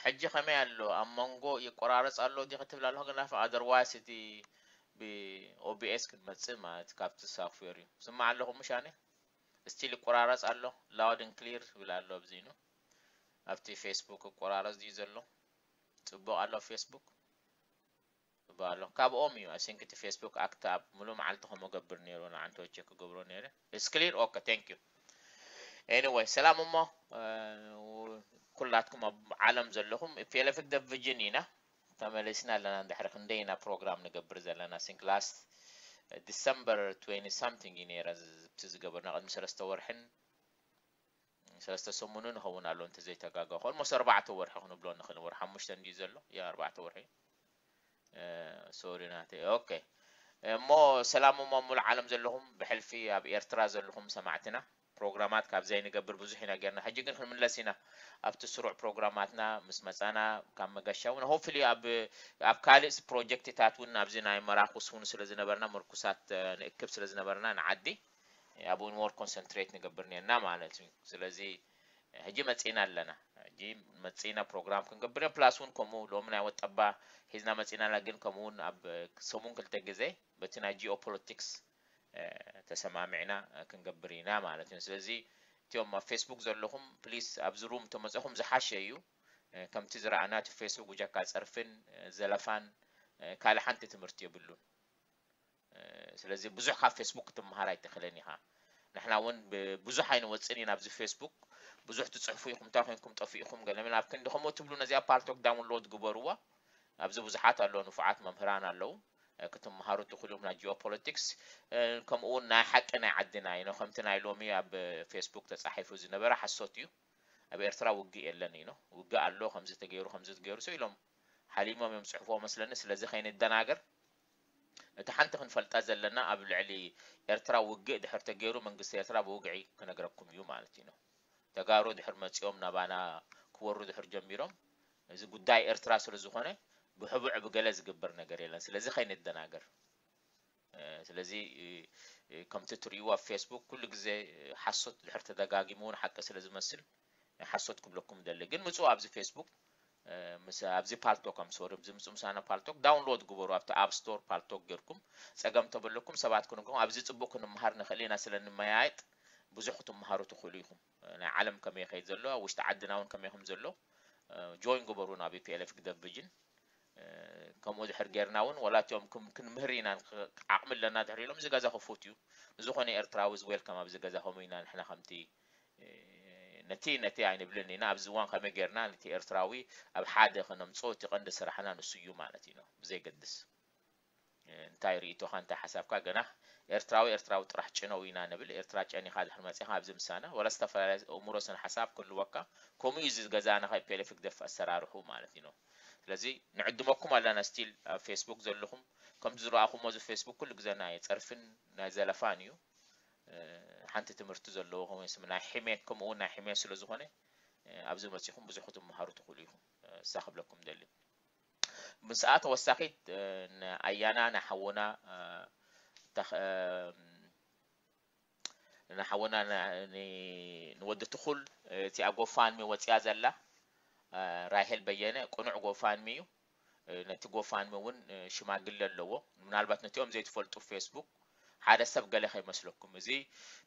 ሕጂ ከመይ ኣሎ? ኣብ መንጎ ይቆራረጽ ኣሎ ዲ ክትብል ኣለኹ፣ ግን ኣፍ otherwise እቲ ብ ኦቢኤስ ክንመጽእ ማለት ካብቲ ሳፍትዌር እዩ። ስማዕ ኣለኹም ምሽ ኣነ? ስቲል ይቆራረጽ ኣሎ፣ loud and clear ይብል ኣሎ። ኣብዚ ኑ ኣብቲ ፌስቡክ ይቆራረጽ ድዩ ዘሎ? ጽቡቕ ኣሎ ፌስቡክ? ጽቡቕ ኣሎ። ካብኦም እዩ። I think እቲ ፌስቡክ ኣክት ኣብ ሙሉእ መዓልቲ ከምኡ ገብር ነይሩ፣ ንዓንተ ቸክ ክገብሮ ነይረ። It's clear? Okay, thank you. Anyway፣ ሰላም እሞ፣ እ፣ ኩላትኩም ኣብ ዓለም ዘለኹም፣ ፒኤልኤፍ ዲቪዥን ኢና። ተመሊስና ኣለና። እንድሕሪ ክንደይ ኢና ፕሮግራም ንገብር ዘለና? I think last December twenty something እዩ ነይረ፣ ዝ-፣ እቲ ዝገበርና ቅድሚ ሰለስተ ወርሕን ሰለስተ ሰሙንን ይኸውን ኣሎ እንተዘይተጋገኹ። Almost ኣርባዕተ ወርሒ ክንብሎ ንኽእል፣ ወርሒ ሓሙሽተ እንድዩ ዘሎ። ያ፣ ኣርባዕተ ወርሒ። እ፣ ሶሪ ናተይ። ኦኬ። እሞ ሰላም እሞ ኣብ ሙሉእ ዓለም ዘለኹም፣ ብሕልፊ ኣብ ኤርትራ ዘለኹም ሰማዕትና፣ ፕሮግራማት ካብ ዘይንገብር ብዙሕ ኢና ጌርና። ሕጂ ግን ክንምለስ ኢና ኣብቲ ስሩዕ ፕሮግራማትና። ምስ መጻና ካብ መገሻ እውን፣ ሆፕፉሊ ኣብ፣ ኣብ ካልእ ፕሮጀክትታት እውን፣ ኣብዚ ናይ መራኩስ እውን ስለ ዝነበርና፣ ምርኩሳት፣ እ፣ ንእክብ ስለ ዝነበርና ንዓዲ፣ ኣብኡ ሞር ኮንሰንትሬት ንገብር ኔርና ማለት እዩ። ስለዚ ሕጂ መጺና ኣለና። ሕጂ መጺና ፕሮግራም ክንገብር ኢና። ፕላስ እውን ከምኡ ሎሚ ናይ ወጠባ ሒዝና መጺና ኣለና፣ ግን ከምኡ እውን ኣብ ሰሙን ክልተ ግዜ በቲ ናይ ጂኦፖለቲክስ፣ እ፣ ተሰማሚዕና፣ እ፣ ክንገብር ኢና ማለት እዩ። ስለዚ እቲኦም ኣብ ፌስቡክ ዘለኹም ፕሊስ ኣብዚ ሩም ተመጺኹም ዝሓሸ እዩ። እ፣ ከምቲ ዝረኣና እቲ ፌስቡክ ብጀካ ጸርፍን፣ እ፣ ዘለፋን፣ እ፣ ካልእ ሓንቲ ትምህርቲ የብሉን። እ፣ ስለዚ ብዙሕ ካብ ፌስቡክ ክትመሃር ኣይትኽእልን ኢኻ። ንሕና እውን ብ-፣ ብዙሕ ኣይንወጽን ኢና ኣብዚ ፌስቡክ። ብዙሕ ትጽሕፉ ኢኹም፣ እንታይ ኮይንኩም ጠፊእኹም፣ ገለ መለ ኣብ ክንዲ ከምኡ ትብሉ ነዚኣ ፓልቶክ ዳውንሎድ ግበርዋ። ኣብዚ ብዙሓት ኣለዉ፣ ንፉዓት መምህራን ኣለዉ። እ፣ ክትመሃሩ ትኽእሉ ኢኹም ናይ ጂኦፖለቲክስ። እ፣ ከምኡ እውን ናይ ሓቂ ናይ ዓድና እዩ። ከምቲ ናይ ሎሚ ኣብ ፌስቡክ ተጻሒፉ ዝነበረ ሓሶት እዩ። ኣብ ኤርትራ ውግእ የለን እዩ። ውግእ ኣሎ፣ ከምዚ ተገይሩ፣ ከምዚ ተገይሩ፣ ሰው ኢሎም ሓሊሞም እዮም ጽሕፍዎ መስለኒ። ስለዚ ከይንደናገር፣ እቲ ሓንቲ ክንፈልጣ ዘለና፣ ኣብ ልዕሊ ኤርትራ ውግእ ድሕር ተገይሩ፣ መንግስቲ ኤርትራ ብውግዒ ክነግረኩም እዩ ማለት እዩ። ተጋሩ ድሕር መጺኦም ናባና ክወሩ ድሕር ጀሚሮም፣ እዚ ጉዳይ ኤርትራ ስለ ዝኾነ፣ ብሕቡዕ ብገለ ዝግበር ነገር የለን። ስለዚ ከይንደናገር። እ፣ ስለዚ፣ እ፣ እ፣ ከምቲ ትርእይዎ ኣብ ፌስቡክ ኩሉ ግዜ፣ እ፣ ሓሶት ድሕር ተደጋጊሙ እውን ሓቂ ስለ ዝመስል፣ ሓሶት ክብለኩም ደሊ። ግን ምጽኡ ኣብዚ ፌስቡክ፣ እ፣ ምስ፣ ኣብዚ ፓልቶክ፣ ኣም ሶሪ፣ ኣብዚ ምጽኡ ምሳና ፓልቶክ ዳውንሎድ ግበሩ። ኣብቲ ኣብ ስቶር ፓልቶክ ጌርኩም ጸገም ተበለኩም ሰባት ክንግኹም፣ ኣብዚ ጽቡቕ ክንመሃር ንኽእል ኢና ስለ ንመያየጥ ብዙሕ ክትመሃሩ ትኽእሉ ኢኹም። እ፣ ናይ ዓለም ከመይ ይኸይድ ዘሎ፣ ኣብ ውሽጢ ዓድና እውን ከመይ ከም ዘሎ፣ እ፣ ጆይን ግበሩ ናብ ፒኤልኤፍ ዲቪዥን። እ፣ ከምኡ ድሕር ጌርና እውን፣ ዋላ እቲኦም ክም-፣ ክንምህር ኢና፣ ንክ-፣ ዓቕሚ ኣለና ድሕር ኢሎም፣ እዚ ገዛ ክፉት እዩ። ንዝኾነ ኤርትራዊ is welcome ኣብዚ ገዛ፣ ከምኡ ኢና ንሕና ከምቲ፣ እ፣ ነቲ፣ ነቲ ኣይንብልን ኢና። ኣብዚ እዋን ከመይ ጌርና ነቲ ኤርትራዊ ኣብ ሓደ ከነምጽኦ፣ እቲ ቀንዲ ስራሕና ንሱ እዩ ማለት እዩ፣ ብዘይገድስ፣ እ፣ እንታይ ርእይቶኻ፣ እንታይ ሓሳብካ። ገና ኤርትራዊ፣ ኤርትራዊ ጥራሕ ጭነው ኢና ንብል። ኤርትራ ጨኒኻ ድሕር መጺኻ ኣብዚ ምሳና፣ ዋላ ዝተፈላለየ ኣእምሮ ስነ ሓሳብ ክህልወካ፣ ከምኡ እዩ እዚ ገዛና ካብ ፒኤልኤፍ ህግደፍ ኣሰራርሑ ማለት እዩ። ስለዚ ንዕድመኩም ኣለና፣ ስቲል ኣብ ፌስቡክ ዘለኹም፣ ከምቲ ዝረኣኹሞ እዚ ፌስቡክ ኩሉ ግዜ ናይ ጸርፍን ናይ ዘለፋን እዩ። እ፣ ሓንቲ ትምህርቲ ዘለዎ፣ ከምኡ ስም ናይ ሕሜት፣ ከምኡ እውን ናይ ሕሜት ስለ ዝኾነ፣ እ፣ ኣብዚ መጺኹም ብዙሕ ክትመሃሩ ትኽእሉ ኢኹም። እ፣ እሳ ክብለኩም ደሊ። ምስኣ ተወሳኺት፣ እ፣ ንኣያና ንሓውና፣ እ፣ ተኽ-፣ እ፣ ንሓውና ን-፣ ን-፣ ንወዲ ትኹል፣ እ፣ እቲኣ ጎፋንሚ ወፂኣ ዘላ፣ እ፣ ራሄል በየነ፣ ቅኑዕ ጎፋንሚ እዩ። እ፣ ነቲ ጎፋንሚ እውን፣ እ፣ ሽማግለ ኣለዎ። ምናልባት ነቲኦም ዘይትፈልጡ ፌስቡክ ሓደ ሰብ ገለ ከይመስለኩም። እዚ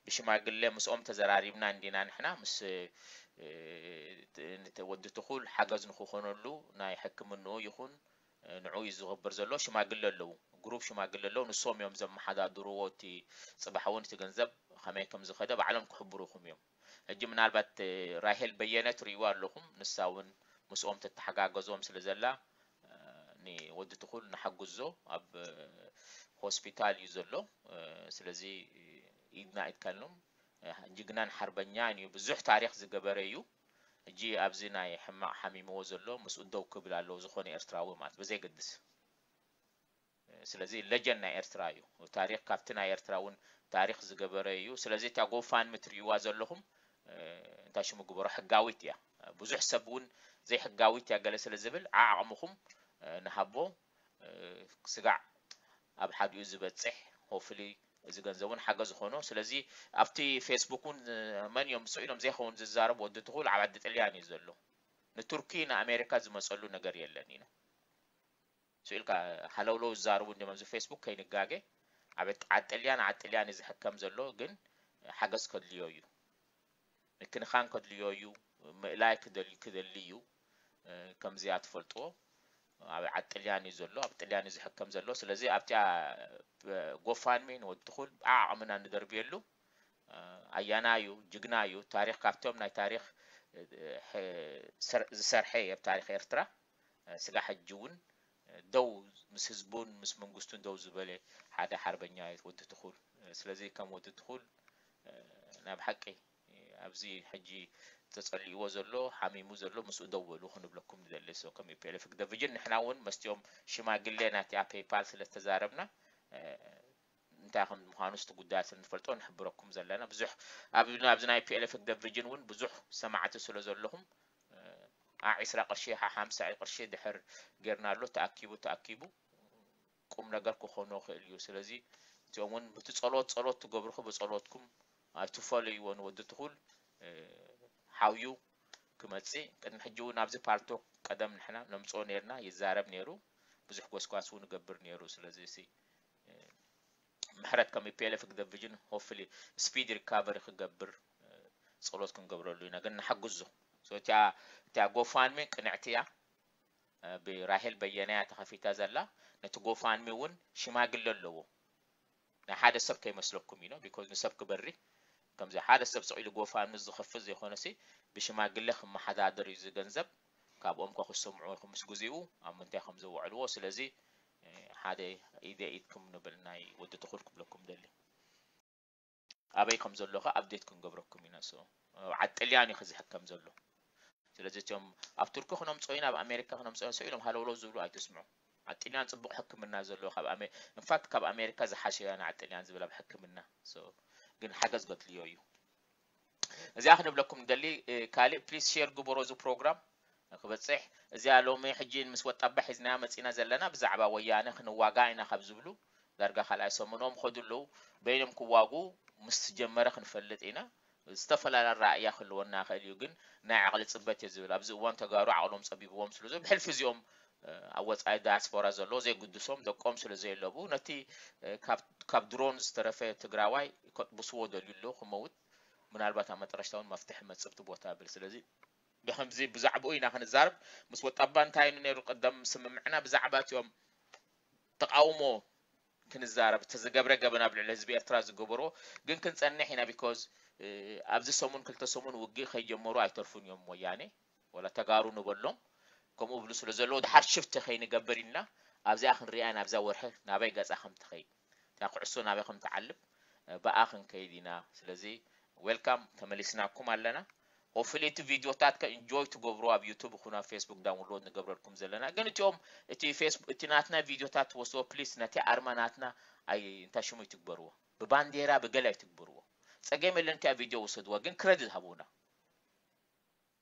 ብሽማግለ ምስኦም ተዘራሪብና እንዲና ንሕና ምስ፣ እ፣ ት-፣ ት-፣ ወዲ ትኹል ሓገዝ ንክኾነሉ ናይ ሕክምንኡ ይኹን፣ እ፣ ንዕኡ እዩ ዝኽብር ዘሎ። ሽማግለ ኣለዉ፣ ግሩፕ ሽማግለ ኣለዉ። ንሶም እዮም ዘመሓዳድርዎ። እቲ ጽባሕ እውን እቲ ገንዘብ ከመይ ከም ዝኸደ ባዕሎም ክሕብሩኹም እዮም። ሕጂ ምናልባት፣ እ፣ ራሄል በየነ ትርእይዋ ኣለኹም። ንሳ እውን ምስኦም ተተሓጋገዞም ስለ ዘላ፣ እ፣ ንወዲ ትኹል ንሓግዞ ኣብ፣ እ፣ ሆስፒታል እዩ ዘሎ። እ፣ ስለዚ ኢድና ኢድካሎም፣ እ፣ ጅግናን ሓርበኛን እዩ። ብዙሕ ታሪኽ ዝገበረ እዩ። ሕጂ ኣብዚ ናይ ሕማቕ ሓሚምዎ ዘሎ ምስኡ ደው ክብል ኣለዎ፣ ዝኾነ ኤርትራዊ ማለት ብዘይገድስ። ስለዚ ሌጀንድ ናይ ኤርትራ እዩ። ታሪኽ ካብቲ ናይ ኤርትራ እውን ታሪኽ ዝገበረ እዩ። ስለዚ እታ ጎፋንሚ ትርእይዋ ዘለኹም፣ እ፣ እንታይ ሽሙ ግበሮ፣ ሕጋዊት እያ። ብዙሕ ሰብ እውን ዘይሕጋዊት እያ ገለ ስለ ዝብል፣ ዓዓቕምኹም፣ እ፣ ንሃቦ፣ እ፣ ስጋዕ ኣብ ሓዲኡ ዝበጽሕ፣ ሆፍሊ እዚ ገንዘብ እውን ሓገዝ ዝኾኖ። ስለዚ ኣብቲ ፌስቡክ እውን፣ እ፣ መን እዮም ስቕ ኢሎም ዘይኸውን ዝዛረቡ፣ ወዲ ትኹል ኣብ ዓዲ ጥልያን እዩ ዘሎ። ንቱርኪ ንኣሜሪካ ዝመፀሉ ነገር የለን ኢሉ። ስኢልካ ሃለውለው ዝዛረቡ እንዲም ኣብዚ ፌስቡክ ከይንጋገ። ኣብ ዓጥልያን ዓጥልያን እዩ ዝሕከም ዘሎ፣ ግን ሓገዝ ከድልዮ እዩ፣ ምክንኻን ከድልዮ እዩ፣ ምእላይ ክደል ክደሊ እዩ። ከምዚኣ ትፈልጥዎ ኣብ ዓጥልያን እዩ ዘሎ፣ ኣብ ጥልያን እዩ ዝሕከም ዘሎ። ስለዚ ኣብቲኣ ጎፋንሚ ንወዲ ትኹል ዓቕምና ንደርብየሉ። ኣያና እዩ፣ ጅግና እዩ። ታሪኽ ካብቶም ናይ ታሪኽ ዝሰርሐ ኣብ ታሪኽ ኤርትራ። ስጋ ሕጂ እውን ደው ምስ ህዝቡን ምስ መንግስቱን ደው ዝበለ ሓደ ሓርበኛ እዩ ወዲ ትኹል። ስለዚ ከም ወዲ ትኹል ናብ ሓቂ ኣብዚ ሕጂ ተጸሊእዎ ዘሎ ሓሚሙ ዘሎ ምስኡ ደው በሉ ክንብለኩም ንደሊ። So ከም ፒ ኤል ኤፍ ዲቪዥን ንሕና እውን መስቲኦም ሽማግሌ ናቲኣ ፔይፓል ስለ ዝተዛረብና እንታይ ከም ምዃኑ ስቲ ጉዳያት ስለ ንፈልጦ ንሕብረኩም ዘለና። ብዙሕ ኣብዚ ናይ ፒ ኤል ኤፍ ዲቪዥን እውን ብዙሕ ሰማዕቲ ስለ ዘለኹም ዓ ዕስራ ቅርሺ ሓ ሓምሳ ቅርሺ ድሕር ጌርናሉ ተኣኪቡ ተኣኪቡ ቁም ነገር ክኾኖ ይኽእል እዩ። ስለዚ እዚኦም እውን ብቲ ጸሎት ጸሎት ትገብርኹ ብጸሎትኩም ኣይትፈለይዎ ንወዲ ትኹል ሓውዩ ክመጽእ ቅድሚ ሕጂ እውን ኣብዚ ፓልቶክ ቀደም ንሕና ነምጽኦ ነርና ይዛረብ ነይሩ ብዙሕ ጎስጓስ እውን ይገብር ነይሩ። ስለዚ ምሕረት ከም ፒ ኤል ኤፍ ዲቪዥን ሆፍሊ ስፒድ ሪካቨሪ ክገብር ጸሎት ክንገብረሉ ኢና። ግን ንሓግዞ። So እቲኣ እቲኣ ጎፋንሚ ቅንዕቲ እያ። ብራሄል በየነ እያ ተኸፊታ ዘላ። ነቲ ጎፋንሚ እውን ሽማግለ ኣለዎ። ናይ ሓደ ሰብ ከይመስለኩም እዩ፣ ቢኮዝ ንሰብ ክበሪ ከምዚ ሓደ ሰብ ስቕ ኢሉ ጎፋንሚ ዝኸፍት ዘይኮነሲ ብሽማግለ ክመሓዳደር እዩ እዚ ገንዘብ። ካብኦም ከ ክሰምዑ ኢኹም ምስ ግዜኡ ኣብ ምንታይ ከም ዘውዕልዎ። ስለዚ ሓደ ኢደ ኢድኩም ንብል ናይ ወዲ ትኹል ክብለኩም ደሊ። ኣበይ ከም ዘሎ ከ ኣፕዴት ክንገብረኩም ኢና። So ዓጥልያን እዩ ክዝሕከም ዘሎ። ስለዚ እቲኦም ኣብ ቱርኪ ክነምፅኦ ኢና ኣብ ኣሜሪካ ክነምፅኦ ኢና ኢሎም ሃለውለው ዝብሉ ኣይትስምዑ። ዓጥልያን ፅቡቕ ሕክምና ዘለዎ ካብ ኣሜ ኢንፋክት ካብ ኣሜሪካ ዝሓሸ እያ ንዓጥልያን ዝብል ኣብ ሕክምና። So ግን ሓገዝ ገድልዮ እዩ። እዚኣ ክንብለኩም ንደሊ። ካልእ ፕሊስ ሼር ግበሮ እዚ ፕሮግራም ክበፅሕ። እዚኣ ሎሚ ሕጂ ምስ ወጣባ ሒዝናያ መፂና ዘለና ብዛዕባ ወያነ ክንዋጋ ኢና ካብ ዝብሉ ዳርጋ ካልኣይ ሰሙኖም ከዱ ኣለዉ። በይኖም ክዋጉ ምስ ጀመረ ክንፈልጥ ኢና። ዝተፈላለያ ራእያ ክህልወና ይኽእል እዩ፣ ግን ናይ ዓቕሊ ፅበት እየ ዝብል። ኣብዚ እዋን ተጋሩ ዓቕሎም ፀቢብዎም ስለ ዘሎ ብሕልፊ እዚኦም ኣብ ወፃኢ ዳያስፖራ ዘለዉ ዘይግድሶም ደቆም ስለ ዘየለቡ ነቲ ካብ ድሮን ዝተረፈ ትግራዋይ ከጥብስዎ ደልዩ ኣለዉ ክመውት ምናልባት ኣብ መጠረሽታ እውን መፍትሒ መፅብቲ ቦታ ብል። ስለዚ ብከምዚ ብዛዕባኡ ኢና ክንዛረብ። ምስ ወጣባ እንታይ እዩ ነይሩ ቅደም ስምምዕና ብዛዕባ እቲኦም ተቃውሞ ክንዛረብ እቲ ዝገብረ ገበን ኣብ ልዕሊ ህዝቢ ኤርትራ ዝገበሮ ግን ክንጸንሕ ኢና። ቢኮዝ ኣብዚ ሰሙን ክልተ ሰሙን ውግእ ከይጀመሩ ኣይተርፉን እዮም ወያኔ ወላ ተጋሩ ንበሎም ከምኡ ብሉ ስለ ዘለዉ ድሓር ሽፍቲ ከይንገብር ኢልና ኣብዚኣ ክንሪኣ ኢና። ኣብዛ ወርሒ ናበይ ገጻ ከም ትኸይድ እታ ኩዕሶ ናበይ ከም ትዓልብ ብኣ ክንከይድ ኢና። ስለዚ ዌልካም ተመሊስናኩም ኣለና። ሆፍሊ እቲ ቪዲዮታት ከ ኢንጆይ ትገብሩ ኣብ ዩቱብ ይኹን ኣብ ፌስቡክ ዳውንሎድ ንገብረልኩም ዘለና ግን እቲኦም እቲ ፌስቡክ እቲ ናትና ቪዲዮታት ትወስድዎ ፕሊስ ነቲ ኣርማ ናትና ኣይ እንታይ ሽሙ ይትግበርዎ ብባንዴራ ብገለ ኣይትግበርዎ። ጸገም የለን እቲኣ ቪዲዮ ውሰድዋ ግን ክረዲት ሃቡና።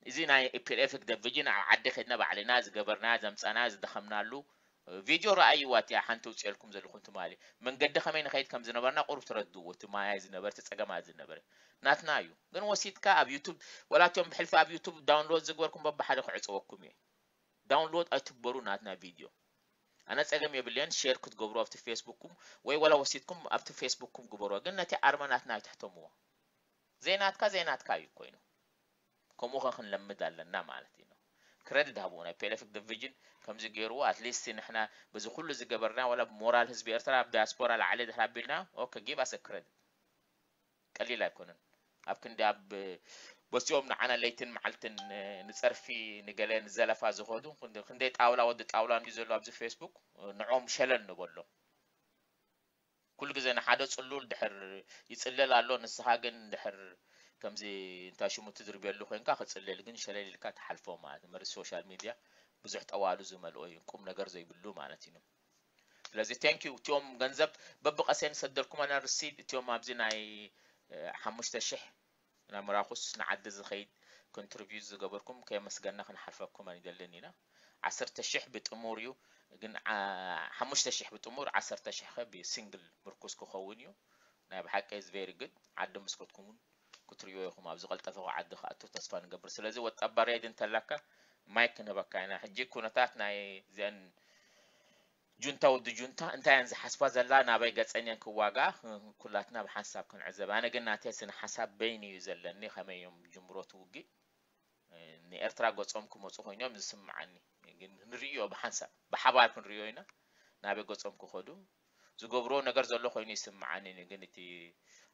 እዚ ናይ ፒኤልኤፍ ዲቪዥን ኣብ ዓዲ ከድና ባዕልና ዝገበርና ዘምጻና ዝደኸምናሉ ቪድዮ ረኣይዋ እቲኣ ሓንቲ ውፅኤልኩም ዘለኹም ትማሊ መንገዲ ከመይ ንኸይድ ከም ዝነበርና ቁሩብ ትረድእዎ እቲ ማያ ዝነበረ እቲ ጸገማ ዝነበረ ናትና እዩ ግን ወሲድካ ኣብ ዩቱብ ወላ እቲኦም ብሕልፊ ኣብ ዩቱብ ዳውንሎድ ዝግበርኩም በብሓደ ክዕፀወኩም እየ ዳውንሎድ ኣይትግበሩ ናትና ቪድዮ ኣነ ጸገም የብልየን ሼር ክትገብሩ ኣብቲ ፌስቡክኩም ወይ ወላ ወሲድኩም ኣብቲ ፌስቡክኩም ግበሩ ግን ነቲ ኣርማ ናትና ኣይትሕተምዎ ዘይናትካ ዘይናትካ እዩ ኮይኑ ከምኡ ከ ክንለምድ ኣለና ማለት እዩ። ክረድት ሃብዎ ናይ ፒኤልኤፍ ዲቪዥን ከምዚ ገይርዎ ኣትሊስት ንሕና በዚ ኩሉ ዝገበርና ዋላ ብሞራል ህዝቢ ኤርትራ ኣብ ዳያስፖራ ላዕሊ ድሕር ኣቢልና ኦኬ give us a credit ቀሊል ኣይኮነን። ኣብ ክንዲ ኣብ በዚኦም ንዓና ለይትን መዓልትን ንጸርፊ ንገለ ንዘለፋ ዝኸዱ ክንደይ ጣውላ ወዲ ጣውላ እንዲ ዘሎ ኣብዚ ፌስቡክ ንዖም ሸለል ንበሎም። ኩሉ ግዜ ንሓደ ጽሉል ድሕር ይጽለል ኣሎ ንስኻ ግን ድሕር ከምዚ እንታይ ሽሙ ትድርብየሉ ኮይንካ ክጽለል ግን ሸለል ኢልካ ትሓልፎ ማለት መርዚ ሶሻል ሚድያ ብዙሕ ጠዋሉ ዝመልኦ እዩ ቁም ነገር ዘይብሉ ማለት እዩ ስለዚ thank you እቲኦም ገንዘብ በብቀሰ ንሰደልኩም ኣና ርሲድ እቲኦም ኣብዚ ናይ ሓሙሽተ ሽሕ ናብ ምራኹስ ንዓዲ ዝኸይድ ኮንትሪቢዩት ዝገበርኩም ከየመስገና ክንሓልፈኩም ኣይንደልን ኢና ዓሰርተ ሽሕ ብጥሙር እዩ ግን ሓሙሽተ ሽሕ ብጥሙር ዓሰርተ ሽሕ ከ ብሲንግል ምርኩስ ክኸውን እዩ ናይ ብሓቂ is very good ዓዲ ምስ ከድኩም እውን ክትሪኦ ኢኹም ኣብ ዝቐልጠፈ ዓዲ ክኣቱ ተስፋ ንገብር ስለዚ ወጣባ ሬድ እንተላካ ማይክ ክንህበካ ኢና። ሕጂ ኩነታት ናይ እዚአን ጁንታ ወዲ ጁንታ እንታይ እየን ዝሓስባ ዘላ፣ ናበይ ገጸን እየን ክዋጋ፣ ኩላትና ብሓንሳብ ክንዕዘብ። ኣነ ግን ናተይ ስነ ሓሳብ በይን እዩ ዘለኒ፣ ከመይ እዮም ጅምሮት ውግእ ንኤርትራ ገጾም ክመጹ ኮይኖም ዝስምዓኒ። ግን ንርእዮ ብሓንሳብ ብሓባር ክንርእዮ ኢና፣ ናበይ ገጾም ክኸዱ። ዝገብርዎ ነገር ዘሎ ኮይኑ ይስምዓኒ። ግን እቲ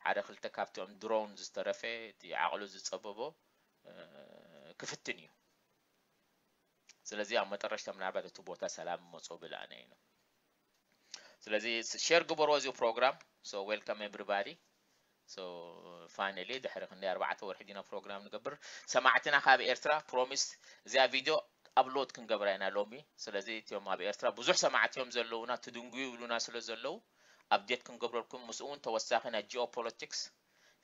ሓደ ክልተ ካብቲኦም ድሮን ዝተረፈ፣ እቲ ዓቕሉ ዝጸበቦ ክፍትን እዩ። ስለዚ ኣብ መጠረሽታ ምናልባት እቲ ቦታ ሰላም መጾ ብላእና ኢና። ስለዚ ሸር ግበርዎ እዚ ፕሮግራም። So welcome everybody. So finally ድሕሪ ክንደይ ኣርባዕተ ወርሒ ዲና ፕሮግራም ንገብር። ሰማዕትና ካብ ኤርትራ ፕሮሚስ እዚኣ ቪድዮ ኣፕሎድ ክንገብራ ኢና ሎሚ። ስለዚ እቲኦም ኣብ ኤርትራ ብዙሕ ሰማዕቲ እዮም ዘለውና፣ ትድንጉዩ ይብሉና ስለ ዘለዉ ኣፕዴት ክንገብረልኩም፣ ምስኡ እውን ተወሳኺ ናይ ጂኦፖለቲክስ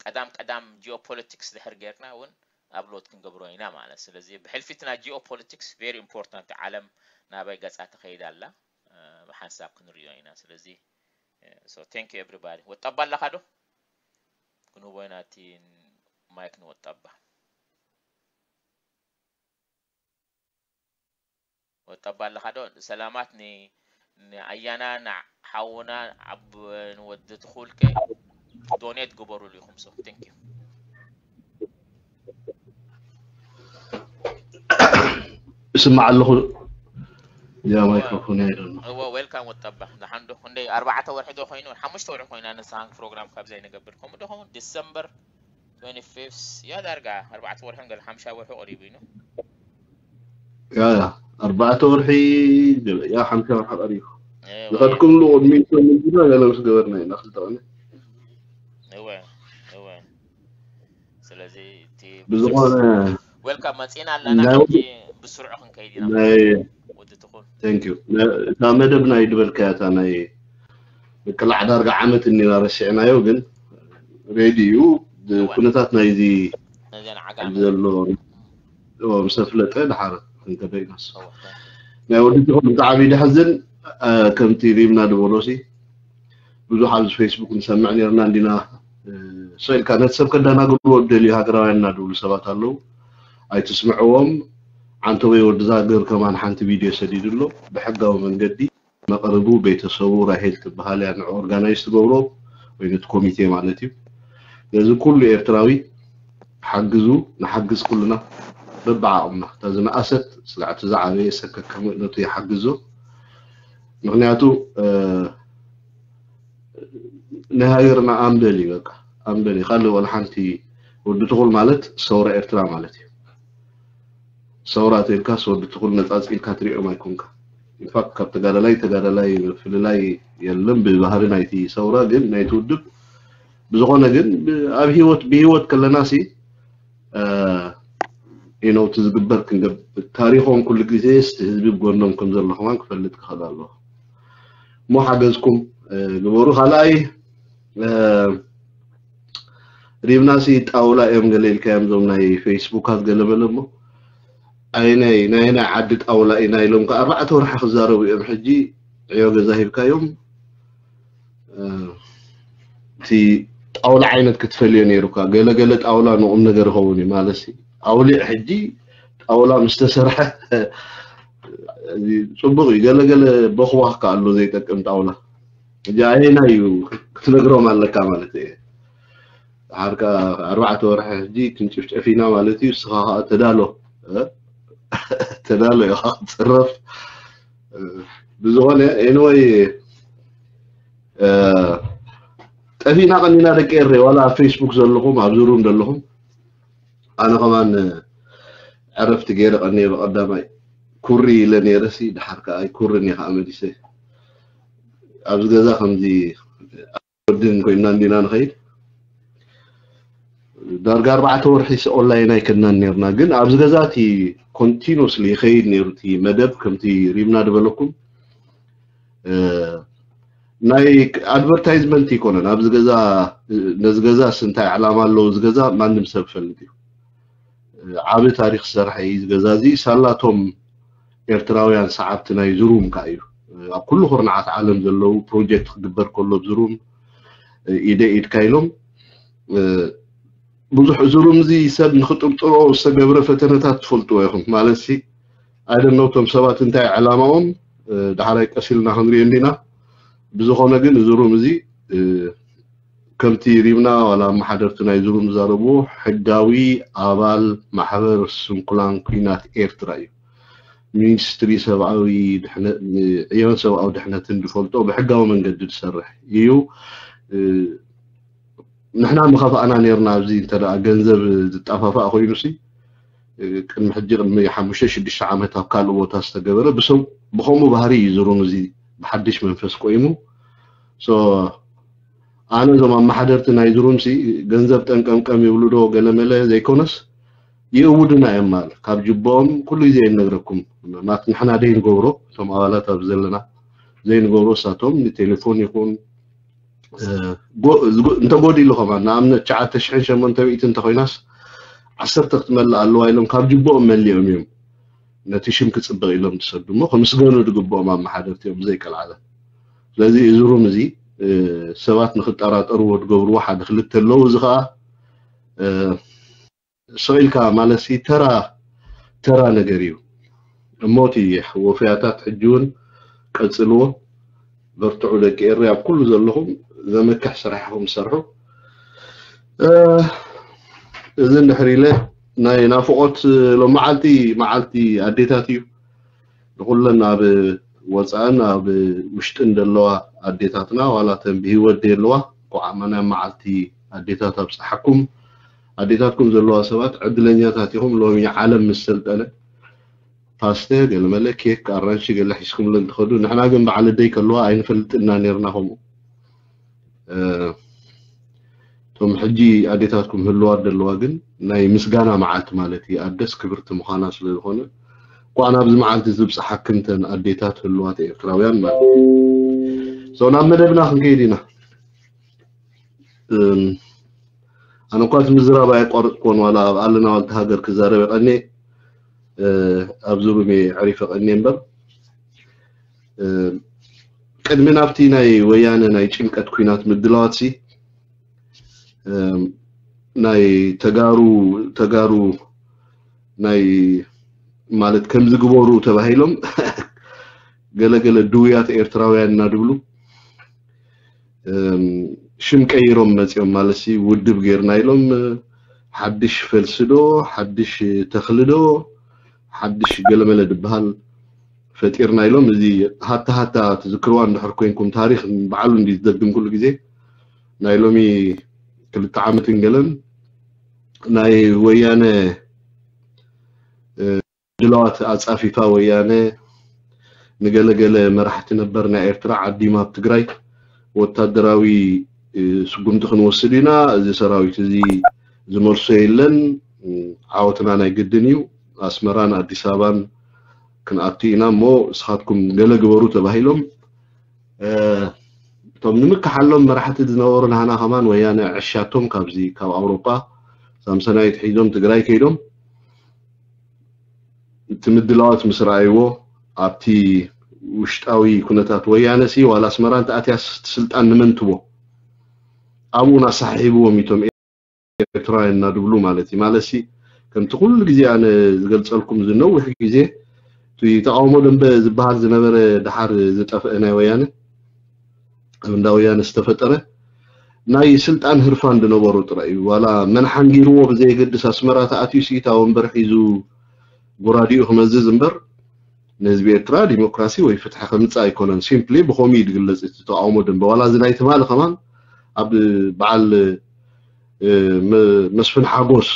ቀዳም ቀዳም ጂኦፖለቲክስ ድሕር ጌርና እውን ኣፕሎድ ክንገብሮ ኢና ማለት። ስለዚ ብሕልፊ እቲ ናይ ጂኦፖለቲክስ very important፣ ዓለም ናበይ ገጻ ትኸይድ ኣላ ብሓንሳብ ክንሪኦ ኢና። ስለዚ so thank you everybody። ወጣባ ኣለኻ ዶ? ክንህቦ ኢና እቲ ማይክ ንወጣባ። ወጣባ ኣለኻ ዶ? ሰላማት ን ንኣያና ንሓውና ዓብ ንወዲ ትኹልከ ዶኔት ግበሩሉ ኢኹም። So thank you። እስማዕ ኣለኹ። ያ ማይክሮፎን ኣይደሎ። እወ ዌልካም ወጣባ። ንሓንዶ ክንደይ ኣርባዕተ ወርሒ ዶ ኮይኑ ሓሙሽተ ወርሒ ኮይና ንስኻን ፕሮግራም ካብ ዘይንገብር፣ ከምኡ ዶ ኸውን ዲሰምበር twenty-fifth ያ ዳርጋ ኣርባዕተ ወርሒ ገለ ሓምሻ ወርሒ ቀሪቡ እዩ። ያ ያ ኣርባዕተ ወርሒ ያ ሓምሻ ወርሒ ቀሪቡ። ዝኸድኩምሉ ቅድሚኡ ምንድና ገለ ምስ ገበርና ኢና ክልተ ቀነ። እወ እወ። ስለዚ እቲ ብዝኾነ ዌልካም መጺና ኣለና። ሕጂ ብስሩዕ ክንከይድ ኢና። ወዲ ትኹል thank you። እታ መደብ ናይ ድበልካያ እታ ናይ ምቅላዕ ዳርጋ ዓመት እኒና ረሲዕናዮ፣ ግን ሬድዩ ኩነታት ናይዚ ዘሎ ምስ ኣፍለጠ ድሓር ክንከደ ኢናስ ናይ ወዲ ትኹል ብጣዕሚ ደሕዝን። ከምቲ ሪምና ድበሎሲ ብዙሕ ኣብዚ ፌስቡክ ንሰምዕ ነርና እንዲና። ስቕ ኢልካ ነቲ ሰብ ከዳናግርዎ ደልዩ ሃገራውያን እናድብሉ ሰባት ኣለዉ። ኣይትስምዕዎም። ዓንተቦይ ወዲ ዛግር ከማን ሓንቲ ቪድዮ ሰዲዱ ኣሎ። ብሕጋዊ መንገዲ መቕርቡ ቤተሰቡ ራሄል ትበሃል እያ ንዑ ኦርጋናይዝ ትገብሮ ወይ ነቲ ኮሚቴ ማለት እዩ። ነዚ ኩሉ ኤርትራዊ ሓግዙ፣ ንሓግዝ ኩልና በብዓቕምና። እታ ዝነኣሰት ስጋዕ እቲ ዝዓበየ ሰከከ ነቱ ይሓግዞ። ምኽንያቱ ናይ ሃገርና ኣምበል እዩ፣ በቃ ኣምበል እዩ። ካልእ ወላ ሓንቲ ወዲ ትኹል ማለት ሰውራ ኤርትራ ማለት እዩ። ሰውራ ተልካስ ወዲ ትኹል ነጻጽ ኢልካ ትሪኦም ኣይኮንካ። ኢንፋክት ካብ ተጋዳላይ ተጋዳላይ ምፍልላይ የለን ብባህሪ ናይቲ ሰውራ ግን ናይቲ ውድብ ብዝኾነ ግን ኣብ ህይወት ብህይወት ከለና ሲ ኢኖ እቲ ዝግበር ክንገብ ታሪኾም ኩሉ ግዜ ስቲ ህዝቢ ብጎኖም ከም ዘሎ ከማን ክፈልጥ ክኽእል ኣለዎ። እሞ ሓገዝኩም ግበሩ። ካልኣይ ሪብናሲ ጣውላ እዮም ገለ ኢልካዮም ዞም ናይ ፌስቡካት ገለ በለ እሞ ኣይናይ ናይ ናይ ዓዲ ጣውላ ኢና ኢሎም ከ ኣርባዕተ ወርሒ ክዛረቡ እዮም። ሕጂ ዕዮ ገዛ ሂብካዮም እቲ ጣውላ ዓይነት ክትፈልዮ ነይሩካ። ገለ ገለ ጣውላ ንቁም ነገር ይኸውን እዩ ማለት ሲ ኣውሊዕ ሕጂ ጣውላ ምስ ተሰርሐ ጽቡቕ እዩ። ገለ ገለ በኽባኽ ከ ኣሎ ዘይጠቅም ጣውላ። ሕጂ ኣየና እዩ ክትነግሮም ኣለካ ማለት እዩ። ድሓር ከኣ ኣርባዕተ ወርሒ ሕጂ ክንጭፍጨፍ ኢና ማለት እዩ። እስኻ ከኣ ተዳሎ ተዳሎ ኢኻ ክትጽረፍ። ብዝኾነ ኤንወይ ጠፊእና ቀኒና ደቂ ኤረይ ዋላ ኣብ ፌስቡክ ዘለኹም ኣብዚ ሩም ዘለኹም ኣነ ከማን ዕረፍቲ ገይረ ቀኒየ ብቐዳማይ ኩሪ ኢለ ነይረ ሲ ድሓር ከኣ ኣይኩርን እየ ከኣ መሊሰ ኣብዚ ገዛ ከምዚ ወድን ኮይና እንዲና ንኸይድ ዳርጋ ኣርባዕተ ወርሒ ኦንላይን ኣይከድናን ነርና ግን ኣብዚ ገዛ እቲ ኮንቲኑስሊ ይኸይድ ነይሩ እቲ መደብ ከምቲ ሪምና ዝበለኩም ናይ ኣድቨርታይዝመንት ይኮነን ኣብዚ ገዛ ነዚ ገዛ እንታይ ዕላማ ኣለዎ እዚ ገዛ ማንም ሰብ ፈልጥ እዩ ዓብ ታሪክ ዝሰርሐ እዩ እዚ ገዛ እዚ ሳላቶም ኤርትራውያን ሰዓብቲ ናይ ዝሩም ከኣ እዩ ኣብ ኩሉ ኩርናዓት ዓለም ዘለዉ ፕሮጀክት ክግበር ከሎ ዝሩም ኢደ ኢድካ ኢሎም ብዙሕ ዝሩም እዚ ሰብ ንክጥርጥሮ ዝተገብረ ፈተነታት ትፈልጥዎ ኢኹም ማለት ሲ ኣይደነው እቶም ሰባት እንታይ ዕላማኦም፣ እ፣ ዳሕራይ ቀስ ኢልና ክንሪኦ እንዲና። ብዝኾነ ግን እዚ ሩም እዚ፣ እ፣ ከምቲ ሪምና ዋላ ኣመሓደርቲ ናይ እዚ ሩም ዝዛረብዎ፣ ሕጋዊ ኣባል ማሕበር ስንኩላን ኲናት ኤርትራ እዩ። ሚኒስትሪ ሰብኣዊ ድሕነ-፣ ዕዮን ሰብኣዊ ድሕነትን ዝፈልጦ ብሕጋዊ መንገዲ ዝሰርሕ እዩ። እ፣ ንሕና ምኸፋእና ነርና። ኣብዚ እንተ ደኣ ገንዘብ ዝጠፋፋእ ኮይኑሲ፣ እ፣ ቅድሚ ሕጂ፣ ቅድሚ ሓሙሽተ ሽዱሽተ ዓመት ኣብ ካልእ ቦታ ዝተገበረ፣ ብሰብ-፣ ብኸምኡ ባህሪ እዩ ዝሩም እዚ ብሓድሽ መንፈስ ቆይሙ። ሶ፣ ኣነ እዞም ኣመሓደርቲ ናይ ዝሩምሲ ገንዘብ ጠንቀምቀም ይብሉ ዶ ገለመለ ዘይኮነስ፣ ይእውዱና እዮም ማለት ካብ ጅቦኦም ኩሉ ግዜ ይነግረኩም። ማለት ንሕና ዘይንገብሮ፣ እቶም ኣባላት ኣብ ዘለና ዘይንገብሮ፣ እሳቶም ንቴሌፎን ይኹን፣ እ፣ ጎ-፣ ዝጎ-፣ እንተጎዲሉ ከማን፣ ንኣብነት ትሽዓተ ሽሕን ሸሞንተ ሚእትን እንተኾይናስ፣ ዓሰርተ ክትመልእ ኣለዋ ኢሎም ካብ ጅቦኦም መሊኦም እዮም። ነቲ ሽም ክጽብቕ ኢሎም ዝሰዱ እሞ፣ ክምስገኑ ዝግብኦም ኣመሓደርቲ እዮም ብዘይቀልዓለ። ስለዚ እዚ ሩም እዚ፣ እ፣ ሰባት ንኽጠራጠርዎ ዝገብርዎ ሓደ ክልተ ኣለዉ። እዚ ኸኣ፣ እ፣ ስቕ ኢልካ ማለትሲ ተራ፣ ተራ ነገር እዩ። እሞ እቲ ወፈያታት ሕጂ እውን ቀጽልዎ፣ በርትዑ ደቂ ኤረይ፣ ኣብ ኩሉ ዘለኹም ዘመክሕ ስራሕ ኢኹም ትሰርሑ። እ፣ እዚ እንድሕር ኢለ፣ ናይ ናፍቖት ሎመዓልቲ መዓልቲ ኣዴታት እዩ። ንኹለን ኣብ ወጻእን ኣብ ውሽጥን ዘለዋ ኣዴታትና፣ ዋላ እተን ብህይወት ደየለዋ፣ እንኳዕ ኣማናይ መዓልቲ ኣዴታት ኣብጽሓኩም። ኣዴታትኩም ዘለዋ ሰባት ዕድለኛታት ኢኹም። ሎሚ ዓለም ምስ ሰልጠነ፣ ፓስተ፣ ገለመለ፣ ኬክ፣ ኣራንሺ፣ ገለ ሒዝኩምለን ትኸዱ። ንሕና ግን በዓል ኣደይ ከለዋ ኣይንፈልጥና ነርና ከምኡ። እ፣ እቶም ሕጂ ኣዴታትኩም ህልዋት ዘለዋ ግን ናይ ምስጋና መዓልቲ ማለት እዩ። ኣደስ ክብርቲ ምዃና ስለ ዝኾነ፣ እንኳዕ ናብዚ መዓልቲ ዝብጽሓክን እተን ኣዴታት ህልዋት ኤርትራውያን ማለት እዩ። ሶ፣ ናብ መደብና ክንከይድ ኢና። እም፣ ኣነ እኳ እቲ ምዝራብ ኣየቋረጽኩዎን፣ ዋላ ኣብ ኣለና ዋልታ ሃገር ክዛረብ የቐንየ፣ እ፣ ኣብዚ ሩም እየ ኣዕሪፈ ቀንየ እምበር፣ እ፣ ቅድሚ ናብቲ ናይ ወያነ ናይ ጭንቀት ኲናት ምድላዋትሲ፣ እም፣ ናይ ተጋሩ፣ ተጋሩ ናይ ማለት ከምዚ ግበሩ ተባሂሎም ገለ ገለ ድውያት ኤርትራውያን እናድብሉ፣ እም፣ ሽም ቀይሮም መጺኦም ማለትሲ ውድብ ጌርና ኢሎም፣ ሓድሽ ፈልሲ ዶ፣ ሓድሽ ተኽሊ ዶ፣ ሓድሽ ገለመለ ዝበሃል ፈጢርና ኢሎም። እዚ ሃታ ሃታ ትዝክርዋ እንድሕር ኮይንኩም፣ ታሪኽ ባዕሉ እንዲ ዝደግም ኩሉ ግዜ፣ ናይ ሎሚ ክልተ ዓመትን ገለን ናይ ወያነ፣ እ፣ ድላዋት ኣጻፊፋ ወያነ ንገለገለ መራሕቲ ነበር ናይ ኤርትራ ዓዲማ ኣብ ትግራይ ወታደራዊ፣ እ፣ ስጉምቲ ክንወስድ ኢና፣ እዚ ሰራዊት እዚ ዝመልሶ የለን፣ እ፣ ዓወትና ናይ ግድን እዩ፣ ኣስመራን ኣዲስ ኣበባን ክንኣቱ ኢና እሞ ንስኻትኩም ገለ ግበሩ ተባሂሎም፣ እ፣ እቶም ንምክሓሎም መራሕቲ ዝነበሩ ናህና ከማን ወያነ ዕሻቶም ካብዚ ካብ ኣውሮጳ ሳምሰናይት ሒዞም ትግራይ ከይዶም። እቲ ምድላዋት ምስ ረኣይዎ ኣብቲ ውሽጣዊ ኩነታት ወያነ ሲ ዋላ ኣስመራ እንተኣትያስ እቲ ስልጣን ንመን ትቦ ኣብኡ ናሳሒብዎም እቶም ኤርትራውያን እናድብሉ ማለት እዩ። ማለት ሲ ከምቲ ኩሉ ግዜ ኣነ ዝገልጸልኩም እዚ ነዊሕ ግዜ እቲ ተቃውሞ ደንበ ዝበሃል ዝነበረ ድሓር ዝጠፍአ ናይ ወያነ ኣብ እንዳ ወያነ ዝተፈጠረ ናይ ስልጣን ህርፋን ዝነበሩ ጥራይ እዩ። ዋላ መን ሓንጊርዎ ብዘየገድስ ኣስመራ ተኣትዩ ሲ እታ ወንበር ሒዙ ጎራዲኡ ክመዝዝ እምበር ንህዝቢ ኤርትራ ዲሞክራሲ ወይ ፍትሒ ከምጽእ ኣይኮነን። ሲምፕሊ ብኸምኡ እዩ ዝግለጽ እቲ ተቃውሞ ደንበ። ዋላ እዚ ናይ ትማሊ ከማን ኣብ በዓል፣ እ፣ መ-፣ መስፍን ሓጎስ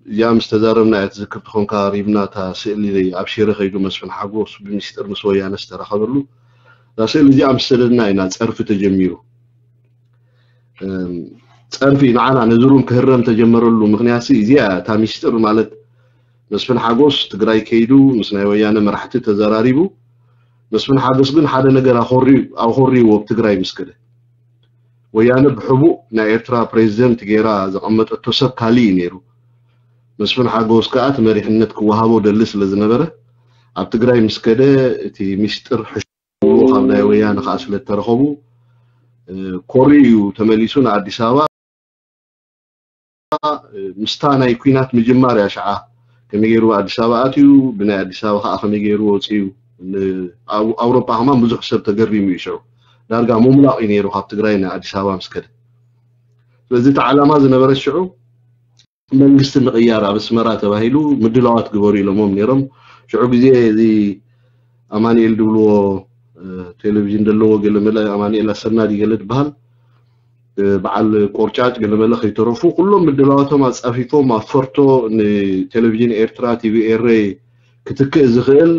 እዚኣ ምስ ተዛረብና እያ ትዝክር ትኾንካ፣ ሪብና እታ ስእሊ ኣብ ሽረ ከይዱ መስፍን ሓጎስ ብሚስጥር ምስ ወያነ ዝተራኸበሉ እዛ ስእሊ እዚኣ ምስ ሰደድና ኢና ጸርፊ ተጀሚሩ። እም፣ ጸርፊ ንዓና ነዚ ሩም ክህረም ተጀመረሉ ምኽንያት ሲ እዚኣ እታ ሚስጥር ማለት መስፍን ሓጎስ ትግራይ ከይዱ ምስ ናይ ወያነ መራሕቲ ተዘራሪቡ፣ መስፍን ሓጎስ ግን ሓደ ነገር ኣኾሪ-፣ ኣኾሪዎ ኣብ ትግራይ ምስ ከደ። ወያነ ብሕቡእ ናይ ኤርትራ ፕሬዚደንት ገይራ ዘቐመጠቶ ሰብ ካልእ እዩ ነይሩ። መስፍን ሓጎስ ከኣ እቲ መሪሕነት ክወሃቦ ደሊ ስለ ዝነበረ፣ ኣብ ትግራይ ምስ ከደ እቲ ሚስጥር ሕሽዎ ካብ ናይ ወያነ ከኣ ስለ እተረኸቡ፣ እ፣ ኮሪ እዩ ተመሊሱ ንኣዲስ ኣበባ። እ፣ ምስታ ናይ ኲናት ምጅማር እያ ሽዓ ከመይ ገይሩ ኣዲስ ኣበባ ኣትዩ፣ ብናይ ኣዲስ ኣበባ ከዓ ከመይ ገይሩ ወፅዩ። ን-፣ ኣብ ኣውሮፓ ከማን ብዙሕ ሰብ ተገሪሙ እዩ ሽዑ። ዳርጋ ምሙላቕ እዩ ነይሩ ካብ ትግራይ ንኣዲስ ኣበባ ምስ ከደ። ስለዚ እቲ ዓላማ ዝነበረ ሽዑ መንግስቲ ምቕያር ኣብ ኣስመራ ተባሂሉ ምድላዋት ግበሩ ኢሎሞም ነይሮም። ሽዑ ግዜ እዚ ኣማኑኤል ድብልዎ ቴሌቪዥን ዘለዎ ገለመለ ኣማኑኤል ኣሰና ድዩ ገለ ዝበሃል በዓል ቆርጫጭ ገለመለ ከይተረፉ ኩሎም ምድላዋቶም ኣጻፊፎም ኣብ ፈርቶ ንቴሌቪዥን ኤርትራ ቲቪ ኤረ ክትክእ ዝኽእል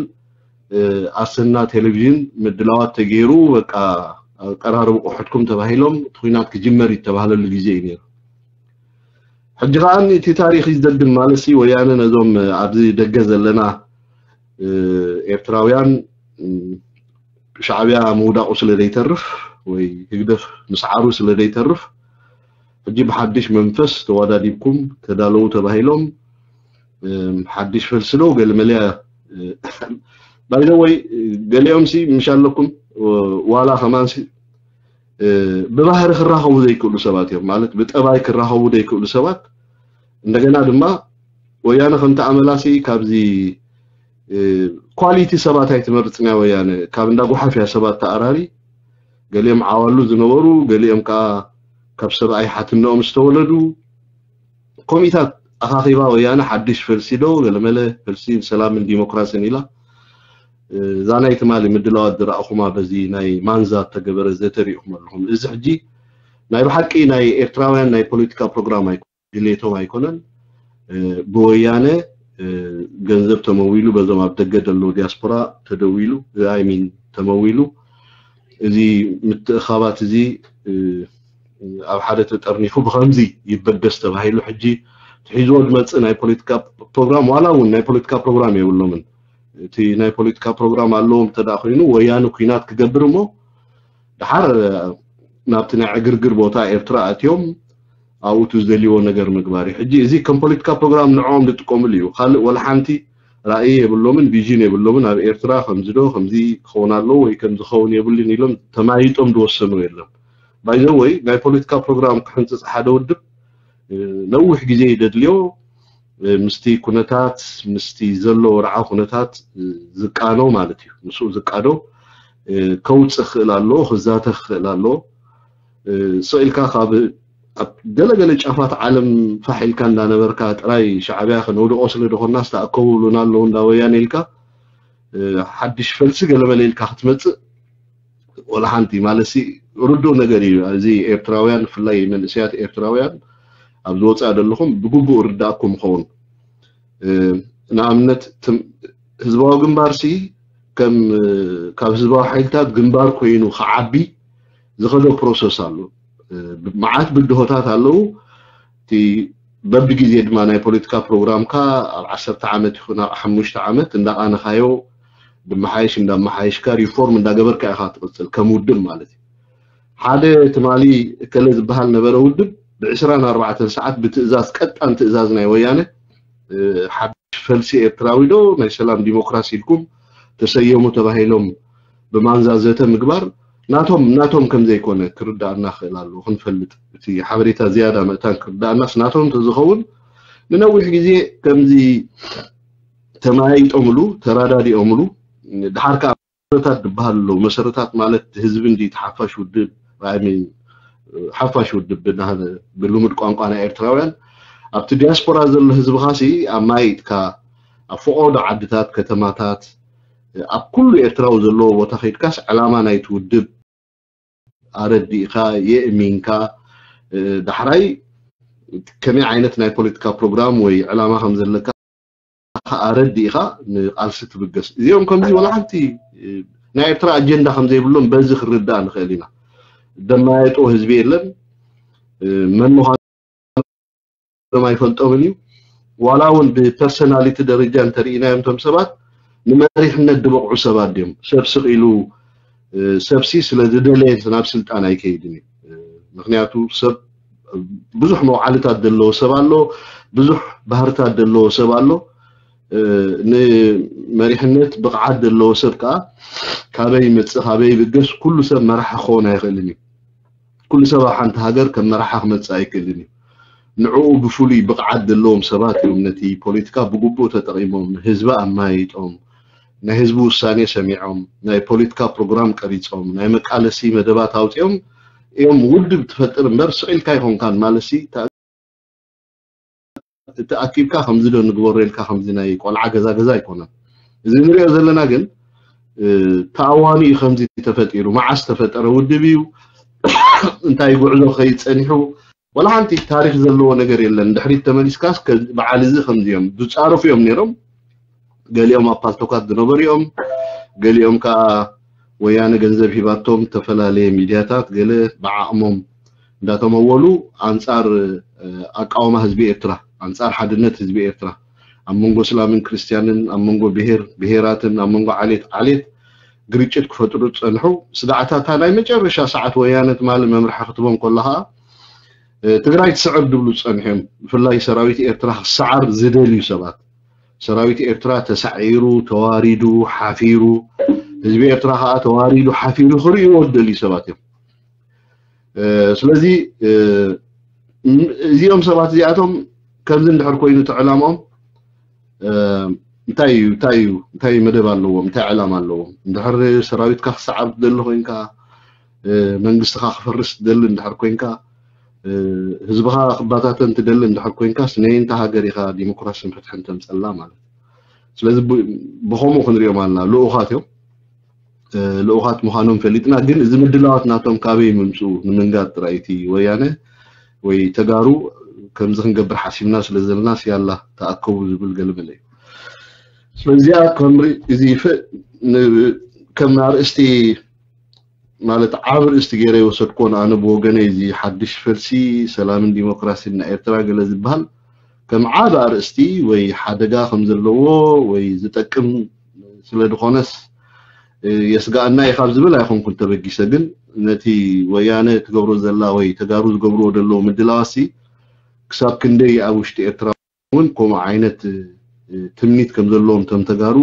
ኣሰና ቴሌቪዥን ምድላዋት ተገይሩ በቃ ቀራርቡ ቁሕትኩም ተባሂሎም እቲ ኩናት ክጅመር ይተባህለሉ ግዜ እዩ ነይሩ። ሕጂ ከዓ እቲ ታሪክ ይዘግም ማለት ሲ ወያነ ነዞም ኣብዚ ደገ ዘለና ኤርትራውያን ሻዕብያ ምውዳቁ ስለ ዘይተርፍ ወይ ህግደፍ ምስዓሩ ስለ ዘይተርፍ ሕጂ ብሓድሽ መንፈስ ተወዳዲብኩም ተዳለዉ ተባሂሎም ሓድሽ ፈልሲ ዶ ገለመለያ ባይዘወይ ገሊኦም ሲ ምሽ ኣለኩም ዋላ ከማን ሲ ብባህሪ ክራኸቡ ዘይክእሉ ሰባት እዮም ማለት ብጠባይ ክራኸቡ ዘይክእሉ ሰባት እንደገና ድማ ወያነ ከምቲ ኣመላሲ ካብዚ ኳሊቲ ሰባት ኣይትመርፅን እያ ወያነ ካብ እንዳ ጉሓፍ እያ ሰባት ተኣራሪ ገሊኦም ዓዋሉ ዝነበሩ ገሊኦም ከዓ ካብ ሰብኣይ ሓትነኦም ዝተወለዱ ኮሚታት ኣኻኺባ ወያነ ሓድሽ ፈልሲ ዶ ገለመለ ፈልሲ ሰላምን ዲሞክራሲን ኢላ እዛ ናይ ትማሊ ምድላዋት ዝረኣኹማ በዚ ናይ ማንዛ ተገበረ ዘተሪእኹም ኣለኹም እዚ ሕጂ ናይ ብሓቂ ናይ ኤርትራውያን ናይ ፖለቲካ ፕሮግራም ኣይኮ ድሌቶም ኣይኮነን ብወያነ ገንዘብ ተመዊሉ በዞም ኣብ ደገ ዘለዉ ዲያስፖራ ተደዊሉ ኣይሚን ተመዊሉ እዚ ምትእኻባት እዚ ኣብ ሓደ ተጠርኒፉ ብኸምዚ ይበገስ ተባሂሉ ሕጂ ትሒዝዎ ዝመፅእ ናይ ፖለቲካ ፕሮግራም ዋላ እውን ናይ ፖለቲካ ፕሮግራም የብሎምን እቲ ናይ ፖለቲካ ፕሮግራም ኣለዎም እንተ ኮይኑ ወያነ ኩናት ክገብር እሞ ድሓር ናብቲ ናይ ዕግርግር ቦታ ኤርትራ ኣትዮም ኣብኡ እቲ ዝደልይዎ ነገር ምግባር እዩ ሕጂ እዚ ከም ፖለቲካ ፕሮግራም ንዕኦም ዝጥቀምሉ እዩ ካልእ ወላ ሓንቲ ራእይ የብሎምን ቪዥን የብሎምን ኣብ ኤርትራ ከምዚ ዶ ከምዚ ክኸውን ኣለዎ ወይ ከምዚ ክኸውን የብሉን ኢሎም ተማይጦም ዝወሰኑ የለን ባይዘወይ ናይ ፖለቲካ ፕሮግራም ክሕንፅፅ ሓደ ውድብ ነዊሕ ግዜ እዩ ዘድልዮ ምስቲ ኩነታት ምስቲ ዘሎ ወርዓ ኩነታት ዝቃኖ ማለት እዩ ምስኡ ዝቃዶ ከውፅእ ክኽእል ኣለዎ ክዛተ ክኽእል ኣለዎ ስቕ ኢልካ ካብ ኣብ ገለገለ ጫፋት ዓለም ፋሕ ኢልካ እንዳነበርካ ጥራይ ሻዕብያ ከነውድቆ ስለ ዝኾንና ዝተኣከቡ ብሉና ኣለዉ እንዳ ወያነ ኢልካ ሓድሽ ፈልሲ ገለመለ ኢልካ ክትመፅእ ወላ ሓንቲ ማለት ሲ ርዱእ ነገር እዩ እዚ ኤርትራውያን ብፍላይ መንእሰያት ኤርትራውያን ኣብ ዝወፅኣ ዘለኹም ብግቡእ ርዳእኩም ይኸውን ንኣብነት ህዝባዊ ግንባር ሲ ከም ካብ ህዝባዊ ሓይልታት ግንባር ኮይኑ ክዓቢ ዝኸዶ ፕሮሰስ ኣሎ መዓት ብድሆታት ኣለዉ እቲ በብግዜ ድማ ናይ ፖለቲካ ፕሮግራምካ ኣብ ዓሰርተ ዓመት ይኹን ኣብ ሓሙሽተ ዓመት እንዳቓነኻዮ ብመሓየሽ እንዳመሓየሽካ ሪፎርም እንዳገበርካ ኢኻ ትቕፅል ከም ውድብ ማለት እዩ ሓደ ትማሊ እከለ ዝበሃል ነበረ ውድብ ብዕስራን ኣርባዕተን ሰዓት ብትእዛዝ ቀጣን ትእዛዝ ናይ ወያነ ሓድሽ ፈልሲ ኤርትራዊ ዶ ናይ ሰላም ዲሞክራሲ ኢልኩም ተሰየሙ ተባሂሎም ብማንዛ ዘተ ምግባር ናቶም ናቶም ከም ዘይኮነ ክርዳእና ክእል ኣለዎ ክንፈልጥ እቲ ሓበሬታ ዝያዳ ምእታን ክርዳእናስ ናቶም ተዝኸውን ንነዊሕ ግዜ ከምዚ ተመያይጦምሉ ተራዳዲኦምሉ ድሓር ከዓ መሰረታት ዝበሃል ኣለዉ መሰረታት ማለት ህዝቢ እንዲ ሓፋሽ ውድብ ሓፋሽ ውድብ ብልሙድ ቋንቋ ናይ ኤርትራውያን ኣብቲ ዲያስፖራ ዘሎ ህዝብኻሲ ኣብ ማይጥካ ኣብ ፈቆዶ ዓድታት ከተማታት ኣብ ኩሉ ኤርትራዊ ዘለዎ ቦታ ከይድካስ ዕላማ ናይቲ ውድብ ኣረዲእካ የእሚንካ ዳሕራይ ከመይ ዓይነት ናይ ፖለቲካ ፕሮግራም ወይ ዕላማ ከም ዘለካ ኣረዲእካ ንቃልሲ ትብገስ እዚኦም ከምዚ ወላ ሓንቲ ናይ ኤርትራ ኣጀንዳ ከም ዘይብሎም በዚ ክርዳእ ንኽእል ኢና ደማየጦ ህዝቢ የለን መን ምዃኖም ኣይፈልጦምን እዩ ዋላ እውን ብፐርሰናሊቲ ደረጃ እንተርኢናዮም ቶም ሰባት ንመሪሕነት ዝበቕዑ ሰባት ድዮም ሰብ ስቕ ኢሉ ሰብሲ ስለ ዝደለየ ናብ ስልጣን ኣይከይድን እዩ ምክንያቱ ሰብ ብዙሕ መውዓልታት ዘለዎ ሰብ ኣሎ ብዙሕ ባህርታት ዘለዎ ሰብ ኣሎ ንመሪሕነት ብቕዓት ዘለዎ ሰብ ከዓ ካበይ መፅእ ካበይ ብገስ ኩሉ ሰብ መራሒ ክኸውን ኣይኽእልን እዩ ኩሉ ሰብ ኣብ ሓንቲ ሃገር ከም መራሒ ክመፅእ ኣይክእልን እዩ ንዕኡ ብፍሉይ ብቕዓት ዘለዎም ሰባት እዮም ነቲ ፖለቲካ ብግቡእ ተጠቒሞም፣ ንህዝቢ ኣማይጦም፣ ናይ ህዝቢ ውሳኔ ሰሚዖም፣ ናይ ፖለቲካ ፕሮግራም ቀሪጾም፣ ናይ መቃለሲ መደባት ኣውጺኦም እዮም። ውድብ ትፈጥር እምበር ስቕ ኢልካ ኣይኮንካን። ማለትሲ፣ እቲ ኣኪብካ ከምዚ ዶ ንግበሮ ኢልካ ከምዚ ናይ ቆልዓ ገዛ ገዛ ኣይኮነን። እዚ ንሪኦ ዘለና ግን ተኣዋኒ እዩ። ከምዚ ተፈጢሩ፣ መዓስ ተፈጠረ ውድብ እዩ፣ እንታይ ጉዕዞ ከይድ ጸኒሑ፣ ወላ ሓንቲ ታሪክ ዘለዎ ነገር የለን። ድሕሪት ተመሊስካስ በዓል እዚ ከምዚ እዮም ዝጻረፉ እዮም ነይሮም። ገሊኦም ኣብ ፓልቶካት ዝነበሩ እዮም። ገሊኦም ከዓ ወያነ ገንዘብ ሂባቶም ዝተፈላለየ ሚድያታት ገለ ብዓቕሞም እንዳተመወሉ ኣንጻር ኣቃውማ ህዝቢ ኤርትራ፣ ኣንጻር ሓድነት ህዝቢ ኤርትራ፣ ኣብ መንጎ እስላምን ክርስትያንን፣ ኣብ መንጎ ብሄር ብሄራትን፣ ኣብ መንጎ ዓሌት ዓሌት ግርጭት ክፈጥሩ ዝጸንሑ ስጋዕታታ ናይ መጨረሻ ሰዓት ወያነ ትማሊ መምርሒ ክትቦም ከሎ ከዓ ትግራይ ትስዕር ድብሉ ዝጸንሑ እዮም። ብፍላይ ሰራዊት ኤርትራ ክሰዓር ዝደልዩ ሰባት፣ ሰራዊት ኤርትራ ተሳዒሩ፣ ተዋሪዱ፣ ሓፊሩ፣ ህዝቢ ኤርትራ ከዓ ተዋሪዱ ሓፊሩ ክርእይዎ ዝደልዩ ሰባት እዮም። ስለዚ እዚኦም ሰባት እዚኣቶም ከምዚ እንድሕር ኮይኑ እቲ ዕላምኦም እንታይ እዩ እንታይ እዩ እንታይ መደብ ኣለዎም እንታይ ዕላማ ኣለዎም? እንድሕር ሰራዊትካ ክሰዓር ትደሊ ኮይንካ፣ መንግስትኻ ክፈርስ ትደሊ እንድሕር ኮይንካ፣ ህዝብኻ ክባታተን ትደሊ እንድሕር ኮይንካስ ነየንታ ሃገር ኢኻ ዲሞክራስን ፍትሕን ተምፀላ ማለት እዩ። ስለዚ ብኸምኡ ክንሪኦም ኣለና። ልኡኻት እዮም። ልኡኻት ምዃኖም ፈሊጥና፣ ግን እዚ ምድላዋት ናቶም ካበይ ምምፅኡ ንምንጋር ጥራይ እቲ ወያነ ወይ ተጋሩ ከምዚ ክንገብር ሓሲብና ስለ ዘለና ስያላ ተኣከቡ ዝብል ገለመለ እዩ። ስለዚኣ ከም እዚ ከም ኣርእስቲ ማለት ዓብ ርእስቲ ገይረ ይወሰድኮን ኣነ ብወገነይ እዚ ሓድሽ ፈልሲ ሰላምን ዲሞክራሲን ናይ ኤርትራ ገለ ዝበሃል ከም ዓብ ኣርእስቲ ወይ ሓደጋ ከም ዘለዎ ወይ ዝጠቅም ስለ ዝኾነስ የስጋኣና እዩ ካብ ዝብል ኣይኮንኩን ተበጊሰ። ግን ነቲ ወያነ ትገብሮ ዘላ ወይ ተጋሩ ዝገብርዎ ዘለዉ ምድላዋሲ ክሳብ ክንደይ ኣብ ውሽጢ ኤርትራ እውን ከምኡ ዓይነት ትምኒት ከም ዘለዎም እቶም ተጋሩ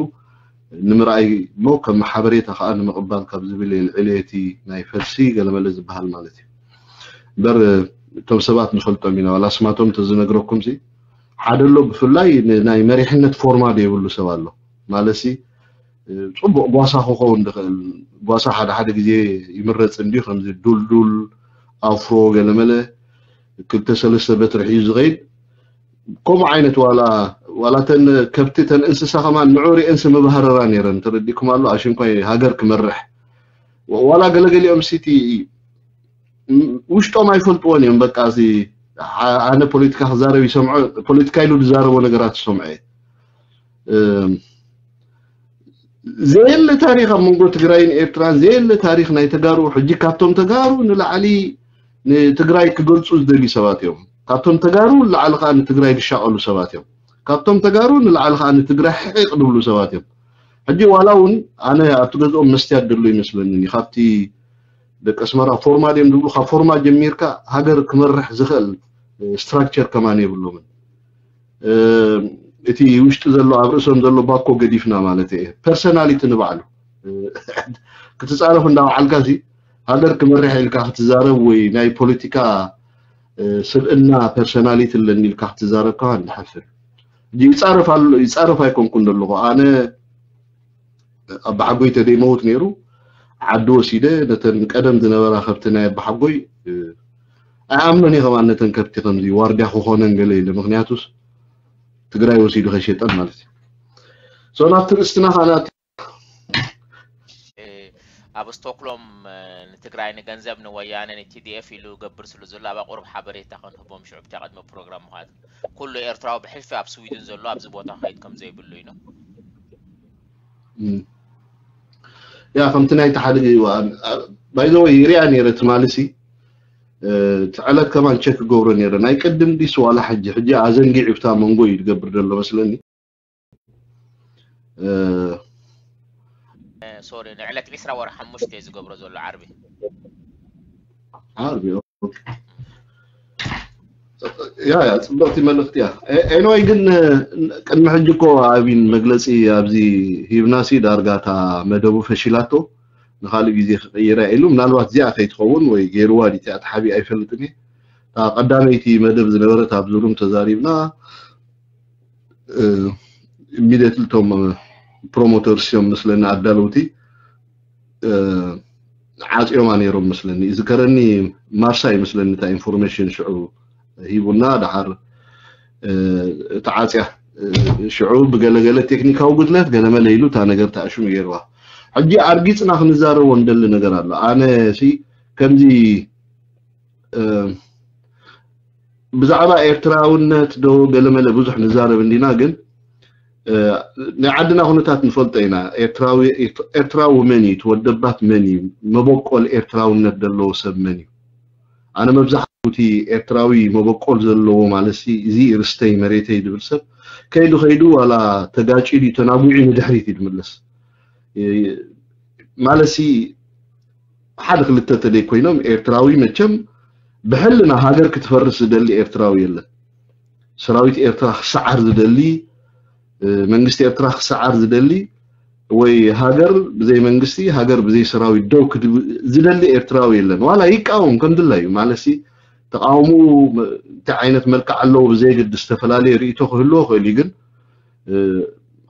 ንምርኣይ እሞ ከም ሓበሬታ ከዓ ንምቕባል ካብ ዝብል እየ ልዕሊ እቲ ናይ ፈልሲ ገለመለ ዝበሃል ማለት እዩ። እምበር እቶም ሰባት ንፈልጦም ኢና፣ ዋላ ስማቶም እንተዝነግረኩም ሲ ሓደ ኣሎ። ብፍላይ ናይ መሪሕነት ፎርማት የብሉ ሰብ ኣሎ ማለትሲ፣ ፅቡቕ ጓሳ ክኸውን ዝኽእል ጓሳ ሓደ ሓደ ግዜ ይምረፅ እንዲዩ፣ ከምዚ ዱልዱል ኣፍሮ ገለመለ ክልተ ሰለስተ በትሪ ሒዙ ዝኸይድ ከምኡ ዓይነት ዋላ ዋላ ተን ከብቲ ተን እንስሳ ከማን ንዑ ሪአንስ መባህረራ ነይረን። ተረዲእኩም ኣሎ ኣሽንኳይ ሃገር ክመርሕ ዋላ ገለገሊኦም ሲቲ ውሽጦም ኣይፈልጥዎን እዮም። በቃ እዚ ኣነ ፖለቲካ ክዛረብ ይሰምዖ፣ ፖለቲካ ኢሉ ዝዛረቦ ነገራት ይሰምዖ እየ። ዘየለ ታሪክ ኣብ መንጎ ትግራይን ኤርትራን ዘየለ ታሪክ ናይ ተጋሩ ሕጂ ካብቶም ተጋሩ ንላዕሊ ንትግራይ ክገልፁ ዝደልዩ ሰባት እዮም። ካብቶም ተጋሩ ንላዕሊ ከዓ ንትግራይ ዝሻቐሉ ሰባት እዮም። ካብቶም ተጋሩ ንላዕሊ ከዓ ንትግራይ ሕቂቕ ዝብሉ ሰባት እዮም። ሕጂ ዋላ እውን ኣነ ኣብቲ ገዝኦም መስትያት ዘሎ ይመስለኒ ካብቲ ደቂ ኣስመራ ፎርማ ድዮም ዝብሉ ካብ ፎርማ ጀሚርካ ሃገር ክመርሕ ዝኽእል ስትራክቸር ከማን የብሎምን። እቲ ውሽጢ ዘሎ ኣብ ርእሶም ዘሎ ባኮ ገዲፍና ማለት እየ። ፐርሰናሊቲ ንባዕሉ ክትፃረፍ እንዳበዓልካ ሲ ሃገር ክመርሕ ኢልካ ክትዛረብ ወይ ናይ ፖለቲካ ስብእና ፐርሰናሊቲ ኣለኒ ኢልካ ክትዛረብ ከማን ንሓፍር። ይፃረፍ ኣሎ ይፃረፍ ኣይኮንኩን ዘለኹ ኣነ ኣባሓጎይ ተደይመውት ነይሩ ዓዲ ወሲደ ነተን ቀደም ዝነበራ ከብቲ ናይ ኣባሓጎይ ኣይኣምኖን እየ ከማን ነተን ከብቲ ከምዚ ዋርድያ ክኾነን ገለ ኢለ ምክንያቱስ ትግራይ ወሲዱ ከይሸጠን ማለት እዩ። ሶ ናብቲ ርእስትና ካና ኣብ ስቶክሎም ንትግራይ ንገንዘብ ንወያነ ንቲዲኤፍ ኢሉ ገብር ስሉ ዘሎ ኣብ ኣቁርብ ሓበሬታ ክንህቦም ሽዑ ብታ ቅድሚ ፕሮግራም ምዃት ኩሉ ኤርትራዊ ብሕልፊ ኣብ ስዊድን ዘሎ ኣብዚ ቦታ ከይድ ከም ዘይብሉ እዩ ነው። ያ ከምቲ ናይቲ ሓደ ባይዘወይ ይሪኣ ነይረ ትማሊ ሲ እቲ ዕለት ከማን ቸክ ክገብሮ ነይረ ናይ ቅድም ዲስ ዋላ ሕጂ ሕጂ ኣዘንጊዕ ብታ መንጎ እዩ ዝገብር ዘሎ መስለኒ። ሶሪ ንዕለት ዒስራ ወርሒ ሓሙሽተ እዩ ዝገብሮ ዘሎ ዓርቢ። ዓርቢ ያ ያ ፅብቕቲ መልእክቲ እያ። ኤንወይ ግን ቅድሚ ሕጂ እኮ ኣብን መግለፂ ኣብዚ ሂብናሲ ዳርጋ እታ መደቡ ፈሺላቶ ንካልእ ግዜ ክቅይራ ኢሉ ምናልባት እዚኣ ከይትኸውን ወይ ገይርዋ ዲቲ ኣትሓቢ ኣይፈልጥን እየ። እታ ቀዳመይቲ መደብ ዝነበረት ኣብዚ ሩም ተዛሪብና። ኢሚድየትሊ እቶም ፕሮሞተርስ እዮም ምስለኒ ኣዳለውቲ ዓፅዮማ ነይሮም ምስለኒ። ይዝከረኒ ማርሳ ይመስለኒ እታ ኢንፎርሜሽን ሽዑ ሂቡና። ደሓር ተዓፅያ ሽዑ ብገለገለ ቴክኒካዊ ጉድለት ገለመለ ኢሉ እታ ነገር ተኣሽሙ ገይርዋ። ሕጂ ኣርጊፅና ክንዛረቦ እንደሊ ነገር ኣሎ። ኣነ ሲ ከምዚ ብዛዕባ ኤርትራውነት ዶ ገለመለ ብዙሕ ንዛረብ እንዲና፣ ግን ናይ ዓድና ኩነታት ንፈልጦ ኢና። ኤርትራዊ መን እዩ? ተወደባት መን እዩ? መበቆል ኤርትራውነት ዘለዎ ሰብ መን እዩ? ኣነ መብዛሕትኡ እቲ ኤርትራዊ መበቆል ዘለዎ ማለት እዚ ርስተይ መሬተይ ድብል ሰብ ከይዱ ከይዱ ዋላ ተጋጭ ድዩ ተናጉዒ ንድሕሪት እዩ ድምለስ ማለት ሓደ ክልተ ተለይ ኮይኖም ኤርትራዊ መቸም ብሕልና ሃገር ክትፈርስ ዝደሊ ኤርትራዊ የለን። ሰራዊት ኤርትራ ክሰዓር ዝደሊ መንግስቲ ኤርትራ ክሰዓር ዝደሊ ወይ ሃገር ብዘይ መንግስቲ ሃገር ብዘይ ሰራዊት ደው ዝደሊ ኤርትራዊ የለን። ዋላ ይቃወም ከም ድላዩ ማለት ተቃውሞ እንታይ ዓይነት መልክዕ ኣለዎ ብዘይግድ ዝተፈላለየ ርእይቶ ክህልዎ ክእል እዩ። ግን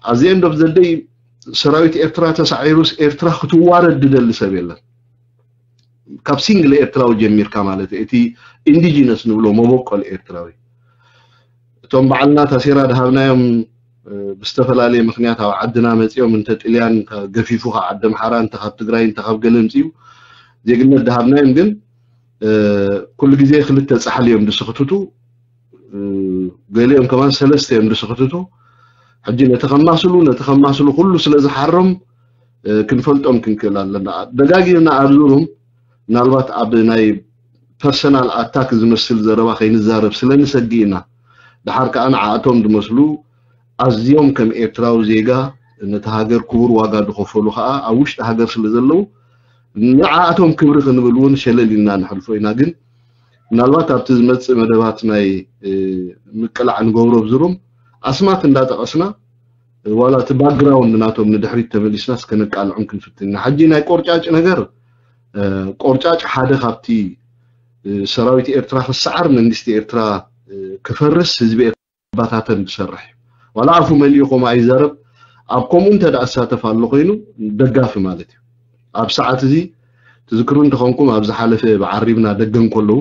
ኣዚ end of the day ሰራዊት ኤርትራ ተሳዒሩስ ኤርትራ ክትዋረድ ድደሊ ሰብ የለን። ካብ ሲንግል ኤርትራዊ ጀሚርካ ማለት እቲ ኢንዲጂነስ ንብሎ መበቆል ኤርትራዊ እቶም በዓልና ታሴራ ድሃብናዮም ብዝተፈላለየ ምክንያት ኣብ ዓድና መፂኦም እንተ ጥልያን ገፊፉ ካብ ዓዲ ኣምሓራ እንተ ካብ ትግራይ እንተ ካብ ገለ ምፅኡ ዜግነት ድሃብናዮም ግን ኩሉ ግዜ ክልተ ፃሕሊ እዮም ድስክትቱ። ገሊኦም ከማን ሰለስተ እዮም ድስክትቱ። ሕጂ ነቲ ከማስሉ ነቲ ከማስሉ ኩሉ ስለ ዝሓሮም ክንፈልጦም ክንክእል ኣለና። ደጋጊምና ኣብዚ ሩም ምናልባት ኣብ ናይ ፐርሰናል ኣታክ ዝመስል ዘረባ ከይንዛረብ ስለ ንሰጊ ኢና። ድሓር ከዓ ንዓኣቶም ዝመስሉ ኣዝዮም ከም ኤርትራዊ ዜጋ ነቲ ሃገር ክቡር ዋጋ ዝኸፈሉ ከዓ ኣብ ውሽጢ ሃገር ስለ ዘለዉ ንዓኣቶም ክብሪ ክንብል እውን ሸለል ኢልና ንሕልፎ ኢና። ግን ምናልባት ኣብቲ ዝመፅእ መደባት ናይ ምቅላዕ ንገብሮ ብዝሩም ኣስማት እንዳጠቐስና ዋላ እቲ ባክግራውንድ ናቶም ንድሕሪት ተመሊስና እስከ ነቃልዖም ክንፍትን ኢና። ሕጂ ናይ ቆርጫጭ ነገር ቆርጫጭ ሓደ ካብቲ ሰራዊት ኤርትራ ክሰዓር መንግስቲ ኤርትራ ክፈርስ ህዝቢ ኤርትራ ባታተን ዝሰርሕ እዩ። ዋላ ኣፉ መሊኡ ከምኡ ኣይዛረብ ኣብ ከምኡ እንተ ደኣ ዝሳተፍ ኣሎ ኮይኑ ደጋፊ ማለት እዩ። ኣብ ሰዓት እዚ ትዝክሩ እንተኾንኩም ኣብ ዝሓለፈ ብዓሪብና ደገ እንከለዉ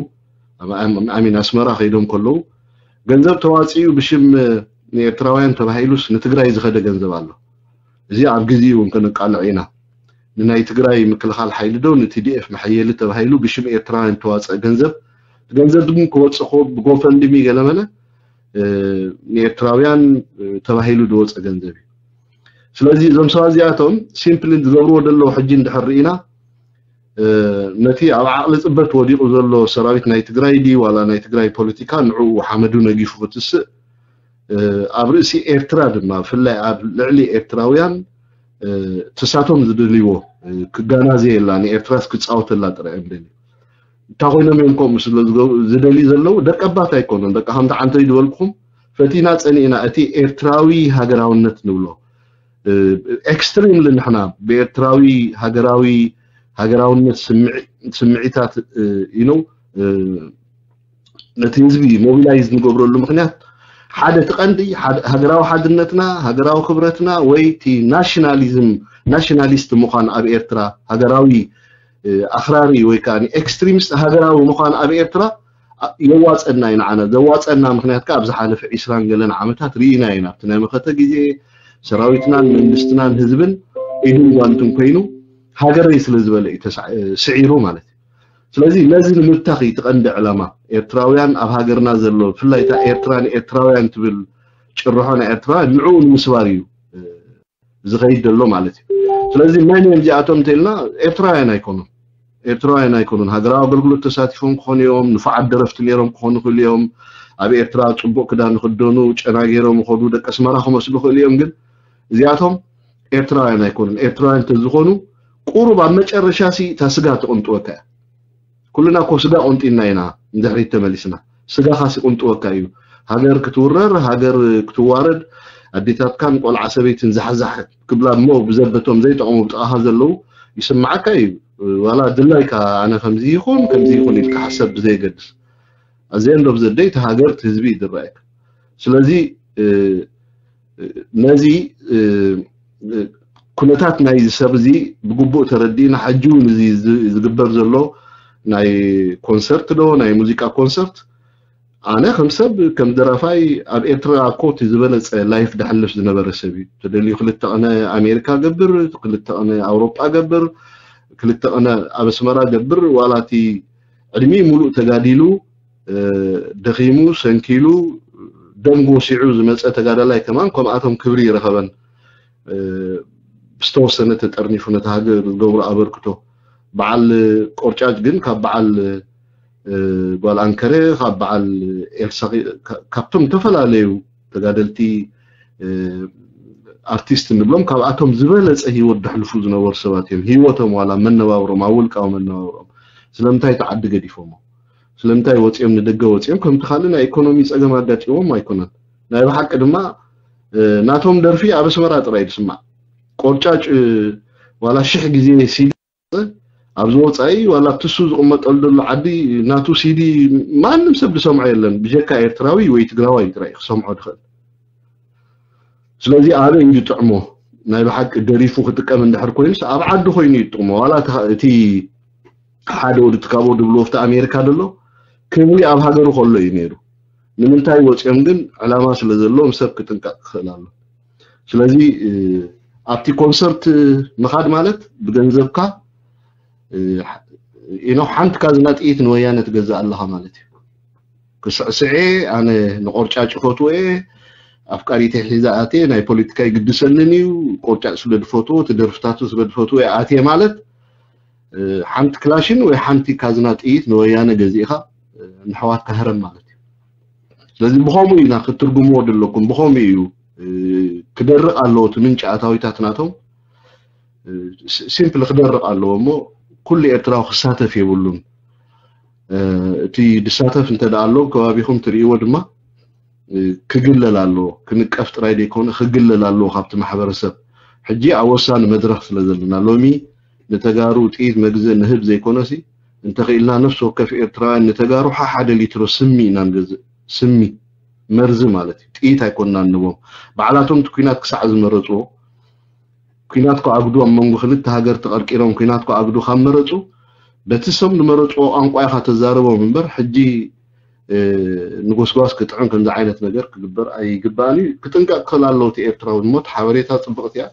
ኣሚን ኣስመራ ከይዶም ከለዉ ገንዘብ ተዋፂኡ ብሽም ንኤርትራውያን ተባሂሉስ ንትግራይ ዝኸደ ገንዘብ ኣሎ። እዚ ኣብ ግዜኡ እውን ከነቃልዕ ኢና። ንናይ ትግራይ ምክልኻል ሓይሊ ዶ ንቲዲኤፍ መሐየሊ ተባሂሉ ብሽም ኤርትራውያን ተዋፀአ ገንዘብ ገንዘብ ግን ክወፅእ ኮ ብጎፈንድሚ ገለመለ ንኤርትራውያን ተባሂሉ ዝወፀ ገንዘብ እዩ። ስለዚ እዞም ሰባት እዚኣቶም ሲምፕሊ ዝገብርዎ ዘለዉ ሕጂ እንድሕር ርኢና ነቲ ኣብ ዓቕሊ ፅበት ወዲቑ ዘሎ ሰራዊት ናይ ትግራይ ድዩ ዋላ ናይ ትግራይ ፖለቲካ ንዕኡ ሓመዱ ነጊፉ ክትስእ ኣብ ርእሲ ኤርትራ ድማ ብፍላይ ኣብ ልዕሊ ኤርትራውያን ትሳቶም ዝደልይዎ ክጋናዘየላ ንኤርትራስ ክፃወተላ ጥራይ እዮም ደልዩ። እንታይ ኮይኖም እዮም ከምኡ ስለ ዝደልዩ ዘለዉ ደቂ ኣባት ኣይኮኑን። በቃ ከምቲ ዓንተይ ዝበልኩኹም ፈቲና ፀኒእና እቲ ኤርትራዊ ሃገራውነት ንብሎ ኤክስትሪምሊ ንሕና ብኤርትራዊ ሃገራዊ ሃገራውነት ስምዒታት ኢኖ ነቲ ህዝቢ ሞቢላይዝ ንገብረሉ ምክንያት ሓደ እቲ ቀንዲ ሃገራዊ ሓድነትና ሃገራዊ ክብረትና ወይ እቲ ናሽናሊዝም ናሽናሊስት ምዃን ኣብ ኤርትራ ሃገራዊ ኣኽራሪ ወይ ከዓ ኤክስትሪሚስት ሃገራዊ ምዃን ኣብ ኤርትራ የዋፀና እዩ ንዓና ዘዋፀና ምክንያት ከዓ ኣብ ዝሓለፈ ዒስራን ገለን ዓመታት ርኢና ኢና ኣብቲ ናይ መኸተ ግዜ ሰራዊትናን መንግስትናን ህዝብን ኢድን ጓንትን ኮይኑ ሃገረይ ስለ ዝበለ እዩ ስዒሩ ማለት እዩ። ስለዚ ነዚ ንምብታኽ እዩ እቲ ቀንዲ ዕላማ ኤርትራውያን ኣብ ሃገርና ዘሎ ብፍላይ እታ ኤርትራ ንኤርትራውያን ትብል ጭርሖ ናይ ኤርትራ ንዕኡ ንምስባር እዩ ዝኸይድ ዘሎ ማለት እዩ። ስለዚ መን እዮም እዚኣቶም እንተኢልና ኤርትራውያን ኣይኮኑን። ኤርትራውያን ኣይኮኑን። ሃገራዊ ኣገልግሎት ተሳቲፎም ክኾኑ እዮም፣ ንፉዓት ደረፍቲ ነይሮም ክኾኑ ይኽእሉ እዮም። ኣብ ኤርትራ ፅቡቕ ክዳን ይኽደኑ፣ ጨና ገይሮም ይኸዱ፣ ደቂ ኣስመራ ክመስሉ ይኽእሉ እዮም። ግን እዚኣቶም ኤርትራውያን ኣይኮኑን። ኤርትራውያን እንተዝኾኑ ቁሩብ ኣብ መጨረሻ ሲ እታ ስጋ ትቕንጥወካ እያ። ኩልና እኮ ስጋ ቆንጢና ኢና ንድሕሪት ተመሊስና። ስጋኻ ሲቁንጥወካ እዩ። ሃገር ክትውረር፣ ሃገር ክትዋረድ፣ ኣዴታትካን ቆልዓ ሰበይትን ዛሕዛሕ ክብላ እሞ ብዘበቶም ዘይጠቕሙ ብጥቓኻ ዘለዉ ይስምዓካ እዩ። ዋላ ድላይካ ኣነ ከምዚ ይኹን ከምዚ ይኹን ኢልካ ሓሰብ ብዘየገድስ at the end of the day እቲ ሃገር እቲ ህዝቢ እዩ ዝረኣየካ። ስለዚ ነዚ ኩነታት ናይዚ ሰብ እዚ ብግቡእ ተረዲእና፣ ሕጂ እውን እዚ ዝግበር ዘሎ ናይ ኮንሰርት ዶ ናይ ሙዚቃ ኮንሰርት፣ ኣነ ከም ሰብ ከም ደራፋይ ኣብ ኤርትራ እኮ እቲ ዝበለፀ ላይፍ ደሕልፍ ዝነበረ ሰብ እዩ። ተደልዩ ክልተ ቅነ ኣሜሪካ ገብር፣ ክልተ ቅነ ኣውሮጳ ገብር፣ ክልተ ቅነ ኣብ ኣስመራ ገብር፣ ዋላ እቲ ዕድሚ ሙሉእ ተጋዲሉ ደኺሙ ሰንኪሉ ደም ጎሲዑ ዝመፀ ተጋዳላይ ከማን ከምኣቶም ክብሪ ይረኸበን። ብዝተወሰነ ተጠርኒፉ ነቲ ሃገር ዝገብሮ ኣበርክቶ። በዓል ቆርጫጭ ግን ካብ በዓል ጓል ኣንከረ፣ ካብ በዓል ኤልሳ፣ ካብቶም ዝተፈላለዩ ተጋደልቲ ኣርቲስት ንብሎም ካብኣቶም ዝበለፀ ህይወት ደሕልፉ ዝነበሩ ሰባት እዮም። ህይወቶም ዋላ መነባብሮም ኣብ ውልቃዊ መነባብሮም ስለምንታይ ተዓዲ ገዲፎሞ? ስለምንታይ ወፂኦም ንደገ ወፂኦም? ከምቲ ካልእ ናይ ኢኮኖሚ ፀገም ኣጋጢሞም ኣይኮነን። ናይ ብሓቂ ድማ ናቶም ደርፊ ኣብ ኣስመራ ጥራይ ዝስማዕ። ቆርጫጭ ዋላ ሽሕ ግዜ ሲዲ ኣብዚ ወፃኢ ዋላ ኣብቲ እሱ ዝቕመጠሉ ዘሎ ዓዲ ናቱ ሲዲ ማንም ሰብ ዝሰምዖ የለን፣ ብጀካ ኤርትራዊ ወይ ትግራዋይ ጥራይ ክሰምዖ ዝኽእል። ስለዚ ኣበይ እዩ ዝጥዕሞ? ናይ ብሓቂ ደሪፉ ክጥቀም እንድሕር ኮይኑስ ኣብ ዓዲ ኮይኑ እዩ ዝጥቕሞ። ዋላ እቲ ሓደ ወዲ ትካቦ ድብልዎ ኣብቲ ኣሜሪካ ዘሎ ክብሪ ኣብ ሃገሩ ከሎ እዩ ነይሩ። ንምንታይ ወፂኦም ግን ዕላማ ስለ ዘለዎም ሰብ ክጥንቀቕ ክኽእል ኣሎ። ስለዚ ኣብቲ ኮንሰርት ምኻድ ማለት ብገንዘብካ ኢኖ ሓንቲ ካዝና ጥይት ንወያነ ትገዝእ ኣለኻ ማለት እዩ። ክስዕስዐ ኣነ ንቆርጫጭ ፈትወ ኣፍቃሪተ ሒዛ ኣትየ ናይ ፖለቲካ ይግድሰንን እዩ። ቆርጫጭ ስለ ዝፈትዎ እቲ ደርፍታቱ ስለ ዝፈትወ ኣትየ ማለት ሓንቲ ክላሽን ወይ ሓንቲ ካዝና ጥይት ንወያነ ገዚእኻ ንሕዋትካ ህረም ማለት እዩ። ስለዚ ብኸምኡ ኢና ክትትርጉምዎ ዘለኩም። ብኸምኡ እዩ ክደርቕ ኣለዎ እቲ ምንጪ ኣታዊታት ናቶም። ሲምፕል ክደርቕ ኣለዎ እሞ ኩሉ ኤርትራዊ ክሳተፍ የብሉን። እቲ ዝሳተፍ እንተ ደኣ ኣሎ ከባቢኹም ትርእይዎ ድማ ክግለል ኣለዎ። ክንቀፍ ጥራይ ዘይኮነ ክግለል ኣለዎ ካብቲ ማሕበረሰብ። ሕጂ ኣብ ወሳኒ መድረኽ ስለ ዘለና ሎሚ ንተጋሩ ጥይት መግዝእ ንህብ ዘይኮነሲ እንተኽኢልና ነፍሲ ወከፍ ኤርትራውያን ንተጋሩ ሓሓደ ሊትሮ ስሚ ኢና ንገዝእ። ስሚ መርዚ ማለት እዩ። ጥይት ኣይኮንና ንቦም። ባዕላቶም እቲ ኲናት ክሳዕ ዝመረፅዎ ኲናት ክኣግዱ ኣብ መንጎ ክልተ ሃገር ተቐርቂሮም ኲናት ክኣግዱ ካብ መረፁ በቲ ሰብ ዝመረፅዎ ቋንቋ ኢኻ ተዛርቦም እምበር ሕጂ ንጎስጓስ ክጥዕም ከምዚ ዓይነት ነገር ክግበር ኣይግባእን እዩ። ክጥንቀቅ ክኽእል ኣለዎ እቲ ኤርትራዊ እሞ እቲ ሓበሬታ ፅብቕቲ እያ።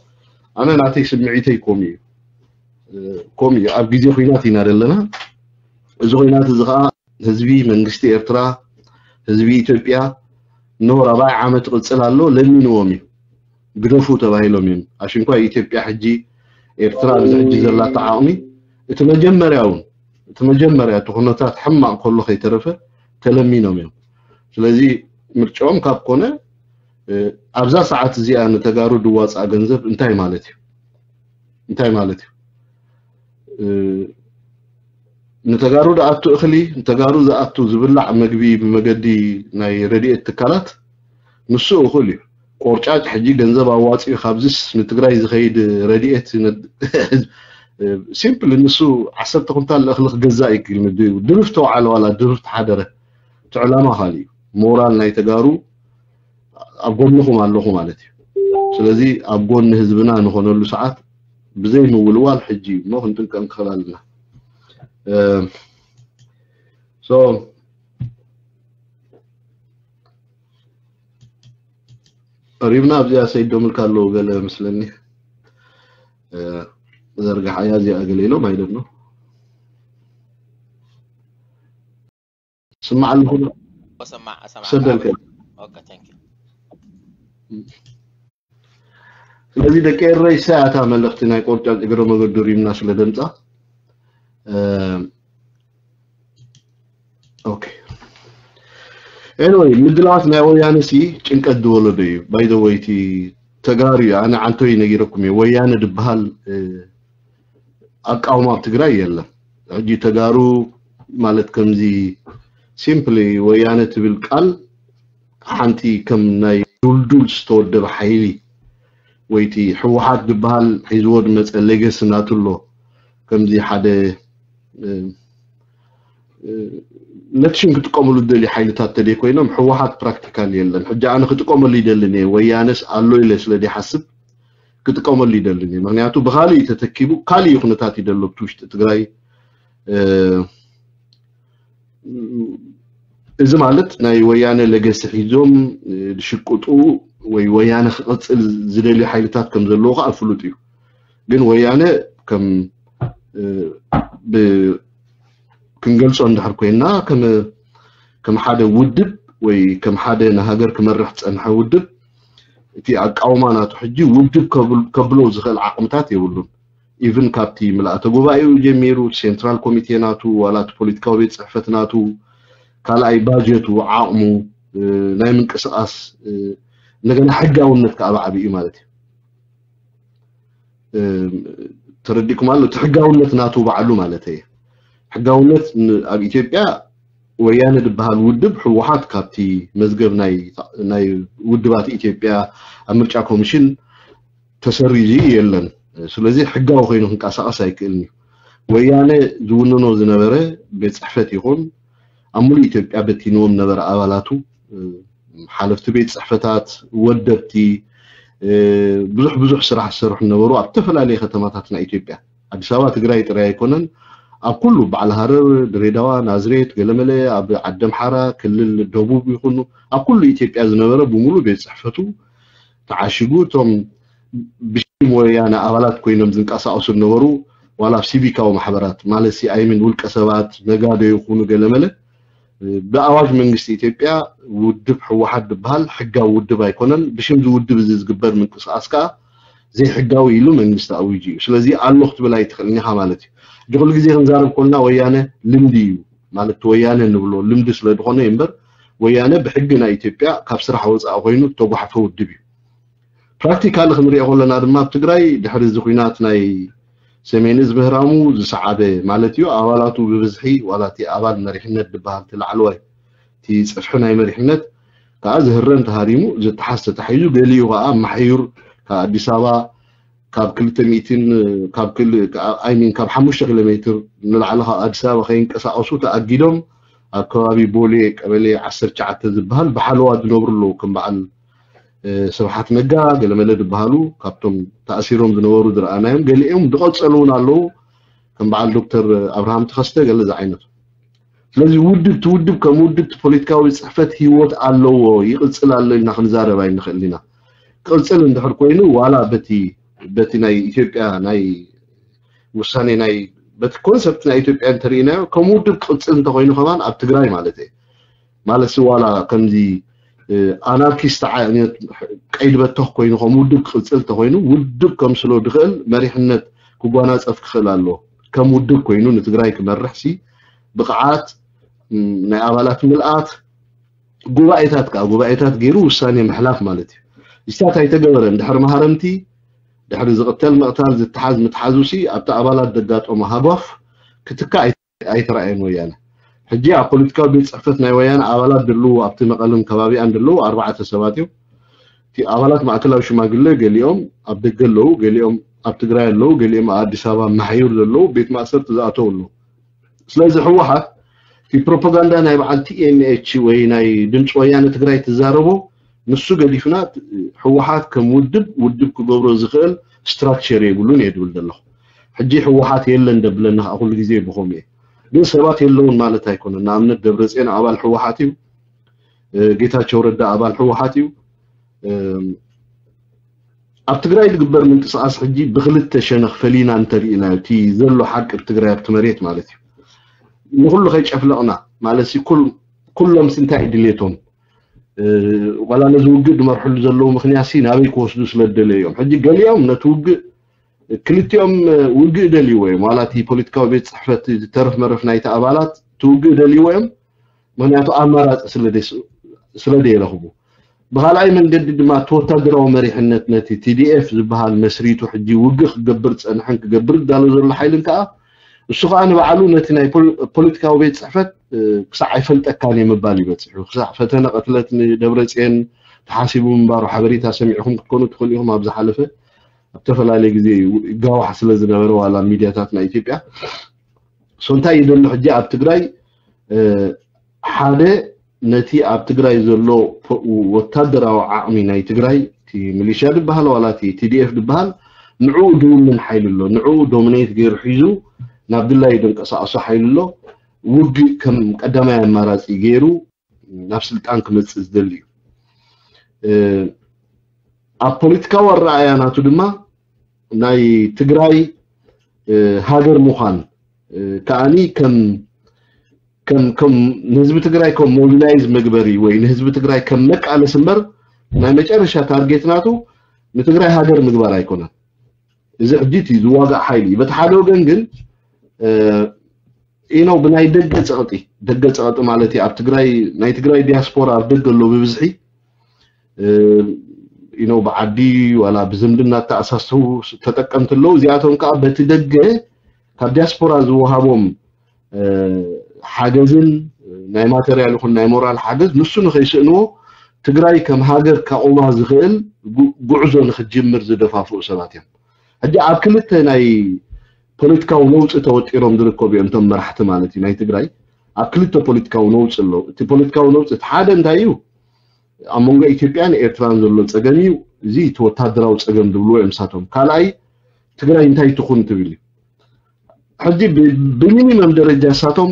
ኣነ ናተይ ስምዒተይ ከምኡ እዩ። ከምኡ እዩ። ኣብ ግዜ ኹናት ኢና ዘለና። እዚ ኹናት እዚ ከዓ ህዝቢ መንግስቲ ኤርትራ ህዝቢ ኢትዮጵያ እነሆ ራብዓይ ዓመት ይቕፅል ኣሎ ለሚንዎም እዩ። ግደፉ ተባሂሎም እዮም። ኣሽንኳይ ኢትዮጵያ ሕጂ ኤርትራ ኣብዚ ሕጂ ዘላቶ ዓቕሚ እቲ መጀመርያ እውን እቲ መጀመርያ እቲ ኩነታት ሕማቕ ከሎ ከይተረፈ ተለሚኖም እዮም። ስለዚ ምርጫኦም ካብ ኮነ ኣብዛ ሰዓት እዚኣ ንተጋሩ ድዋፃእ ገንዘብ እንታይ ማለት እዩ? እንታይ ማለት እዩ? ንተጋሩ ዝኣቱ እኽሊ ንተጋሩ ዝኣቱ ዝብላዕ መግቢ ብመገዲ ናይ ረድኤት ትካላት ንሱ እኹል እዩ። ቆርጫጭ ሕጂ ገንዘብ ኣዋፂኡ ካብዚስ ንትግራይ ዝኸይድ ረድኤት ሲምፕል ንሱ ዓሰርተ ኩንታል እኽሊ ክገዛእ ይክእል ድርፍ ተውዓለ ዋላ ድርፍ ተሓደረ እቲ ዕላማ ካልእ እዩ። ሞራል ናይ ተጋሩ ኣብ ጎንኹም ኣለኹ ማለት እዩ። ስለዚ ኣብ ጎኒ ህዝብና ንኾነሉ ሰዓት ብዘይ ምውልዋል ሕጂ እዩ እሞ ክንጥንቀቅ ንክእል ኣለና። ሪብና ኣብዚኣ ሰይድ ዶምልካ ኣለዉ ገለ መስለኒ ዘርግሓያ እዚኣ ገለ ኢሎም ኣይደኖ ስማዕ ኣለኹ ሰማዕ ሰማዕ ሰደልከ ኦኬ ታንክ ዩ ስለዚ ደቂ ኤረይ ሳያታ መልእኽቲ ናይ ቆርጫጭ እግረ መገዱ ሪምና ስለ ደምፃ ኦኬ ኤኒወይ ምድላዋት ናይ ወያነ ሲ ጭንቀት ዝወለዶ እዩ ባይዘወይቲ ተጋሩ እዩ ኣነ ዓንቶይ ነጊረኩም እየ ወያነ ድበሃል ኣቃውማ ኣብ ትግራይ የለን ሕጂ ተጋሩ ማለት ከምዚ ሲምፕሊ ወያነ ትብል ቃል ሓንቲ ከም ናይ ዱልዱል ዝተወደበ ሓይሊ ወይቲ ህወሓት ዝበሃል ሒዝዎ ዝመፀ ሌገሲ ናቱ ኣሎ ከምዚ ሓደ ነቲ ሽም ክጥቀመሉ ዝደልዩ ሓይልታት ተደይ ኮይኖም፣ ህወሓት ፕራክቲካል የለን። ሕጂ ኣነ ክጥቀመሉ ይደልን እየ፣ ወያነስ ኣሎ ኢለ ስለ ዘይሓስብ ክጥቀመሉ ይደልን እየ። ምክንያቱ ብኻሊእ ተተኪቡ ካሊእ ኩነታት እዩ ዘሎ ኣብቲ ውሽጢ ትግራይ። እዚ ማለት ናይ ወያነ ለገሲ ሒዞም ዝሽቅጡ ወይ ወያነ ክቕፅል ዝደልዩ ሓይልታት ከም ዘለዎ ከዓ ፍሉጥ እዩ። ግን ወያነ ከም ክንገልጾ እንድሕር ኮይና ከም ሓደ ውድብ ወይ ከም ሓደ ንሃገር ክመርሕ ዝጸንሐ ውድብ እቲ ኣቃውማ ናቱ ሕጂ ውድብ ከብሎ ዝኽእል ዓቕምታት የብሉን። ኢቭን ካብቲ ምልኣተ ጉባኤኡ ጀሚሩ ሴንትራል ኮሚቴ ናቱ ዋላ እቲ ፖለቲካዊ ቤት ጽሕፈት ናቱ ካልኣይ ባጀቱ ዓቕሙ ናይ ምንቅስቃስ እንደገና ሕጋውነት ከዓ ብዓቢኡ ማለት እዩ። ተረዲኩም ኣሎ እቲ ሕጋውነት ናቱ ባዕሉ ማለት እየ። ሕጋውነት ኣብ ኢትዮጵያ ወያነ ዝበሃል ውድብ ህወሓት ካብቲ መዝገብ ናይ ውድባት ኢትዮጵያ ኣብ ምርጫ ኮሚሽን ተሰሪዙ የለን። ስለዚ ሕጋዊ ኮይኑ ክንቀሳቀስ ኣይክእልን እዩ። ወያነ ዝውንኖ ዝነበረ ቤት ፅሕፈት ይኹን ኣብ ሙሉእ ኢትዮጵያ በቲንዎም ነበረ ኣባላቱ ሓለፍቲ ቤት ፅሕፈታት፣ ወደብቲ ብዙሕ ብዙሕ ስራሕ ዝሰርሑ ነበሩ ኣብ ዝተፈላለየ ከተማታት ናይ ኢትዮጵያ። ኣዲስ ኣበባ ትግራይ ጥራይ ኣይኮነን፣ ኣብ ኩሉ በዓል ሃረር፣ ድሬዳዋ፣ ናዝሬት፣ ገለመለ፣ ኣብ ዓዲ ኣምሓራ ክልል ደቡብ ይኹኑ ኣብ ኩሉ ኢትዮጵያ ዝነበረ ብምሉ ቤት ፅሕፈቱ ተዓሺጉ እቶም ብሽም ወያነ ኣባላት ኮይኖም ዝንቀሳቀሱ ዝነበሩ ዋላ ኣብ ሲቪካዊ ማሕበራት ማለት ሲ ኣይምን ውልቀ ሰባት ነጋዶ ይኹኑ ገለመለ ብኣዋጅ መንግስቲ ኢትዮጵያ ውድብ ህወሓት ዝበሃል ሕጋዊ ውድብ ኣይኮነን። ብሽም ዝውድብ እዚ ዝግበር ምንቅስቃስ ከዓ ዘይሕጋዊ ኢሉ መንግስቲ ኣዊጁ እዩ። ስለዚ ኣሎ ክትብል ኣይትኽእልን ኢኻ ማለት እዩ። እዚ ኩሉ ግዜ ክንዛረብ ኮልና ወያነ ልምዲ እዩ ማለት ወያነ ንብሎ ልምዲ ስለ ዝኾነ እዩ እምበር ወያነ ብሕጊ ናይ ኢትዮጵያ ካብ ስራሕ ወፃኢ ኮይኑ ዝተጓሕፈ ውድብ እዩ። ፕራክቲካሊ ክንሪኦ ከለና ድማ ኣብ ትግራይ ድሕሪ እዚ ኩናት ናይ ሰሜን እዝ ምህራሙ ዝሰዓበ ማለት እዩ ኣባላቱ ብብዝሒ ዋላ እቲ ኣባል መሪሕነት ዝበሃል እቲ ላዕለዋይ እቲ ፅፍሒ ናይ መሪሕነት ከዓ ዝህረም ተሃሪሙ ዝተሓዝ ተታሒዙ ገሊኡ ከዓ ማሕዩር ካብ ኣዲስ ኣበባ ካብ ክልተ ሚእትን ካብ ክል ኣይሚን ካብ ሓሙሽተ ኪሎ ሜትር ንላዕሊ ካብ ኣዲስ ኣበባ ከይንቀሳቀሱ ተኣጊዶም ኣብ ከባቢ ቦሌ ቀበሌ ዓሰርተ ትሽዓተ ዝበሃል ብሓለዋ ዝነብሩ ኣለዉ ከም በዓል ስብሓት ነጋ ገለመለ ዝበሃሉ ካብቶም ተኣሲሮም ዝነበሩ ዝረኣናዮም ገሊኦም ዝቐፀሉ እውን ኣለዉ ከም በዓል ዶክተር ኣብርሃም ተኸስተ ገለ ዝዓይነቱ ስለዚ ውድብ እቲ ውድብ ከም ውድብ እቲ ፖለቲካዊ ፅሕፈት ህይወት ኣለዎ ይቕፅል ኣሎ ኢልና ክንዛረብ ኣይንኽእል ኢና ክቕፅል እንድሕር ኮይኑ ዋላ በቲ በቲ ናይ ኢትዮጵያ ናይ ውሳኔ ናይ በቲ ኮንሰፕት ናይ ኢትዮጵያ እንተርኢናዮ ከም ውድብ ክቕፅል እንተኮይኑ ከማን ኣብ ትግራይ ማለት እየ ማለት ሲ ዋላ ከምዚ ኣናርኪስት ዓይነት ቀይዲ በተኽ ኮይኑ ከም ውድብ ክቕፅል እንተኮይኑ ውድብ ከምስሎ ዝኽእል መሪሕነት ክጓናፀፍ ክኽእል ኣሎ ከም ውድብ ኮይኑ ንትግራይ ክመርሕ ሲ ብቕዓት ናይ ኣባላት ምልኣት ጉባኤታት ከዓ ጉባኤታት ገይሩ ውሳኔ ምሕላፍ ማለት እዩ። እዚታት ኣይተገበረን። ድሕሪ ማህረምቲ ድሕሪ ዝቕተል ምቕታል ዝተሓዝ ምትሓዙ ሲ ኣብቲ ኣባላት ዘጋጠሞ ሃጓፍ ክትካእ ኣይተረኣየን ወያነ። ሕጂ ኣብ ፖለቲካዊ ቤት ፅሕፈት ናይ ወያነ ኣባላት ድልዉ ኣብቲ መቐልን ከባቢኣን ድልዉ ኣርባዕተ ሰባት እዮም። እቲ ኣባላት ማእከላዊ ሽማግለ ገሊኦም ኣብ ደገ ኣለዉ፣ ገሊኦም ኣብ ትግራይ ኣለዉ፣ ገሊኦም ኣብ ኣዲስ ኣበባ ማሕዩር ዘለዉ ቤት ማእሰርቲ ዝኣተዉ ኣለዉ። ስለዚ ህወሓት እቲ ፕሮፓጋንዳ ናይ በዓል ቲ ኤም ኤች ወይ ናይ ድምፂ ወያነ ትግራይ ትዛረቦ ንሱ ገዲፍና ህወሓት ከም ውድብ ውድብ ክገብሮ ዝኽእል ስትራክቸር የብሉን እየ ድብል ዘለኹ። ሕጂ ህወሓት የለን ደብለና ከዓ ኩሉ ግዜ ብኸምኡ እየ። ግን ሰባት የለውን ማለት ኣይኮነን። ንኣብነት ደብረፅዮን ኣባል ህወሓት እዩ። ጌታቸው ረዳ ኣባል ህወሓት እዩ። ኣብ ትግራይ ዝግበር ምንቅስቃስ ሕጂ ብክልተ ሸነኽ ፈሊና እንተሪኢናዮ እቲ ዘሎ ሓቂ ብትግራይ ኣብቲ መሬት ማለት እዩ ንኩሉ ከይጨፍለቕና ማለት ኩሎም እንታይ ድሌቶም ዋላ ነዚ ውግእ ዝመርሕሉ ዘለዉ ምክንያት ናበይ ክወስዱ ስለ ዝደለዩ እዮም ሕጂ ገሊኦም ነቲ ውግእ ክልቲኦም ውግእ ደልይዎ እዮም ዋላ እቲ ፖለቲካዊ ቤት ፅሕፈት ዝተረፍ መረፍ ናይቲ ኣባላት እቲ ውግእ ደልይዎ እዮም ምክንያቱ ኣማራፂ ስለ ደይረኽቡ ብካልኣይ መንገዲ ድማ እቲ ወታደራዊ መሪሕነት ነቲ ቲ ዲ ኤፍ ዝበሃል መስሪቱ ሕጂ ውግእ ክገብር ዝፀንሐን ክገብር ዝዳሎ ዘሎ ሓይልን ከዓ እሱ ከዓ ንባዕሉ ነቲ ናይ ፖለቲካዊ ቤት ፅሕፈት ክሳዕ ኣይፈልጠካን እየ ምባል ይበፅሑ ክሳዕ ፈተነ ቅትለት ንደብረፅየን ተሓሲቡ ምንባሩ ሓበሬታ ሰሚዕኹም ክትኮኑ ትኽእሉ ኢኹም ኣብ ዝሓለፈ ኣብ ዝተፈላለየ ግዜ ይጋዋሕ ስለ ዝነበረ ዋላ ሚድያታት ናይ ኢትዮጵያ ሶ እንታይ ይደሎ ሕጂ ኣብ ትግራይ ሓደ ነቲ ኣብ ትግራይ ዘሎ ወታደራዊ ዓቕሚ ናይ ትግራይ፣ እቲ ሚሊሻ ዝበሃል ዋላ እቲ ቲዲኤፍ ዝበሃል፣ ንዕኡ ድውንን ሓይሊ ኣሎ፣ ንዕኡ ዶሚኔት ገይሩ ሒዙ ናብ ድላዩ ደንቀሳቐሶ ሓይሊ ኣሎ። ውግእ ከም ቀዳማይ ኣማራፂ ገይሩ ናብ ስልጣን ክመፅእ ዝደሊ እዩ። ኣብ ፖለቲካዊ ኣረኣእያ ናቱ ድማ ናይ ትግራይ ሃገር ምዃን ከዓኒ ከም ከም ከም ንህዝቢ ትግራይ ከም ሞቢላይዝ መግበሪ ወይ ንህዝቢ ትግራይ ከም መቃለስ እምበር ናይ መጨረሻ ታርጌት ናቱ ንትግራይ ሃገር ምግባር ኣይኮነን። እዚ ሕጂ እቲ ዝዋጋእ ሓይሊ እዩ። በቲ ሓደ ወገን ግን ኢኖ ብናይ ደገ ፀቕጢ፣ ደገ ፀቕጢ ማለት እዩ ኣብ ትግራይ፣ ናይ ትግራይ ዲያስፖራ ኣብ ደገ ኣሎ ብብዝሒ ኢኖ ብዓዲ ዋላ ብዝምድና ተኣሳሰቡ ተጠቀምቲ ኣለዉ። እዚኣቶም ከዓ በቲ ደገ ካብ ዲያስፖራ ዝወሃቦም ሓገዝን ናይ ማተርያል ይኹን ናይ ሞራል ሓገዝ ንሱ ንኸይስእንዎ ትግራይ ከም ሃገር ካቑማ ዝኽእል ጉዕዞ ንክትጅምር ዝደፋፍኡ ሰባት እዮም። ሕጂ ኣብ ክልተ ናይ ፖለቲካዊ ነውፂ ተወጢሮም ዝርከቡ እዮም እቶም መራሕቲ ማለት እዩ ናይ ትግራይ። ኣብ ክልተ ፖለቲካዊ ነውፂ ኣለዉ። እቲ ፖለቲካዊ ነውፂ እቲ ሓደ እንታይ እዩ? ኣብ መንጎ ኢትዮጵያን ኤርትራን ዘሎ ፀገም እዩ። እዚ እቲ ወታደራዊ ፀገም ዝብልዎ እዮም ንሳቶም። ካልኣይ ትግራይ እንታይ ትኹን ትብል እዩ። ሕጂ ብሚኒመም ደረጃ ንሳቶም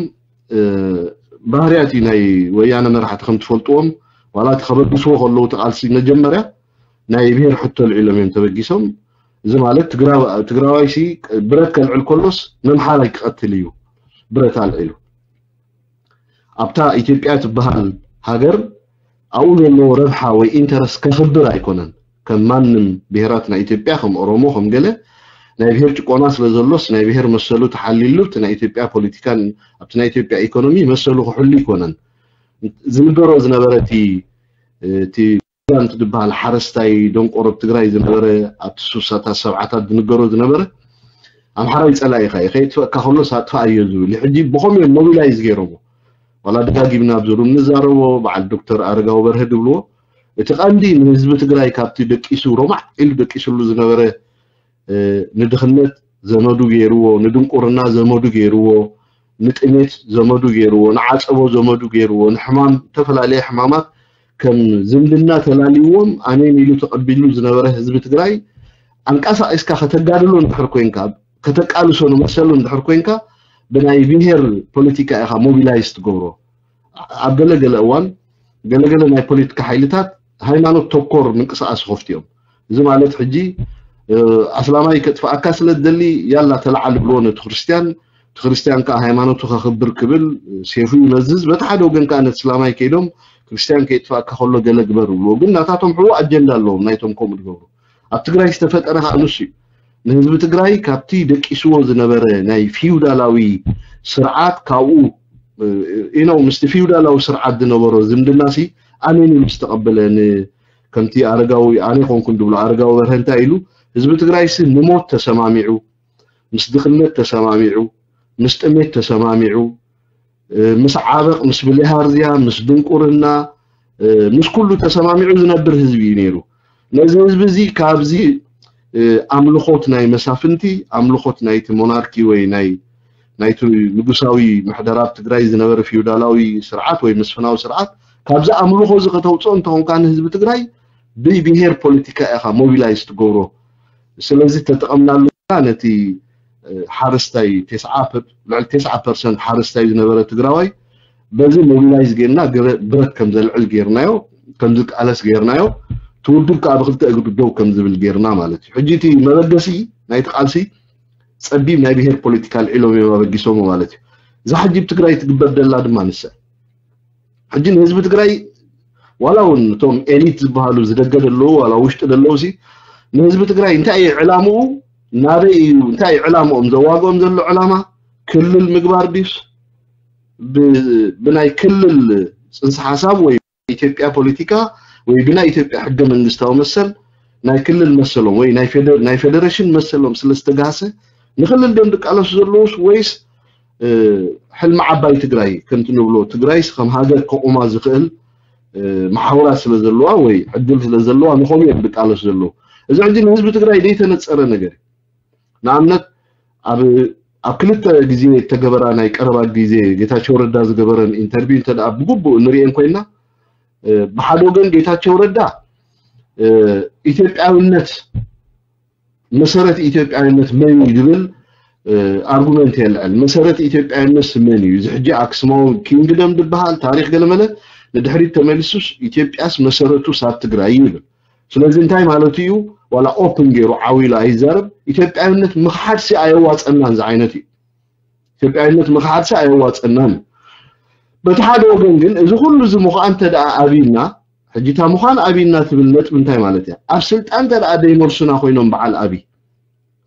ባህርያት እዩ ናይ ወያነ መራሕቲ ከም ትፈልጥዎም ዋላ እቲ ከበግስዎ ከለዉ እቲ ቃልሲ መጀመርያ ናይ ብሄር ሕቶ ኣልዒሎም እዮም ተበጊሶም። እዚ ማለት ትግራዋይ ሲ ብረት ከልዕል ከሎስ ነምሓራይ ክቐትል እዩ ብረት ኣልዒሉ። ኣብታ ኢትዮጵያ ትበሃል ሃገር ኣብኡ ዘለዎ ረብሓ ወይ ኢንተረስት ከኽብር ኣይኮነን። ከም ማንም ብሄራት ናይ ኢትዮጵያ ከም ኦሮሞ ከም ገለ ናይ ብሄር ጭቆና ስለ ዘሎስ ናይ ብሄር መሰሉ ተሓሊሉ እቲ ናይ ኢትዮጵያ ፖለቲካን ኣብቲ ናይ ኢትዮጵያ ኢኮኖሚ መሰሉ ክሕሉ ኣይኮነን። ዝንገሮ ዝነበረ እቲ እቲ ፕሬዚዳንት ዝበሃል ሓረስታይ ደንቆሮ ኣብ ትግራይ ዝነበረ ኣብቲ ሱሳታት ሰብዓታት ዝንገሮ ዝነበረ ኣምሓራይ ፀላኢኻ እዩ ከየጥፈእካ ከሎስ ኣጥፋኣዮ ዝብል እዩ። ሕጂ ብኸምኡ እዮም ሞቢላይዝ ገይሮሞ። ዋላ ደጋጊምና ኣብዚ ሩም ንዛረቦ በዓል ዶክተር ኣረጋዊ በርሀ ዝብልዎ እቲ ቀንዲ ንህዝቢ ትግራይ ካብቲ ደቂሱ ሮማዕ ኢሉ ደቂስሉ ዝነበረ ንድኽነት ዘመዱ ገይርዎ፣ ንድንቁርና ዘመዱ ገይርዎ፣ ንጥሜት ዘመዱ ገይርዎ፣ ንዓፀቦ ዘመዱ ገይርዎ፣ ንሕማም ዝተፈላለየ ሕማማት ከም ዝምድና ተላልይዎም ኣሜን ኢሉ ተቐቢሉ ዝነበረ ህዝቢ ትግራይ ኣንቀሳቒስካ ከተጋድሎ እንድሕር ኮይንካ ከተቃልሶ ንመሰሉ እንድሕር ኮይንካ ብናይ ብሄር ፖለቲካ ኢኻ ሞቢላይዝ ትገብሮ። ኣብ ገለገለ እዋን ገለገለ ናይ ፖለቲካ ሓይልታት ሃይማኖት ተኮር ምንቅስቃስ ይኸፍቱ እዮም። እዚ ማለት ሕጂ ኣስላማይ ከጥፍኣካ ስለ ዝደሊ ያላ ተለዓል ብልዎ ነቲ ክርስትያን፣ እቲ ክርስትያን ከዓ ሃይማኖቱ ከኽብር ክብል ሴፉ ይመዝዝ፣ በቲ ሓደ ወገን ከዓ ነቲ እስላማይ ከይዶም ክርስትያን ከየጥፍኣካ ከሎ ገለ ግበር ብልዎ። ግን ናታቶም ሕቡእ ኣጀንዳ ኣለዎም ናይቶም ከምኡ ዝገብሩ። ኣብ ትግራይ ዝተፈጠረ ከዓ ንሱ እዩ። ንህዝቢ ትግራይ ካብቲ ደቂስዎ ዝነበረ ናይ ፊውዳላዊ ስርዓት ካብኡ ኢኖ ምስቲ ፊውዳላዊ ስርዓት ዝነበሮ ዝምድናሲ ኣሜን ኢሉ ዝተቐበለ ከምቲ ኣረጋዊ ኣነ ኮንኩን ዝብሎ ኣረጋዊ በርሀ እንታይ ኢሉ ህዝቢ ትግራይሲ ንሞት ተሰማሚዑ ምስ ድኽነት ተሰማሚዑ ምስ ጥሜት ተሰማሚዑ ምስ ዓበቕ ምስ ብሊሃርዝያ ምስ ድንቁርና ምስ ኩሉ ተሰማሚዑ ዝነብር ህዝቢ እዩ ነይሩ። ነዚ ህዝቢ እዚ ካብዚ ኣምልኾት ናይ መሳፍንቲ ኣምልኾት ናይቲ ሞናርኪ ወይ ናይ ናይቲ ንጉሳዊ ምሕደራ ኣብ ትግራይ ዝነበረ ፊውዳላዊ ስርዓት ወይ መስፍናዊ ስርዓት ካብዚ ኣምልኾ እዚ ከተውፅኦ እንተኾንካ ንህዝቢ ትግራይ ብብሄር ፖለቲካ ኢኻ ሞቢላይዝ ትገብሮ። ስለዚ ተጠቐምናሉ ነቲ ሓረስታይ ልዕሊ ተስዓ ፐርሰንት ሓረስታይ ዝነበረ ትግራዋይ በዚ ሞቢላይዝ ጌርና ብረት ከም ዘልዕል ጌርናዮ ከም ዝቃለስ ጌርናዮ እቲ ውድብ ከዓ ብክልተ እግሪ ደው ከም ዝብል ጌርና ማለት እዩ። ሕጂ እቲ መበገሲ ናይቲ ቃልሲ ፀቢብ ናይ ብሄር ፖለቲካ ኣልዒሎም እዮም ኣበጊሶሞ ማለት እዩ። እዛ ሕጂ ብትግራይ ትግበር ደላ ድማ ንሰ ሕጂ ንህዝቢ ትግራይ ዋላ እውን እቶም ኤሊት ዝበሃሉ ዝደገ ዘለዉ ዋላ ውሽጢ ዘለዉ ሲ ንህዝቢ ትግራይ እንታይ እዩ ዕላምኡ ናበይ እዩ እንታይ እዩ ዕላምኦም ዘዋግኦም ዘሎ ዕላማ ክልል ምግባር ድዩስ ብናይ ክልል ፅንሰ ሓሳብ ወይ ኢትዮጵያ ፖለቲካ ወይ ብናይ ኢትዮጵያ ሕገ መንግስታዊ መሰል ናይ ክልል መሰሎም ወይ ናይ ፌደሬሽን መሰሎም ስለዝተጋሰ ንክልል ዶም ዝቃለሱ ዘለውስ ወይስ ሕልሚ ዓባይ ትግራይ ከምቲ ንብሎ ትግራይስ ከም ሃገር ከቑማ ዝኽእል መሓውራት ስለ ዘለዋ ወይ ዕድል ስለ ዘለዋ ንኸምኡ እዮም ዝቃለሱ ዘለዉ። እዚ ሕጂ ንህዝቢ ትግራይ ዘይተነፀረ ነገር እዩ። ንኣብነት ኣብ ኣብ ክልተ ግዜ እተገበራ ናይ ቀረባ ግዜ ጌታቸው ረዳ ዝገበረን ኢንተርቪው እንተ ደኣ ብግቡእ ንርእየን ኮይና፣ እ፣ ብሓደ ወገን ጌታቸው ረዳ፣ እ፣ ኢትዮጵያዊነት፣ መሰረት ኢትዮጵያዊነት መን እዩ ዝብል፣ እ፣ ኣርጉመንት የልዕል። መሰረት ኢትዮጵያዊነት መን እዩ? እዚ ሕጂ ኣክስማዊ ኪንግደም ዝበሃል ታሪኽ ገለመለ ንድሕሪት ተመሊሱስ ኢትዮጵያስ መሰረቱስ ኣብ ትግራይ እዩ ይብል። ስለዚ እንታይ ማለቱ እዩ? ዋላ ኦፕን ገይሩ ዓው ኢሉ ኣይዛረብ። ኢትዮጵያዊነት ምኽሓድሲ ኣየዋፀናን ዝዓይነት እዩ። ኢትዮጵያዊነት ምኽሓድሲ ኣየዋፀናን እዩ። በቲ ሓደ ወገን ግን እዚ ኩሉ እዚ ምዃን እንተ ደኣ ኣብይና፣ ሕጂ እታ ምዃን ኣብይና ትብል ነጥቢ እንታይ ማለት እያ? ኣብ ስልጣን እንተ ደኣ ደይመልሱና ኮይኖም በዓል ኣብይ፣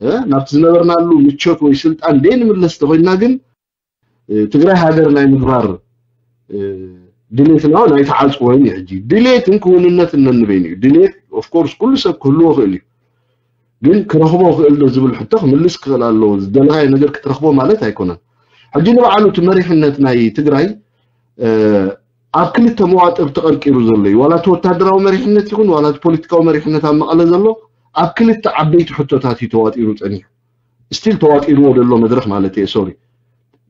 እ፣ ናብቲ ዝነበርናሉ ምቾት ወይ ስልጣን ደይንምለስ ተኾይንና ግን፣ እ፣ ትግራይ ሃገር ናይ ምግባር፣ እ፣ ድሌትና እውን ኣይተዓጽወን እዩ። ሕጂ ድሌትን ክውንነትን ነንበይኑ እዩ። ድሌት ኦፍኮርስ ኩሉ ሰብ ክህልዎ ይኽእል እዩ። ግን ክረኽቦ ክእል ዶ ዝብል ሕቶ ክምልስ ክኽእል ኣለዎ። ዝደለኻዮ ነገር ክትረኽቦ ማለት ኣይኮነን። ሕጂ ንባዕሉ እቲ መሪሕነት ናይ ትግራይ፣ እ፣ ኣብ ክልተ መዋጥር ተቐርቂሩ ዘሎ እዩ። ዋላ እቲ ወታደራዊ መሪሕነት ይኹን ዋላ እቲ ፖለቲካዊ መሪሕነት ኣብ መቐለ ዘሎ ኣብ ክልተ ዓበይቲ ሕቶታት እዩ ተዋጢሩ ጸኒሑ። ስቲል ተዋጢርዎ ዘሎ መድረኽ ማለት እየ፣ ሶሪ።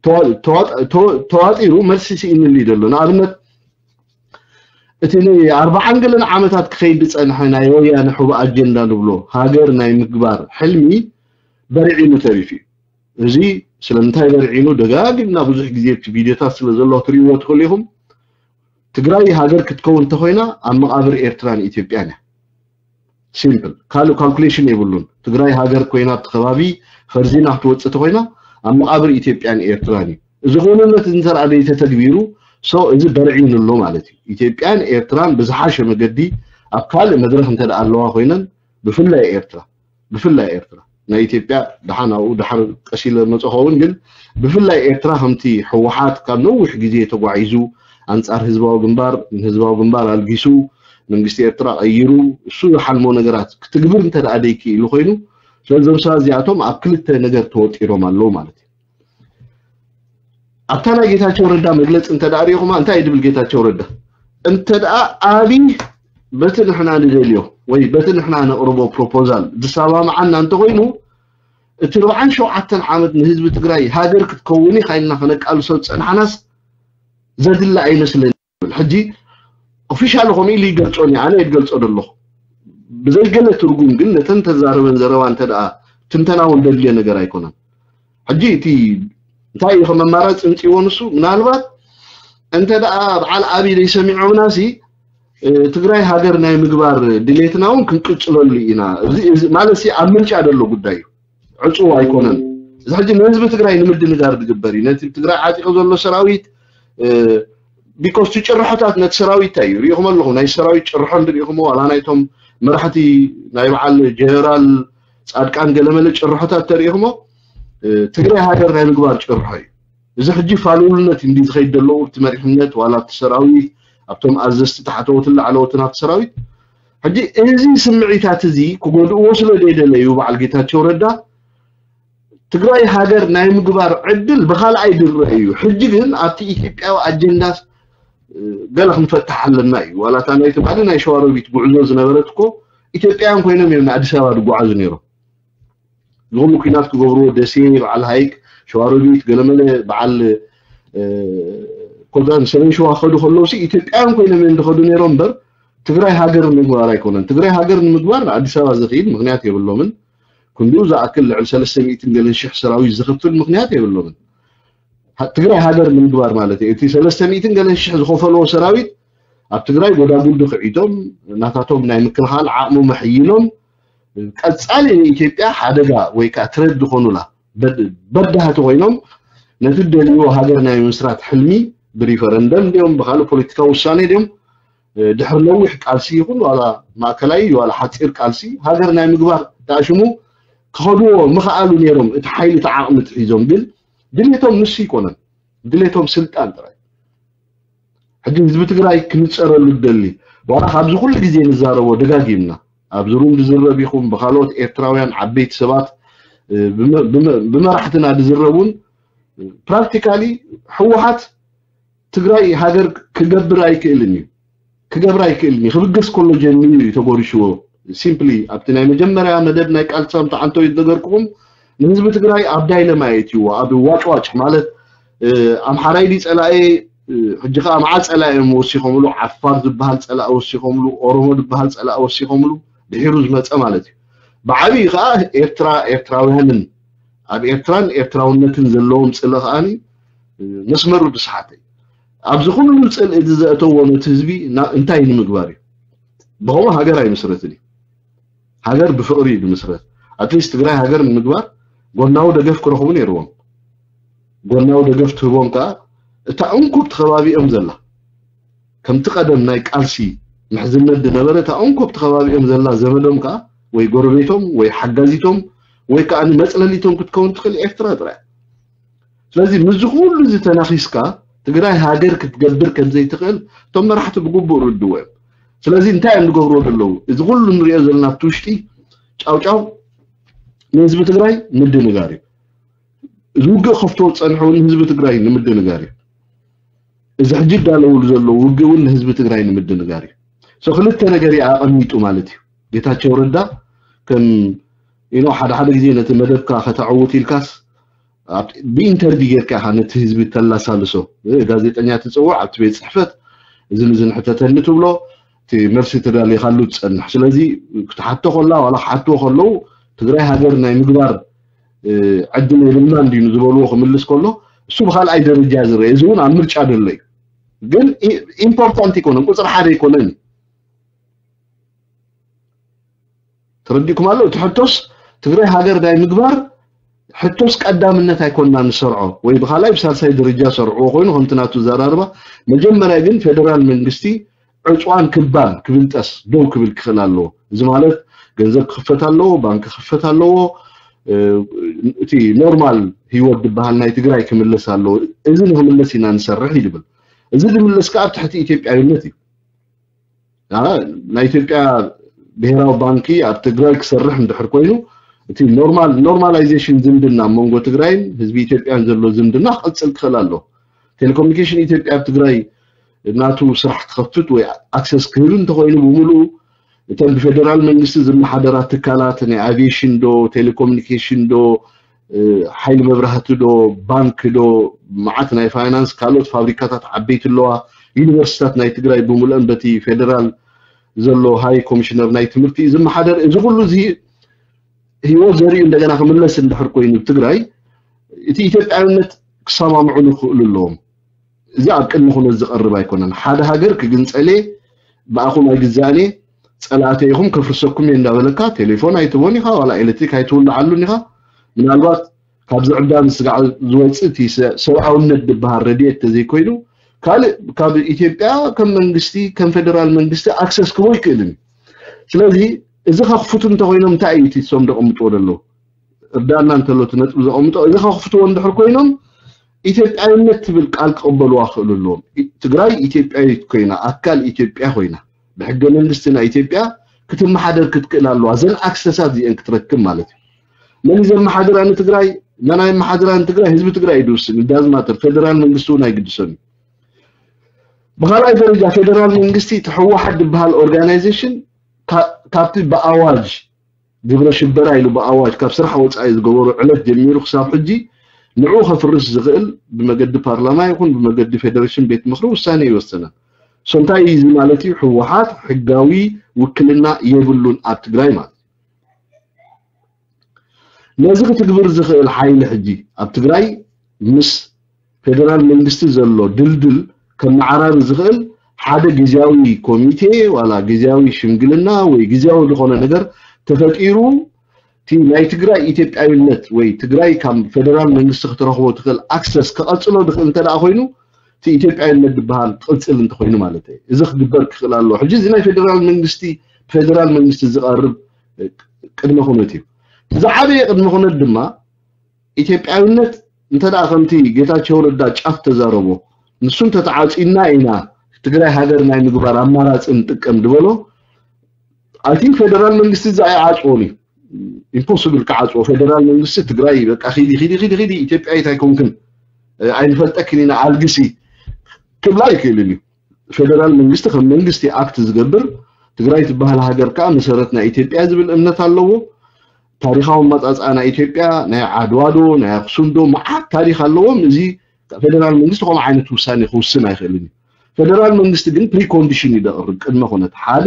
ተዋ-፣ ተዋጥ-፣ ተዋ-፣ ተዋጢሩ መልሲ ስኢንሉ እዩ ዘሎ። ንኣብነት እቲ ንኣርባዓን ገለን ዓመታት ክኸይድ ዝጸንሐ ናይ ወያነ ሕቡእ ኣጀንዳ ንብሎ ሃገር ናይ ምግባር ሕልሚ በርዒኑ ተሪፉ እዩ። እዚ ስለምንታይ በርዒኑ ደጋጊምና ብዙሕ ግዜ እቲ ቪድዮታት ስለ ዘሎ ክትርእይዎ ትኽእሉ ኢኹም። ትግራይ ሃገር ክትከውን እንተኾይና ኣብ መቓብር ኤርትራን ኢትዮጵያን እያ። ሲምፕል። ካልእ ካልኩሌሽን የብሉን። ትግራይ ሃገር ኮይና ኣብቲ ከባቢ ፈርዚና ክትወፅእ እንተኾይና ኣብ መቓብር ኢትዮጵያን ኤርትራን እዩ። እዚ ክውንነት እዚ እንተ ደኣ ዘይተተግቢሩ፣ ሶ እዚ በርዒኑ ኣሎ ማለት እዩ። ኢትዮጵያን ኤርትራን ብዝሓሸ መገዲ ኣብ ካልእ መድረኽ እንተ ደኣ ኣለዋ ኮይነን፣ ብፍላይ ኤርትራ፣ ብፍላይ ኤርትራ፣ ናይ ኢትዮጵያ ደሓን ኣብኡ ደሓር ቀስ ኢለ መጾ ኸውን፣ ግን ብፍላይ ኤርትራ ከምቲ ህወሓት ካብ ነዊሕ ግዜ ተጓዒዙ ኣንጻር ህዝባዊ ግንባር፣ ንህዝባዊ ግንባር ኣልጊሱ መንግስቲ ኤርትራ ቀይሩ እሱ ዝሓልሞ ነገራት ክትግብር እንተ ደኣ ደይክኢሉ ኮይኑ፣ ስለዚ እዞም ሰባት እዚኣቶም ኣብ ክልተ ነገር ተወጢሮም ኣለዉ ማለት እዩ። ኣብታ ናይ ጌታቸው ረዳ መግለፂ እንተ ደኣ ሪኢኹማ እንታይ እዩ ድብል ጌታቸው ረዳ? እንተ ደኣ ኣብይ በቲ ንሕና ንደልዮ ወይ በቲ ንሕና ነቕርቦ ፕሮፖዛል ዝሰማምዓና እንተኾይኑ፣ እቲ ኣርባዓን ሸውዓተን ዓመት ንህዝቢ ትግራይ ሃገር ክትከውን ኢኻ ኢልና ከነቃልሶ ዝጸናሕናስ ዘድሊ ኣይመስለኒ ይብል። ሕጂ ኦፊሻል ከምኡ ኢሉ ይገልጾ እኒ ኣነ እየ ዝገልጾ ዘለኹ። ብዘይገለ ትርጉም ግን ነተን ተዛረበን ዘረባ እንተ ደኣ ትንተና እውን ደድልዮ ነገር ኣይኮነን። ሕጂ እቲ እንታይ እዩ ከም ኣማራፂ ምፅእዎ ንሱ ምናልባት እንተ ደኣ በዓል ኣብይ ዘይሰሚዖምና ሲ፣ እ፣ ትግራይ ሃገር ናይ ምግባር ድሌትና እውን ክንቅፅለሉ ኢና። እዚ፣ እዚ ማለት ሲ ኣብ ምርጫ ዘሎ ጉዳይ እዩ። ዕፁው ኣይኮነን። እዚ ሕጂ ንህዝቢ ትግራይ ንምድንጋር ዝግበር እዩ። ነቲ ትግራይ ዓጢቑ ዘሎ ሰራዊት፣ እ፣ ቢኮዝ እቲ ጭርሖታት ነቲ ሰራዊት እንታይ እዩ? ሪኢኹም ኣለኹም። ናይ ሰራዊት ጭርሖ እንድሪኢኹሞ ዋላ ናይቶም መራሕቲ ናይ በዓል ጀነራል ጻድቃን ገለመለ ጭርሖታት ተሪኢኹሞ፣ እ፣ ትግራይ ሃገር ናይ ምግባር ጭርሖ እዩ። እዚ ሕጂ ፋሉልነት እንዲ ዝኸይድ ዘለዎ ኣብቲ መሪሕነት ዋላ ኣብቲ ሰራዊት፣ ኣብቶም ኣዘዝቲ ታሕተዎትን ላዕለዎትን ኣብቲ ሰራዊት። ሕጂ እዚ ስምዒታት እዚ ክጎድእዎ ስለ ዘይደለዩ በዓል ጌታቸው ረዳ ትግራይ ሃገር ናይ ምግባር ዕድል ብኻልኣይ ድረ እዩ። ሕጂ ግን ኣብቲ ኢትዮጵያዊ ኣጀንዳ፣ እ፣ ገለ ክንፈትሕ ኣለና እዩ። ዋላ እታ ናይ ትማሊ ናይ ሸዋሮቢት ጉዕዞ ዝነበረት እኮ ኢትዮጵያውያን ኮይኖም እዮም ንኣዲስ ኣበባ ዝጓዓዙ ነይሮም። ዝኹሉ ኲናት ክገብርዎ ደሴ፣ በዓል ሃይቅ፣ ሸዋሮቢት፣ ገለመለ በዓል፣ እ፣ ኮዛን ሰሜን ሸዋ ክኸዱ ከለዉ ሲ ኢትዮጵያውያን ኮይኖም እዮም ዝኸዱ ነይሮም እምበር ትግራይ ሃገር ንምግባር ኣይኮነን። ትግራይ ሃገር ንምግባር ንኣዲስ ኣበባ ዘኽኢል ምኽንያት የብሎምን። ክንድኡ ዝኣክል ልዕሊ ሰለስተ ሚእትን ገለን ሽሕ ሰራዊት ዝኽፍል ምኽንያት የብሎምን። ሃ-፣ ትግራይ ሃገር ንምግባር ማለት እዩ። እቲ ሰለስተ ሚእትን ገለን ሽሕ ዝኸፈልዎ ሰራዊት ኣብ ትግራይ ጎዳጉዲ ክዒቶም ናታቶም ናይ ምክልኻል ዓቕሞም ኣሕይሎም ቀጻሊ ንኢትዮጵያ ሓደጋ ወይ ከዓ ትረት ዝኾኑላ በድ-፣ በዳህቲ ኮይኖም ነቲ ደልይዎ ሃገር ናይ ምስራት ሕልሚ ብሪፈረንደም ድዮም ብኻልእ ፖለቲካዊ ውሳኔ ድዮም፣ እ፣ ድሕሪ ነዊሕ ቃልሲ ይኹን ዋላ ማእከላይ ዋላ ሓፂር ቃልሲ ሃገር ናይ ምግባር ተኣሽሙ ክኸድዎ ምኽኣሉ ነይሮም። እቲ ሓይሊ እቲ ዓቕሚ ትሒዞም ግን ድሌቶም ንሱ ይኮነን፣ ድሌቶም ስልጣን ጥራይ። ሕጂ ህዝቢ ትግራይ ክንፀረሉ ደሊ ዋላ ካብዚ ኩሉ ግዜ ንዛረቦ ደጋጊምና ኣብዚ ሩም ዝዝረብ ይኹን ብካልኦት ኤርትራውያን ዓበይቲ ሰባት፣ እ፣ ብመ-፣ ብመ-፣ ብመራሕትና ዝዝረቡን ፕራክቲካሊ ህወሓት ትግራይ ሃገር ክገብር ኣይክእልን እዩ። ክገብር ኣይክእልን እዩ። ክብገስ ከሎ ጀሚሩ እዩ ተጎሪሽዎ። ሲምፕሊ ኣብቲ ናይ መጀመርያ መደብ ናይ ቃልሲ ሳምንት ዓንቶ እዩ ዝነገርኩኹም። ንህዝቢ ትግራይ ኣብ ዳይለማ የእትይዎ፣ ኣብ ዋጭዋጭ ማለት ኣምሓራይ ድዩ ጸላኤ፣ ሕጂ ከዓ መዓት ጸላኢ እዮም ወሲኾምሉ። ዓፋር ዝበሃል ጸላኢ ወሲኾምሉ፣ ኦሮሞ ዝበሃል ጸላኢ ወሲኾምሉ፣ ድሒሩ ዝመፀ ማለት እዩ። ብዓብዩ ከዓ ኤርትራ ኤርትራውያንን ኣብ ኤርትራን ኤርትራውነትን ዘለዎም ፅልኢ ከዓኒ መስመሩ ዝሰሓተ እዩ። ኣብዚ ኩሉ ፅልኢ እዚ ዘእተዎ ነቲ ህዝቢ እንታይ ንምግባር እዩ? ብኸምኡ ሃገር ኣይምስረትን እዩ። ሃገር ብፍቕሪ እዩ ዝምስረት። ኣትሊስት ትግራይ ሃገር ንምግባር ጎናዊ ደገፍ ክረኽቡ ነይርዎም። ጎናዊ ደገፍ ትህቦም ከዓ እታ እንኮ ኣብቲ ከባቢኦም ዘላ፣ ከምቲ ቀደም ናይ ቃልሲ ምሕዝነት ዝነበረ፣ እታ እንኮ ኣብቲ ከባቢኦም ዘላ ዘመዶም ከዓ ወይ ጎረቤቶም ወይ ሓጋዚቶም ወይ ከዓ መፅለሊቶም ክትከውን ትኽእል ኤርትራ ጥራይ። ስለዚ ምስዚ ኩሉ እዚ ተናኺስካ ትግራይ ሃገር ክትገብር ከም ዘይትኽእል እቶም መራሕቲ ብግቡእ ርድዎ እዮም። ስለዚ እንታይ እዮም ዝገብርዎ ዘለዉ? እዚ ኩሉ ንሪኦ ዘለና ኣብቲ ውሽጢ ጫውጫው ንህዝቢ ትግራይ ምድንጋር እዩ። እዚ ውግእ ከፍትዎ ዝፀንሑ እውን ንህዝቢ ትግራይ ንምድንጋር እዩ። እዚ ሕጂ ይዳለውሉ ዘለዉ ውግእ እውን ንህዝቢ ትግራይ ንምድንጋር እዩ። ክልተ ነገር እዩ ኣቐሚጡ ማለት እዩ። ጌታቸው ረዳ ከም ኢኖ ሓደ ሓደ ግዜ ነቲ መደብካ ከተዕውት ኢልካስ ብኢንተርቪ ጌርካ ኢኻ ነቲ ህዝቢ ተላሳልሶ። ጋዜጠኛ ትፅውዕ ኣብቲ ቤት ፅሕፈት እዝን እዝን ሕተተኒ ትብሎ፣ እቲ መልሲ ተዳሊኻሉ ትፀንሕ። ስለዚ ክትሓቶ ከላ ዋላ ክሓትዎ ከለዉ ትግራይ ሃገር ናይ ምግባር ዕድል የብልናን ድዩ ዝበልዎ ክምልስ ከሎ እሱ ብካልኣይ ደረጃ ዝረአ፣ እዚ እውን ኣብ ምርጫ ዘሎ እዩ። ግን ኢምፖርታንት ኣይኮነን፣ ቁፅሪ ሓደ ኣይኮነን። ተረዲእኩም ኣሎ? እቲ ሕቶስ ትግራይ ሃገር ናይ ምግባር ሕቶስ ቀዳምነት ኣይኮንና ንሰርዖ፣ ወይ ብካልኣይ ብሳልሳይ ደረጃ ሰርዕዎ ኮይኑ ከምቲ ናቱ ዘራርባ። መጀመርያ ግን ፌደራል መንግስቲ ዕፅዋን ክባን ክብንጠስ ደው ክብል ክኽእል ኣለዎ። እዚ ማለት ገንዘብ ክኽፈት ኣለዎ፣ ባንክ ክኽፈት ኣለዎ። እቲ ኖርማል ህይወት ዝበሃል ናይ ትግራይ ክምለስ ኣለዎ። እዚ ንክምለስ ኢና ንሰርሕ እዩ ዝብል። እዚ ዝምለስ ከዓ ኣብ ትሕቲ ኢትዮጵያዊነት እዩ። ናይ ኢትዮጵያ ብሄራዊ ባንኪ ኣብ ትግራይ ክሰርሕ እንድሕር ኮይኑ እቲ ኖርማል ኖርማላይዜሽን ዝምድና መንጎ ትግራይን ህዝቢ ኢትዮጵያን ዘሎ ዝምድና ክቕፅል ክኽእል ኣሎ። ቴሌኮሙኒኬሽን ኢትዮጵያ ኣብ ትግራይ ናቱ ስራሕ ክኸፍት ወይ ኣክሰስ ክህብ እንተኮይኑ ብምሉኡ እተን ብፌደራል መንግስቲ ዝመሓደራ ትካላት ናይ ኣቪዬሽን ዶ ቴሌኮሙኒኬሽን ዶ ሓይሊ መብራህቲ ዶ ባንክ ዶ መዓት ናይ ፋይናንስ ካልኦት ፋብሪካታት ዓበይቲ ኣለዋ። ዩኒቨርሲታት ናይ ትግራይ ብምሉአን በቲ ፌደራል ዘሎ ሃይ ኮሚሽነር ናይ ትምህርቲ ዝመሓደር እዚ ኩሉ እዚ ህይወት ዘርእዩ እንደገና ክምለስ እንድሕር ኮይኑ ትግራይ እቲ ኢትዮጵያዊነት ክሰማምዑ ክኽእሉ ኣለዎም። እዚ ኣብ ቅድሚ ኩነት ዝቐርብ ኣይኮነን። ሓደ ሃገር ክግንፀሌ ብኣኹም ኣይግዛእኔ ፀላእተ ኢኹም ከፍርሰኩም እየ እንዳበለካ ቴሌፎን ኣይትቦን ኢኻ ዋላ ኤሌክትሪክ ኣይትውልዓሉን ኢኻ። ምናልባት ካብዚ ዕብዳን ስጋዕ ዝወፅእ እቲ ሰብኣውነት ዝበሃል ረድኤት ተዘይኮይኑ ካልእ ካብ ኢትዮጵያ ከም መንግስቲ ከም ፌደራል መንግስቲ ኣክሰስ ክቦ ይክእልን እዩ። ስለዚ እዚ ከኽፍቱ እንተኮይኖም እንታይ እዩ እቲ ሶም ዘቐምጥዎ ዘለዉ? እርዳና እንተሎ እቲ ነጥቢ ዘቐምጦ እዚ ከኽፍትዎ እንድሕር ኮይኖም ኢትዮጵያዊነት ትብል ቃል ክቕበልዋ ክኽእሉ ኣለዎም። ትግራይ ኢትዮጵያዊት ኮይና ኣካል ኢትዮጵያ ኮይና ብሕገ መንግስቲ ናይ ኢትዮጵያ ክትመሓደር ክትክእል ኣለዋ። እዘን ኣክሰሳት እዚአን ክትረክብ ማለት እዩ። መን እዩ ዘመሓድራ ንትግራይ? መን ኣየመሓድራ ንትግራይ? ህዝቢ ትግራይ እዩ ዝውስን። ዳዝማተር ፌደራል መንግስቲ እውን ኣይግድሰን እዩ። ብካልኣይ ደረጃ ፌደራል መንግስቲ እቲ ህወሓት ዝበሃል ኦርጋናይዜሽን ካብቲ ብኣዋጅ ግብረ ሽበራ ኢሉ ብኣዋጅ ካብ ስራሕ ወፃኢ ዝገበሩ ዕለት ጀሚሩ ክሳብ ሕጂ ንዕኡ ከፍርስ ዝኽእል ብመገዲ ፓርላማ ይኹን ብመገዲ ፌደሬሽን ቤት ምኽሪ ውሳኔ ይወሰናል። ሶ እንታይ እዩ እዚ ማለት እዩ? ህወሓት ሕጋዊ ውክልና የብሉን ኣብ ትግራይ ማለት እዩ። ነዚ ክትግብር ዝኽእል ሓይሊ ሕጂ ኣብ ትግራይ ምስ ፌደራል መንግስቲ ዘሎ ድልድል ከመዓራሪ ዝኽእል ሓደ ግዝያዊ ኮሚቴ ዋላ ግዝያዊ ሽምግልና ወይ ግዝያዊ ዝኾነ ነገር ተፈጢሩ እቲ ናይ ትግራይ ኢትዮጵያዊነት ወይ ትግራይ ካብ ፌደራል መንግስቲ ክትረኽቦ ትኽእል ኣክሰስ ክቐፅሎ ዝኽእል እንተ ደኣ ኮይኑ እቲ ኢትዮጵያዊነት ዝበሃል ክቕፅል እንተኮይኑ ማለት እዩ። እዚ ክግበር ክኽእል ኣለዎ። ሕጂ እዚ ናይ ፌደራል መንግስቲ ብፌደራል መንግስቲ ዝቐርብ ቅድመ ኩነት እዩ። ዝዓበየ ቅድመ ኩነት ድማ ኢትዮጵያዊነት እንተ ደኣ ከምቲ ጌታቸው ረዳ ጫፍ ተዛረቦ ንሱ እንተተዓፂና ኢና ትግራይ ሃገር ናይ ምግባር ኣማራፂ ንጥቀም ዝበሎ I think ፌደራል መንግስቲ እዚ ኣይዓፅዎን እዩ። ኢምፖስብል ክዓፅዎ ፌደራል መንግስቲ ትግራይ በቃ ኺዲ ኺዲ ኺዲ ኺዲ ኢትዮጵያዊት ኣይኮንክን ኣይንፈልጠክን ኢና ኣልግሲ ክብላ ኣይክእልን እዩ። ፌደራል መንግስቲ ከም መንግስቲ ኣክት ዝገብር ትግራይ ትበሃል ሃገር ከዓ መሰረት ናይ ኢትዮጵያ ዝብል እምነት ኣለዎ። ታሪኻዊ ኣመጻጽኣ ናይ ኢትዮጵያ ናይ ዓድዋ ዶ ናይ ኣክሱም ዶ መዓት ታሪኽ ኣለዎም። እዚ ፌደራል መንግስቲ ከምኡ ዓይነት ውሳኔ ክውስን ኣይኽእልን እዩ። ፌደራል መንግስቲ ግን ፕሪኮንዲሽን እዩ ዘቕርብ፣ ቅድመ ኩነት ሓደ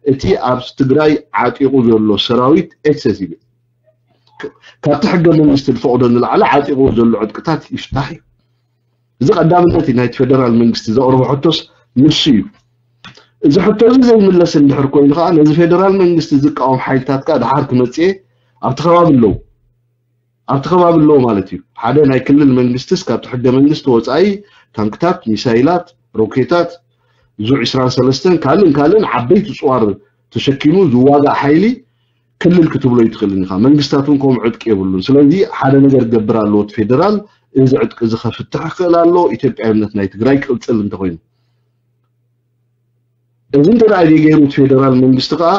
እቲ ኣብ ትግራይ ዓጢቑ ዘሎ ሰራዊት ኤክሰሲቭ ካብቲ ሕገ መንግስቲ ዝፈቕዶ ንላዕሊ ዓጢቑ ዘሎ ዕጥቅታት ይፍታሕ እዩ። እዚ ቀዳምነት እዩ ናይቲ ፌደራል መንግስቲ ዘቕርቦ ሕቶስ ንሱ እዩ። እዚ ሕቶ እዚ ዘይምለስ እንድሕር ኮይኑ ከዓ ነዚ ፌደራል መንግስቲ ዝቃወም ሓይልታት ከዓ ድሓር ክመፅኤ ኣብቲ ከባቢ ኣለዉ ኣብቲ ከባቢ ኣለዉ ማለት እዩ። ሓደ ናይ ክልል መንግስትስ ካብቲ ሕገ መንግስቲ ወፃኢ ታንክታት፣ ሚሳይላት፣ ሮኬታት፣ ዙ ዕስራን ሰለስተን ካልእን ካልእን ዓበይቲ ፅዋር ተሸኪሙ ዝዋጋእ ሓይሊ ክልል ክትብሎ ይትኽእልን ኢኻ። መንግስታት እውን ከምኡ ዕጥቂ የብሉን። ስለዚ ሓደ ነገር ክገብር ኣለዎ እቲ ፌደራል፣ እዚ ዕጥቂ እዚ ከፍትሕ ክኽእል ኣለዎ ኢትዮጵያዊነት ናይ ትግራይ ክቕፅል እንተኾይኑ። እዚ እንተ ደኣ ገይሩ እቲ ፌደራል መንግስቲ ከዓ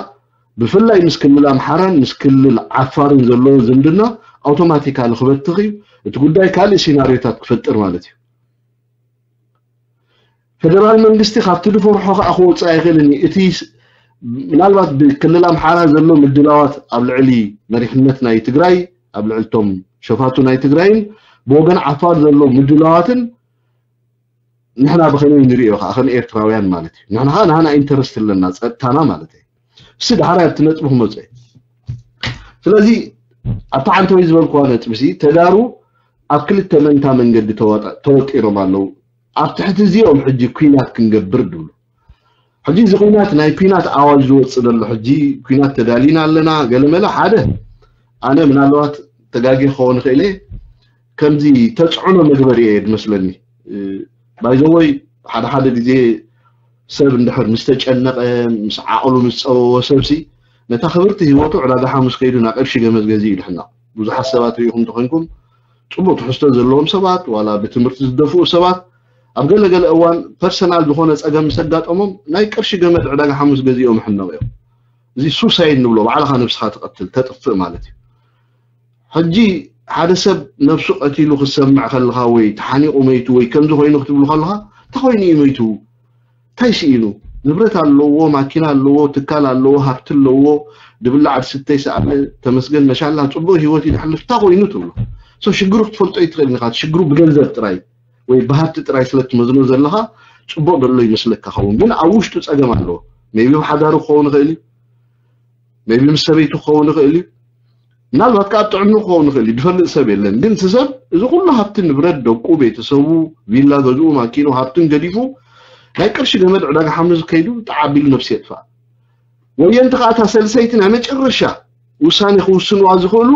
ብፍላይ ምስ ክልል ኣምሓራን ምስ ክልል ዓፋርን ዘለዎ ዝምድና ኣውቶማቲካሊ ክበትኽ እዩ። እቲ ጉዳይ ካልእ ሲናሪዮታት ክፈጥር ማለት እዩ። ፌደራል መንግስቲ ካብቲ ዝፈርሖ ከዓ ክወፅእ ኣይኽእልን እዩ። እቲ ምናልባት ብክልል ኣምሓራ ዘሎ ምድላዋት ኣብ ልዕሊ መሪሕነት ናይ ትግራይ ኣብ ልዕልቶም ሸፋቱ ናይ ትግራይን ብወገን ዓፋር ዘሎ ምድላዋትን ንሕና ብኸመይ ንሪኦ ከዓ ከም ኤርትራውያን ማለት እዩ። ንሕና ከዓ ናህና ኢንተረስት ኣለና ጸጥታና ማለት እዩ። እሱ ዳሕራይ ኣብቲ ነጥቢ ክመፅእ እዩ። ስለዚ ኣብቲ ዓንተወይ ዝበልክዋ ነጥቢ ሲ ተጋሩ ኣብ ክልተ መንታ መንገዲ ተወጢሮም ኣለዉ። ኣብ ትሕቲ እዚኦም ሕጂ ኩናት ክንገብር ድብሉ። ሕጂ እዚ ኩናት ናይ ኩናት ኣዋጅ ዝወፅእ ዘሎ ሕጂ ኩናት ተዳሊና ኣለና ገለመለ ሓደ ኣነ ምናልባት ተጋጊ ክኸውን ክእል ከምዚ ተፅዕኖ መግበሪ እየ ዝመስለኒ። ባይዘወይ ሓደ ሓደ ግዜ ሰብ እንድሕር ምስ ተጨነቐ ምስ ዓቕሉ ምስ ፀበቦ ሰብሲ ነታ ክብርቲ ህይወቱ ዕዳጋ ሓሙስ ከይዱ ናብ ቅርሺ ገመት ገዚኡ ይድሕና። ብዙሓት ሰባት ርኢኹም እንተኾይንኩም ፅቡቅ ትሕዝቶ ዘለዎም ሰባት ዋላ ብትምህርቲ ዝደፍኡ ሰባት ኣብ ገለገለ እዋን ፐርሰናል ዝኾነ ፀገም ምስ ኣጋጠሞም ናይ ቅርሺ ገመድ ዕዳጋ ሓሙስ ገዚኦም ይሕነቑ እዮም። እዚ ሱሳይድ ንብሎ ባዕልኻ ነብስኻ ትቐትል ተጥፍእ ማለት እዩ። ሕጂ ሓደ ሰብ ነብሱ ቀቲሉ ክትሰምዕ ከለኻ ወይ ተሓኒቑ መይቱ ወይ ከምዚ ኮይኑ ክትብሉ ከለኻ እንታይ ኮይኑ እዩ መይቱ? እንታይ ስኢኑ? ንብረት ኣለዎ፣ ማኪና ኣለዎ፣ ትካል ኣለዎ፣ ሃብቲ ኣለዎ፣ ድብላዕ ድስተ ይሰኣነ፣ ተመስገን መሻላ፣ ጽቡቕ ህይወት እዩ ዝሓልፍ፣ እንታይ ኮይኑ ትብሎ? ሶ ሽግሩ ክትፈልጦ ኣይትኽእልን ኢኻ። ሽግሩ ብገንዘብ ጥራይ ወይ ብሃብቲ ጥራይ ስለ ትመዝኖ ዘለኻ ጽቡቕ ደሎ ይመስለካ ኸውን፣ ግን ኣብ ውሽጡ ጸገም ኣለዎ። ሜይቢ ብሓዳሩ ክኸውን ይኽእል እዩ፣ ሜይቢ ምስ ሰበይቱ ክኸውን ይኽእል እዩ፣ ምናልባት ከዓ ኣብ ጥዕኑ ክኸውን ይኽእል እዩ፣ ዝፈልጥ ሰብ የለን። ግን እቲ ሰብ እዚ ኩሉ ሃብቲ ንብረት ደቁ፣ ቤተሰቡ፣ ቪላ ገዝኡ፣ ማኪኑ፣ ሃብቱን ገዲፉ ናይ ቅርሺ ገመድ ዕዳጋ ሓሙስ ከይዱ ጣዕ ኣቢሉ ነብሲ የጥፋእ። ወየንቲ ከዓ እታ ሰልሰይቲ ናይ መጨረሻ ውሳኔ ክውስንዋ ዝኽእሉ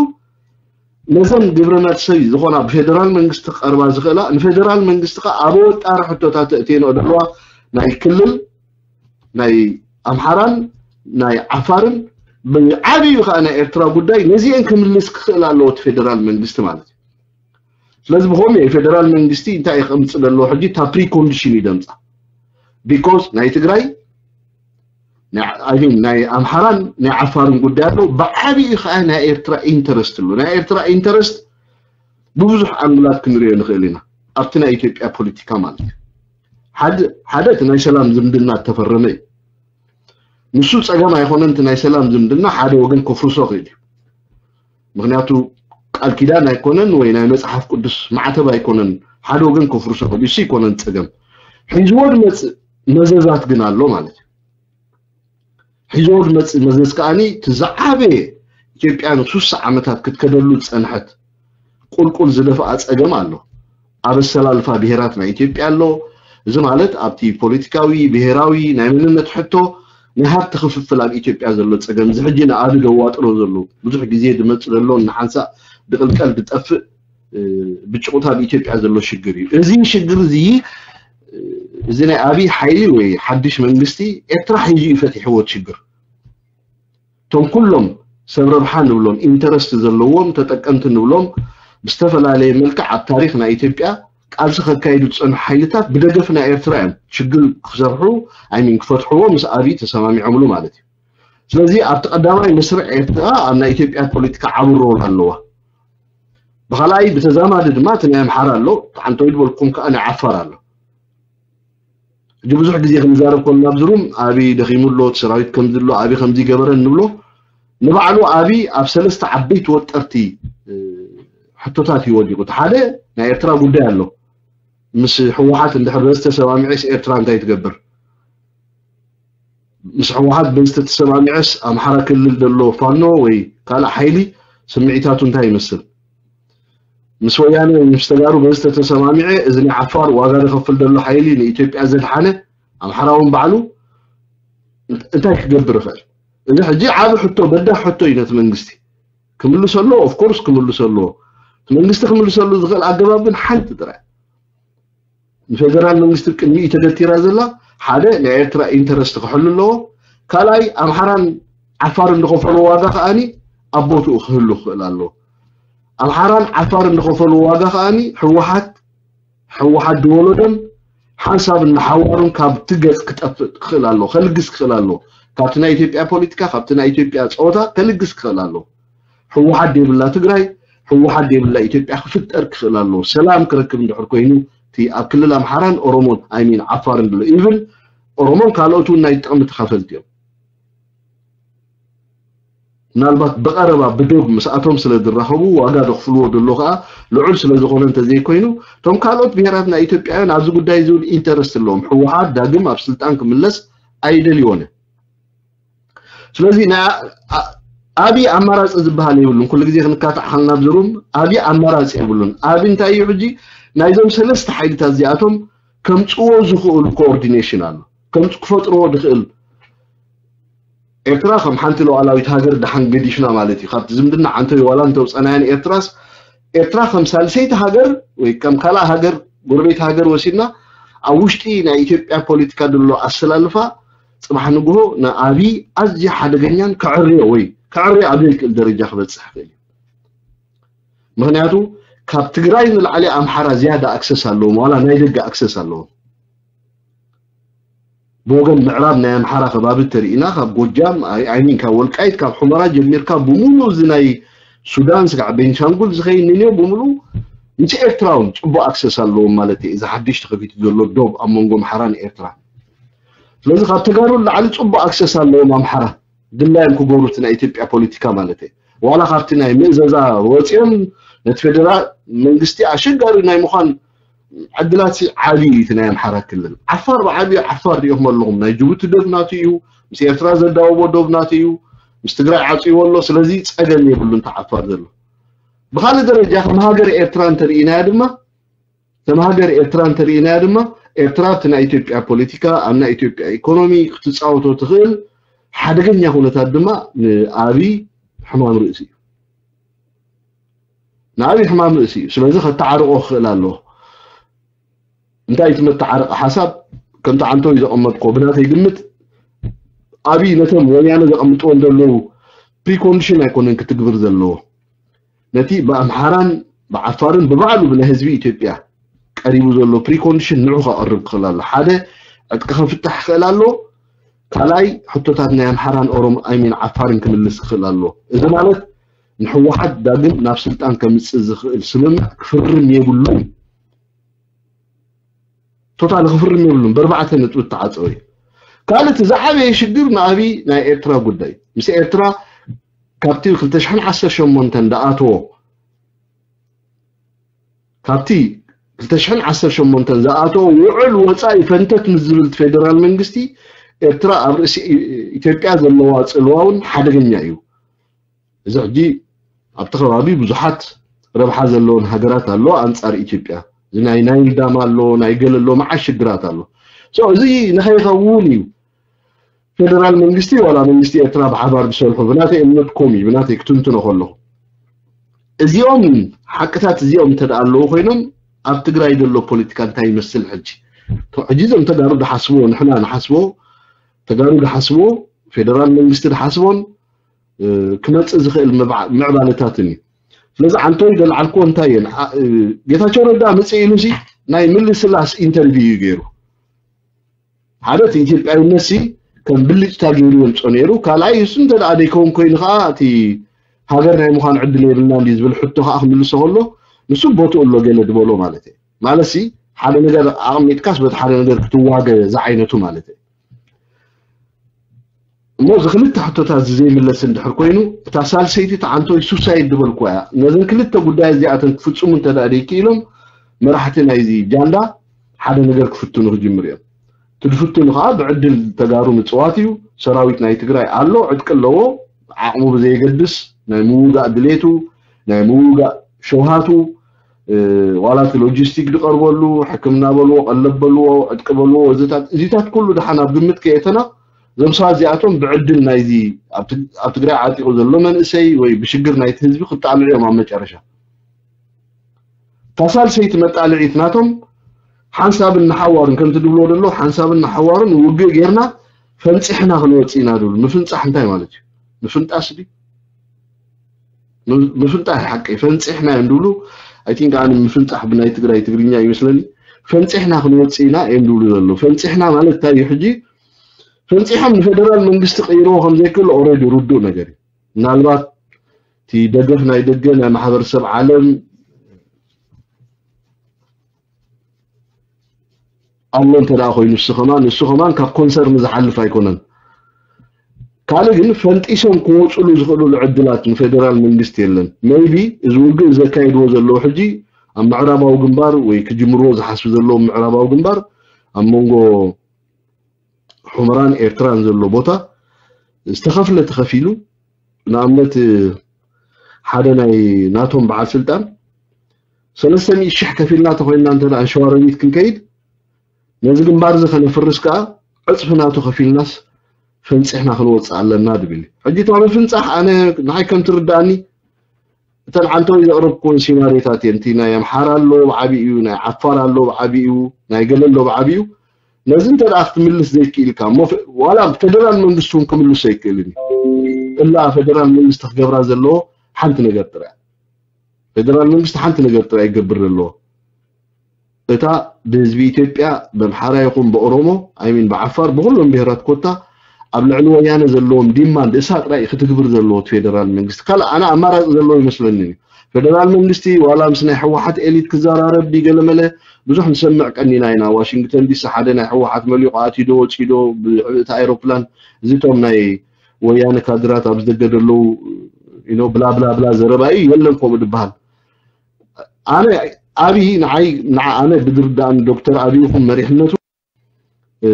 ነዘን ግብረ መልሲ ዝኾና ብፌደራል መንግስቲ ክቐርባ ዝኽእላ ንፌደራል መንግስቲ ከዓ ኣብ ወጣሪ ሕቶታት ተእትየንኦ ዘለዋ ናይ ክልል ናይ ኣምሓራን ናይ ዓፋርን ብዓብዩ ከዓ ናይ ኤርትራ ጉዳይ ነዚአን ክምልስ ክኽእል ኣለዎ እቲ ፌደራል መንግስቲ ማለት እዩ። ስለዚ ብኸምኡ የፌደራል መንግስቲ እንታይ እዩ ከምፅእ ዘለዎ ሕጂ እታ ፕሪኮንዲሽን እዩ ደምፃ ቢኮዝ ናይ ትግራይ ናይ ኣምሓራን ናይ ዓፋርን ጉዳይ ኣለዉ ብዓብኡ ከዓ ናይ ኤርትራ ኢንተረስት ኣሎ ናይ ኤርትራ ኢንተረስት ብብዙሕ ኣንግላት ክንሪኦ ንኽእል ኢና ኣብቲ ናይ ኢትዮጵያ ፖለቲካ ማለት እዩ ሓደ እቲ ናይ ሰላም ዝምድና እተፈረመ እዩ ንሱ ፀገም ኣይኮነን እቲ ናይ ሰላም ዝምድና ሓደ ወገን ከፍርሶ ክእል እዩ ምክንያቱ ቃል ኪዳን ኣይኮነን ወይ ናይ መፅሓፍ ቅዱስ ማዕተብ ኣይኮነን ሓደ ወገን ከፍርሶ ክእል እዩ እሱ ኣይኮነን ፀገም ሒዝዎ ዝመፅእ መዘዛት ግን ኣሎ ማለት እዩ ሒዝዎ ዝመፅእ መዘዝ ከዓኒ እቲ ዝዓበየ ኢትዮጵያ ንሱሳ ዓመታት ክትከደሉ ዝፀንሐት ቁልቁል ዝደፍኣ ፀገም ኣሎ ኣብ ኣሰላልፋ ብሄራት ናይ ኢትዮጵያ ኣሎ እዚ ማለት ኣብቲ ፖለቲካዊ ብሄራዊ ናይ መንነት ሕቶ ናይ ሃብቲ ክፍፍል ኣብ ኢትዮጵያ ዘሎ ፀገም እዚ ሕጂ ንኣቢ ዘዋጥሮ ዘሎ ብዙሕ ግዜ ዝመፅ ዘሎ ንሓንሳእ ብቅልቀል ዝጠፍእ ብጭቁት ኣብ ኢትዮጵያ ዘሎ ሽግር እዩ እዚ ሽግር እዚ እዚ ናይ ኣብይ ሓይሊ ወይ ሓድሽ መንግስቲ ኤርትራ ሒዙ እዩ ፈቲሕዎ እቲ ሽግር እቶም ኩሎም ሰብ ረብሓ ንብሎም ኢንተረስት ዘለዎም ተጠቀምቲ ንብሎም ብዝተፈላለየ መልክዕ ኣብ ታሪክ ናይ ኢትዮጵያ ቃልሲ ከካይዱ ዝፀንሑ ሓይልታት ብደገፍ ናይ ኤርትራ እዮም ሽግር ክሰርሑ ኣይሚን ክፈትሕዎ ምስ ኣብይ ተሰማሚዖምሉ ማለት እዩ ስለዚ ኣብቲ ቀዳማይ መስርዕ ኤርትራ ኣብ ናይ ኢትዮጵያ ፖለቲካ ዓቢ ሮል ኣለዋ ብኻልኣይ ብተዛማዲ ድማ እቲ ናይ ኣምሓራ ኣሎ ተዓንተው ዝበልኩም ከዓ ናይ ዓፋር ኣሎ ሕጂ ብዙሕ ግዜ ክንዛረብ ከለና ኣብዚ ሩም ኣበይ ደኺሙ ኣሎ እቲ ሰራዊት ከምዚ ኣሎ ኣበይ ከምዚ ገበረ ንብሎ ንባዕሉ ኣብይ ኣብ ሰለስተ ዓበይቲ ወጠርቲ ሕቶታት እዩ ወዲቑ። እቲ ሓደ ናይ ኤርትራ ጉዳይ ኣሎ። ምስ ህወሓት እንድሕር በዚ ተሰማሚዐስ ኤርትራ እንታይ ትገብር? ምስ ህወሓት በዚ ተተሰማሚዐስ ኣምሓራ ክልል ዘሎ ፋኖ ወይ ካልእ ሓይሊ ስምዒታቱ እንታይ ይመስል? ምስ ወያነ ምስ ተጋሩ በዚ ተተሰማሚዐ እዚ ናይ ዓፋር ዋጋ ዝኸፍል ዘሎ ሓይሊ ንኢትዮጵያ ዘድሓነ ኣምሓራ እውን ባዕሉ እንታይ ክገብር ይኽእል? እዚ ሕጂ ዓቢ ሕቶ በዳህ ሕቶ እዩ ነቲ መንግስቲ ክምልሰ ኣለዎ። ኦፍኮርስ ክምልሰ ኣለዎ። እቲ መንግስቲ ክምልሰሉ ዝኽእል ኣገባብ ግን ሓንቲ ጥራይ ንፌደራል መንግስቲ ቅድሚኡ ተገቲራ ዘላ ሓደ ናይ ኤርትራ ኢንተረስት ክሕሉ ኣለዎ። ካልኣይ ኣምሓራን ዓፋርን ዝኸፈሉ ዋጋ ከኣኒ ኣብ ቦትኡ ክህሉ ክኽእል ኣለዎ። ኣምሓራን ዓፋርን ዝኸፈሉ ዋጋ ከኣኒ ህወሓት ህወሓት ዝወለዶን ሓንሳብ እናሓዋሩን ካብቲ ገጽ ክጠፍእ ክኽእል ኣለዎ፣ ከልግስ ክኽእል ኣለዎ። ካብቲ ናይ ኢትዮጵያ ፖለቲካ ካብቲ ናይ ኢትዮጵያ ጸወታ ከልግስ ክኽእል ኣለዎ። ህወሓት ዘይብላ ትግራይ ህወሓት ዘይብላ ኢትዮጵያ ክፍጠር ክኽእል ኣለዎ። ሰላም ክረክብ እንድሕር ኮይኑ እቲ ኣብ ክልል ኣምሓራን ኦሮሞን ኣይሚን ዓፋርን ብሎ ኢቭን ኦሮሞን ካልኦት እውን ናይ ጥቕሚ ተኻፈልቲ እዮም። ምናልባት ብቐረባ ብዶብ ምስኣቶም ስለ ዝራኸቡ ዋጋ ዘኽፍልዎ ዘሎ ከዓ ልዑል ስለ ዝኾነ እንተዘይኮይኑ እቶም ካልኦት ብሄራት ናይ ኢትዮጵያውያን ኣብዚ ጉዳይ እዚ እውን ኢንተረስት ኣለዎም። ህወሓት ዳግም ኣብ ስልጣን ክምለስ ኣይደልይዎን። ስለዚ ኣብይ ኣማራፂ ዝበሃል የብሉን። ኩሉ ግዜ ክንካታዕ ከልና ብዝሩም ኣብይ ኣማራፂ የብሉን። ኣብይ እንታይ እዩ ሕጂ ናይዞም ሰለስተ ሓይልታት እዚኣቶም ከምፅዎ ዝኽእሉ ኮኦርዲኔሽን ኣሎ። ከም ክፈጥርዎ ዝኽእል ኤርትራ ከም ሓንቲ ሉዓላዊት ሃገር ደሓን ገዲፍና ማለት እዩ። ካብቲ ዝምድና ዓንተይ ዋላ እንተውፀናያን ኤርትራስ ኤርትራ ከም ሳልሰይቲ ሃገር ወይ ከም ካልእ ሃገር ጎረቤት ሃገር ወሲድና ኣብ ውሽጢ ናይ ኢትዮጵያ ፖለቲካ ዘሎ ኣሰላልፋ ፅባሕ ንግሆ ንኣብይ ኣዝዩ ሓደገኛን ከዕርዮ ወይ ከዕርዮ ኣብ ዘይክእል ደረጃ ክበፅሕ ይኽእል እዩ። ምክንያቱ ካብ ትግራይ ንላዕሊ ኣምሓራ ዝያዳ ኣክሰስ ኣለዎም፣ ዋላ ናይ ደገ ኣክሰስ ኣለዎም። ብወገን ምዕራብ ናይ ኣምሓራ ከባቢ ተሪኢና ካብ ጎጃም ኣይሚን ካብ ወልቃይት ካብ ሑመራ ጀሚርካ ብምሉእ እዚ ናይ ሱዳን ስጋዕ ቤንሻንጉል ዝኸይድ ንንዮ ብምሉእ ምስ ኤርትራ እውን ፅቡቅ ኣክሰስ ኣለዎም ማለት እዩ። እዚ ሓድሽ ተኸፊቱ ዘሎ ዶብ ኣብ መንጎ ኣምሓራን ኤርትራ ስለዚ ካብ ተጋሩ ንላዕሊ ፅቡቅ ኣክሰስ ኣለዎም ኣምሓራ ድላዮም ክገብሩ እቲ ናይ ኢትዮጵያ ፖለቲካ ማለት እዩ። ዋላ ካብቲ ናይ ምእዘዛ ወፂኦም ነቲ ፌደራል መንግስቲ ኣሸጋሪ ናይ ምዃን ዕድላት ዓብዪ እዩ እቲ ናይ ኣምሓራ ክልል። ዓፋር ብዓብዩ ዓፋር ሪኢኹም ኣለኹም። ናይ ጅቡቲ ዶብ ናቱ እዩ፣ ምስ ኤርትራ ዘዳወቦ ዶብ ናቱ እዩ፣ ምስ ትግራይ ዓፅይዎ ኣሎ። ስለዚ ፀገም የብሉ እንተ ዓፋር ዘሎ። ብካልእ ደረጃ ከም ሃገር ኤርትራ እንተርኢናያ ድማ ከም ሃገር ኤርትራ እንተርኢናያ ድማ ኤርትራ ኣብቲ ናይ ኢትዮጵያ ፖለቲካ ኣብ ናይ ኢትዮጵያ ኢኮኖሚ ክትፃወቶ ትኽእል ሓደገኛ ኩነታት ድማ ንኣብይ ሕማም ርእሲ እዩ። ንኣብይ ሕማም ርእሲ እዩ። ስለዚ ከተዓርቆ ክኽእል ኣለዎ። እንታይ እቲ መተዓረቂ ሓሳብ ከምቲ ዓንቶይ ዘቐመጥኮ ብናተይ ግምት ኣብይ ነቶም ወያነ ዘቐምጥዎም ዘለዉ ፕሪኮንዲሽን ኣይኮነን ክትግብር ዘለዎ ነቲ ብኣምሓራን ብዓፋርን ብባዕሉ ብናይ ህዝቢ ኢትዮጵያ ቀሪቡ ዘሎ ፕሪኮንዲሽን ንዑ ከቕርብ ክኽእል ኣሎ ሓደ ዕጥቂ ከፍታሕ ክኽእል ኣሎ ካልኣይ ሕቶታት ናይ ኣምሓራን ኦሮም ኣይሚን ዓፋርን ክምልስ ክኽእል ኣሎ እዚ ማለት ንሕወሓት ዳግም ናብ ስልጣን ከምፅእ ዝኽእል ስምምዕ ክፍርም የብሉን ቶታል ክፍርም የብሉን በርባዕተ ነጥቢ ተዓፀወ እዩ ካልእ እቲ ዝዓበየ ሽግር ንኣብይ ናይ ኤርትራ ጉዳይ ምስ ኤርትራ ካብቲ ክልተ ሽሕን ዓሰርተ ሸሞንተን ዝኣተዎ ካብቲ ክልተ ሽሕን ዓሰርተ ሸሞንተን ዝኣተዎ ውዕል ወፃኢ ፈንተት ምስ ዝብል ፌደራል መንግስቲ ኤርትራ ኣብ ርእሲ ኢትዮጵያ ዘለዋ ፅልዋ እውን ሓደገኛ እዩ እዚ ሕጂ ኣብቲ ከባቢ ብዙሓት ረብሓ ዘለዎን ሃገራት ኣለዋ ኣንፃር ኢትዮጵያ እዚ ናይ ናይል ዳም ኣሎ ናይ ገለ ኣሎ መዓት ሽግራት ኣሎ so እዚ ንኸይኸውን እዩ ፌደራል መንግስቲ ዋላ መንግስቲ ኤርትራ ብሓባር ዝሰርሑ ብናተይ እምነት ኮም እዩ ብናተይ ክትንትኖ ከለኹ እዚኦም ሓቅታት እዚኦም እንተ ኣለዉ ኮይኖም ኣብ ትግራይ ዘሎ ፖለቲካ እንታይ ይመስል ሕጂ ሕጂ እዞም ተጋሩ ዝሓስብዎ ንሕና ንሓስቦ ተጋሩ ዝሓስብዎ ፌደራል መንግስቲ ዝሓስቦን ክመፅእ ዝኽእል ምዕባለታትን እዩ ስለዚ ዓንቶይ ዘልዓልክዎ እንታይ እየን ጌታቸው ረዳ ምፅእ ኢሉ ሲ ናይ ምልስላስ ኢንተርቪው እዩ ገይሩ ሓደ እቲ ኢትዮጵያዊነት ሲ ከም ብልጭታ ገይሩ የምፆ ነይሩ ካልኣይ እሱ እንተ ደኣ ደይከውን ኮይኑ ከዓ እቲ ሃገር ናይ ምዃን ዕድል የብልናን ድዩ ዝብል ሕቶ ከዓ ክምልሶ ከሎ ንሱ ቦትኡ ኣሎ ገለ ዝበሎ ማለት እዩ ማለት ሲ ሓደ ነገር ኣቕሚጥካስ በቲ ሓደ ነገር ክትዋገ ዝዓይነቱ ማለት እዩ እሞ እዚ ክልተ ሕቶታት እዚ ዘይምለስ እንድሕር ኮይኑ፣ እታ ሳልሰይቲ ተዓንቶይ ሱሳይድ ዝበልኩዋ እያ። ነዘን ክልተ ጉዳይ እዚኣተን ክፍፅሙ እንተ ደኣ ደይክኢሎም፣ መራሕቲ ናይዚ ጃንዳ ሓደ ነገር ክፍትኑ ክጅምሩ እዮም። እቲ ዝፍትኑ ከዓ ብዕድል ተጋሩ ምፅዋት እዩ። ሰራዊት ናይ ትግራይ ኣሎ፣ ዕጥቂ ኣለዎ። ዓቕሙ ብዘየገድስ ናይ ምውጋእ ድሌቱ፣ ናይ ምውጋእ ሸውሃቱ፣ ዋላ እቲ ሎጂስቲክ ዝቐርበሉ፣ ሕክምና በልዎ፣ ቀለብ በልዎ፣ ዕጥቂ በልዎ፣ ወዘታት፣ እዚታት ኩሉ ደሓን ኣብ ግምት ከየእተና፣ እዞም ሰባት እዚኣቶም ብዕድል ናይዚ ኣብ ትግ-፣ ኣብ ትግራይ ዓጢቑ ዘሎ መንእሰይ ወይ ብሽግር ናይቲ ህዝቢ ክጣልዑ እዮም ኣብ መጨረሻ። እታ ሳልሰይቲ መጣልዒት ናቶም ሓንሳብን ንሓዋሩን፣ ከምቲ ድብልዎ ዘሎ ሓንሳብን ንሓዋሩን ውግእ ጌርና ፈንፂሕና ክንወፅእ ኢና ዝብሉ። ምፍንፃሕ እንታይ ማለት እዩ? ምፍንጣስ ድዩ? ም-፣ ምፍንጣሕ ሓቂ ፈንፂሕና እዮም ዝብሉ። ኣይ ቲንክ ኣነ ምፍንፃሕ ብናይ ትግራይ ትግርኛ ይመስለኒ። ፈንፂሕና ክንወፅእ ኢና እዮም ዝብሉ ዘለዉ። ፈንፂሕና ማለት እንታይ እዩ? ሕጂ ፈንፂሖም ንፌደራል መንግስቲ ቀይርዎ ከም ዘይክእል ኦልሬዲ ርዱእ ነገር እዩ። ምናልባት እቲ ደገፍ ናይ ደገ ናይ ማሕበረሰብ ዓለም ኣሎ እንተ ደኣ ኮይኑ፣ ንሱ ከማን፣ ንሱ ከማን ካብ ኮንሰርን ዝሓልፍ ኣይኮነን። ካልእ ግን ፈንጢሶም ክወፅሉ ዝኽእሉሉ ዕድላት ንፌደራል መንግስቲ የለን። ሜይቢ እዚ ውግእ ዘካይድዎ ዘለዉ ሕጂ ኣብ ምዕራባዊ ግንባር ወይ ክጅምርዎ ዝሓስቡ ዘለዉ ምዕራባዊ ግንባር ኣብ መንጎ ሑመራን ኤርትራን ዘሎ ቦታ ዝተኸፍለ ተኸፊሉ፣ ንኣብነት ሓደ ናይ ናቶም በዓል ስልጣን ሰለስተ ሚእቲ ሽሕ ከፊልና ተኾይንና እንተ ደኣ ንሸዋሮቢት ክንከይድ ነዚ ግንባር እዚ ከነፍርስ ከኣ ዕጽፊ ናቱ ከፊልናስ ፈንጺሕና ክንወጽእ ኣለና ድብል። ሕጂ እታ ምፍንጻሕ ኣነ ንዓይ ከም ትርድኣኒ እተን ዓንተወይ ዘቕረብኩወን ሲናሪዮታት እየን። እቲ ናይ ኣምሓራ ኣሎ ብዓቢኡ፣ ናይ ዓፋር ኣሎ ብዓቢኡ፣ ናይ ገለ ኣሎ ብዓቢኡ። ነዚ እንተ ደኣ ክትምልስ ዘይክኢልካ እሞ ፌ-፣ ዋላ ፌደራል መንግስቲ እውን ክምልሶ ኣይክእልን እዩ። እላ ፌደራል መንግስቲ ክገብራ ዘለዎ ሓንቲ ነገር ጥራይ። ፌደራል መንግስቲ ሓንቲ ነገር ጥራይ ይገብር ዘለዎ። እታ ብህዝቢ ኢትዮጵያ ብኣምሓራ ይኹን ብኦሮሞ፣ ኣይሚን ብዓፋር፣ ብኹሎም ብሄራት ኮታ ኣብ ልዕሊ ወያነ ዘለዎም ዲማንድ እሳ ጥራይ ክትግብር ዘለዎ እቲ ፌደራል መንግስቲ። ካልእ ኣነ ኣማራፂ ዘለዎ ይመስለኒ እዩ። ፌደራል መንግስቲ ዋላ ምስ ናይ ህወሓት ኤሊት ክዘራረብ ድዩ ገለመለ ብዙሕ ንሰምዕ ቀኒና ኢና። ዋሽንግተን ዲሲ ሓደ ናይ ህወሓት መሊቑ ኣትዩ ዶ ወፂኡ ዶ ብእታ ኣይሮፕላን፣ እዚ እቶም ናይ ወያነ ካድራት ኣብ ዝደገ ዘለዉ ኢኖ ብላ ብላ ብላ ዘረባ እዩ። የለን ከምኡ ዝበሃል። ኣነ ኣብይ ንዓይ ንዓ-፣ ኣነ ብዝርዳእኒ ዶክተር ኣብይ ይኹን መሪሕነቱ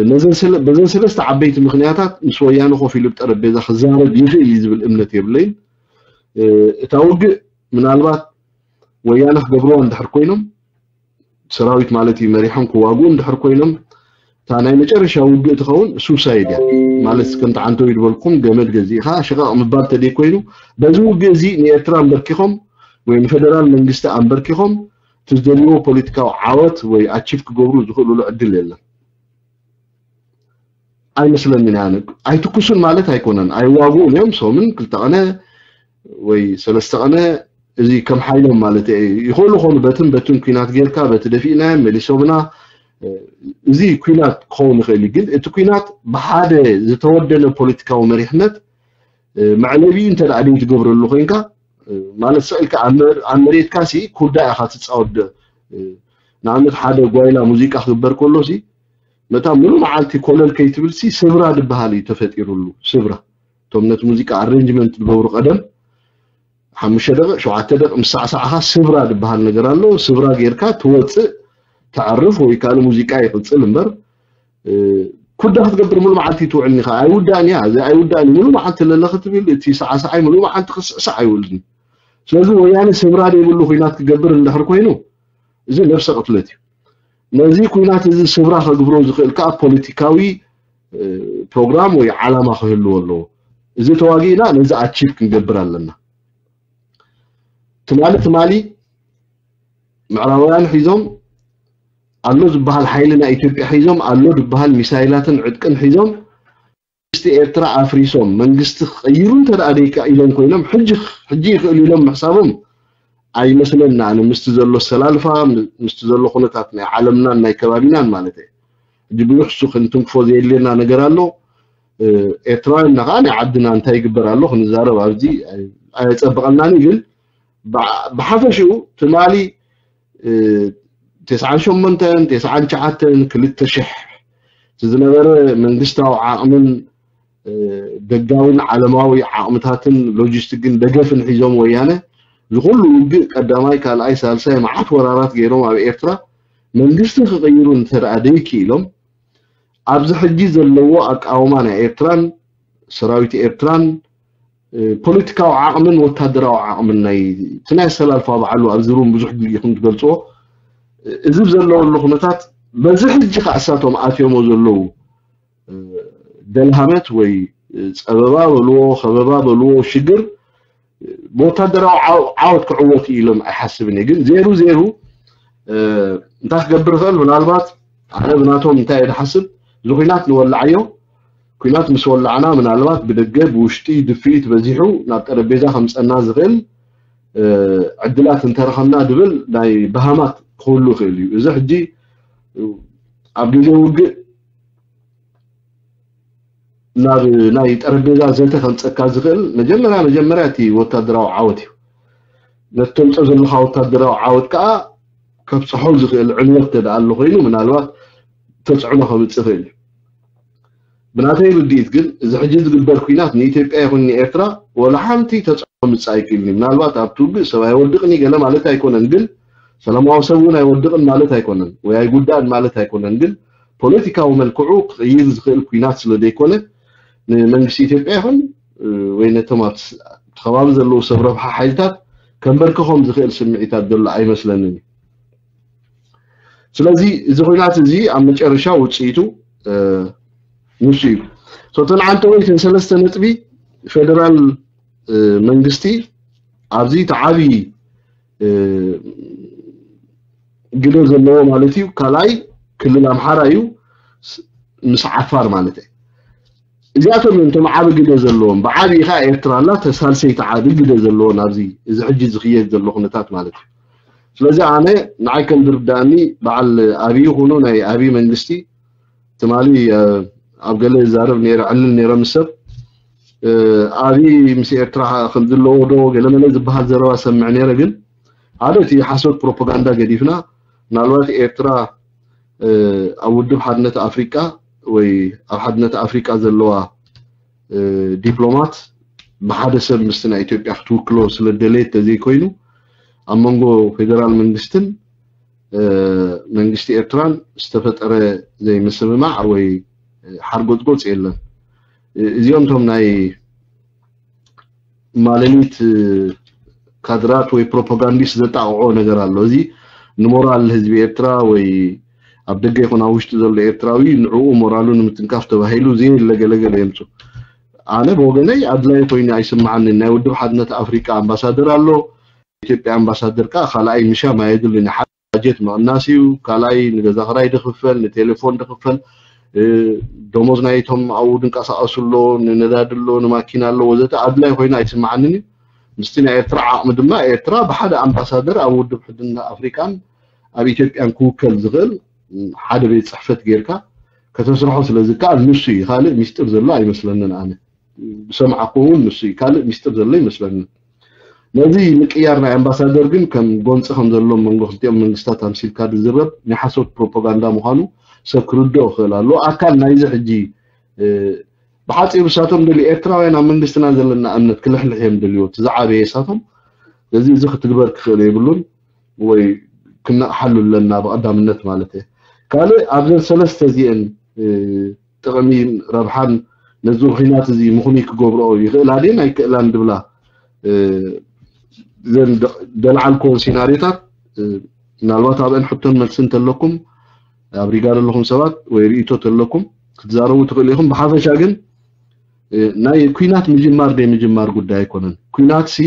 ነዘን ስለ-፣ በዘን ሰለስተ ዓበይቲ ምኽንያታት ምስ ወያነ ኮፍ ኢሉ ብጠረጴዛ ክዛረብ ይኽእል እዩ ዝብል እምነት የብለይን። እ፣ እታ ውግእ ምናልባት ወያነ ክገብርዋ እንድሕር ኮይኖም፣ ሰራዊት ማለት እዩ፣ መሪሖም ክዋግኡ እንድሕር ኮይኖም፣ እታ ናይ መጨረሻ ውግእ ትኸውን ሱሳይድ እያ። ማለት ከምቲ ዓንተው ይድበልኩም ገመድ ገዚእኻ ሽቓቕ ምባል ተደይ ኮይኑ፣ በዚ ውግእ እዚ ንኤርትራ ኣንበርኪኾም ወይ ንፌደራል መንግስቲ ኣንበርኪኾም እቲ ዝደልይዎ ፖለቲካዊ ዓወት ወይ ኣቺቭ ክገብሩ ዝኽእሉሉ ዕድል የለን። ኣይመስለንን እያ። ኣነ ኣይትኩሱን ማለት ኣይኮነን፣ ኣይዋግኡን እዮም። ሶምን ክልተ ቀነ ወይ ሰለስተ ቀነ እዚ ከም ሓይሎም ማለት እየ። ይኽእሉ ኾኑ በትን በትን ኲናት ጌርካ በቲ ደፊእናዮም መሊሶምና፣ እዚ ኲናት ክኸውን ይኽእል እዩ። ግን እቲ ኲናት ብሓደ ዝተወደነ ፖለቲካዊ መሪሕነት መዕለቢኡ እንተ ደኣ ደይ ትገብረሉ ኮይንካ፣ ማለት ስቕ ኢልካ ኣብ መ-፣ ኣብ መሬትካ ሲ ኩዳ ኢኻ ትጻወት። ንኣብነት ሓደ ጓይላ ሙዚቃ ክግበር ከሎ ሲ መታ ሙሉ መዓልቲ ኮለል ከይትብል ሲ ስብራ ዝበሃል እዩ ተፈጢሩሉ። ስብራ፣ እቶም ነቲ ሙዚቃ ኣሬንጅመንት ዝገብሩ ቀደም ሓሙሽተ ደቂቕ፣ ሸውዓተ ደቂቕ ምስ ሳዕሳዕኻ ስብራ ዝበሃል ነገር ኣሎ። ስብራ ጌርካ ትወፅእ፣ ተዕርፍ ወይ ካልእ ሙዚቃ ይቕፅል እምበር፣ እ፣ ኩዳ ክትገብር ሙሉ መዓልቲ ትውዕል ኢኻ። ኣይውዳእን እያ፣ እዚ ኣይውዳእን እዩ። ሙሉ መዓልቲ ለለ ክትብል፣ እቲ ሳዕሳዓይ ሙሉ መዓልቲ ክስዕሳዕ ኣይውዕልን። ስለዚ ወያነ ስብራ ዘይብሉ ኲናት ክገብር እንድሕር ኮይኑ፣ እዚ ነብሰ ቅትለት እዩ። ነዚ ኲናት እዚ ስብራ ከግብሮ ዝኽእል ከኣ ፖለቲካዊ፣ እ፣ ፕሮግራም ወይ ዓላማ ክህልዎ ኣለዎ። እዚ ተዋጊእና ነዚ ኣቺቭ ክንገብር ኣለና። ትማሊ ትማሊ ምዕራባውያን ሒዞም ኣሎ ዝበሃል ሓይሊ ናይ ኢትዮጵያ ሒዞም ኣሎ ዝበሃል ሚሳይላትን ዕጥቅን ሒዞም መንግስቲ ኤርትራ ኣፍሪሶም መንግስቲ ክቐይሩ እንተ ደኣ ደይካ ኢሎም ኮይኖም ሕጂ፣ ሕጂ ይኽእሉ ኢሎም ምሕሳቦም ኣይመስለና። ኣነ ምስቲ ዘሎ ኣሰላልፋ፣ ምስቲ ዘሎ ኩነታት ናይ ዓለምናን ናይ ከባቢናን ማለት እየ። ሕጂ ብዙሕ እሱ ክንትንክፎ ዘየድልየና ነገር ኣሎ። እ፣ ኤርትራውያንና ከዓ ናይ ዓድና እንታይ ይግበር ኣሎ ክንዛረብ ኣብዚ ኣይ-፣ ኣየጸብቐልናን እዩ። ግን ብዓ-፣ ብሓፈሽኡ ትማሊ፣ እ፣ ተስዓን ሸሞንተን፣ ተስዓን ትሽዓተን፣ ክልተ ሽሕ እቲ ዝነበረ መንግስታዊ ዓቕምን ደጋውን ዓለማዊ ዓቕምታትን ሎጂስቲክን ደገፍን ሒዞም ወያነ ዝኩሉ ውግእ ቀዳማይ ካልኣይ ሳልሳይ መዓት ወራራት ገይሮም ኣብ ኤርትራ መንግስቲ ክቕይሩ እንተደኣ ደይክኢሎም ኣብዚ ሕጂ ዘለዎ ኣቃውማ ናይ ኤርትራን ሰራዊት ኤርትራን ፖለቲካዊ ዓቕምን ወታደራዊ ዓቕምን ናይ እቲ ናይ ኣሰላልፋ ባዕሉ ኣብዚ ሩም ብዙሕ ግዜ ኢኹም ትገልፅዎ እዚ ዘለወሉ ኩነታት በዚ ሕጂ ከዓ እሳቶም ኣትዮሞ ዘለዉ ደልሃመት ወይ ፀበባ በልዎ ከበባ በልዎ ሽግር ብወታደራዊ ዓወት ክዕወት ኢሎም ኣይሓስብን እየ ግን ዜሩ ዜሩ እንታይ ክገብር ይኽእል ምናልባት ኣነ ብናቶም እንታይ እየ ዝሓስብ እዚ ኩናት ንወላዓዮ ኩናት ምስ ወላዕና ምናልባት ብደገ ብውሽጢ ድፍኢት በዚሑ ናብ ጠረጴዛ ከምፀና ዝኽእል ዕድላት እንተረኸብና ድብል ናይ በሃማት ክህሉ ይኽእል እዩ እዚ ሕጂ ኣብ ግዜ ውግእ ናብ ናይ ጠረጴዛ ዘተ ከምፀካ ዝኽእል መጀመርያ መጀመርያ እቲ ወታደራዊ ዓወት እዩ ነቲ ተምፀ ዘለካ ወታደራዊ ዓወት ከዓ ከብፅሖ ዝኽእል ዕንወት ተደኣ ኣሎ ኮይኑ ምናልባት ተፅዕኖ ከምፅእ ይኽእል እዩ ብናተይ ርድኢት ግን እዚ ሕጂ ዝግበር ኩናት ንኢትዮጵያ ይኹን ንኤርትራ ወላ ሓንቲ ተፅዕኖ ምፅእ ኣይክእልን እዩ ምናልባት ኣብቲ ውግእ ሰብ ኣይወድቕን እዩ ገለ ማለት ኣይኮነን ግን ሰላማዊ ሰብ እውን ኣይወድቕን ማለት ኣይኮነን ወይ ኣይጉዳእን ማለት ኣይኮነን ግን ፖለቲካዊ መልክዑ ክቕይር ዝኽእል ኩናት ስለ ዘይኮነ ንመንግስቲ ኢትዮጵያ ይኹን ወይ ነቶም ኣብቲ ከባቢ ዘለዉ ሰብ ረብሓ ሓይልታት ከንበርክኾም ዝኽእል ስምዒታት ዘሎ ኣይመስለንን እዩ ስለዚ እዚ ኩናት እዚ ኣብ መጨረሻ ውፅኢቱ ንሱ እዩ ሶተን ዓንተወይትን ሰለስተ ነጥቢ ፌደራል መንግስቲ ኣብዚ ተዓቢ ግደ ዘለዎ ማለት እዩ ካልኣይ ክልል ኣምሓራ እዩ ምስ ዓፋር ማለት እዩ እዚኣቶም እዮም እቶም ዓቢ ግደ ዘለዎም ብዓቢ ከዓ ኤርትራ ኣላ ተሳልሰይቲ ዓቢ ግደ ዘለዎን ኣብዚ እዚ ሕጂ ዝኽየድ ዘሎ ኩነታት ማለት እዩ ስለዚ ኣነ ንዓይ ከም ዝርዳእኒ በዓል ኣብይ ይኹኑ ናይ ኣብይ መንግስቲ ትማሊ ኣብ ገለ ይዛረብ ነረ ዕልል ነረ ምስ ሰብ ኣብይ ምስ ኤርትራ ከም ዝለዎ ዶ ገለመለ ዝበሃል ዘረባ ሰምዕ ነረ ግን ሓደ እቲ ሓሶት ፕሮፓጋንዳ ገዲፍና ምናልባት ኤርትራ ኣብ ውድብ ሓድነት ኣፍሪቃ ወይ ኣብ ሓድነት ኣፍሪቃ ዘለዋ ዲፕሎማት ብሓደ ሰብ ምስቲ ናይ ኢትዮጵያ ክትውክሎ ስለ ደለየት ተዘይኮይኑ ኣብ መንጎ ፌደራል መንግስትን መንግስቲ ኤርትራን ዝተፈጠረ ዘይምስምማዕ ወይ ሓርጎፅጎፅ የለን እዚኦም ቶም ናይ ማለሊት ካድራት ወይ ፕሮፓጋንዲስት ዘጣቕዖ ነገር ኣሎ እዚ ንሞራል ህዝቢ ኤርትራ ወይ ኣብ ደገ ይኹን ኣብ ውሽጢ ዘሎ ኤርትራዊ ንዕኡ ሞራሉ ንምትንካፍ ተባሂሉ ዘየለ ገለገለ የምፁ ኣነ ብወገነይ ኣድላይ ኮይኑ ኣይስምዓንን ናይ ውድብ ሓድነት ኣፍሪቃ ኣምባሳደር ኣሎ ኢትዮጵያ ኣምባሳደር ከዓ ካልኣይ ምሻም ኣየድልን ሓደ ባጀት ምቕናስ እዩ ካልኣይ ንገዛ ክራይ ድኽፈል ንቴሌፎን ድኽፈል ደሞዝ ናይቶም ኣብኡ ድንቀሳቀሱ ኣሎ ንነዳዲ ኣሎ ንማኪና ኣሎ ወዘተ ኣድላይ ኮይኑ ኣይስምዓንን እዩ ምስቲ ናይ ኤርትራ ዓቕሚ ድማ ኤርትራ ብሓደ ኣምባሳደር ኣብ ውድብ ሕድና ኣፍሪቃን ኣብ ኢትዮጵያን ክውከል ዝኽእል ሓደ ቤት ፅሕፈት ጌርካ ከተስርሖ ስለ ዝከኣል ንሱ እዩ ካልእ ሚስጥር ዘሎ ኣይመስለንን ኣነ ዝሰማዕኩ እውን ንሱ እዩ ካልእ ሚስጥር ዘሎ ይመስለኒ ነዚ ምቅያር ናይ ኣምባሳደር ግን ከም ጎንፂ ከም ዘሎ መንጎ ክልቲኦም መንግስታት ኣምሲልካ ዝዝረብ ናይ ሓሶት ፕሮፓጋንዳ ምዃኑ ሰብ ክርድኦ ክእል ኣሎ ኣካል ናይዚ ሕጂ ብሓፂሩ እሳቶም ደልዩ ኤርትራውያን ኣብ መንግስትና ዘለና እምነት ክልሕልሕ እዮም ደልዎ እቲ ዝዓበየ እሳቶም ስለዚ እዚ ክትግበር ክኽእል የብሉን ወይ ክነቕሓሉ ኣለና ብቐዳምነት ማለት እየ ካልእ ኣብዘን ሰለስተ እዚአን ጥቕሚ ረብሓን ነዚ ኩናት እዚ ምኽኑይ ክገብርኦ ይኽእላ ድየን ኣይክእላን ድብላ ዘን ደልዓልክዎን ሲናሪዮታት ምናልባት ኣብአን ሕቶን መልሲ እንተለኩም ኣብ ሪጋ ዘለኹም ሰባት ወይ ርእይቶ ተለኩም ክትዛረቡ ትኽእሉ ኢኹም ብሓፈሻ ግን ናይ ኩናት ምጅማር ደይ ምጅማር ጉዳይ ኣይኮነን ኩናት ሲ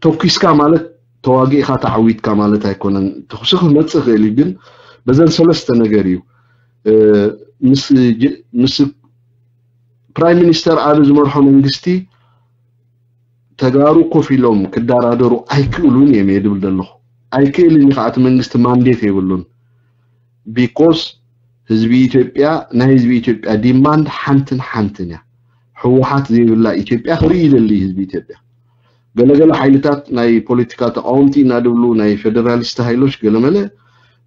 ተኩስካ ማለት ተዋጊእካ ተዓዊትካ ማለት ኣይኮነን ተኩሲ ክመፅእ ይኽእል እዩ ግን በዘን ሰለስተ ነገር እዩ ምስ ፕራይም ሚኒስተር ኣቢ ዝመርሖ መንግስቲ ተጋሩ ኮፍ ኢሎም ክደራደሩ ኣይክእሉን እዮም እየ ድብል ዘለኹ ኣይክእልን እዩ ከዓ እቲ መንግስቲ ማንዴት የብሉን because ህዝቢ ኢትዮጵያ ናይ ህዝቢ ኢትዮጵያ demand ሓንትን ሓንትን እያ ህወሓት ዘይብላ ኢትዮጵያ ክርኢ ይደሊ ህዝቢ ኢትዮጵያ ገለገለ ሓይልታት ናይ ፖለቲካ ተቃወምቲ ኢና ድብሉ ናይ ፌደራሊስት ሃይሎች ገለመለ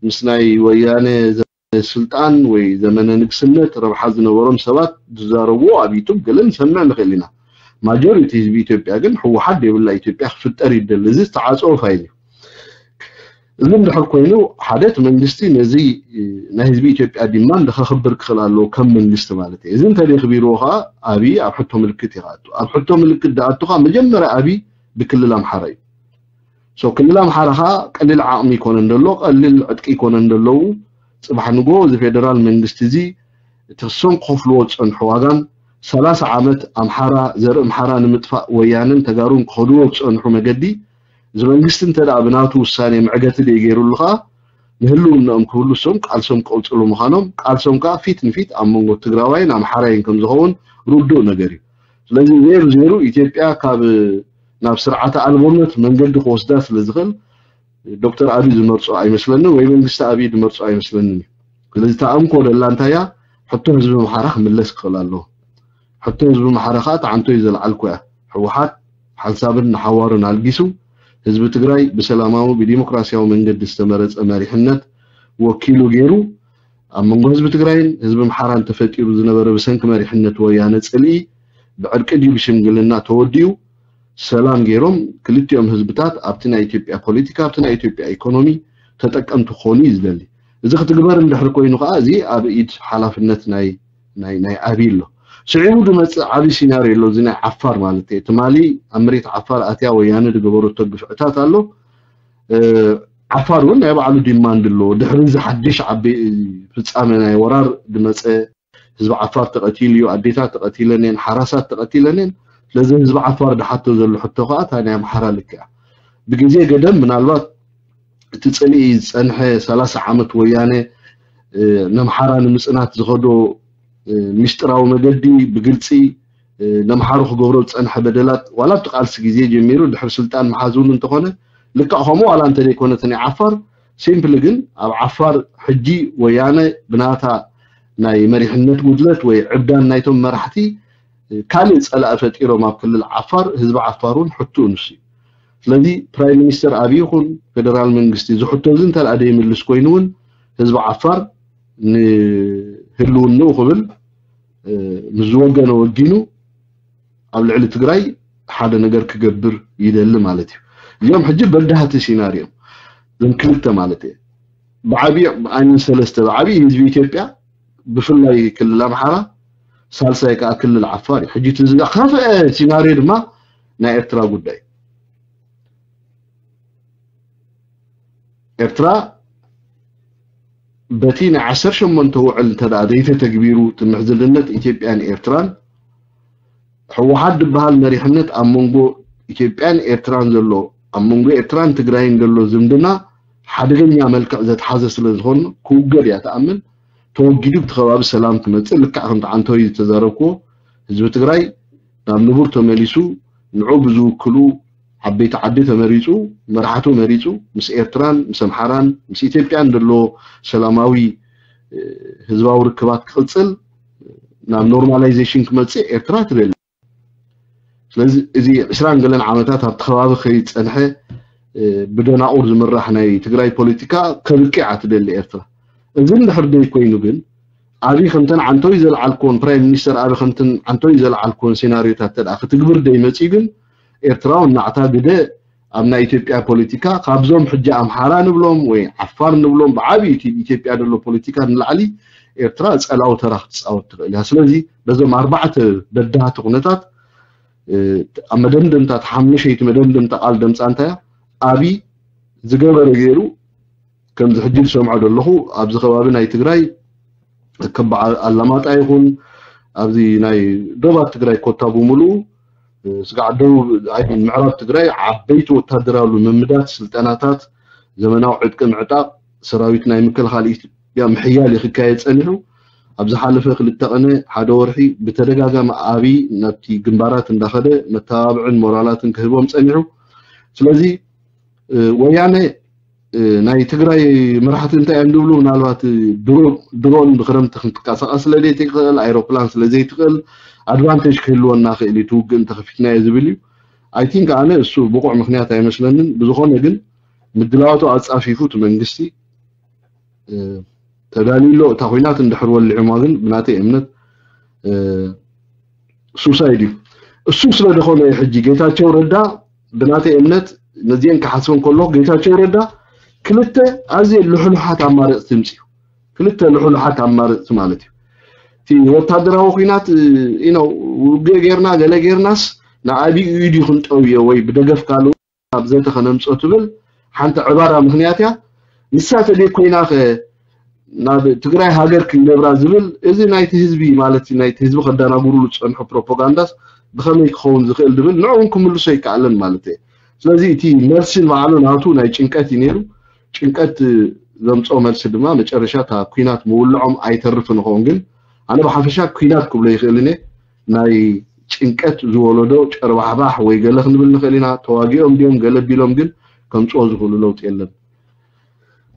ምስ ናይ ወያነ ስልጣን ወይ ዘመነ ንግስነት ረብሓ ዝነበሮም ሰባት ዝዛረብዎ ኣብ ዩቱብ ገለ ንሰምዕ ንኽእል ኢና። ማጆሪቲ ህዝቢ ኢትዮጵያ ግን ህወሓት ዘይብላ ኢትዮጵያ ክፍጠር ይደሊ። እዚ ዝተዓፀወ ፋይል እዩ። እዚ እንድሕር ኮይኑ ሓደ እቲ መንግስቲ ነዚ ናይ ህዝቢ ኢትዮጵያ ዲማንድ ከኽብር ክኽእል ኣለዎ ከም መንግስቲ ማለት እዩ። እዚ እንተደይ ክቢርዎ ከዓ ኣብይ ኣብ ሕቶ ምልክት ይኣቱ። ኣብ ሕቶ ምልክት ዝኣቱ ከዓ መጀመርያ ኣብይ ብክልል ኣምሓራ እዩ። ሶ ክልል ኣምሓራ ከዓ ቀሊል ዓቕሚ ይኮነን ዘሎ፣ ቀሊል ዕጥቂ ይኮነን ዘለዉ። ፅባሕ ንጎ እዚ ፌደራል መንግስቲ እዚ እቲ ክሶም ክኸፍልዎ ዝፀንሑ ዋጋን ሰላሳ ዓመት ኣምሓራ ዘርኢ ኣምሓራ ንምጥፋእ ወያነን ተጋሩን ክኸድዎ ዝፀንሑ መገዲ እዚ መንግስቲ እንተ ደኣ ብናቱ ውሳኔ መዕገቲ ደይገይሩሉ ከዓ ንህልውናኦም ክብሉ እሶም ቃልሶም ክቕፅሉ ምዃኖም ቃልሶም ከዓ ፊት ንፊት ኣብ መንጎ ትግራዋይን ኣምሓራይን ከም ዝኸውን ርዱእ ነገር እዩ። ስለዚ ዜሩ ዜሩ ኢትዮጵያ ካብ ናብ ስርዓተ ኣልቦነት መንገዲ ክወስዳ ስለ ዝኽእል ዶክተር ኣብይ ዝመርጾ ኣይመስለንን ወይ መንግስቲ ኣብይ ዝመርጾ ኣይመስለንን እዩ። ስለዚ ተኣንኮ ደላ እንታይ እያ? ሕቶ ህዝቢ ኣምሓራ ክምለስ ክኽእል ኣለዎ። ሕቶ ህዝቢ ኣምሓራ ከዓ ተዓንቶ እዩ ዘልዓልኩ እያ። ህወሓት ሓንሳብን ንሓዋሩን ኣልጊሱ ህዝቢ ትግራይ ብሰላማዊ ብዲሞክራሲያዊ መንገዲ ዝተመረፀ መሪሕነት ወኪሉ ገይሩ ኣብ መንጎ ህዝቢ ትግራይን ህዝቢ ኣምሓራን ተፈጢሩ ዝነበረ ብሰንኪ መሪሕነት ወያነ ፅልኢ ብዕርቂ ድዩ ብሽምግልና ተወዲኡ ሰላም ገይሮም ክልቲኦም ህዝብታት ኣብቲ ናይ ኢትዮጵያ ፖለቲካ ኣብቲ ናይ ኢትዮጵያ ኢኮኖሚ ተጠቀምቲ ክኾኑ እዩ ዝደሊ። እዚ ክትግበር እንድሕር ኮይኑ ከዓ እዚ ኣብ ኢድ ሓላፍነት ናይ ናይ ናይ ኣብይ ኣሎ። ስዒቡ ዝመፅእ ዓብዪ ሲናሪዮ ኣሎ። እዚ ናይ ዓፋር ማለት እዩ። ትማሊ ኣብ መሬት ዓፋር ኣትያ ወያነ ዝገበረቶ ግፍዕታት ኣሎ። ዓፋር እውን ናይ ባዕሉ ዲማንድ ኣለዎ። ድሕሪ እዚ ሓድሽ ዓቢ ፍጻመ ናይ ወራር ዝመፀ ህዝቢ ዓፋር ተቐቲሉ እዩ፣ ኣዴታት ተቐቲለን እየን፣ ሓራሳት ተቐቲለን እየን። ስለዚ ህዝቢ ዓፋር ዝሓቶ ዘሎ ሕቶ ከዓ እታ ናይ ኣምሓራ ልክያ ብግዜ ገደም ምናልባት እቲ ፅልኢ ዝፀንሐ ሰላሳ ዓመት ወያነ ነምሓራ ንምፅናት ዝኸዶ ሚስጥራዊ መገዲ ብግልፂ ነምሓሩ ክገብሮ ዝፀንሐ በደላት ዋላ ኣብቲ ቃልሲ ግዜ ጀሚሩ ድሕሪ ስልጣን መሓዝ እውን እንተኾነ ልክዕ ከምኡ ዋላ እንተዘይኮነ እቲ ናይ ዓፋር ሲምፕሊ ግን ኣብ ዓፋር ሕጂ ወያነ ብናታ ናይ መሪሕነት ጉድለት ወይ ዕብዳን ናይቶም መራሕቲ ካልእ ፀላኢ ፈጢሮም ኣብ ክልል ዓፋር ህዝቢ ዓፋር እውን ሕትኡ ንሱ እዩ። ስለዚ ፕራይም ሚኒስተር ኣብይ ይኹን ፌደራል መንግስቲ እዚ ሕቶ እዚ እንተ ደኣ ዘይምልስ ኮይኑ እውን ህዝቢ ዓፋር ንህልውንኡ ክብል ምስ ዝወገነ ወጊኑ ኣብ ልዕሊ ትግራይ ሓደ ነገር ክገብር ይደሊ ማለት እዩ። እዚኦም ሕጂ በዳህቲ ሲናሪዮም እዞም ክልተ ማለት እየ ብዓብዪ ብኣይነን ሰለስተ ብዓብዪ ህዝቢ ኢትዮጵያ ብፍላይ ክልል ኣምሓራ ሳልሳይ ከዓ ክልል ዓፋር እዩ። ሕጂ እቲ ዝኸፍአ ሲናሪዮ ድማ ናይ ኤርትራ ጉዳይ ኤርትራ በቲ ናይ ዓሰርተ ሸሞንተ ውዕል እንተ ደኣ ዘይተተግቢሩ እቲ ምሕዝልነት ኢትዮጵያን ኤርትራን ህወሓት ዝበሃል መሪሕነት ኣብ መንጎ ኢትዮጵያን ኤርትራን ዘሎ ኣብ መንጎ ኤርትራን ትግራይን ዘሎ ዝምድና ሓደገኛ መልክዕ ዘትሓዘ ስለ ዝኾነ ክውገድ እያ ትኣምን። ተወጊዱ ብቲ ከባቢ ሰላም ክመፅእ ልክዕ ከምቲ ዓንተወይ ዝተዛረብክዎ ህዝቢ ትግራይ ናብ ንቡር ተመሊሱ ንዑ ብዝውክሉ ዓበይቲ ዓዲ ተመሪፁ መራሕቱ መሪፁ ምስ ኤርትራን ምስ ኣምሓራን ምስ ኢትዮጵያን ዘሎ ሰላማዊ ህዝባዊ ርክባት ክቕፅል ናብ ኖርማላይዜሽን ክመፅእ ኤርትራ ትደሊ። ስለዚ እዚ ዕስራን ገለን ዓመታት ኣብቲ ከባቢ ከይፀንሐ ብደናቑር ዝምራሕ ናይ ትግራይ ፖለቲካ ከብቅዕ እያ ትደሊ ኤርትራ። እዚ እንድሕር ደይ ኮይኑ ግን ኣብይ ከምተን ዓንተወይ ዘልዓልክዎን ፕራይም ሚኒስተር ኣብይ ከምተን ዓንተወይ ዘልዓልክዎን ሴናሪዮታት ተደኣ ክትግብር ደይ መፅዩ ግን ኤርትራዊ ናዕታ ግደ ኣብ ናይ ኢትዮጵያ ፖለቲካ ካብዞም ሕጂ ኣምሓራ ንብሎም ወይ ዓፋር ንብሎም ብዓብዩ እቲ ኢትዮጵያ ዘሎ ፖለቲካ ንላዕሊ ኤርትራ ፀላዊ ተራ ክትፃወት ትኽእል እያ። ስለዚ በዞም ኣርባዕተ በዳህቲ ኩነታት ኣብ መደምደምታ ሓሙሸይቲ መደምደምታ ቃል ደምፃ እንታይ ኣብይ ዝገበረ ገይሩ ከምዚ ሕጂ ዝሰምዖ ዘለኹ ኣብዚ ከባቢ ናይ ትግራይ ከም በዓል ኣላማጣ ይኹን ኣብዚ ናይ ዶባት ትግራይ ኮታ ብምሉኡ ስጋዕ ደቡብ ምዕራብ ትግራይ ዓበይቲ ወታደራዊ ልምምዳት ስልጠናታት ዘመናዊ ዕጥቂ ምዕጣቕ ሰራዊት ናይ ምክልኻል ኢትዮጵያ ምሕያል እዩ ክካየድ ፀኒሑ ኣብ ዝሓለፈ ክልተ ቅነ ሓደ ወርሒ ብተደጋጋሚ ኣብይ ናብቲ ግንባራት እንዳኸደ መተባብዕን ሞራላትን ክህቦም ፀኒሑ ስለዚ ወያነ ናይ ትግራይ መራሕቲ እንታይ እዮም ዝብሉ ምናልባት ድሮን ብክረምቲ ክንትንቀሳቀስ ስለ ዘይትኽእል ኣይሮፕላን ስለ ዘይትኽእል ኣድቫንቴጅ ክህልወና ክእል እዩ ትውግእ እንተከፊትናዮ ዝብል እዩ። ኣይ ቲንክ ኣነ እሱ ብቁዕ ምክንያት ኣይመስለንን። ብዝኾነ ግን ምድላዋቱ ኣፃፊፉ እቲ መንግስቲ ተዳልዩ ኣሎ። እታ ኲናት እንድሕር ወሊዑማ ግን ብናተይ እምነት እ፣ ሱሳይድ እዩ። እሱ ስለ ዝኾነ እዩ ሕጂ ጌታቸው ረዳ ብናተይ እምነት ነዚአን ክሓስበን ከሎ ጌታቸው ረዳ ክልተ ኣዝየ ልሕሉሓት ኣማረፅቲ ምፅኡ። ክልተ ልሕሉሓት ኣማረፅቲ ማለት እዩ። እቲ ወታደራዊ ኲናት እ፣ ኢኖ ውግእ ጌርና ገለ ጌርናስ ንኣቢኡ ኢዱ ክንጠውዮ ወይ ብደገፍ ካልእ ኣብ ዘተ ከነምፅኦ ትብል ሓንቲ ዕባራ ምኽንያት እያ። ንሳ ተደይ ኮይና ኸ ናብ ትግራይ ሃገር ክንገብራ ዝብል እዚ ናይቲ ህዝቢ ማለት እዩ፣ ናይቲ ህዝቢ ከዳናጉሩሉ ዝፀንሑ ፕሮፓጋንዳስ ብኸመይ ክኸውን ዝኽእል ዝብል ንዕኡ እውን ክምልሶ ይከኣለን ማለት እየ። ስለዚ እቲ መልሲ ንባዕሉ ናቱ ናይ ጭንቀት እዩ ነይሩ። ጭንቀት ዘምፅኦ መልሲ ድማ መጨረሻ እታ ኲናት ምውልዖም ኣይተርፍን ይኸውን። ግን ኣነ ብሓፈሻ ኲናት ክብሎ ይኽእልን እየ። ናይ ጭንቀት ዝወለዶ ጨርባሕባሕ ወይ ገለ ክንብል ንኽእል ኢና። ተዋጊኦም ድዮም ገለ ቢሎም ግን ከምፅኦ ዝኽእሉ ለውጢ የለን።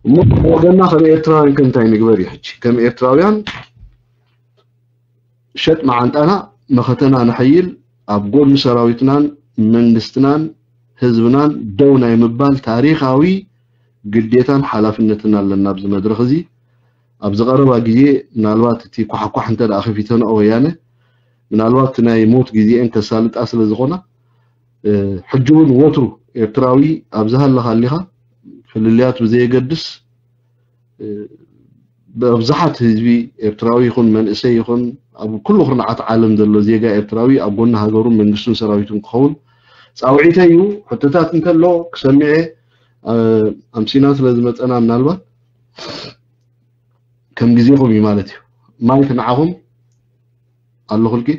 እሞ ወገንና ከም ኤርትራውያን ከ እንታይ ንግበር እዩ ሕጂ? ከም ኤርትራውያን ሸጥ መዓንጣና መኸተና ነሐይል፣ ኣብ ጎኒ ሰራዊትናን መንግስትናን ህዝብናን ደው ናይ ምባል ታሪኻዊ ግዴታን ሓላፍነትን ኣለና ኣብዚ መድረኽ እዚ። ኣብዚ ቀረባ ግዜ ምናልባት እቲ ኳሕኳሕ እንተ ደኣ ከፊተንኦ ወያነ፣ ምናልባት ናይ ሞት ግዜአን ከሳልጣ ስለ ዝኾና፣ እ፣ ሕጂ እውን ወትሩ ኤርትራዊ ኣብ ዝሃለኻ ኣሊኻ ፍልልያት ብዘየገድስ፣ እ፣ ብኣብዝሓት ህዝቢ ኤርትራዊ ይኹን መንእሰይ ይኹን ኣብ ኩሉ ኩርናዓት ዓለም ዘሎ ዜጋ ኤርትራዊ ኣብ ጎኒ ሃገሩን መንግስቱን ሰራዊቱን ክኸውን ጻውዒተይ እዩ። ሕቶታት እንተሎ ክሰምዕ እየ። እ፣ ኣምሲና ስለ ዝመጸና ምናልባት ከም ግዜኹም እዩ ማለት እዩ። ማይክ ንዓኹም ኣለኹልኪ።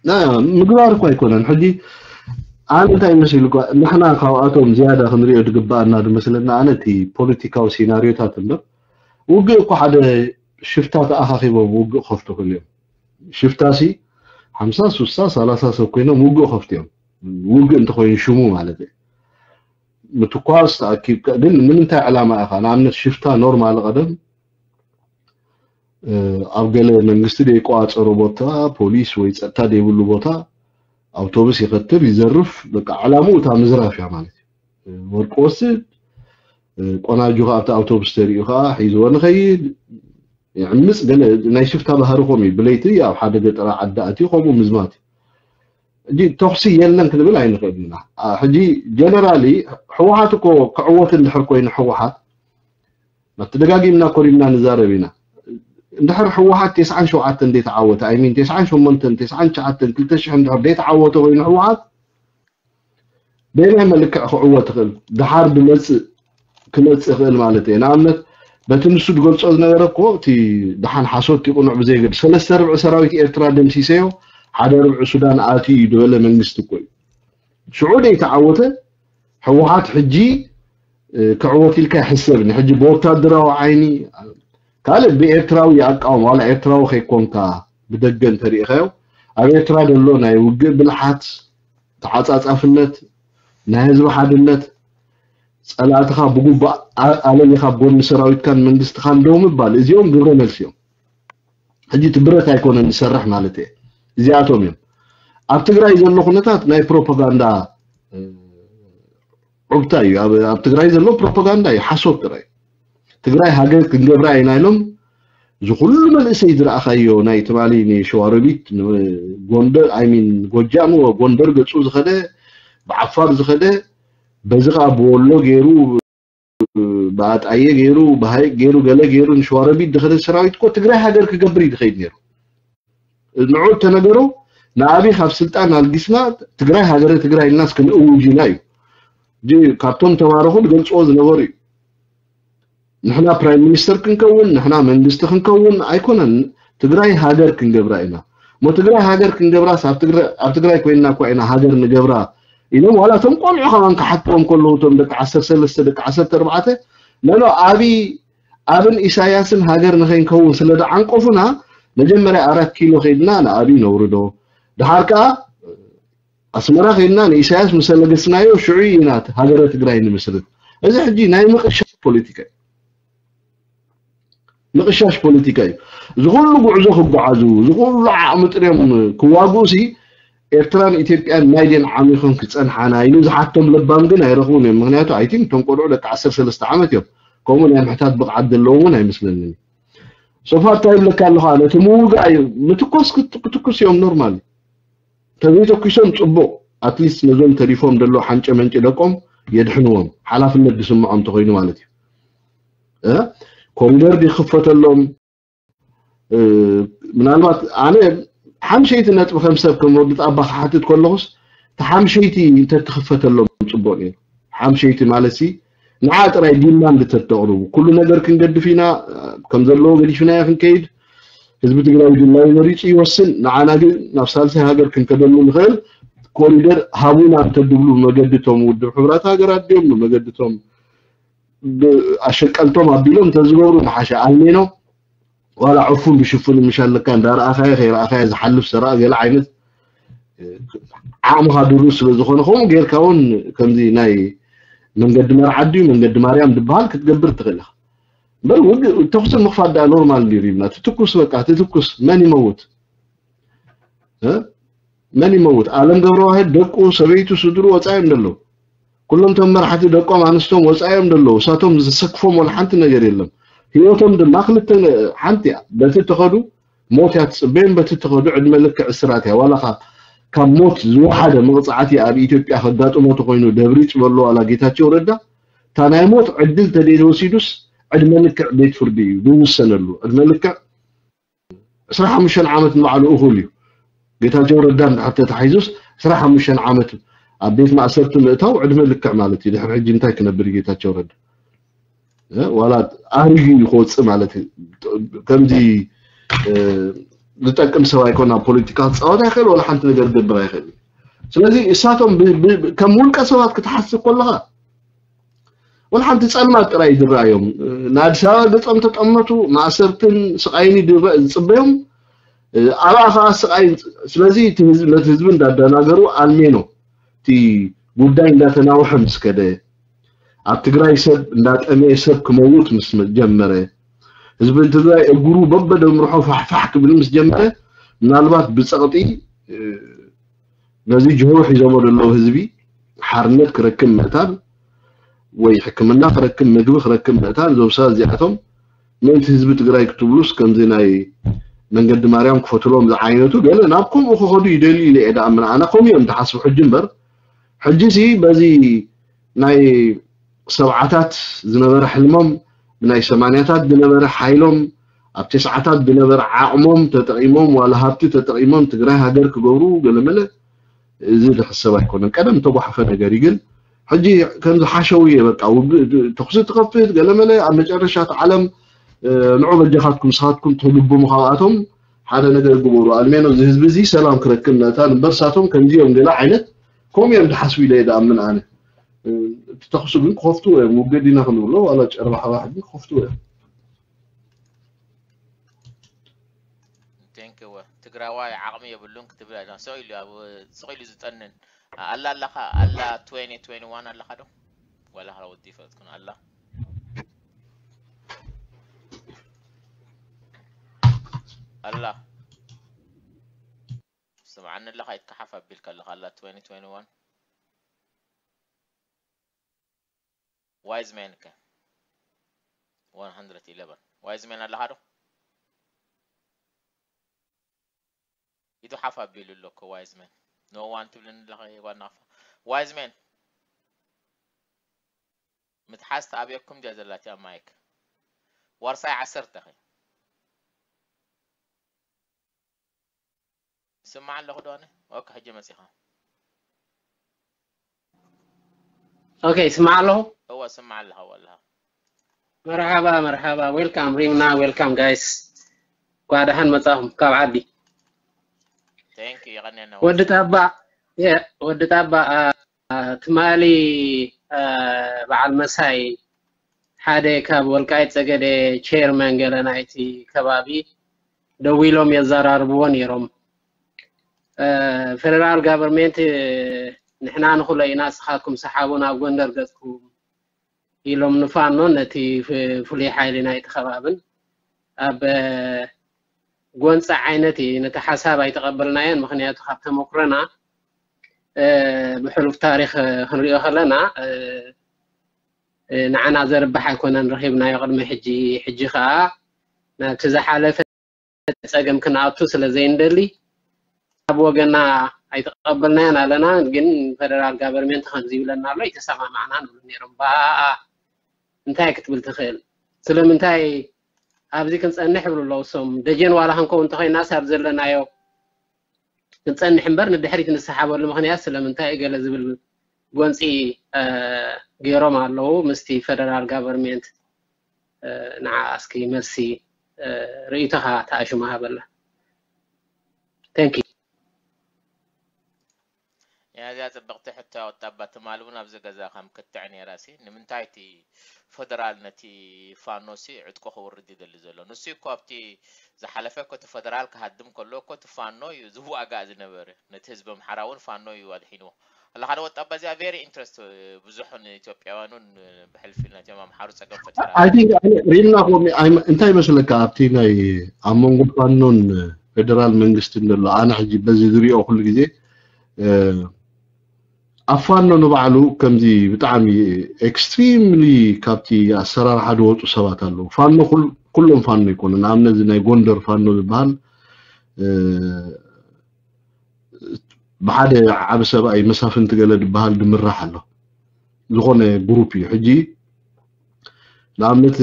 ና ምግባር እኮ ኣይኮነን። ሕጂ ኣነ እንታይ መሲሉ እኳ ንሕና ካብኣቶም ዝያዳ ክንሪኦ ዝግባኣና ዝመስለና ኣነ እቲ ፖለቲካዊ ሲናሪዮታት እምበር ውግእ እኮ ሓደ ሽፍታ ተኣኻኺቦም ውግእ ከፍቱ ክእል እዮም። ሽፍታ ሲ ሓምሳ ሱሳ ሰላሳ ሰብ ኮይኖም ውግእ ከፍቱ እዮም። ውግእ እንተኮይኑ ሽሙ ማለት እዩ። ምትኳስ ተኣኪብካ ግን ንምንታይ ዕላማ ኢኻ? ንኣብነት ሽፍታ ኖርማል ቀደም እ፣ ኣብ ገለ መንግስቲ ዘይቆጻጸሮ ቦታ ፖሊስ ወይ ጸጥታ ዘይብሉ ቦታ ኣውቶቡስ ይኸትል ይዘርፍ። በቃ ዕላምኡ እታ ምዝራፍ እያ ማለት እዩ። እ፣ ወርቂ ወስድ እ፣ ቆናጁ ከኣ ኣብቲ ኣውቶቡስ ተሪኡ ከኣ ሒዝዎ ንኸይድ ይዕምፅ። ገለ ናይ ሽፍታ ባህሪ ከምኡ እዩ። ብለይቲ ኣብ ሓደ ገጠራ ዓዲ ኣትዩ ከምኡ ምዝማት እዩ። ሕጂ ተኹሲ የለን ክንብል ኣይንኽእል ኢና። አ፣ ሕጂ ጀነራሊ ህወሓት እኮ ክዕወት እንድሕር ኮይኑ ህወሓት ናብ ተደጋጊምና ኮሪምና ንዛረብ ኢና። እንድሕር ህወሓት ተስዓን ሸውዓተን ዘይተዓወተ ኣይሚን ተስዓን ሸሞንተን ተስዓን ትሽዓተን ክልተ ሽሕ እንድሕር ዘይተዓወተ ኮይኑ ህወሓት በየናይ መልክዕ ክዕወት ይኽእል? ድሓር ብመፅእ ክመፅእ ይኽእል ማለት እየ። ንኣብነት በቲ ንሱ ዝገልፆ ዝነበረ እኮ እቲ ድሓን ሓሶት ይቕኑዕ ብዘይገድ ሰለስተ ርብዒ ሰራዊት ኤርትራ ደምሲሰዮ ሓደ ርብዒ ሱዳን ኣትዩ እዩ ዝበለ መንግስቲ እኮ እዩ። ሽዑ ደይተዓወተ ህወሓት ሕጂ እ፣ ክዕወት ኢልካ ይሕሰብኒ። ሕጂ ብወታደራዊ ዓይኒ ካልእ ብኤርትራዊ ይኣቃወም ዋላ ኤርትራዊ ከይኮንካ ብደገ እንተሪኢኻዮ ኣብ ኤርትራ ዘሎ ናይ ውግእ ብልሓት ተዓጻጻፍነት ናይ ህዝቢ ሓድነት ጸላእትኻ ብጉባእ ኣ- ኣለሊኻ ኣብ ጎኒ ሰራዊትካን መንግስትኻን ደው ምባል እዚኦም ግብረ መልሲ እዮም። ሕጂ እቲ ብረት ኣይኮነን ዝሰርሕ ማለት እየ። እዚኣቶም እዮም ኣብ ትግራይ ዘሎ ኩነታት ናይ ፕሮፓጋንዳ እ፣ ዑብታ እዩ ኣብ ኣብ ትግራይ ዘሎ ፕሮፓጋንዳ እዩ ሓሶት ጥራይ። ትግራይ ሃገር ክንገብራ ኢና ኢሎም እዚ ኩሉ መንእሰይ ዝረኣኻዮ ናይ ትማሊ ንሸዋሮቢት፣ ንጎንደር፣ I mean፣ ጎጃም፣ ጎንደር ገጹ ዝኸደ፣ ብዓፋር ዝኸደ፣ በዚ ኸኣ ብወሎ ገይሩ፣ ብኣጣየ ገይሩ፣ ብሃይቅ ገይሩ፣ ገለ ገይሩ ንሸዋሮቢት ዝኸደ ሰራዊት እኮ ትግራይ ሃገር ክገብር እዩ ዝኸይድ ነይሩ። ንዑ ተነገሮ፣ ንኣብይ ካብ ስልጣን ኣልጊስና ትግራይ ሃገረ ትግራይ ኢልናስ ክንእውጅ ኢና እዩ። ካብቶም ተማረኹ ዝገልፅዎ ዝነበሩ እዩ። ንሕና ፕራይም ሚኒስተር ክንከውን፣ ንሕና መንግስቲ ክንከውን ኣይኮነን፣ ትግራይ ሃገር ክንገብራ ኢና። እሞ ትግራይ ሃገር ክንገብራስ ኣብ ትግራይ ኮይንና እኳ ኢና ሃገር ንገብራ ኢሎም ዋላ እቶም ቆልዑ ከማን ክሓትዎም ከለዉ እቶም ደቂ ዓሰርተ ሰለስተ ደቂ ዓሰርተ ኣርባዕተ ነኖ ኣብይ ኣብን ኢሳያስን ሃገር ንኸይንከውን ስለ ዝዓንቀፉና መጀመርያ ኣራት ኪሎ ከይድና ንኣብይ ነውርዶ፣ ድሓር ከኣ ኣስመራ ከይድና ንኢሳያስ ምስ ኣለገስናዮ ሽዑ ኢና ሃገረ ትግራይ ንምስርት። እዚ ሕጂ ናይ ምቕሻሽ ፖለቲካ እዩ። ምቕሻሽ ፖለቲካ እዩ። እዚ ኩሉ ጉዕዞ ክጓዓዙ፣ እዚ ኩሉ ዓቕሚ ጥርዮም ክዋግኡ ሲ ኤርትራን ኢትዮጵያን ናይ ድየን ዓሚኾም ክጸንሓና ኢሉ ዝሓቶም ለባም ግን ኣይረኽቡን እዮም። ምክንያቱ ኣይቲን እቶም ቆልዑ ደቂ ዓሰርተ ሰለስተ ዓመት እዮም። ከምኡ ናይ ምሕታት ብቕዓት ዘለዎም እውን ኣይመስለንን። ሶፋ እንታይ ይብለካ ኣለኹ ኣነ እቲ ምውጋእ እዩ። ምትኮስ ክት- ክትኩስ እዮም ኖርማል። ተዘይተኩሶም ጽቡቕ ኣትሊስት ነዞም ተሪፎም ዘሎ ሓንጨ መንጭ ደቆም የድሕንዎም ሓላፍነት ዝስምዖም እንተኮይኑ ማለት እዩ። እ? ኮሪደር ይኽፈተሎም። ምናልባት ኣነ ሓምሸይቲ ነጥቢ ከም ሰብ ከም ወዲ ጣባ ክሓትት ከለኹስ እቲ ሓምሸይቲ እንተትኽፈተሎም ፅቡቅ ነይሩ። ሓምሸይቲ ማለት ሲ ንዓ ጥራይ ዲማንድ እንተተቕርቡ ኩሉ ነገር ክንገድፍ ኢና፣ ከም ዘለዎ ገዲፍናዮ ክንከይድ፣ ህዝቢ ትግራይ ድላዩ መሪፁ ይወስን። ንዓና ግን ናብ ሳልሳይ ሃገር ክንከደሉ ንኽእል ኮሪደር ሃቡና እንተድብሉ ብመገዲ እቶም ውድብ ሕቡራት ሃገራት ድዮም ብመገዲ እቶም ኣሸቀልቶም ኣቢሎም እንተዝገብሩ ምሓሸ። ኣልሜኖ ዋላ ዕፉን ብሽፉን ምሽ ኣለካ እንዳረኣኻዮ ከይረኣኻዮ ዝሓልፍ ሰራቂ ገለ ዓይነት ዓቕምኻ ድሩት ስለ ዝኾነ ከምኡ ጌርካ እውን ከምዚ ናይ መንገዲ መርዓ ድዩ መንገዲ ማርያም ዝበሃል ክትገብር ትኽእል ኢኻ። እምበር ውግእ ተኹሲ ምኽፋት ደኣ ኖርማል ድዩ ሪብና ትትኩስ በቃ ትትኩስ መን ይመውት? መን ይመውት? ኣለም ገብረዋህድ ደቁ፣ ሰበይቱ፣ ስድሩ ወፃዮም ደለዉ። ኩሎም ቶም መራሕቲ ደቆም ኣንስቶም ወፃዮም ደለዉ። እሳቶም ዝሰክፎም ወላ ሓንቲ ነገር የለም። ህይወቶም ድማ ክልተ ሓንቲ እያ። በቲ ተኸዱ ሞት እያ ትፅበዮም፣ በቲ ተኸዱ ዕድመ ልክዕ እስራት እያ። ዋላ ካብ ሞት ዝወሓደ መቕፃዕቲ ኣብ ኢትዮጵያ ከጋጥሞ ተኮይኑ ደብሪፅ በሎ ዋላ ጌታቸው ረዳ እታ ናይ ሞት ዕድል ተደይተወሲዱስ ዕድመ ልክዕ ቤት ፍርዲ እዩ ዝውሰነሉ። ዕድመ ልክዕ ዕስራ ሓሙሽተ ዓመት ንባዕሉ እኹል እዩ። ጌታቸው ረዳ እንድሕር ተታሒዙስ ዕስራ ሓሙሽተ ዓመት ኣብ ቤት ማእሰርቲ ምእታው ዕድመ ልክዕ ማለት እዩ። ድሕሪ ሕጂ እንታይ ክነብር እዩ ጌታቸው ረዳ? ዋላ ኣህሪዩ እዩ ክወፅእ ማለት እዩ። ከምዚ ዝጠቅም ሰብ ኣይኮን ኣብ ፖለቲካ ክፃወት ኣይክእል ወላ ሓንቲ ነገር ክገብር ኣይክእል። ስለዚ እሳቶም ከም ውልቀ ሰባት ክትሓስብ ከለካ ወላ ሓንቲ ጸልማት ጥራይ ዝረኣዮም ንኣዲስ ኣበባ ገጾም ተጠመቱ ማእሰርትን ስቓይን ዝጽበዮም ኣብኣ ከዓ ስቓይ ስለዚ ነቲ ህዝቢ እንዳደናገሩ ኣልሜኖ እቲ ጉዳይ እንዳተናውሐ ምስ ከደ ኣብ ትግራይ ሰብ እንዳጠመየ ሰብ ክመውት ምስ ጀመረ ህዝቢ ትግራይ እግሩ በበደምርሖ ፋሕፋሕ ክብል ምስ ጀመረ ምናልባት ብፀቕጢ ነዚ ጅሆ ሒዞሞ ዘለዉ ህዝቢ ሓርነት ክረክብ ምእታን ወይ ሕክምና ክረክብ ምግቢ ክረክብ ምእታን እዞም ሰባት እዚኣቶም ምእንቲ ህዝቢ ትግራይ ክትብሉስ ከምዚ ናይ መንገዲ ማርያም ክፈትሎም ዝዓይነቱ ገለ ናብ ከምኡ ክኸዱ ይደልዩ ኢለ እየ ደኣምን ኣነ ከምኡ እዮም ዝሓስቡ ሕጂ እምበር ሕጂ ሲ በዚ ናይ ሰብዓታት ዝነበረ ሕልሞም ብናይ ሰማንያታት ዝነበረ ሓይሎም ኣብ ተስዓታት ዝነበረ ዓቕሞም ተጠቒሞም ዋላ ሃብቲ ተጠቒሞም ትግራይ ሃገር ክገብሩ ገለመለ እዚ ዝሕሰብ ኣይኮነን። ቀደም ተጓሓፈ ነገር እዩ ግን ሕጂ ከምዚ ሓሸው እየ በቃ ውግእ ተኹሲ ትኸፍት ገለመለ ኣብ መጨረሻ እቲ ዓለም ንዑ በጃኻትኩም ንስኻትኩም ትልብሙ ካብኣቶም ሓደ ነገር ግበሩ ኣልሜኖ እዚ ህዝቢ እዚ ሰላም ክረክብ ምእታን እምበር ሳቶም ከምዚ እዮም ገለ ዓይነት ከምኡ እዮም ዝሓስቡ ኢለ እየ ዝኣምን ኣነ። እቲ ተኹሲ ግን ክኸፍትዎ እዮም ውግእ ዲና ክንብሎ ዋላ ጨርባሕባሕ ግን ክኸፍትዎ እዮም። ቴንክ ዩ ትግራዋይ ዓቕሚ የብሉን ክትብል ኣላ ሰቕ ኢሉ ኣብ ስቕ ኢሉ ዝጠንን ኣላ ኣለኻ ኣላ ትዌንቲ ትዌንቲ ዋን ኣለኻ ዶ ዋላ ወዲ ይፈልጥኩን ኣላ ኣላ ስምዓኒ ኣለኻ ይትከሓፍ ኣቢልካ ኣለኻ ኣላ ትዌንቲ ትዌንቲ ዋን ዋይዝ ሜን ከ ዋን ሃንድረድ ኢለቨን ዋይዝ ሜን ኣለኻ ዶ ሓፍ ኣቢሉ ኣሎ እኮ ዋይዝ መን። No one ትብልኒ ኣለኺ ጓል ናቕፋ። ዋይዝ መን። ምትሓዝ ተኣብየኩም ድያ ዘላትያ ማይክ? ዋርሳይ ዓሰርተ ኸ? ይስማዕ ኣለኹ ዶ ኣነ? ኦኬ፣ ሕጂ መጺኻ። ኦኬ፣ ይስማዕ ኣለኹ። እወ፣ ስማዕ ኣለኻ ወላኻ። መርሓባ መርሓባ፣ ዌልካም ሪምና፣ ዌልካም ጋይስ። እንኳዕ ደሓን መጻኹም ካብ ዓዲ። Thank you፣ የቐንየና። ወዲ ጣባ፣ የ- ወዲ ጣባ፣ አ፣ አ፣ ትማሊ፣ አ፣ በዓል መሳይ ሓደ ካብ ወልቃይት ጸገዴ ቼርመን ገለ ናይቲ ከባቢ ደዊሎም የዘራርብዎ ነይሮም። አ፣ ፌደራል ጋቨርንሜንት ንሕና ንኽሎ ኢና፣ ንስኻትኩም ሰሓቡ ናብ ጎንደር ገጽኩም ኢሎም ንፋኖ ነቲ ፍ- ፍሉይ ሓይሊ ናይቲ ከባብን ኣብ ጎንፂ ዓይነት እዩ። ነቲ ሓሳብ ኣይተቐበልናዮን፣ ምኽንያቱ ካብ ተመኩረና እ፣ ብሕሉፍ ታሪክ ክንሪኦ ከለና እ፣ እ፣ ንዓና ዘርብሕ ኣይኮነን ረኺብናዮ ቅድሚ ሕጂ። ሕጂ ከዓ ናብቲ ዝሓለፈ ፀገም ክንኣቱ ስለ ዘይንደሊ ኣብ ወገና ኣይተቐበልናዮን ኣለና። ግን ፌደራል ጋቨርንመንት ከምዚ ይብለና ኣሎ፣ ኣይተሰማማዕናን ይብሉ ነይሮም። ብኣኣ እንታይ ክትብል ትኽእል? ስለምንታይ ኣብዚ ክንፀንሕ ይብሉ ኣለዉ እሶም። ደጀን ዋላ ክንከውን እንተኾይናስ ኣብ ዘለናዮ ክንፀንሕ እምበር ንድሕሪት ንሰሓበሉ ምኽንያት ስለምንታይ እዩ ገለ ዝብል ጎንፂ እ፣ ገይሮም ኣለዉ ምስቲ ፌደራል ጋቨርንመንት። እ፣ ንዓ እስኪ መልሲ እ፣ ርእይቶኻ ተኣሽሙ ሃበላ። Thank you። እዚኣ ጽብቕቲ ሕቶ ኣወጣባ። ትማሊ እውን ኣብዚ ገዛ ከም ክትዕ ነይራ ሲ ንምንታይ እቲ ፈደራል ነቲ ፋኖ ሲ ዕጥቁ ክውርድ ይደሊ ዘሎ? ንሱ እኮ ኣብቲ ዝሓለፈ እኮ እቲ ፈደራል ክሃድም ከሎ እኮ እቲ ፋኖ እዩ ዝዋጋእ ዝነበረ። ነቲ ህዝቢ ኣምሓራ እውን ፋኖ እዩ ኣድሒንዎ። ኣላ ሓደ ወጣባ እዚኣ very interest ብዙሕ ንኢትዮጵያውያን እውን ብሕልፊ ናትዮም ኣምሓሩ ጸገም ፈጢራ። I think ሪልና ኮሚ እንታይ ይመስለካ ኣብቲ ናይ ኣብ መንጎ ፋኖን ፌደራል መንግስትን ዘሎ ኣነ ሕጂ በዚ ዝሪኦ ኩሉ ግዜ እ፣ ኣብ ፋኖ ንባዕሉ ከምዚ ብጣዕሚ extremely ካብቲ ኣሰራርሓ ዝወፁ ሰባት ኣለዉ። ፋኖ ኩል- ኩሎም ፋኖ ይኮኑ። ንኣብነት እዚ ናይ ጎንደር ፋኖ ዝበሃል እ፣ ብሓደ ዓቢ ሰብኣይ መሳፍንቲ ገለ ዝበሃል ዝምራሕ ኣሎ። ዝኾነ ግሩፕ እዩ። ሕጂ ንኣብነት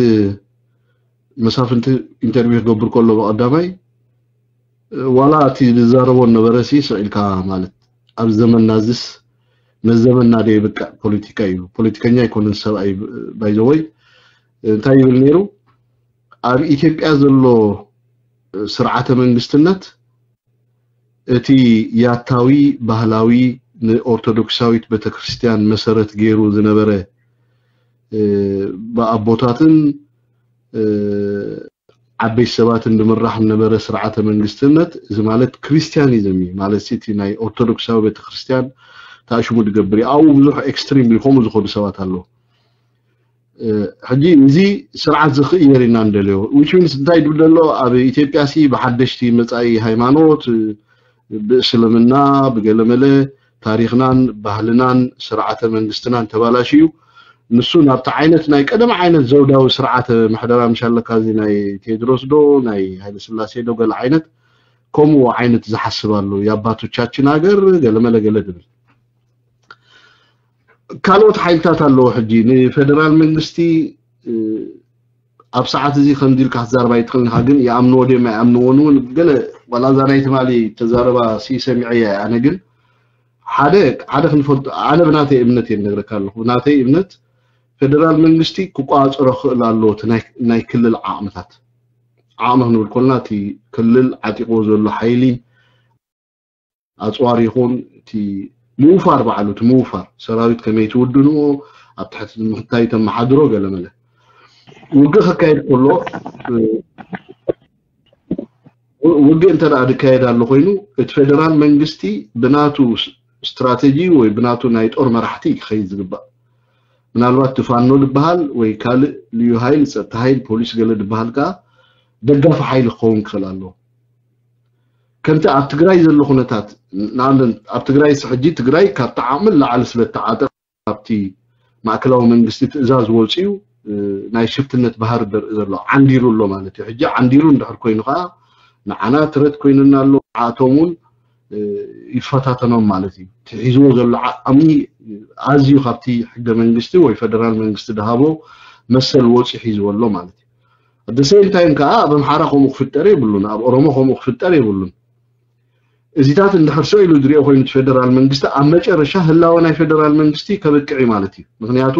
መሳፍንቲ ኢንተርቪው ክገብር ከሎ ብቐዳማይ ዋላ እቲ ዝዛረቦ ነበረ ሲ ስቕ ኢልካ ማለት ኣብ ዘመንና ዝስ ነዚ ዘመንና ዶ የብቅዕ ፖለቲካ እዩ። ፖለቲከኛ ኣይኮነን ሰብኣይ ባይዘወይ እንታይ ይብል ነይሩ ኣብ ኢትዮጵያ ዘሎ ስርዓተ መንግስትነት እቲ ያታዊ ባህላዊ ንኦርቶዶክሳዊት ቤተክርስትያን መሰረት ገይሩ ዝነበረ እ፣ ብኣቦታትን እ፣ ዓበይቲ ሰባትን ዝምራሕ ዝነበረ ስርዓተ መንግስትነት እዚ ማለት ክርስቲያኒዝም እዩ ማለት እቲ ናይ ኦርቶዶክሳዊ ቤተክርስትያን ተኣሽሙ ዝገብር እዩ ኣብኡ ብዙሕ ኤክስትሪም ከምኡ ዝኾኑ ሰባት ኣለዉ ሕጂ እዚ ስርዓት ዝኽእየር ኢና እንደልዮ which means እንታይ ድብል ዘሎ ኣብ ኢትዮጵያ ሲ ብሓደሽቲ መፃኢ ሃይማኖት ብእስልምና ብገለመለ ታሪክናን ባህልናን ስርዓተ መንግስትናን ተባላሽዩ ንሱ ናብቲ ዓይነት ናይ ቀደም ዓይነት ዘውዳዊ ስርዓተ ምሕደራ ምሽ ኣለካ እዚ ናይ ቴድሮስ ዶ ናይ ሃይለስላሴ ዶ ገለ ዓይነት ከምኡ ዓይነት ዝሓስብ ኣሎ የኣባቶቻችን ሃገር ገለመለ ገለ ድብል ካልኦት ሓይልታት ኣለዎ ሕጂ ንፌደራል መንግስቲ ኣብ ሰዓት እዚ ከምዚ ኢልካ ክትዛረብ ኣይትኽእልን ኢኻ ግን ይኣምንዎ ድዮም ኣይኣምንዎን እውን ገለ ዋላ እዛ ናይ ትማሊ ተዛረባ ሲ ሰሚዐያ እየ ኣነ ግን ሓደ ሓደ ክንፈልጦ ኣነ ብናተይ እምነት እየ ነግረካ ኣለኹ ብናተይ እምነት ፌደራል መንግስቲ ክቋፀሮ ክኽእል ኣለዎ እቲ ናይ ክልል ዓቕምታት ዓቕሚ ክንብል ኮልና እቲ ክልል ዓጢቕዎ ዘሎ ሓይሊ ኣፅዋር ይኹን እቲ ምውፋር ባዕሉ እቲ ምውፋር ሰራዊት ከመይ ትውድንዎ ኣብ ትሕቲ ምክታይ ተመሓድሮ ገለመለ ውግእ ከካየድ ከሎ ውግእ እንተ ደኣ ዝካየድ ኣሎ ኮይኑ እቲ ፌደራል መንግስቲ ብናቱ ስትራተጂ ወይ ብናቱ ናይ ጦር መራሕቲ ክኸይድ ዝግባእ ምናልባት ትፋኖ ዝበሃል ወይ ካልእ ልዩ ሃይል ፀጥታ ሃይል ፖሊስ ገለ ዝበሃል ከዓ ደጋፊ ሓይሊ ክኸውን ክኽእል ኣለዎ ከምቲ ኣብ ትግራይ ዘሎ ኩነታት ንኣብነት ኣብ ትግራይ ሕጂ ትግራይ ካብቲ ዓቕሚ ንላዕሊ ስለ እተዓጠ ካብቲ ማእከላዊ መንግስቲ ትእዛዝ ወፅዩ ናይ ሽፍትነት ባህሪ ዘርኢ ዘሎ ዓንዲሩ ኣሎ ማለት እዩ ሕጂ ዓንዲሩ እንድሕር ኮይኑ ከዓ ንዓና ትረት ኮይኑና ኣሎ ንዓቶም እውን ይፈታተኖም ማለት እዩ። እቲ ሒዝዎ ዘሎ ዓቕሚ ኣዝዩ ካብቲ ሕገ መንግስቲ ወይ ፈደራል መንግስቲ ድሃቦ መሰል ወፂ ሒዝዎ ኣሎ ማለት እዩ። ኣደ ሴም ታይም ከዓ ኣብ ኣምሓራ ከምኡ ክፍጠር የብሉን፣ ኣብ ኦሮሞ ከምኡ ክፍጠር የብሉን። እዚታት እንድሕር ሰው ኢሉ ዝሪኦ ኮይኑ እቲ ፌደራል መንግስቲ ኣብ መጨረሻ ህላወ ናይ ፌደራል መንግስቲ ከብቅዕ እዩ ማለት እዩ። ምክንያቱ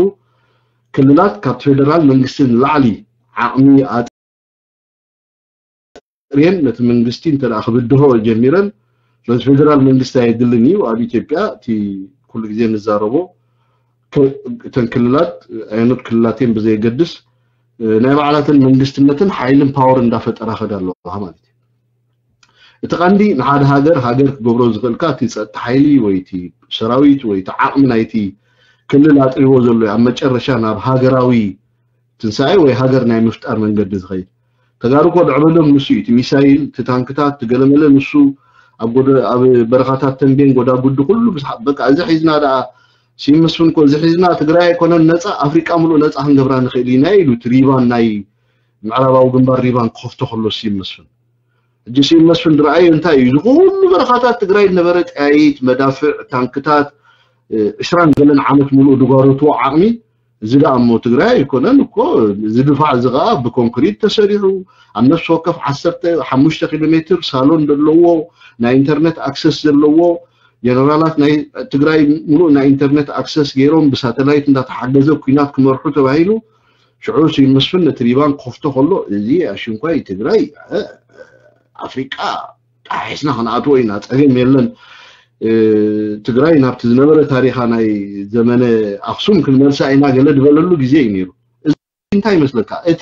ክልላት ካብቲ ፌደራል መንግስቲ ንላዕሊ ዓቕሚ ኣጥርየን ነቲ መንግስቲ እንተ ክብድሆ ጀሚረን፣ ስለዚ ፌደራል መንግስቲ ኣየድልን እዩ። ኣብ ኢትዮጵያ እቲ ኩሉ ግዜ ንዛረቦ እተን ክልላት ኣየኖት ክልላት እየን ብዘየገድስ ናይ ባዕላተን መንግስትነትን ሓይልን ፓወር እንዳፈጠራ ከዳ ኣለዋ ማለት እዩ። እቲ ቀንዲ ንሓደ ሃገር ሃገር ክገብሮ ዝኽእልካ እቲ ጸጥታ ሓይሊ ወይ እቲ ሰራዊት ወይ እቲ ዓቕሚ ናይቲ ክልል ኣጥሪዎ ዘሎ እዩ ኣብ መጨረሻ ናብ ሃገራዊ ትንሳኤ ወይ ሃገር ናይ ምፍጣር መንገዲ ዝኸይድ። ተጋሩ እኮ ድዕበሎም ንሱ እዩ። እቲ ሚሳይል፣ እቲ ታንክታት፣ እቲ ገለመለ ንሱ ኣብ ጎደ ኣብ በረኻታት ተንቤን ጎዳጉዲ ኩሉ ምስ በቃ እዚ ሒዝና ደኣ ሲመስፍን እኮ እዚ ሒዝና ትግራይ ኣይኮነን ነፃ ኣፍሪቃ ሙሉእ ነፃ ክንገብራ ንኽእል ኢና ኢሉ እቲ ሪባን ናይ ምዕራባዊ ግንባር ሪባን ክኸፍቶ ከሎ ሲመስፍን ሕጂ ሲመስፍን ዝረኣዮ እንታይ እዩ? እዚ ኩሉ በረኻታት ትግራይ ዝነበረ ጠያይት፣ መዳፍዕ፣ ታንክታት ዕስራን ገለን ዓመት ሙሉእ ድጓረትዎ ዓቕሚ እዚ ደኣ እሞ ትግራይ ኣይኮነን እኮ እዚ ድፋዕ እዚ ከዓ ብኮንክሪት ተሰሪሑ ኣብ ነፍሲ ወከፍ ዓሰርተ ሓሙሽተ ኪሎ ሜትር ሳሎን ዘለዎ ናይ ኢንተርነት ኣክሰስ ዘለዎ ጀነራላት ናይ ትግራይ ሙሉእ ናይ ኢንተርነት ኣክሰስ ገይሮም ብሳተላይት እንዳተሓገዘ ኩናት ክመርሑ ተባሂሉ ሽዑ ስዩም መስፍን ነቲ ሪባን ክኸፍቶ ከሎ እዚ ኣሽንኳይ ትግራይ ኣፍሪቃ ጣሒስና ክንኣትዎ ኢና ፀገም የለን ትግራይ ናብቲ ዝነበረ ታሪኻ ናይ ዘመነ ኣክሱም ክንመልሳ ኢና ገለ ዝበለሉ ግዜ እዩ ነይሩ። እንታይ ይመስለካ? እቲ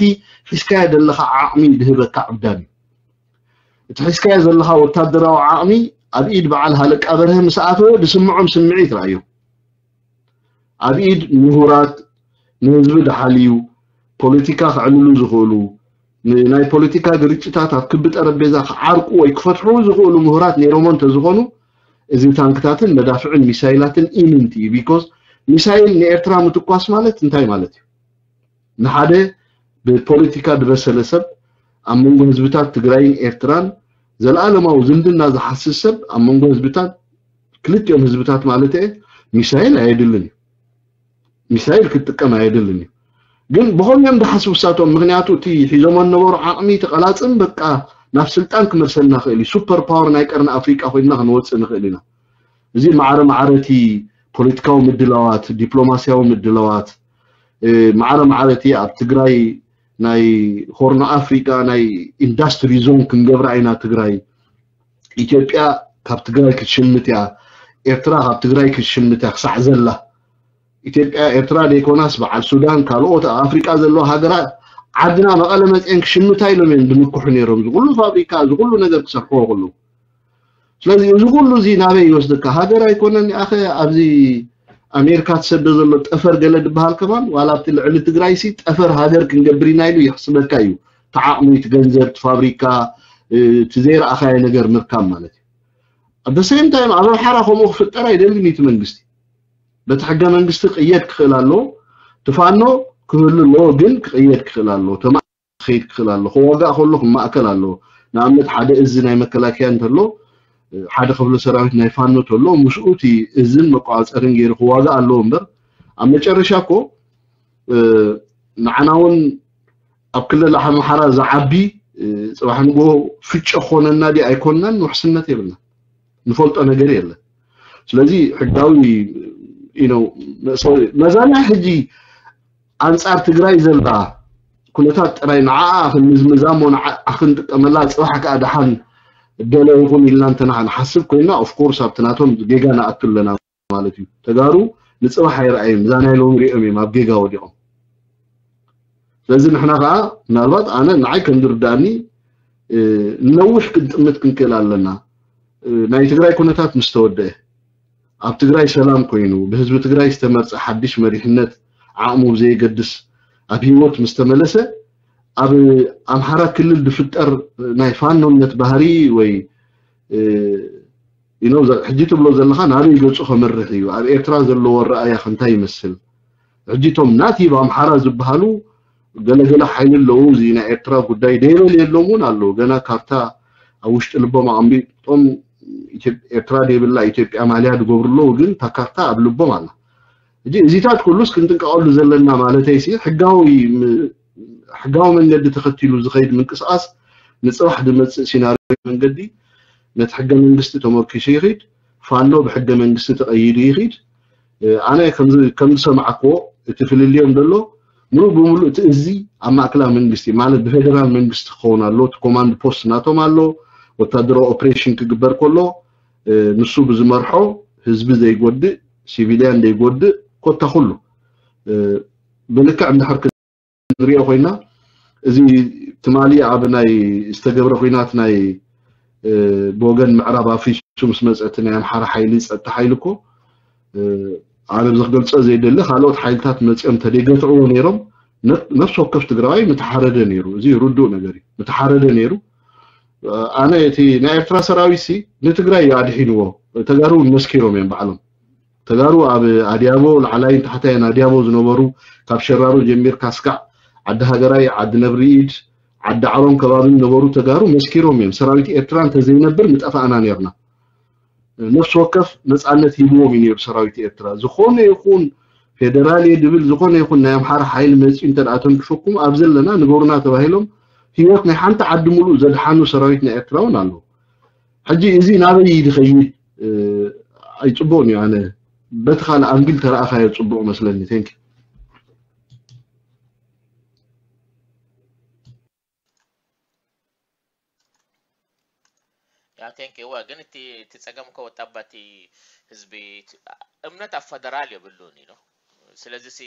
ሒዝካዮ ዘለኻ ዓቕሚ ድህበካ ዕብዳን እዩ። እቲ ሒዝካዮ ዘለኻ ወታደራዊ ዓቕሚ ኣብ ኢድ በዓል ሃለቃ በርሀ ምስ ኣተወ ዝስምዖም ስምዒት ረኣዮ። ኣብ ኢድ ምሁራት ንህዝቢ ድሓልዩ ፖለቲካ ክዕልሉ ዝኽእሉ ናይ ፖለቲካ ግርጭታት ኣብ ክቢ ጠረጴዛ ክዓርቁ ወይ ክፈትሑ ዝኽእሉ ምሁራት ነይሮሞ እንተዝኾኑ እዚ ታንክታትን መዳፍዕን ሚሳይላትን ኢምንት እዩ። ቢኮዝ ሚሳይል ንኤርትራ ምትኳስ ማለት እንታይ ማለት እዩ? ንሓደ ብፖለቲካ ዝበሰለ ሰብ ኣብ መንጎ ህዝብታት ትግራይን ኤርትራን ዘለኣለማዊ ዝምድና ዝሓስስ ሰብ ኣብ መንጎ ህዝብታት ክልቲኦም ህዝብታት ማለት እየ ሚሳይል ኣየድልን እዩ። ሚሳይል ክትጥቀም ኣየድልን እዩ። ግን ብኸምኦም ድሓስቡ ሳቶም ምክንያቱ እቲ ሒዞሞ ነበሩ ዓቕሚ ተቐላፅም በቃ ናብ ስልጣን ክመልሰልና ክእል እዩ። ሱፐር ፓወር ናይ ቀርኒ ኣፍሪቃ ኮይንና ክንወፅእ ንኽእል ኢና። እዚ ማዕረ ማዕረ እቲ ፖለቲካዊ ምድላዋት፣ ዲፕሎማሲያዊ ምድላዋት፣ ማዕረ ማዕረ እቲ ኣብ ትግራይ ናይ ሆርኖ ኣፍሪቃ ናይ ኢንዳስትሪ ዞን ክንገብራ ኢና ትግራይ። ኢትዮጵያ ካብ ትግራይ ክትሽምት እያ፣ ኤርትራ ካብ ትግራይ ክትሽምት እያ ክሳዕ ዘላ። ኢትዮጵያ ኤርትራ ደይኮናስ በዓል ሱዳን ካልኦት ኣብ ኣፍሪቃ ዘለዋ ሃገራት ዓድና መቐለ መፅኤን ክሽምታ ኢሎም እዮም ዝምክሑ ነይሮም። ዝኩሉ ፋብሪካ ዝኩሉ ነገር ክሰርሕዎ ከለዉ ስለዚ እዚ ኩሉ እዚ ናበይ ይወስደካ? ሃገር ኣይኮነን ኣኸ ኣብዚ ኣሜሪካ ትሰዶ ዘሎ ጠፈር ገለ ዝበሃል ከማን ዋላ ኣብቲ ልዕሊ ትግራይ ሲ ጠፈር ሃገር ክንገብር ኢና ኢሉ ይሕስበካ እዩ። ተዓቕሚ እቲ ገንዘብ እቲ ፋብሪካ እቲ ዘይረኣኻዮ ነገር ምርካብ ማለት እዩ። ኣብ ሴም ታይም ኣብ ኣምሓራ ከምኡ ክፍጠር ኣይደልን እቲ መንግስቲ። በቲ ሕገ መንግስቲ ክቕየድ ክኽእል ኣለዎ። ትፋኖ ክህሉ ኣለዎ ግን ክቕየድ ክኽእል ኣለዎ። ክኸይድ ክኽእል ኣለዎ። ክዋጋእ ከሎ ክማእከል ኣለዎ። ንኣብነት ሓደ እዚ ናይ መከላከያ እንተሎ ሓደ ክፍለ ሰራዊት ናይ ፋኖ ተሎ ምስኡ እቲ እዝን መቋፀርን ገይሩ ክዋጋእ ኣለዎ እምበር ኣብ መጨረሻ እኮ ንዓና እውን ኣብ ክልል ኣምሓራ ዝዓቢ ፅባሕ ንጎ ፍጨ ክኾነና ዲ ኣይኮንናን ውሕስነት የብልና ንፈልጦ ነገር የለን ስለዚ ሕጋዊ መዛና ሕጂ ኣንጻር ትግራይ ዘላ ኩነታት ጥራይ ንዓኣ ክንምዝምዛ እሞ ንዓኣ ክንጥቀመላ ጽባሕ ከኣ ደሓን ገለ ይኹን ኢልና እንተና ንሓስብ ኮይና ኦፍኮርስ ኣብቲ ናቶም ጌጋ ንኣቱ ኣለና ማለት እዩ። ተጋሩ ንጽባሕ ኣይረኣዩን እዛ ናይ ሎሚ ሪኦም እዮም ኣብ ጌጋ ወዲቖም። ስለዚ ንሕና ከኣ ምናልባት ኣነ ንዓይ ከም ዝርዳእኒ ንነዊሕ ክንጥምት ክንክእል ኣለና። ናይ ትግራይ ኩነታት ምስ ተወደአ ኣብ ትግራይ ሰላም ኮይኑ ብህዝቢ ትግራይ ዝተመርፀ ሓድሽ መሪሕነት ዓቕሙ ብዘየገድስ ኣብ ህይወት ምስ ተመለሰ ኣብ ኣምሓራ ክልል ዝፍጠር ናይ ፋኖነት ባህሪ ወይ you know ሕጂ ትብሎ ዘለኻ ናበይ ገፁ ከምርሕ እዩ ኣብ ኤርትራ ዘለዎ ኣረኣእያ እንታይ ይመስል ሕጂ እቶም ናቲቭ ኣምሓራ ዝበሃሉ ገለገለ ሓይሊ ኣለዉ እዚ ናይ ኤርትራ ጉዳይ ደይበል የሎም እውን ኣለዉ ገና ካርታ ኣብ ውሽጢ ልቦም ኣቐሚጦም ኢትዮ- ኤርትራ ዘይብላ ኢትዮጵያ ማልያ ዝገብሩ ኣለዉ፣ ግን እታ ካርታ ኣብ ልቦም ኣላ። ሕጂ እዚታት ኩሉስ ክንጥንቀቐሉ ዘለና ማለተይሲ፣ ሕጋዊ ም- ሕጋዊ መንገዲ ተኸቲሉ ዝኸይድ ምንቅስቃስ ንፅባሕ ዝመፅእ ሲናሪዮ መንገዲ ነቲ ሕገ መንግስቲ ተመርኪሱ ይኸይድ፣ ፋኖ ብሕገ መንግስቲ ተቐይዱ ይኸይድ። ኣነ ከምዝሰማዕክዎ እቲ ፍልልዮም ዘሎ ምሉእ ብምሉእ እቲ እዚ ኣብ ማእከላዊ መንግስቲ ማለት ብፌደራል መንግስቲ ክኸውን ኣሎ። እቲ ኮማንድ ፖስት ናቶም ኣሎ። ወታደራዊ ኦፕሬሽን ክግበር ከሎ ንሱ ብዝመርሖ ህዝቢ ዘይጎድእ፣ ሲቪልያን ዘይጎድእ፣ ኮታ ኩሉ ብልክዕ እንድሕር ክንሪኦ ኮይና፣ እዚ ትማሊ ኣብ ናይ ዝተገብረ ኲናት ናይ ብወገን ምዕራብ ኣፍሪሱ ምስ መፀ እቲ ናይ ኣምሓራ ሓይሊ፣ ፀጥታ ሓይሊ እኮ ኣነ ብዚ ክገልፆ ዘይደሊ፣ ካልኦት ሓይልታት መፂኦም ተደይገትዕዎ ነይሮም፣ ነፍሲ ወከፍ ትግራዋይ ምተሓረደ ነይሩ። እዚ ርዱእ ነገር እዩ። ምተሓረደ ነይሩ። ኣነ እቲ ናይ ኤርትራ ሰራዊት ሲ ንትግራይ እዩ ኣድሒንዎ። ተጋሩ እውን መስኪሮም እዮም ባዕሎም። ተጋሩ ኣብ ኣድያቦ፣ ላዕላይን ታሕታይን ኣድያቦ ዝነበሩ፣ ካብ ሸራሮ ጀሚርካ እስካዕ ዓዲ ሃገራይ፣ ዓዲ ነብሪ ኢድ፣ ዓዲ ዓሎም ከባቢ ዝነበሩ ተጋሩ መስኪሮም እዮም። ሰራዊት ኤርትራ እንተዘይነብር ምጠፋእና ነርና። ነፍሲ ወከፍ ነፃነት ሂብዎም እዩ ነይሩ ሰራዊት ኤርትራ። ዝኾነ ይኹን ፌደራል እየ ድብል፣ ዝኾነ ይኹን ናይ ኣምሓራ ሓይሊ መፂኡ እንተ ደኣ ተንክፈኩም ኣብ ዘለና ንገሩና ተባሂሎም ህይወት ናይ ሓንቲ ዓዲ ሙሉእ ዘድሓኑ ሰራዊት ናይ ኤርትራ እውን ኣለዉ። ሕጂ እዚ ናበይ ድኸይድ ኣይፅቡቕን እዩ። ኣነ በቲ ካልእ ኣንግል ተረኣኻዮ ፅቡቕ መስለኒ። ቴንክ ያ ቴንክ ዩ። እወ ግን እቲ እቲ ጸገም እኮ ወጣባ እቲ ህዝቢ እቲ እምነት ኣብ ፈደራል የብሉን ኢሉ። ስለዚ ሲ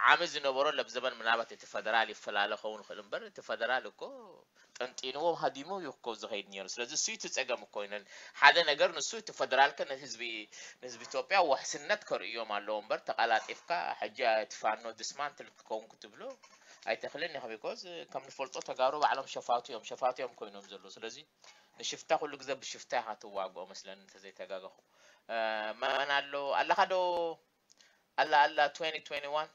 ዓሚ ዝነበሮ ለብ ዘበን ምናልባት እቲ ፈደራል ይፈላለ ኸውን ይኽእል እምበር እቲ ፈደራል እኮ ጠንጢንዎ ሃዲሙ እዩ እኮ ዝኸይድ ነይሩ። ስለዚ እሱ እቲ ጸገም እኮ ይነን ሓደ ነገር ንሱ እቲ ፈደራል ከ ንህዝቢ ንህዝቢ ኢትዮጵያ ውሕስነት ከርእዮም ኣለዎ እምበር ተቐላጢፍካ ሕጂ እቲ ፋኖ ዲስማንትል ክትከውን ክትብሎ ኣይተኽልን ኢኻ። ቢኮዝ ከም ንፈልጦ ተጋሩ ባዕሎም ሸፋቱ እዮም ሸፋቱ እዮም ኮይኖም ዘለዉ። ስለዚ ንሽፍታ ኩሉ ግዜ ብሽፍታ ኢኻ ትዋግኦ መስለኒ እንተዘይተጋገኹ። መን ኣሎ ኣለኻ ዶ? ኣላ ኣላ twenty twenty-one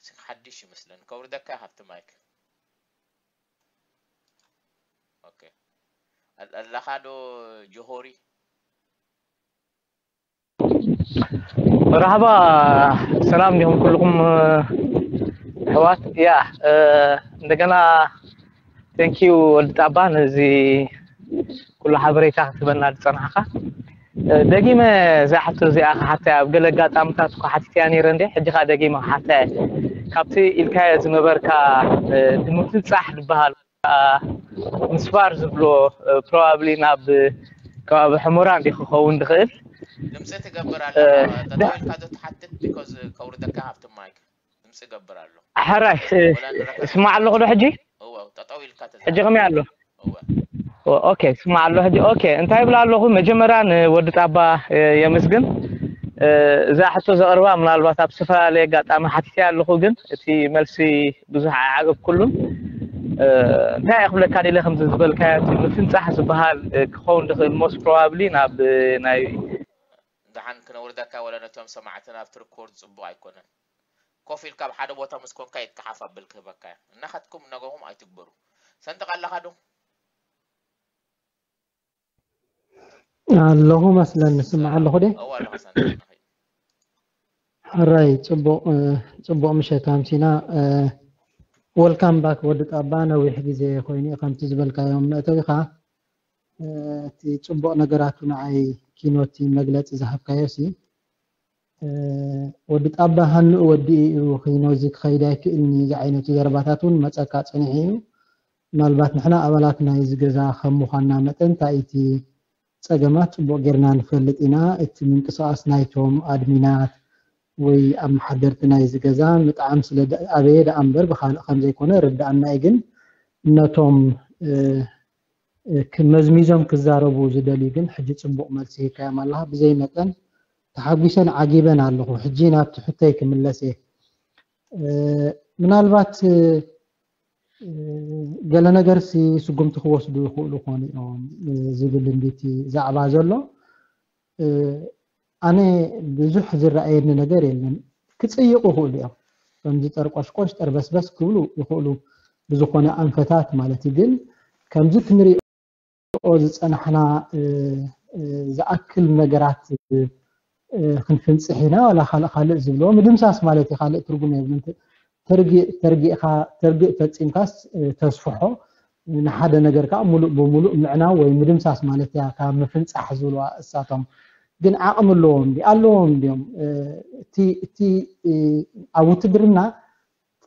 ስም ሓድሽ ይመስለኒ ከውርደካ ካብቲ ማይክ። ኦኬ ኣለኻ ዶ ጆሆሪ? መርሓባ ሰላም ዲኹም ኩልኹም ኣሕዋት። ያ እንደገና thank you ወዲ ጣባ ነዚ ኩሉ ሓበሬታ ክትበና ዝጸናሕካ። ደጊመ እዛ ሕቶ እዚኣ ክሓታ ኣብ ገለ ኣጋጣምታት እኳ ሓቲተያ ነይረ እንዴ፣ ሕጂ ከዓ ደጊመ ክሓታ እየ። ካብቲ ኢልካዮ ዝነበርካ ንምፍንጻሕ ዝበሃል ምስፋር ዝብሎ probably ናብ ከባቢ ሕሞራ እንዲ ክኸውን ዝኽእል። ድምፂ ትገብር ኣለኻ ጠጠው ኢልካ ዶ ትሓትት? ቢኮዝ ከውርደካ ካብቲ ማይክ ድምፂ ገብር ኣሎ። ሕራይ ወላ ንረካ እስማዕ ኣለኹ ዶ ሕጂ? እወ ጠጠው ኢልካ ተዛረብ። ሕጂ ከመይ ኣሎ? እወ ኦኬ እስማዕ ኣሎ ሕጂ። ኦኬ እንታይ ይብላ ኣለኹ? መጀመርያ ንወዲ ጣባ የመስግን። እዛ ሕቶ ዘቕርባ ምናልባት ኣብ ዝተፈላለየ ኣጋጣሚ ሓቲተያ ኣለኹ፣ ግን እቲ መልሲ ብዙሕ ኣይዓገብኩሉን። እንታይ እየ ክብለካ ደለ ከምዚ ዝበልካዮ እቲ ምፍንጻሕ ዝበሃል ክኸውን ዝኽእል most probably ናብ ናይ ደሓን ክነውርደካ ወላ ነቶም ሰማዕትና ኣብቲ ሪኮርድ ጽቡቕ ኣይኮነን። ኮፍ ኢልካ ኣብ ሓደ ቦታ ምስ ኮንካ ኢድካ ሓፍ ኣብል ክህበካ እያ። እናኸድኩም ነገኹም ኣይትግበሩ። ሰንጥቕ ኣለኻ ዶ? ኣለኹ መስለኒ ስማዕ ኣለኹ ደ እዋ ኣለኻ ሰንጥቕ ንኸይድ። ሕራይ ጽቡቕ ጽቡቕ ምሸት ኣምሲና። Welcome back ወዲ ጣባ ነዊሕ ግዜ ኮይኑ እዩ ከምቲ ዝበልካዮም መእተዊኻ። እቲ ጽቡቕ ነገራቱ ንዓይ ኪኖቲ መግለጺ ዝሃብካዮ ሲ ወዲ ጣባ ሃንኡ ወዲኡ እዩ ኪኖ እዚ ክኸይድ ኣይክእልኒ ዝዓይነቱ ዘረባታት እውን መጸካ ጸኒሑ እዩ። ምናልባት ንሕና ኣባላት ናይዚ ገዛ ከም ምዃንና መጠን እንታይ እቲ ጸገማት ጽቡቕ ጌርና ንፈልጥ ኢና። እቲ ምንቅስቓስ ናይቶም ኣድሚናት ወይ ኣመሓደርቲ ናይዚ ገዛ ምጥዓም ስለ ኣበየ ደኣ እምበር ብኻልእ ከም ዘይኮነ ርድኣና እዩ። ግን ነቶም መዝሚዞም ክዛረቡ ዝደልዩ ግን ሕጂ ጽቡቕ መልሲ ሂብካዮም ኣለኻ። ብዘይ መጠን ተሓጒሰን ዓጊበን ኣለኹ። ሕጂ ናብቲ ሕቶይ ክምለስ እየ። ምናልባት ገለ ነገርሲ ስጉምቲ ክወስዱ ይኽእሉ ኾኑ እዮም ዝብል እንዲቲ ዛዕባ ዘሎ። ኣነ ብዙሕ ዝረኣየኒ ነገር የለን። ክጽይቑ ይኽእሉ እዮም። ከምዚ ጠርቆሽቆሽ ጠርበስበስ ክብሉ ይኽእሉ ብዝኾነ ኣንፈታት ማለት እዩ። ግን ከምዚ ክንሪኦ ዝፀናሕና ዝኣክል ነገራት ክንፍንፅሕ ኢና። ዋላ ካልእ ካልእ ዝብልዎ ምድምሳስ ማለት እዩ፣ ካልእ ትርጉም የብሉን። ተርጊእ ፈፂምካስ ተስፍሖ፣ ንሓደ ነገር ከዓ ሙሉእ ብሙሉእ ምዕናው ወይ ምድምሳስ ማለት እያ ካብ ምፍንፃሕ ዝብልዋ እሳቶም። ግን ዓቕሚ ኣለዎም ድዩ? ኣለዎም ድዮም? እቲ ኣብ ውትድርና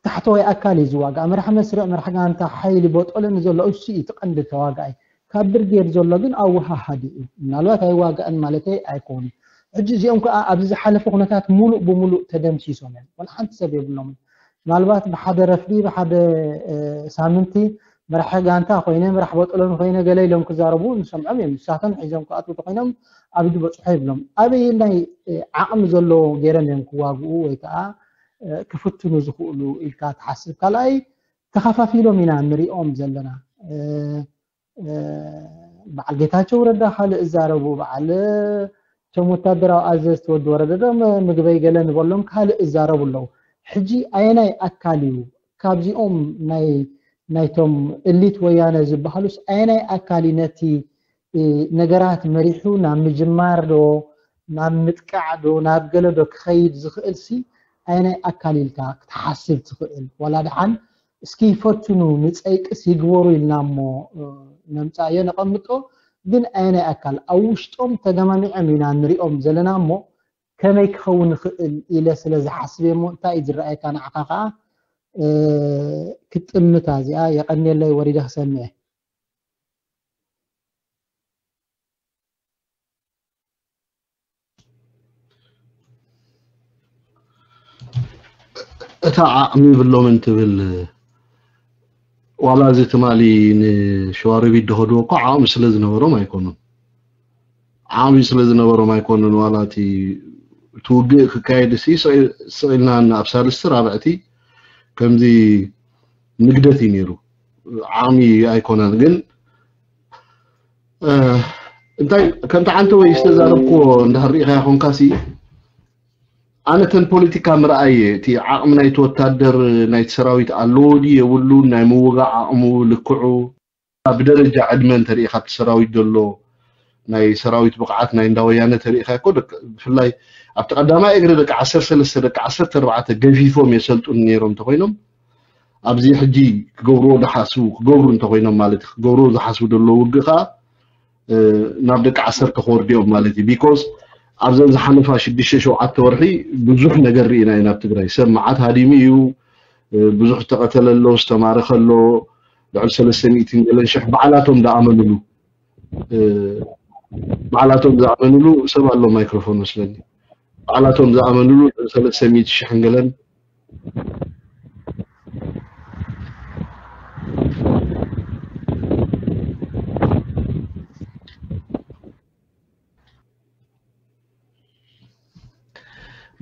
ታሕተዋይ ኣካል እዩ ዝዋጋእ። መራሕ መስርዕ፣ መራሕ ጋንታ፣ ሓይሊ በጦለ ንዘሎ እሱ እዩ እቲ ቀንዲ ተዋጋኣይ። ካብ ብርጌድ ዘሎ ግን ኣወሃሃዲ እዩ። ምናልባት ኣይዋጋእን ማለተይ ኣይኮኑን። ሕጂ እዚኦም ከዓ ኣብዚ ዝሓለፈ ኩነታት ሙሉእ ብሙሉእ ተደምሲሶም እዮም። ወላ ሓንቲ ሰብ የብሎምን። ምናልባት ብሓደ ረፍዲ፣ ብሓደ ሳምንቲ መራሒ ጋንታ ኮይነ፣ መራሕ በጦሎን ኮይነ ገለ ኢሎም ክዛረቡ ንሰምዖም እዮም። ንሳቶም ሒዞም ክኣትዉ ተኮይኖም ኣብ ኢዱ በፅሖ ይብሎም። ኣበየናይ ዓቕሚ ዘለዎ ገይሮም እዮም ክዋግኡ ወይ ከዓ ክፍትኑ ዝኽእሉ ኢልካ ትሓስብ? ካልኣይ፣ ተኸፋፊሎም ኢና ንሪኦም ዘለና። በዓል ጌታቸው ረዳ ካልእ እዛረቡ፣ በዓል እቶም ወታደራዊ ኣዘዝቲ ወዲ ወረደ ዶ ምግበይ ገለ ንበሎም ካልእ እዛረቡ ኣለዉ። ሕጂ ኣየናይ ኣካል እዩ ካብዚኦም ናይ ናይቶም እሊት ወያነ ዝበሃሉስ ኣየናይ ኣካል እዩ ነቲ ነገራት መሪሑ ናብ ምጅማር ዶ ናብ ምጥቃዕ ዶ ናብ ገለ ዶ ክኸይድ ዝኽእል ሲ ኣየናይ ኣካል ኢልካ ክትሓስብ ትኽእል? ዋላ ደሓን እስኪ ይፈትኑ ንፀይቅስ ይግበሩ ኢልና እሞ ነምፃዮ ነቐምጦ። ግን ኣየናይ ኣካል ኣብ ውሽጦም ተገማሚዖም ኢና ንሪኦም ዘለና እሞ ከመይ ክኸውን ይኽእል ኢለ ስለ ዝሓስብ እሞ እንታይ እዩ ዝረኣየካ ንዓኻ ከዓ ክጥምታ እዚኣ የቐንየለይ ወሪደ ክሰምዐ። እታ ዓቕሚ ይብሎምን ትብል ዋላ እዚ ትማሊ ንሸዋሮቢት ዝኸድዎ እኮ ዓቕሚ ስለ ዝነበሮም ኣይኮኑን። ዓቕሚ ስለ ዝነበሮም ኣይኮኑን። ዋላ እቲ እቲ ውግእ ክካየድ ሲ ስቕ ኢልና ኣብ ሳልስቲ ራብዕቲ ከምዚ ንግደት እዩ ነይሩ። ዓቕሚ ኣይኮነን ግን እንታይ ከምቲ ዓንተ ወይ ዝተዛረብክዎ እንዳርኢኻ ይኾንካ ሲ ኣነ ተን ፖለቲካ ምርኣየ እቲ ዓቕሚ ናይቲ ወታደር ናይቲ ሰራዊት ኣለዎ ድዩ የብሉን ናይ ምውጋእ ዓቕሙ ልክዑ ብደረጃ ዕድመ እንተሪኢኻ ኣብቲ ሰራዊት ዘሎ ናይ ሰራዊት ብቕዓት ናይ እንዳወያነ ተሪኢኻ እኮ ብፍላይ ኣብቲ ቀዳማይ እግሪ ደቂ ዓሰርተ ሰለስተ ደቂ ዓሰርተ ኣርባዕተ ገፊፎም የሰልጡን ነይሮም እንተኮይኖም ኣብዚ ሕጂ ክገብርዎ ዝሓስቡ ክገብሩ እንተኮይኖም ማለት እዩ ክገብርዎ ዝሓስቡ ዘለዉ ውግእ ከዓ ናብ ደቂ ዓሰርተ ክወርድኦም ማለት እዩ because ኣብዘን ዝሓለፋ ሽዱሽተ ሸውዓተ ወርሒ ብዙሕ ነገር ርኢና ኢና ኣብ ትግራይ ሰብ መዓት ሃዲሙ እዩ ብዙሕ ዝተቐተለ ኣሎ ዝተማረኸ ኣሎ ልዕሊ ሰለስተ ሚእትን ገለን ሽሕ ባዕላቶም ዝኣመንሉ ባዕላቶም ዝኣመንሉ ሰብ ኣሎ ማይክሮፎን መስለኒ ባዕላቶም ዝኣመንሉ ልዕሊ ሰለስተ ሚእቲ ሽሕን ገለን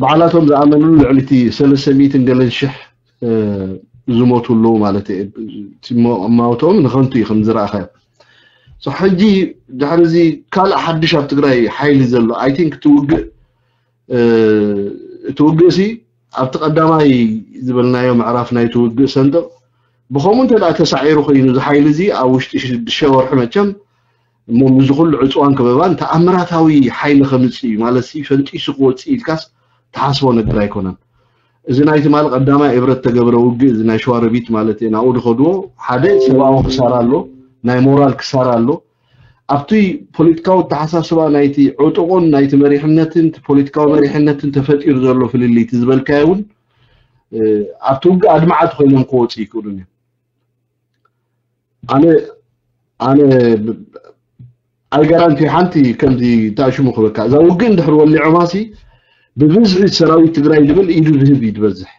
ባዕላቶም ዝኣመንሉ ልዕሊ እቲ ሰለስተ ሚእትን ገለን ሽሕ ዝሞቱ ኣለዉ ማለት እዩ። እማውቶም ንኸንቱ እዩ ከም ዝረኣኻዮ። ሕጂ ድሕሪ እዚ ካልእ ሓድሽ ኣብ ትግራይ ሓይሊ ዘሎ ኣይ ቲንክ እቲ ውግእ እቲ ውግእ ሲ ኣብቲ ቀዳማይ ዝበልናዮ ምዕራፍ ናይቲ ውግእ ሰንጥቕ ብኸምኡ እንተ ተሳዒሩ ኮይኑ እዚ ሓይሊ እዚ ኣብ ውሽጢ ሽዱሽተ ወርሒ መቸም እሞ ምስዚ ኩሉ ዕፅዋን ከበባን ተኣምራታዊ ሓይሊ ከምፅእ እዩ ማለት ሲ ፈንጢሱ ክወፅእ ኢልካስ ትሓስቦ ነገር ኣይኮነን። እዚ ናይ ትማሊ ቀዳማይ እብረት ተገብረ ውግእ እዚ ናይ ሸዋሮቢት ማለት እየ ናብኡ ዝኸድዎ ሓደ ሰብኣዊ ክሳራ ኣሎ፣ ናይ ሞራል ክሳራ ኣሎ። ኣብቲ ፖለቲካዊ ኣተሓሳስባ ናይቲ ዕጡቕን ናይቲ መሪሕነትን ፖለቲካዊ መሪሕነትን ተፈጢሩ ዘሎ ፍልልይ እቲ ዝበልካዮ እውን ኣብቲ ውግእ ኣድማዓት ኮይኖም ክወፁ ይክእሉን እዮም። ኣነ ኣነ ኣይጋራንቲ ሓንቲ ከምዚ ታሽሙ ክበካ እዛ ውግእ እንድሕር ወሊዖማሲ ብብዝሒ ሰራዊት ትግራይ ዝብል ኢዱ ዝህብ እዩ ዝበዝሕ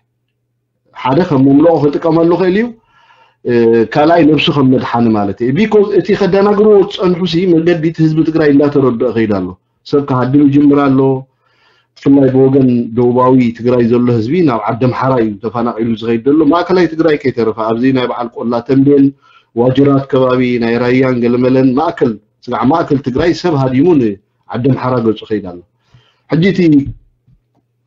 ሓደ ከም መምልኦ ክጥቀመሉ ክእል እዩ ካልኣይ ነብሱ ከም መድሓኒ ማለት እዩ ቢኮዝ እቲ ከደናግርዎ ዝፀንሑ ሲ መገዲ እቲ ህዝቢ ትግራይ እንዳተረድኦ ከይድ ኣሎ ሰብ ክሃድም ይጅምር ኣሎ ብፍላይ ብወገን ደቡባዊ ትግራይ ዘሎ ህዝቢ ናብ ዓዲ ኣምሓራ እዩ ተፈናቒሉ ዝኸይድ ዘሎ ማእከላይ ትግራይ ከይተረፈ ኣብዚ ናይ በዓል ቆላ ተንቤን ዋጅራት ከባቢ ናይ ራያን ገለመለን ማእከል ስጋዕ ማእከል ትግራይ ሰብ ሃዲሙ ንዓዲ ኣምሓራ ገፁ ከይድ ኣሎ ሕጂ እቲ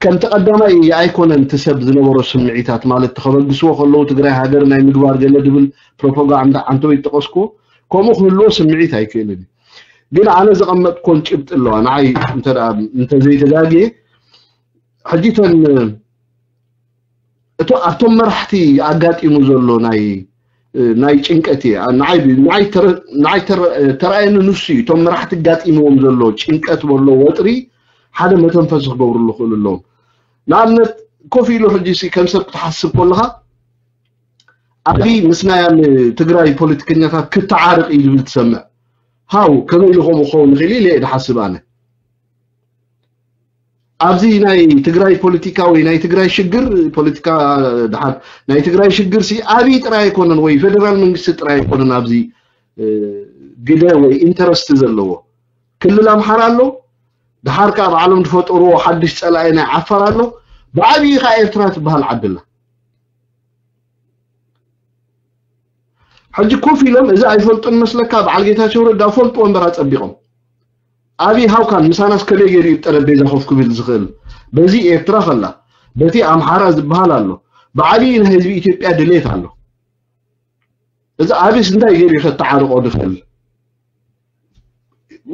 ከምቲ ቀዳማይ ኣይኮነን እቲ ሰብ ዝነበሮ ስምዒታት ማለት ተኸበግስዎ ከለዉ ትግራይ ሃገር ናይ ምግባር ገለ ዝብል ፕሮፓጋንዳ ዓንተወይ ዝጠቐስክዎ ከምኡ ክህልዎ ስምዒት ኣይክእልን እዩ። ግን ኣነ ዘቐመጥኮን ጭብጢ ኣለዋ ንዓይ እንተዘይተጋግየ ሕጂ ተን እቶ ኣብቶም መራሕቲ ኣጋጢሙ ዘሎ ናይ ናይ ጭንቀት እየ ንዓይ ተረኣየኒ ንሱ እዩ። እቶም መራሕቲ ኣጋጢምዎም ዘሎ ጭንቀት በሎ ወጥሪ ሓደ መተንፈሲ ክገብርሉ ክእሉ ኣለዎም። ንኣብነት ኮፍ ኢሉ ሕጂ ከም ሰብ ክትሓስብ ከለካ ኣብይ ምስ ናይ ትግራይ ፖለቲከኛታት ክተዓረቅ እዩ ዝብል ትሰምዕ። ሃው ከመይ ኢሉ ከምኡ ክኸውን ይኽእል ኢለ እየ ዝሓስብ ኣነ። ኣብዚ ናይ ትግራይ ፖለቲካ ወይ ናይ ትግራይ ሽግር ፖለቲካ ድሓር ናይ ትግራይ ሽግር ሲ ኣብይ ጥራይ ኣይኮነን ወይ ፌደራል መንግስቲ ጥራይ ኣይኮነን ኣብዚ ግደ ወይ ኢንተረስት ዘለዎ ክልል ኣምሓራ ኣሎ። ድሓር ከዓ ባዕሎም ዝፈጠርዎ ሓድሽ ፀላኢ ናይ ዓፋር ኣሎ። ብዓብዪ ከዓ ኤርትራ ትበሃል ዓዲ ኣላ። ሕጂ ኮፍ ኢሎም እዚ ኣይፈልጡን መስለካ? በዓል ጌታቸው ረዳ ፈልጥዎ እምበር ኣጸቢቖም። ኣብይ ሃውካን ምሳናስ ከመይ ገይሩ እዩ ጠረጴዛ ኮፍ ክብል ዝኽእል? በዚ ኤርትራ ከላ በቲ ኣምሓራ ዝበሃል ኣሎ። ብዓብዪ ናይ ህዝቢ ኢትዮጵያ ድሌት ኣሎ። እዚ ኣብይስ እንታይ ገይሩ እዩ ከተዓርቆ ዝኽእል?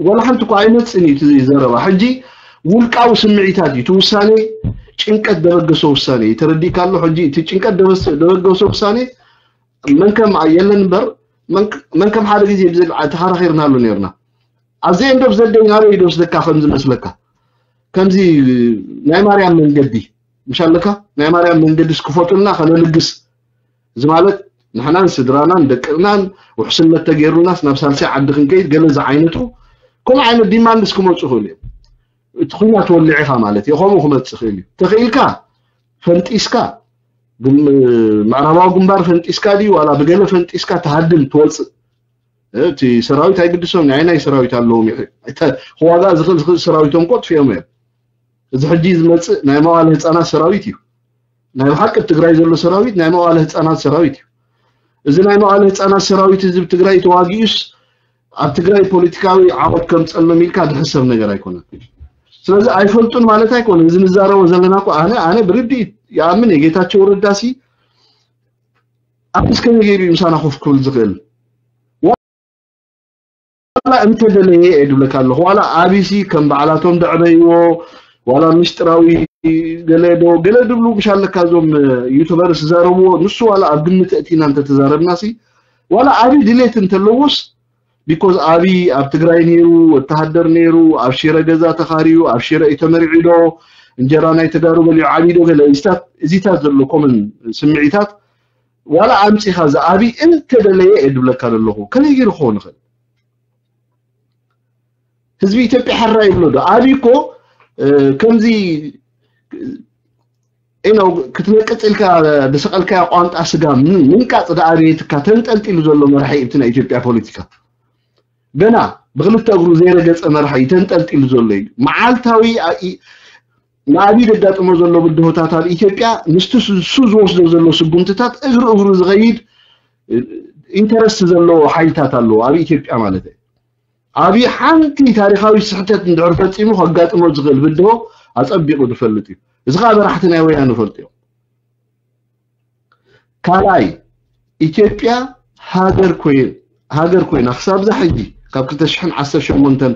ወላ ሓንቲ እኳ ኣይመፅን እዩ እቲ ዘረባ። ሕጂ ውልቃዊ ስምዒታት እዩ እቲ ውሳኔ፣ ጭንቀት ደበገሶ ውሳኔ እዩ። ተረዲእካ ኣሎ? ሕጂ እቲ ጭንቀት ደበስ- ደበገሶ ውሳኔ መን ከም የለን እምበር መን- መን ከም ሓደ ግዜ ብዘ- ተኸራኺርናሉ ነርና። ኣብዚ end of the day ናበይ ዶ ስደካ ከም ዝመስለካ ከምዚ ናይ ማርያም መንገዲ ምሻለካ ናይ ማርያም መንገዲ እስክፈቱልና ከነልግስ እዚ ማለት ንሕናን ስድራናን ደቅናን ውሕስነት ተገይሩልናስ ናብ ሳልሳይ ዓዲ ክንከይድ ገለ ዝዓይነቱ ከምኡ ዓይነት ዲማንድስ ክመፁ ይኽእሉ እዮም። እቲ ኩናት ወሊዕኻ ማለት እዩ ከምኡ ክመፅእ ይኽእል እዩ። ተኽኢልካ ፈንጢስካ ምዕራባዊ ግንባር ፈንጢስካ ድዩ ዋላ ብገለ ፈንጢስካ ትሃድም ትወፅእ እቲ ሰራዊት ኣይግድሶም ናይ ናይ ሰራዊት ኣለዎም ክዋጋ ዝኽእል ዝኽእል ሰራዊቶም ቆጥፍዮም እዮም። እዚ ሕጂ ዝመፅእ ናይ መዋለ ህፃናት ሰራዊት እዩ። ናይ ብሓቂ ትግራይ ዘሎ ሰራዊት ናይ መዋለ ህፃናት ሰራዊት እዩ። እዚ ናይ መዋለ ህፃናት ሰራዊት እዚ ትግራይ ተዋጊኡስ ኣብ ትግራይ ፖለቲካዊ ዓወት ከምፀሎም ኢልካ ዝሕሰብ ነገር ኣይኮነን። ስለዚ ኣይፈልጡን ማለት ኣይኮነን። እዚ ንዛረቦ ዘለና እኮ ኣነ ኣነ ብርድኢት ይኣምን እየ። ጌታቸው ረዳሲ ኣብስ ከመይ ገይሩ እዩ ምሳና ኮፍ ክብል ዝኽእል? ዋላ እንተደለየ እየ ድብለካ ኣለኹ። ዋላ ኣቢሲ ከም ባዕላቶም ደዕበይዎ ዋላ ምስጢራዊ ገለ ዶ ገለ ድብሉ ምሽ ኣለካ እዞም ዩቱበርስ ዝዛረብዎ ንሱ ዋላ ኣብ ግምት እቲና እንተተዛረብና ሲ ዋላ ኣቢ ድሌት እንተለዎስ ቢኮዝ ኣቢ ኣብ ትግራይ ነይሩ ወተሃደር ነይሩ ኣብ ሽረ ገዛ ተኻርዩ ኣብ ሽረ እዩ ተመሪዑ ዶ እንጀራ ናይ ተጋሩ በሊዑ ዓብዩ ዶ ገለ እዚታት እዚታት ዘሎ ኮመን ስምዒታት ዋላ ኣምፂኻ ዝኣቢ እንተደለየ እየ ድብለካ ዘለኹ ከመይ ገይሩ ክኸውን ይኽእል? ህዝቢ ኢትዮጵያ ሕራ ይብሎ ዶ? ኣቢ እኮ ከምዚ ነው ክትነቅፅ ኢልካ ዝሰቐልካዮ ቋንጣ ስጋ ምንቃፅ ዝኣበየትካ ተንጠልጢሉ ዘሎ መራሒ እቲ ናይ ኢትዮጵያ ፖለቲካ ገና ብክልተ እግሩ ዘይረገፀ መራሒ ተንጠልጢሉ ዘሎ እዩ። መዓልታዊ ንኣብይ ዘጋጥሞ ዘሎ ብድሆታት ኣብ ኢትዮጵያ ምስቲ እሱ ዝወስዶ ዘሎ ስጉምትታት እግሪ እግሩ ዝኸይድ ኢንተረስት ዘለዎ ሓይልታት ኣለዎ ኣብ ኢትዮጵያ ማለት እዩ። ኣብይ ሓንቲ ታሪካዊ ስሕተት እንድሕር ፈፂሙ ከጋጥሞ ዝኽእል ብድሆ ኣፀቢቑ ዝፈልጥ እዩ። እዚ ከዓ መራሕቲ ናይ ወያነ ይፈልጡ እዮም። ካልኣይ ኢትዮጵያ ሃገር ኮይና ክሳብ ዛ ሕጂ ካብ ክልተ ሽሕን ዓሰርተ ሸሞንተን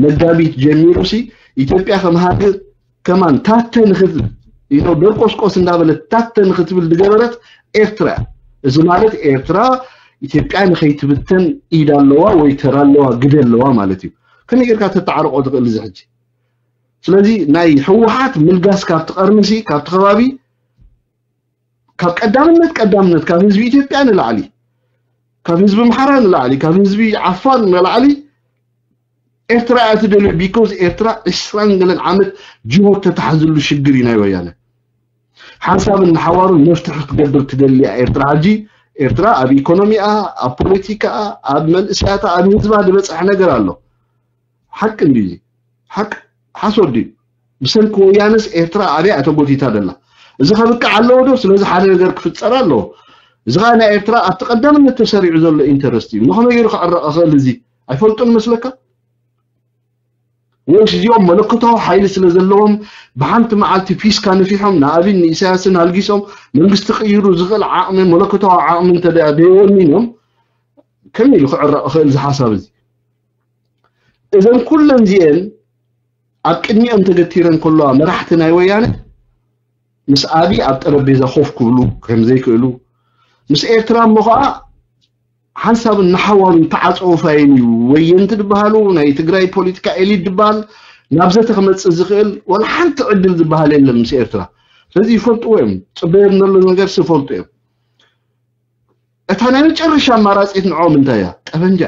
መጋቢት ጀሚሩ ሲ ኢትዮጵያ ከም ሃገር ከማን ታተ ንክትብል ኢኖ ደርቆስቆስ እንዳበለት ታተ ንክትብል ዝገበረት ኤርትራ እያ። እዚ ማለት ኤርትራ ኢትዮጵያ ንከይትብተን ኢድ ኣለዋ ወይ ተራ ኣለዋ ግደ ኣለዋ ማለት እዩ። ከመይ ጌርካ ተተዓርቆ ትኽእል እዚ ሕጂ? ስለዚ ናይ ህወሓት ምልጋስ ካብቲ ቀርኒ ሲ ካብቲ ከባቢ ካብ ቀዳምነት ቀዳምነት ካብ ህዝቢ ኢትዮጵያ ንላዕሊ ካብ ህዝቢ ኣምሓራ ንላዕሊ ካብ ህዝቢ ዓፋር ንላዕሊ ኤርትራ እያ ትደልዮ። ቢኮዝ ኤርትራ ዕስራን ገለን ዓመት ጅሆ ተታሕዝሉ ሽግር እዩ ናይ ወያነ። ሓንሳብን ንሓዋሩን መፍትሒ ክትገብር ትደሊ እያ ኤርትራ። ሕጂ ኤርትራ ኣብ ኢኮኖሚኣ፣ ኣብ ፖለቲካኣ፣ ኣብ መንእሰያታ፣ ኣብ ህዝባ ዝበፅሐ ነገር ኣሎ። ሓቂ እንድዩ ሓቂ ሓሶት ድዩ? ብሰንኪ ወያነስ ኤርትራ ኣብያ ተጎቲታ ደላ? እዚ ከብቅዕ ኣለዎ ዶ? ስለዚ ሓደ ነገር ክፍፀር ኣለዎ። እዚ ከዓ ናይ ኤርትራ ኣብቲ ቀዳምነት ተሰሪዑ ዘሎ ኢንተረስት እዩ። ንኸመይ ገይሩ ክዕረቕ ይኽእል? እዚ ኣይፈልጡን መስለካ? ወይስ እዚኦም መለኮታዊ ሓይሊ ስለ ዘለዎም ብሓንቲ መዓልቲ ፒስካ ነፊሖም ንኣብይን ንኢሳያስን ኣልጊሶም መንግስቲ ቅይሩ ዝኽእል ዓቕሚ መለኮታዊ ዓቕሚ እንተ ደኣ ደይወኒኖም ከመይ ኢሉ ክዕረቕ ይኽእል እዚ ሓሳብ እዚ? እዘን ኩለን እዚአን ኣብ ቅድሚኦም ተገቲረን ከለዋ መራሕቲ ናይ ወያነ ምስ ኣብይ ኣብ ጠረጴዛ ኮፍ ክብሉ ከም ዘይክእሉ፣ ምስ ኤርትራ እሞ ኸዓ ሓንሳብን ንሓዋሩን ተዓፀው ፋይል እዩ። ወየንቲ ዝበሃሉ ናይ ትግራይ ፖለቲካ ኤሊት ዝበሃል ናብ ዘተ ክመፅእ ዝኽእል ዋላ ሓንቲ ዕድል ዝበሃል የለን ምስ ኤርትራ። ስለዚ ይፈልጥዎ እዮም፣ ፅበዮም ዘሎ ነገር ይፈልጡ እዮም። እታ ናይ መጨረሻ ኣማራፂት ንዕኦም እንታይ እያ? ጠበንጃ።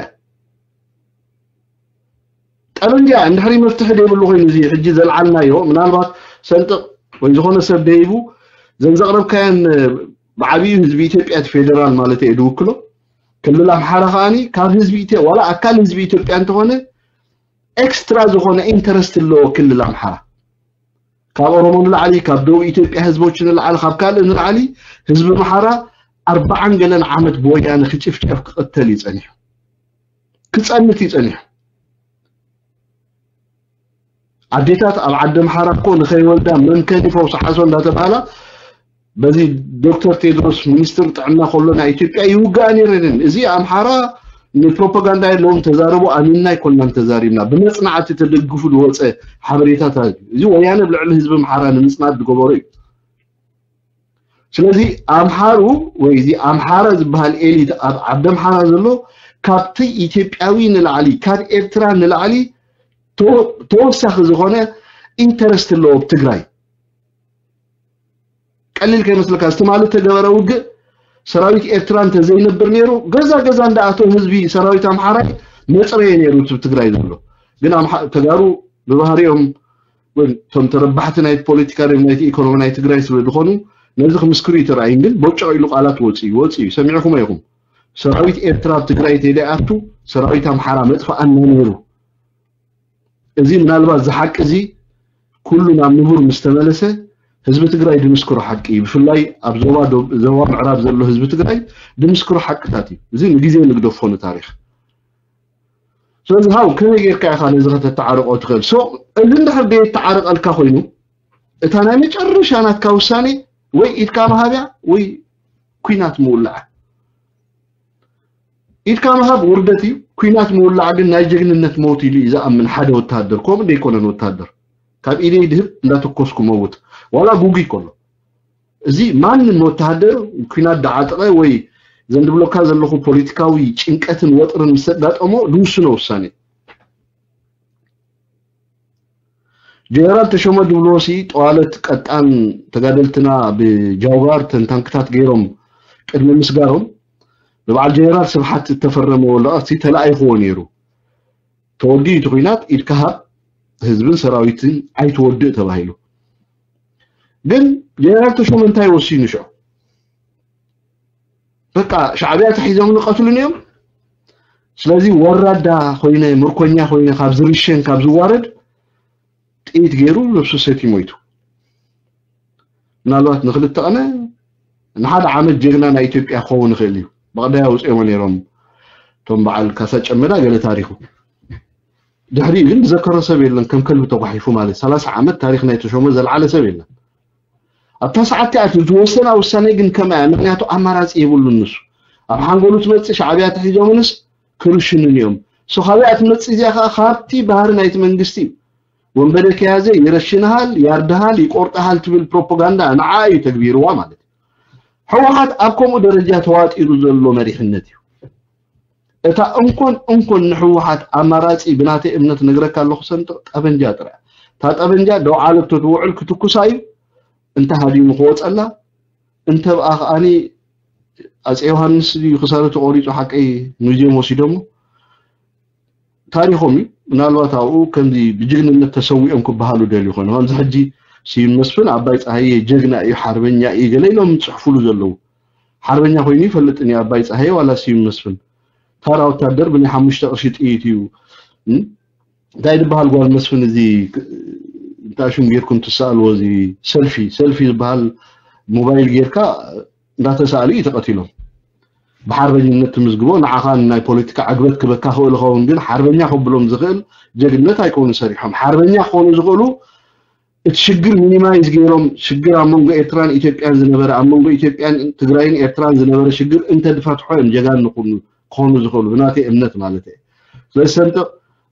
ጠበንጃ እንድሕሪ መፍትሒ ዘይብሉ ኮይኑ እዚ ሕጂ ዘልዓልናዮ ምናልባት ሰንጥቕ ወይ ዝኾነ ሰብ ደይቡ ዘን ዘቕረብካያን ብዓብዩ ህዝቢ ኢትዮጵያ እቲ ፌደራል ማለት እየ ድውክሎ። ክልል ኣምሓራ ከዓኒ ካብ ህዝቢ ኢትዮ ዋላ ኣካል ህዝቢ ኢትዮጵያ እንተኾነ ኤክስትራ ዝኾነ ኢንተረስት ኣለዎ ክልል ኣምሓራ። ካብ ኦሮሞ ንላዕሊ፣ ካብ ደቡብ ኢትዮጵያ ህዝቦች ንላዕሊ፣ ካብ ካልእ ንላዕሊ ህዝቢ ኣምሓራ ኣርባዓን ገለን ዓመት ብወያነ ክጭፍጨፍ ክቕተል እዩ ጸኒሑ፣ ክጸንት እዩ ጸኒሑ። ኣዴታት ኣብ ዓዲ ኣምሓራ እኮ ንኸይወልዳ መምከኒ ፈውሲ ሓሶ እንዳተባሃላ በዚ ዶክተር ቴድሮስ ሚኒስትር ጥዕና ከሎ ናይ ኢትዮጵያ ይውጋኣ ነይረን። እዚ ኣምሓራ ንፕሮፓጋንዳ የለዎም ተዛረቡ ኣሚንና ኣይኮንናን ተዛሪብና። ብመጽናዕቲ ተደግፉ ዝወፀ ሓበሬታታት እዩ። እዚ ወያነ ኣብ ልዕሊ ህዝቢ ኣምሓራ ንምጽናት ዝገበሮ እዩ። ስለዚ ኣምሓሩ ወይ እዚ ኣምሓራ ዝበሃል ኤሊት ኣብ ዓዲ ኣምሓራ ዘሎ ካብቲ ኢትዮጵያዊ ንላዕሊ ካብ ኤርትራ ንላዕሊ ተወ- ተወሳኺ ዝኾነ ኢንተረስት ኣለዎ ኣብ ትግራይ። ቀሊል ከይመስለካ፣ እዚ ትማሊ ተገበረ ውግእ ሰራዊት ኤርትራ እንተዘይነብር ነይሩ ገዛ ገዛ እንዳኣተው ህዝቢ ሰራዊት ኣምሓራይ መፅረየ ነይሩ እቲ ትግራይ ዘሎ። ግን ኣምሓ- ተጋሩ ብባህሪኦም ወይ እቶም ተረባሕቲ ናይ ፖለቲካ ድም ናይቲ ኢኮኖሚ ናይ ትግራይ ስለ ዝኾኑ ነዚ ክምስክሩ ይተራእይን። ግን ቦጭቕ ኢሉ ቃላት ወፂ ወፂ ሰሚዕኹም ኢኹም። ሰራዊት ኤርትራ ኣብ ትግራይ ተይደኣቱ ሰራዊት ኣምሓራ መጥፋኣና ነይሩ። እዚ ምናልባት እዚ ሓቂ እዚ ኩሉ ናብ ንቡር ምስ ተመለሰ ህዝቢ ትግራይ ድምስክሮ ሓቂ እዩ። ብፍላይ ኣብ ዞባ ዶ- ዞባ ምዕራብ ዘሎ ህዝቢ ትግራይ ድምስክሮ ሓቅታት እዩ። እዚ ንግዜ ንግደፎ ንታሪኽ። ስለዚ ሃው ከመይ ጌርካ ኢኻ ነዚ ከተተዓርቆ ትኽእል? ሶ እዚ እንድሕር ደየተዓርቀልካ ኮይኑ እታ ናይ መጨረሻ ናትካ ውሳኔ ወይ ኢድካ ምሃብያ ወይ ኩናት ምውላዕ። ኢድካ ምሃብ ውርደት እዩ። ኩናት ምውላዕ ግን ናይ ጀግንነት ሞት ኢሉ እዩ ዝኣምን ሓደ ወታደር። ከምኡ ደይኮነን ወታደር ካብ ኢደይ ድህብ እንዳተኮስኩ መውት ዋላ ጉጉይ ከሎ እዚ ማንም ወታደር ኩናት ዳዓጠቐ ወይ ዘንድብሎካ ዘለኹ ፖለቲካዊ ጭንቀትን ወጥርን ምስ ኣጋጠሞ ዝውስኖ ውሳኔ። ጀነራል ተሾመ ድብልዎ ሲ ጠዋለት ቀጣን ተጋደልትና ብጃውባር ተን ታንክታት ገይሮም ቅድሚ ምስጋሮም ብበዓል ጀነራል ስብሓት እተፈረመ ወረቐት ሲ ተላኢኽዎ ነይሩ። ተወዲኡ እቲ ኩናት ኢድካ ሃብ ህዝብን ሰራዊትን ኣይትወድእ ተባሂሉ። ግን ጀነራል ተሾመ እንታይ ወሲኑ ሽዑ? በቃ ሻዕብያ ተሒዞም ንቀትሉን እዮም። ስለዚ ወራዳ ኮይነ ምርኮኛ ኮይነ ካብ ዝርሸን ካብ ዝዋረድ ጥይት ገይሩ ነብሱ ሰትዩ ሞይቱ። ምናልባት ንክልተ ቀነ ንሓደ ዓመት ጀግና ናይ ኢትዮጵያ ክኸውን ይኽእል እዩ። በቕዳይ ኣውፅኦሞ ነይሮም እቶም በዓል ካሳ ጨመዳ ገለ ታሪኹ። ድሕሪኡ ግን ዝዘከሮ ሰብ የለን። ከም ከልቢ ተጓሒፉ ማለት ሰላሳ ዓመት ታሪኽ ናይ ተሾመ ዘልዓለ ሰብ የለን። ኣብታ ሰዓት እቲኣ እቲ ዝወሰና ውሳኔ ግን ከምኣ እያ። ምክንያቱ ኣማራፂ የብሉን ንሱ። ኣብ ሓንጎሉ ትመፅእ ሻዕብያ ተሒዞምንስ ክርሽኑን እዮም። ሶ ካበይ እያ ትመፅእ እዚኣ ከዓ? ካብቲ ባህሪ ናይቲ መንግስቲ እዩ። ወንበደ ከያዘ ይረሽንሃል፣ ያርድሃል፣ ይቆርጥሃል ትብል ፕሮፓጋንዳ ንዓ እዩ ተግቢርዋ ማለት እዩ። ህወሓት ኣብ ከምኡ ደረጃ ተዋጢሩ ዘሎ መሪሕነት እዩ። እታ እንኮን እንኮን ንህወሓት ኣማራፂ ብናተይ እምነት ነግረካ ኣለኹ ሰንጥቕ ጠበንጃ ጥራይ። እታ ጠበንጃ ደው ዓለቶ ትውዕል ክትኩሳ እዩ። እንተ ሃዲሙ ክወፀላ እንተ ብኣ ከዓኒ ኣፀ ዮሃንስ ድዩ ክሳዱ ተቆሪፁ ሓቀይ ሙዚየም ወሲዶሞ ታሪኾም እዩ። ምናልባት ኣብኡ ከምዚ ብጅግንነት ተሰዊኦም ክበሃሉ ደልዩ ኮይኑ ከምዚ ሕጂ ስዩም መስፍን ኣባይ ፀሃየ ጀግና እዩ ሓርበኛ እዩ ገለ ኢሎም ዝፅሕፉሉ ዘለዉ ሓርበኛ ኮይኑ ይፈልጥን እዩ ኣባይ ፀሃየ ዋላ ስዩም መስፍን ታራ ወታደር ብናይ ሓሙሽተ ቅርሺ ጥይት እዩ እንታይ ዝበሃል ጓል መስፍን እዚ እንታይ ሽም ጌርኩም ትሰኣልዎ እዚ ሰልፊ ሰልፊ ዝበሃል ሞባይል ጌርካ እንዳተሳእሉ እዩ ተቐቲሎም ብሓርበኝነት ትምዝግቦ ንዓኻ ናይ ፖለቲካ ዕግበት ክበካ ክእል ኸውን ግን ሓርበኛ ከብሎም ዝኽእል ጀግነት ኣይኮኑ ሰሪሖም ሓርበኛ ክኾኑ ዝኽእሉ እቲ ሽግር ሚኒማይዝ ገይሮም ሽግር ኣብ መንጎ ኤርትራን ኢትዮጵያን ዝነበረ ኣብ መንጎ ኢትዮጵያን ትግራይን ኤርትራን ዝነበረ ሽግር እንተድፈትሖ እዮም ጀጋን ንኹኑ ክኾኑ ዝኽእሉ ብናተይ እምነት ማለት እየ። ስለዚ ሰንጥቕ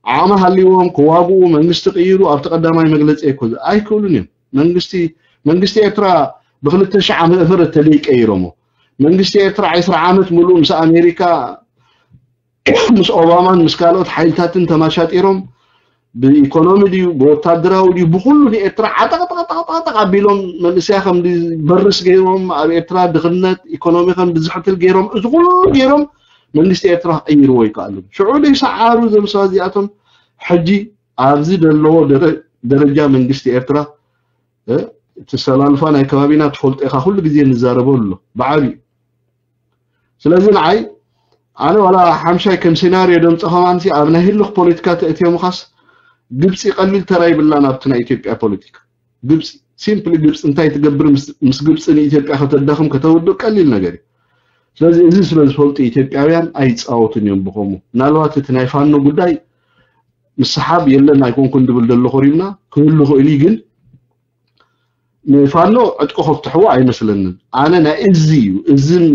ዓቕሚ ሃልይዎም ክዋግኡ መንግስቲ ቅይሩ ኣብቲ ቀዳማይ መግለፂ ኣይኮ ኣይክእሉን እዮም። መንግስቲ መንግስቲ ኤርትራ ብክልተ ሺሕ ዓመተ ምህረት ተደይ ቀይሮሞ መንግስቲ ኤርትራ ዕስራ ዓመት ሙሉእ ምስ ኣሜሪካ ምስ ኦባማን ምስ ካልኦት ሓይልታትን ተማሻጢሮም ብኢኮኖሚ ድዩ ብወታደራዊ ድዩ ብኩሉ ንኤርትራ ዓጠቕጠቕጠቕጠቕ ኣቢሎም መንእሰያ ከም በርስ ገይሮም ኣብ ኤርትራ ድኽነት ኢኮኖሚ ከም ብዝሕትል ገይሮም እዚ ኩሉ ገይሮም መንግስቲ ኤርትራ ክቕይርዎ ይከኣሉ። ሽዑ ደይሰዓሩ እዞም ሰባት እዚኣቶም ሕጂ ኣብዚ ዘለዎ ደረ- ደረጃ መንግስቲ ኤርትራ እ፣ እቲ ሰላልፋ ናይ ከባቢና ትፈልጦ ኢኻ ኩሉ ግዜ ንዛረበሉ ኣሎ ብዓብዩ። ስለዚ ንዓይ ኣነ ዋላ ሓምሻይ ከም ሴናርዮ ደምፀ ከማንሲ ኣብ ናይ ህልኽ ፖለቲካ ተእትዮ ምኻስ ግብፂ ቀሊል ተራ ይብላን ኣብቲ ናይ ኢትዮጵያ ፖለቲካ። ግብፂ ሲምፕሊ ግብፂ እንታይ ትገብር ምስ- ምስ ግብፂ ንኢትዮጵያ ከተዳኽም ከተውድቕ ቀሊል ነገር እዩ። ስለዚ እዚ ስለ ዝፈልጡ ኢትዮጵያውያን ኣይፃወቱን እዮም ብኸምኡ። ምናልባት እቲ ናይ ፋኖ ጉዳይ ምስሓብ የለን ኣይኮንኩን ድብል ደሎ ኮሪምና ክህሉ ክእል እዩ ግን ንፋኖ ዕጥቂ ከፍትሕዎ ኣይመስለንን። ኣነ ናይ እዚ እዩ እዝን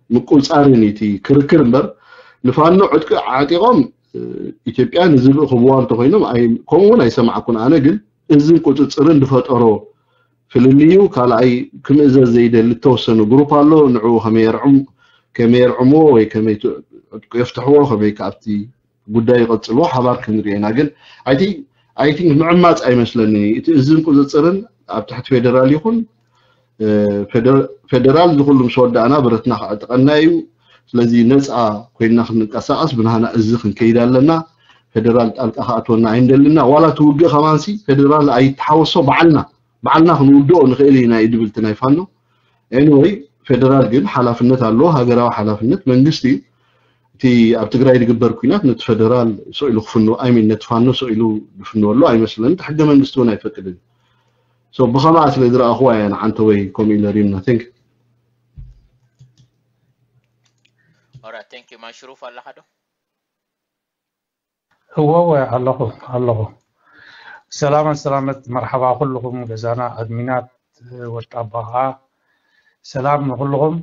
ምቁፃርን እቲ ክርክር እምበር ንፋኖ ዕጥቂ ዓጢቆም ኢትዮጵያ ንዝልእኽብዋ እንተኮይኖም ኣይ- ከምኡ እውን ኣይሰማዕኩን። ኣነ ግን እዝን ቁፅፅርን ዝፈጠሮ ፍልልዩ ካልኣይ ክምእዘዝ ዘይደሊ ዝተወሰኑ ግሩፕ ኣሎ። ንዕኡ ከመይ የርዕም ከመይ የርዕምዎ ወይ ከመይ ት- ዕጥቁ የፍትሕዎ ከመይ ካብቲ ጉዳይ ይቐጽልዎ ሓባር ክንርኢ ኢና። ግን ኣይ ቲንክ ምዕማጽ ኣይመስለኒ እቲ እዝን ቁፅፅርን ኣብ ትሕቲ ፌደራል ይኹን እ፣ ፌደ- ፌደራል ዝኩሉ ምስ ወዳእና ብረትና ክዕጥቐና እዩ። ስለዚ ነፃ ኮይንና ክንንቀሳቐስ ብናህና እዚ ክንከይድ ኣለና። ፌደራል ጣልቃ ክኣትወና ኣይንደልና። ዋላ እቲ ውግእ ከማንሲ ፌደራል ኣይተሓወሶ ባዕልና ባዕልና ክንውድኦ ንኽእል ኢና እዩ ድብል እቲ ናይ ፋኖ። ኤኒወይ ፌደራል ግን ሓላፍነት ኣለዎ፣ ሃገራዊ ሓላፍነት መንግስቲ እዩ። እቲ ኣብ ትግራይ ዝግበር ኩናት ነቲ ፈደራል ስቕ ኢሉ ክፍንዎ ኣይ ሚን ነቲ ፋኖ ስቕ ኢሉ ዝፍንወሉ ኣይመስለኒ። እቲ ሕገ መንግስቲ እውን ኣይፈቅድን። ሶ ብኸምኣ ስለ ዝረኣኽዋ እያ ንዓንተ ወይ ከምኡ ኢለ ሪምና። Thank you. ኦራ ቴንክ ዩ ማሽሩፍ ኣለኻ ዶ? እወ እወ ኣለኹ ኣለኹ። ሰላማት ሰላመት መርሓባ ኩልኹም ገዛና ኣድሚናት ወጣባ ከዓ ሰላም ንኩልኹም።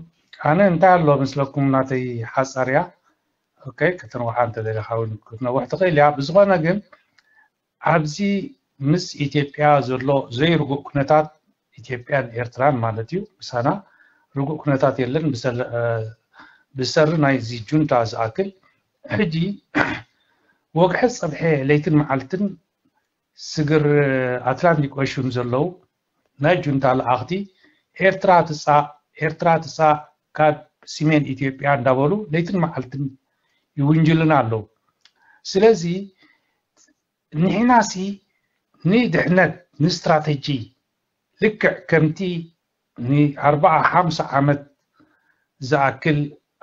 ኣነ እንታይ ኣሎ ምስለኩም ናተይ ሓፃር እያ። ኦኬ ከተንውሓ እንተደሊኻ እውን ክትነውሕ ትኽእል እያ። ብዝኾነ ግን ኣብዚ ምስ ኢትዮጵያ ዘሎ ዘይርጉእ ኩነታት ኢትዮጵያን ኤርትራን ማለት እዩ ምሳና ርጉእ ኩነታት የለን ብሰሪ ናይዚ ጁንታ ዝኣክል ሕጂ ወግሐ ጸብሐ ለይትን መዓልትን ስግር ኣትላንቲክ ኦሽን ዘለዉ ናይ ጁንታ ለኣኽቲ ኤርትራ ትጻእ ኤርትራ ትጻእ ካብ ሲሜን ኢትዮጵያ እንዳበሉ ለይትን መዓልትን ይውንጅሉና ኣለዉ። ስለዚ ንሕናሲ ንድሕነት ንስትራተጂ ልክዕ ከምቲ ንኣርባዓ ሓምሳ ዓመት ዝኣክል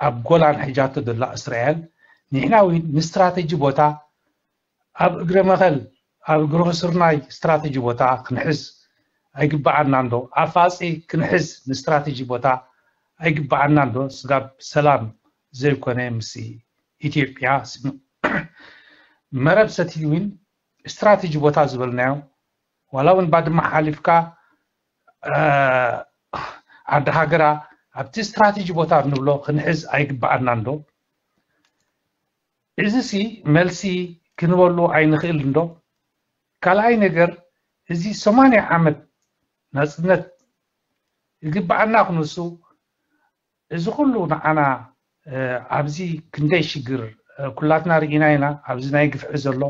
ኣብ ጎላን ሕጃቶ ዘላ እስራኤል ንሕና እውን ንስትራተጂ ቦታ ኣብ እግረ መኸል ኣብ እግሪ ስርናይ ስትራተጂ ቦታ ክንሕዝ ኣይግበኣና እንዶ ኣፋፂ ክንሕዝ ንስትራተጂ ቦታ ኣይግበኣና እንዶ ስጋብ ሰላም ዘይኮነ ምስ ኢትዮጵያ መረብ ሰቲት እውን ስትራተጂ ቦታ ዝበልናዮ ዋላ እውን ባድማ ሓሊፍካ ዓዲ ሃገራ ኣብቲ ስትራተጂ ቦታ ንብሎ ክንሕዝ ኣይግበኣና እንዶ እዚ ሲ መልሲ ክንበሉ ኣይንኽእል እንዶ ካልኣይ ነገር እዚ ሰማንያ ዓመት ናፅነት ይግበኣና ክንሱ እዚ ኩሉ ንዓና ኣብዚ ክንደይ ሽግር ኩላትና ርኢና ኢና ኣብዚ ናይ ግፍዒ ዘሎ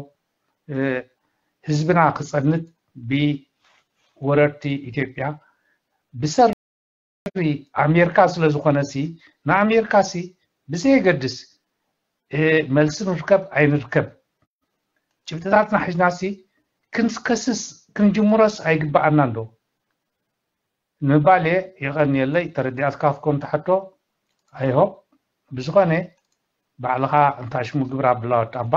ህዝብና ክፀንት ብወረርቲ ኢትዮጵያ ብሰሪ ኣሜርካ ስለ ዝኾነ ሲ ንኣሜርካ ሲ ብዘየገድስ መልሲ ንርከብ ኣይንርከብ ጭብጥታትና ሒዝና ሲ ክንከስስ ክንጅምሮስ ኣይግበኣና እንዶ ንምባል እየ የቐንየለይ ተረዲኣትካ ክትኮን ትሓቶ ኣይሆ ብዝኾነ ባዕልኻ እንታሽሙ ግብር ኣብላ ወጣባ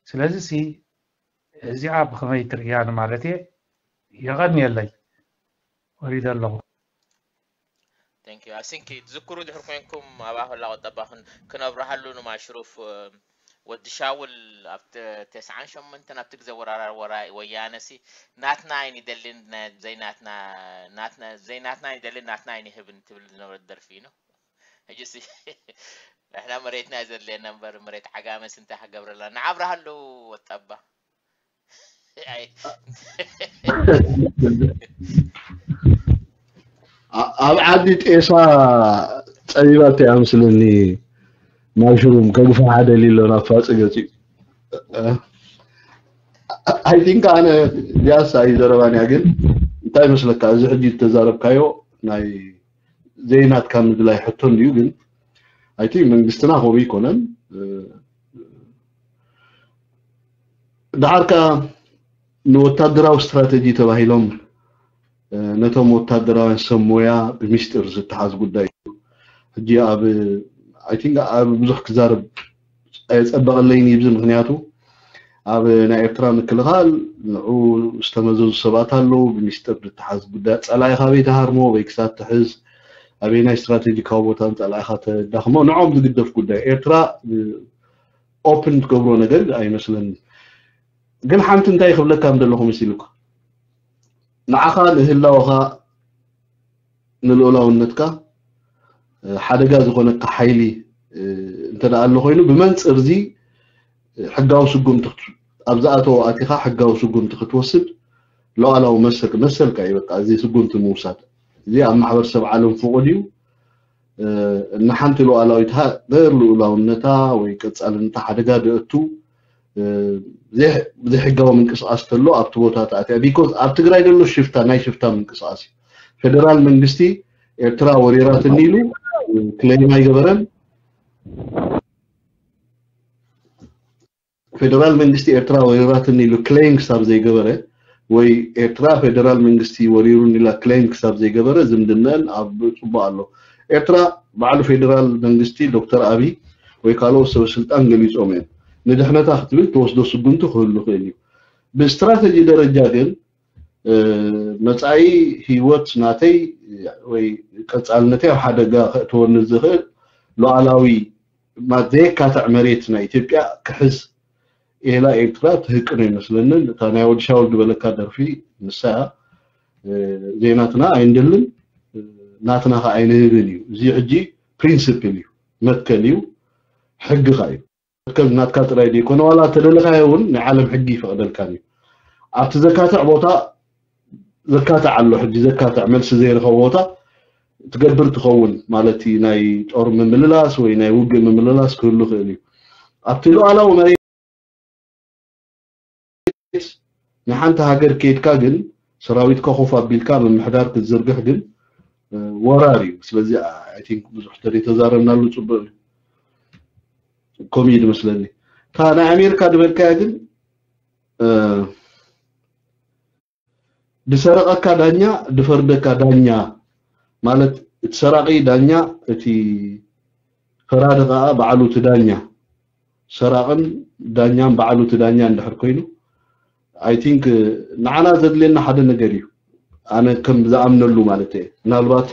ስለዚ ሲ እዚኣ ብኸመይ ትርእያ ንማለት እየ የቐንየለይ ወሪደ ኣለኹ Thank you. I think ትዝክሩ ድሕር ኮይንኩም ኣብ ኣፈላ ቁጠባ ክነብረሃሉ ንማሽሩፍ ወዲ ሻውል ኣብ ተስዓን ሸሞንተን ኣብቲ ግዜ ወራራ ወያነ ሲ ናትና ኣይንደልን ዘይናትና ናትና ዘይናትና ኣይንደልን ናትና ኣይንህብን ትብል ዝነበረት ደርፊ እዩ ሕጂ ሲ ንሕና መሬትና እዩ ዘድልየና እምበር፣ መሬት ዓጋመስ እንታይ ክገብረላ? ንዓብርሃ ኣለዉ ወጣባ። ኣይ፣ ኣብ ዓዲ ጤሳ ጸቢባቶ እያ ምስለኒ። ማሽሩም ከግፋ ሓደ ሊሎ ናብ ፋጽ ገጺ። I think ኣነ ዲያሳ እዩ ዘረባን እያ፣ ግን እንታይ መስለካ፣ እዚ ሕጂ ዝተዛረብካዮ ናይ ዘይናትካ ምድላይ ሕቶ እንድዩ፣ ግን I think መንግስትና ከምኡ ይኮነን። እ፣ ደሓር ከኣ ንወታደራዊ ስትራተጂ ተባሂሎም፣ እ፣ ነቶም ወታደራውያን ሰብ ሞያ ብሚስጥር ዝተሓዝ ጉዳይ እዩ። ሕጂ ኣብ፣ I think ኣብ ብዙሕ ክዛረብ ኣየጸበቐለይን እዩ፣ ምክንያቱ ኣብ ናይ ኤርትራ ምክልኻል ንዑ ዝተመዘዙ ሰባት ኣለዉ። ብሚስጥር ዝተሓዝ ጉዳይ፣ ጸላኢኻ ኣበይ ትሃርሞ፣ ኣበይ ክሳብ ትሕዝ፣ ኣበይ ናይ ስትራቴጂካዊ ቦታ ንጸላኢኻ ተዳኽሞ፣ ንዖም ዝግደፍ ጉዳይ። ኤርትራ ኦፕን ትገብሮ ነገር ኣይመስለኒ። ግን ሓንቲ እንታይ ክብለካ ምደለኹ መሲሉካ፣ ንዓኻ ንህላወኻ ንልኡላውነትካ፣ እ፣ ሓደጋ ዝኾነካ ሓይሊ፣ እ፣ እንተ ደኣ ኣሎ ኮይኑ፣ ብመንጽር እዚ፣ እ፣ ሕጋዊ ስጉምቲ ክት-፣ ኣብ ዝኣተወ ኣቲኻ ሕጋዊ ስጉምቲ ክትወስድ ሉዓላዊ መሰል-፣ መሰልካ እዩ። በቃ፣ እዚ ስጉምቲ ምውሳድ፣ እዚ ኣብ ማሕበረሰብ ዓለም ፍቑድ እዩ። እ፣ ንሓንቲ ሉዓላዊት ሃገር ልኡላውነታ ወይ ቀጻልነታ ሓደጋ ደእቱ፣ እ፣ ብዘይ-፣ ብዘይሕጋዊ ምንቅስቓስ ተሎ ኣብቲ ቦታ ተኣትያ። ቢኮዝ ኣብ ትግራይ ዘሎ ሽፍታ፣ ናይ ሽፍታ ምንቅስቓስ እዩ። ፌደራል መንግስቲ ኤርትራ ወሪራትኒ ኢሉ ክሌም ኣይገበረን። ፌደራል መንግስቲ ኤርትራ ወሪራትኒ ኢሉ ክሌም ክሳብ ዘይገበረ፣ ወይ ኤርትራ ፌደራል መንግስቲ ወሪሩኒ ኢላ ክሌም ክሳብ ዘይገበረ፣ ዝምድነን ኣብ ጽቡቕ ኣሎ። ኤርትራ ባዕሉ ፌደራል መንግስቲ ዶክተር ኣቢ ወይ ካልኦት ሰበ ስልጣን ገሊጾም እዮም። ንድሕነታ ክትብል ትወስዶ ስጉምቲ ክህሉ ይኽእል እዩ። ብስትራተጂ ደረጃ ግን፣ እ፣ መጻኢ ህይወት ናተይ ወይ ቀጻልነተይ ኣብ ሓደጋ ከእትወኒ ዝኽእል ሉዓላዊ፣ ማ-፣ ዘየካትዕ መሬት ናይ ኢትዮጵያ ክሕዝ ኤላ ኤርትራ ትህቅኖ ይመስለንን። እታ ናይ ወዲ ሻውል ዝበለካ ደርፊ ንሳ እያ። እ፣ ዘይናትና ኣይንደልን፣ እ፣ ናትና ኸዓ ኣይንህብን እዩ። እዚ ሕጂ ፕሪንስፕል እዩ፣ መትከል እዩ፣ ሕግኻ እዩ። መትከል ናትካ ጥራይ ዘይኮነ፣ ዋላ ተደለኻዮ እውን ናይ ዓለም ሕጊ ይፈቕደልካን እዩ። ኣብቲ ዘካትዕ ቦታ ዘካትዕ ኣሎ፣ ሕጂ ዘካትዕ መልሲ ዘይረኸቦ ቦታ ትገብር ትኸውን ማለት እዩ። ናይ ጦር ምምልላስ ወይ ናይ ውግእ ምምልላስ ክህሉ ይኽእል እዩ። ኣብቲ ሉዓላዊ መሬት ንሓንቲ ሃገር ከይድካ ግን ሰራዊትካ ኮፍ ኣቢልካ ምምሕዳር ክትዝርግሕ ግን፣ እ፣ ወራር እዩ። ስለዚ፣ I think ብዙሕ ተዘይተዛረብናሉ ጽቡቕ እዩ። ከምኡ እዩ ዝመስለኒ። እታ ናይ ኣሜሪካ ዝበልካያ ግን፣ እ፣ ዝሰረቐካ ዳኛ፣ ዝፈርደካ ዳኛ፣ ማለት እቲ ሰራቒ ዳኛ፣ እቲ ፈራዲ ከኣ ባዕሉ እቲ ዳኛ። ሰራቕን ዳኛን ባዕሉ እቲ ዳኛ እንድሕር ኮይኑ፣ I think ንዓና ዘድልየና ሓደ ነገር እዩ። ኣነ ከም ዝኣምነሉ ማለት እየ። ምናልባት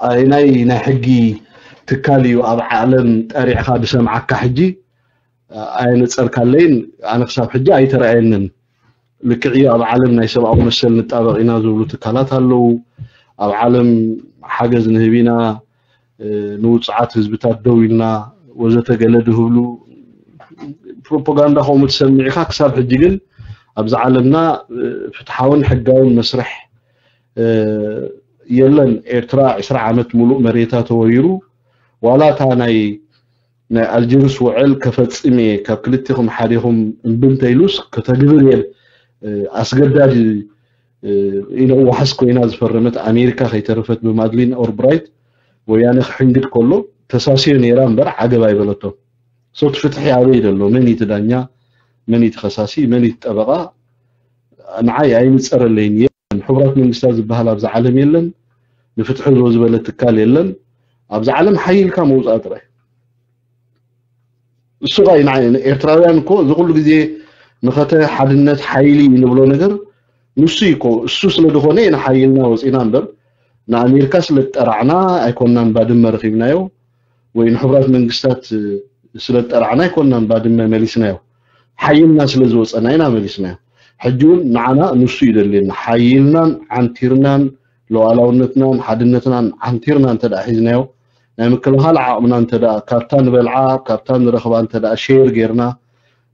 ኣየናይ ናይ ሕጊ ትካል እዩ ኣብ ዓለም ጠሪዕኻ ዝሰምዓካ ሕጂ ኣየነጸርካለይን፣ ኣነ ክሳብ ሕጂ ኣይተረኣየንን። ልክዕ እዩ፣ ኣብ ዓለም ናይ ሰብኣዊ መሰል ንጣበቕ ኢና ዝብሉ ትካላት ኣለዉ። ኣብ ዓለም ሓገዝ ንህብ ኢና፣ እ፣ ንውጹዓት ህዝብታት ደው ኢልና ወዘተ ገለ ዝህብሉ ፕሮፓጋንዳ ከምኡ ትሰምዕ ኢኻ። ክሳብ ሕጂ ግን ኣብዚ ዓለምና፣ እ፣ ፍትሓውን ሕጋውን መስርሕ፣ እ፣ የለን። ኤርትራ ዕስራ ዓመት ሙሉእ መሬታ ተወሪሩ፣ ዋላ እታ ናይ፣ ናይ ኣልጀርስ ውዕል ከፈጽም እየ፣ ካብ ክልቴኹም ሓዴኹም እምቢ እንተኢሉስ ከተግብር እየ፣ እ፣ ኣስገዳጅ፣ እ፣ ኢለ ዋሕስ ኮይና ዝፈረመት ኣሜሪካ ከይተረፈት ብማድሊን ኦልብራይት ወያነ ክሕንግድ ከሎ ተሳስዮ ነይራ እምበር ዓገብ ኣይበለቶን። So እቲ ፍትሒ ኣበይ ዘሎ? መን እዩ እቲ ዳኛ? መን እዩ እቲ ከሳሲ? መን እዩ እቲ ጠበቓ? ንዓይ ኣይንጸረለይን። የለን። ሕቡራት መንግስታት ዝበሃል ኣብዚ ዓለም የለን። ንፍትሒ ዶ ዝበለ ትካል የለን። ኣብዚ ዓለም ሓይልካ መውጻእ ጥራይ። እሱ ኸኣ ንዓይ፣ ኤርትራውያን እኮ እዚ ኩሉ ግዜ መኸተ ሓድነት ሓይሊ እዩ ንብሎ ነገር ንሱ እዩ እኮ። እሱ ስለ ዝኾነ ኢና ሓይልና ወጺና እምበር፣ ንኣሜሪካ ስለ ዝጠራዕና ኣይኮናን ባድመ ረኺብናዮ፣ ወይ ንሕቡራት መንግስታት ስለ ዝጠራዕና ኣይኮናን ባድመ መሊስናዮ። ሓይልና ስለ ዝወጸና ኢና መሊስናዮ። ሕጂ እውን ንዓና ንሱ እዩ ደልየና። ሓይልናን ዓንቲርናን ሉዓላውነትናን ሓድነትናን ዓንቲርና እንተ ደኣ ሒዝናዮ፣ ናይ ምክልኻል ዓቕምና እንተ ደኣ ካብታ ንበልዓ ካብታ ንረኽባ እንተ ደኣ ሼር ጌርና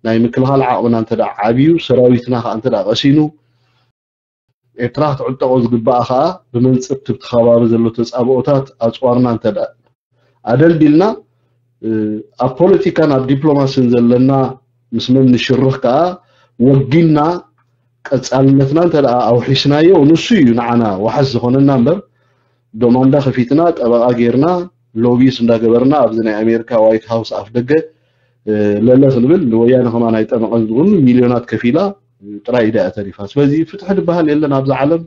ናይ ምክልኻል ዓቕምና እንተ ደኣ ዓብዩ ሰራዊትና ከዓ እንተ ደኣ ቀሲኑ ኤርትራ ክትዕጠቖ ዝግባኣ ከዓ ብመንፅር ትብቲ ከባቢ ዘሎ ተፃብኦታት ኣፅዋርና እንተ ደኣ ኣደልዲልና ኣብ ፖለቲካን ኣብ ዲፕሎማሲን ዘለና ምስ መን ንሽርኽ ከዓ ወጊንና ቀፃልነትና እንተ ደኣ ኣውሒስናዮ ንሱ እዩ ንዓና ዋሕስ ዝኾነና እምበር ዶማንዳ ከፊትና ጠበቓ ጌርና ሎቢስ እንዳገበርና ኣብዚ ናይ ኣሜሪካ ዋይት ሃውስ ኣፍ ደገ ለለ ክንብል ንወያነ ከማን ኣይጠመቐን ዝብሉ ሚልዮናት ከፊላ ጥራይ ኢዳ እያ ተሪፋ። ስለዚ ፍትሒ ዝበሃል የለን ኣብዚ ዓለም።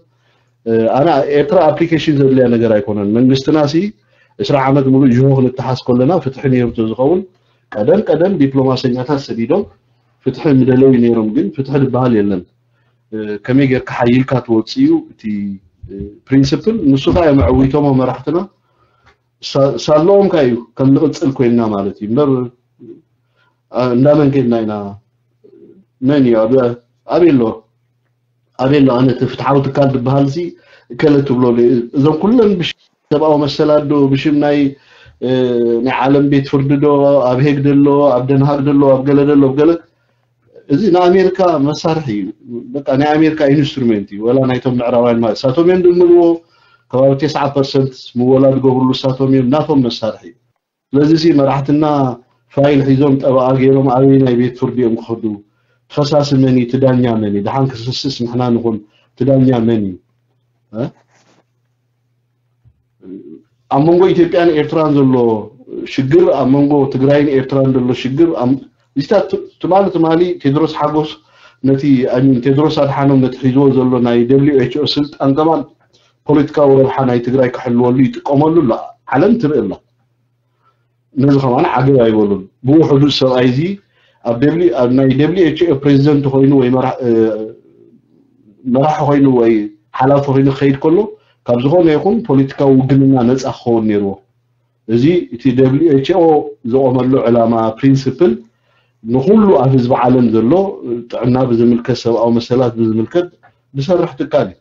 ኣነ ኤርትራ ኣፕሊኬሽን ዘድልያ ነገር ኣይኮነን። መንግስትና ሲ ዕስራ ዓመት ሙሉእ ጅሆ ክንተሓዝ ከለና ፍትሒ ነይሩ ተዝኸውን ቀደም ቀደም ዲፕሎማሰኛታት ሰዲዶም ፍትሒ ምደለዩ ነይሮም። ግን ፍትሒ ዝበሃል የለን። ከመይ ጌርካ ሓይልካ ትወፅእ እዩ እቲ ፕሪንስፕል። ንሱ ከዓ እዮም ኣዕዊቶሞ መራሕትና። ሳለኦም ከ እዩ ከም ንቕጽል ኮይንና ማለት እዩ እምበር እንዳመን ከድና ኢና? መን እዩ ኣበይ ኣሎ ኣበይ ኣሎ ኣነ እቲ ፍትሓዊ ትካል ዝበሃል ሲ እከለ ትብሎ እዞም ኩለን ብሽም ሰብኣዊ መሰላት ዶ ብሽም ናይ ናይ ዓለም ቤት ፍርዲ ዶ ኣብ ሄግ ደሎ ኣብ ደንሃግ ደሎ ኣብ ገለ ደሎ ገለ እዚ ንኣሜሪካ መሳርሒ እዩ። በቃ ናይ ኣሜሪካ ኢንስትሩሜንት እዩ። ወላ ናይቶም ምዕራባውያን ማለት እሳቶም እዮም ድምልዎ ከባቢ ተስዓ ፐርሰንት ምወላ ዝገብርሉ እሳቶም እዮም ናቶም መሳርሒ እዩ። ስለዚ ሲ መራሕትና ፋይል ሒዞም ጠበቓ ገይሮም ኣበይ ናይ ቤት ፍርዲ እዮም ክኸዱ? ተኸሳሲ መን እዩ? ትዳኛ መን እዩ? ድሓን ክስስስ ንሕና ንኹን ትዳኛ መን እዩ? ኣብ መንጎ ኢትዮጵያን ኤርትራን ዘሎ ሽግር ኣብ መንጎ ትግራይን ኤርትራን ዘሎ ሽግር እዚታት ትማሊ ትማሊ ቴድሮስ ሓጎስ ነቲ ሚን ቴድሮስ ኣድሓኖም ነቲ ሒዝዎ ዘሎ ናይ ደብሊው ኤች ኦ ስልጣን ከማን ፖለቲካዊ ረብሓ ናይ ትግራይ ክሕልወሉ ይጥቀመሉ ኣሎ። ዓለም ትርኢ ኣላ። ነዚ ከማን ዓገብ ኣይበሉን። ብውሕዱ ሰብኣይ እዚ ኣብ ደብሊ ኣብ ናይ ደብሊ ኤች ኦ ፕሬዚደንት ኮይኑ ወይ መራሒ ኮይኑ ወይ ሓላፊ ኮይኑ ክኸይድ ከሎ ካብ ዝኾነ ይኹን ፖለቲካዊ ውግንና ነፃ ክኸውን ነይርዎ። እዚ እቲ ደብሊ ኤች ኦ ዝቆመሉ ዕላማ ፕሪንስፕል ንኩሉ ኣብ ህዝቢ ዓለም ዘሎ ጥዕና ብዝምልከት ሰብኣዊ መሰላት ብዝምልከት ዝሰርሕ ትካል እዩ።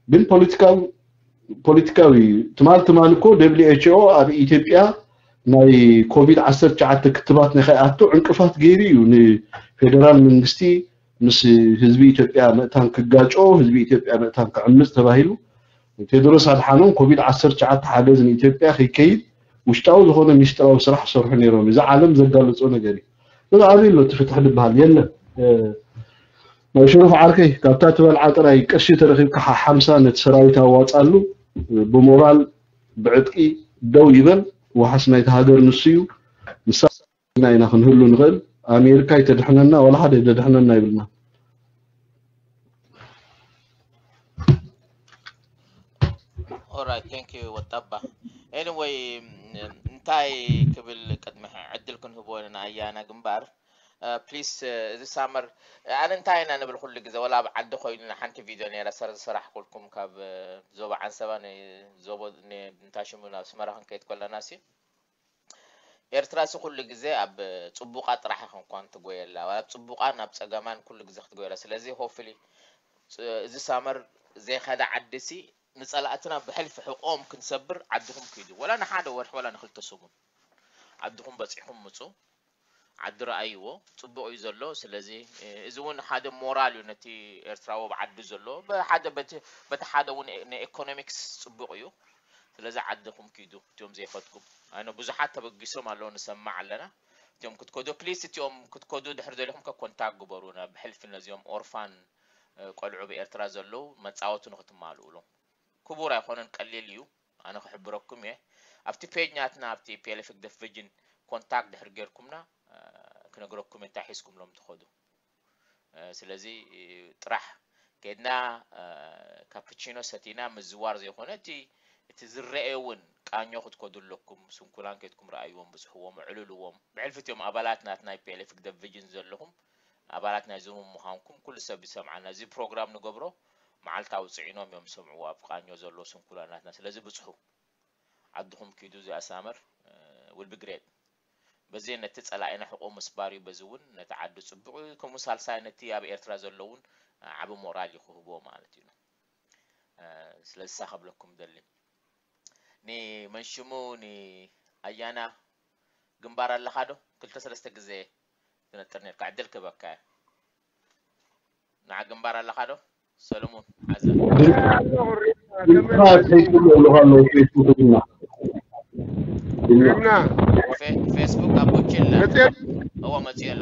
ግን ፖለቲካዊ ፖለቲካዊ ትማል ትማል እኮ ደብሊ ኤች ኦ ኣብ ኢትዮጵያ ናይ ኮቪድ ዓሰርተ ትሽዓተ ክትባት ንኸይኣቱ ዕንቅፋት ገይሩ እዩ ንፌደራል መንግስቲ ምስ ህዝቢ ኢትዮጵያ ምእታን ክጋጮ ህዝቢ ኢትዮጵያ ምእታን ክዕምፅ ተባሂሉ ቴድሮስ ኣድሓኖም ኮቪድ ዓሰርተ ትሽዓተ ሓገዝ ንኢትዮጵያ ከይከይድ ውሽጣዊ ዝኾነ ሚስጥራዊ ስራሕ ዝሰርሑ ነይሮም። እዚ ዓለም ዘጋልፆ ነገር እዩ። እዚ ኣበይ ኣሎ እቲ ፍትሒ ዝበሃል የለን። ናይ ሽሩፍ ዓርከይ ካብታ ትበልዓ ጥራይ ቅርሺ ተረኺብካ ሓሓምሳ ነቲ ሰራዊት ኣዋፃሉ ብሞራል ብዕጥቂ ደው ይበል። ዋሓስ ናይቲ ሃገር ንሱ እዩ። ንሳ ኢና ክንህሉ ንኽእል። ኣሜሪካ ይተድሕነና ዋላ ሓደ ይደድሕነና ይብልና። Alright, thank you ወጣባ። Anyway እንታይ ክብል ቅድሚ ዕድል ክንህቦ ኢና ኣያና ግንባር ፕሊስ እዚ ሳመር ኣነ እንታይ ኢና ንብል ኩሉ ግዜ ወላ ኣብ ዓዲ ኮይኑ ሓንቲ ቪድዮ ነይራ ሰር ዝሰራሕኩልኩም ካብ ዞባ ዓንሰባ ዞቦ እንታይ ሽሙ ናብ ኣስመራ ክንከይድ ከለና ሲ ኤርትራ ሲ ኩሉ ግዜ ኣብ ጽቡቓ ጥራሕ ኢኻ እንኳን ትጎየላ ኣብ ጽቡቓን ኣብ ጸገማን ኩሉ ግዜ ክትጎየላ ስለዚ ሆፍሊ እዚ ሳመር ዘይኸዳ ዓዲ ሲ ንጸላእትና ብሕልፊ ሕቆም ክንሰብር ዓድኹም ኪዱ ወላ ንሓደ ወርሒ ወላ ንክልተ ሰሙን ዓድኹም በጺሕኩም ምጹ ዓዲ ረኣይዎ ጽቡቕ እዩ ዘሎ ስለዚ እዚ እውን ሓደ ሞራል እዩ ነቲ ኤርትራዊ ኣብ ዓዱ ዘሎ ሓደ በቲ ሓደ እውን ንኤኮኖሚክስ ጽቡቕ እዩ ስለዚ ዓድኹም ኪዱ እትዮም ዘይፈትኩም ኣነ ብዙሓት ተበጊሶም ኣለዉ ንሰማዕ ኣለና እትዮም ክትከዱ ፕሊስ እትዮም ክትከዱ ድሕር ደሊኹም ከ ኮንታክት ግበሩና ብሕልፊ ነዚኦም ኦርፋን ቆልዑ ኣብ ኤርትራ ዘለዉ መጻወቱ ንክትማልኡሎም ክቡር ኣይኮነን ቀሊል እዩ ኣነ ክሕብረኩም እየ ኣብቲ ፔጅ ናትና ኣብቲ ፒኤልኤፍ ህግደፍ ቪጅን ኮንታክት ድሕር ጌርኩምና ክነግረኩም እንታይ ሒዝኩምሎም ትኸዱ ስለዚ ጥራሕ ከድና ካፕቺኖ ሰቲና ምዝዋር ዘይኮነ እቲ እቲ ዝረኤ እውን ቃኞ ክትከዱ ኣለኩም ስንኩላን ከድኩም ረኣይዎም ብፅሕዎም ዕልልዎም ብሕልፊ እትዮም ኣባላት ናት ናይ ፒኤልኤፍ ህግደፍ ቪጅን ዘለኹም ኣባላት ናይዞም ምዃንኩም ኩሉ ሰብ ይሰምዓና እዚ ፕሮግራም ንገብሮ መዓልታዊ ፅዒኖም እዮም ዝሰምዕዎ ኣብ ቃኞ ዘሎ ስንኩላናትና ስለዚ ብፅሑ ዓድኹም ኪዱ እዚኣ ሳመር ውል ቢ ግሬት በዚ ነቲ ፀላኢና ሕቆ ምስባር እዩ በዚ እውን ነቲ ዓዲ ፅቡቅ እዩ ከምኡ ሳልሳይ ነቲ ኣብ ኤርትራ ዘለውን ዓቢ ሞራል እዩ ክህቦ ማለት እዩ ስለዚ ሳ ከብለኩም ደሊ ንመንሽሙ ን ኣያና ግንባር ኣለኻ ዶ? ክልተ ሰለስተ ግዜ ትነጥር ነርካ፣ ዕድል ክህበካ እየ። ንዓ ግንባር ኣለኻ ዶ? ሰለሙን ሓዛ። ድምፅኻ ትሕይትሉ ኣለኻ ኣለዉ ፌስቡክ ድማ ሪምና ፌ- ፌስቡክ ኣቦቼላ መፅየት እዎ መፅኡ ኣሎ።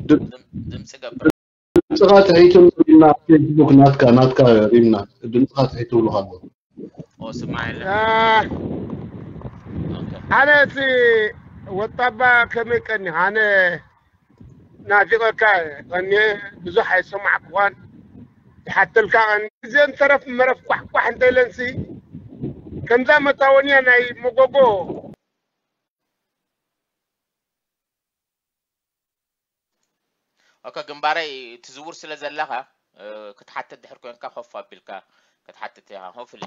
ድ- ድም- ድምፂ ገብር። ድምፅኻ ትሕይትሉ ሪምና ፌስቡክ ናትካ ናትካ ሪምና ድምፅኻ ትሕይትሉ ኣለዉ ኦ ስማዕ የለ። ኣህ፣ ኦኬ። ኣነ እቲ ወጣባ ከመይ ቀኒ ኣነ ናፊቐካ ቀኒ ብዙሕ ኣይሰማዕኩኻን ይሓተልካ ቀኒ ግዜ እንተረፍ መረፍ ኳሕኳሕ እንተኢለንሲ ከምዛ መታወንያ ናይ መጎጎ ኦከ ግንባረይ ትዝውር ስለ ዘለኻ እ፣ ክትሓትት ድሕር ኮንካ ኮፍ ኣቢልካ ክትሓትት ኢኻ። ሆፍሊ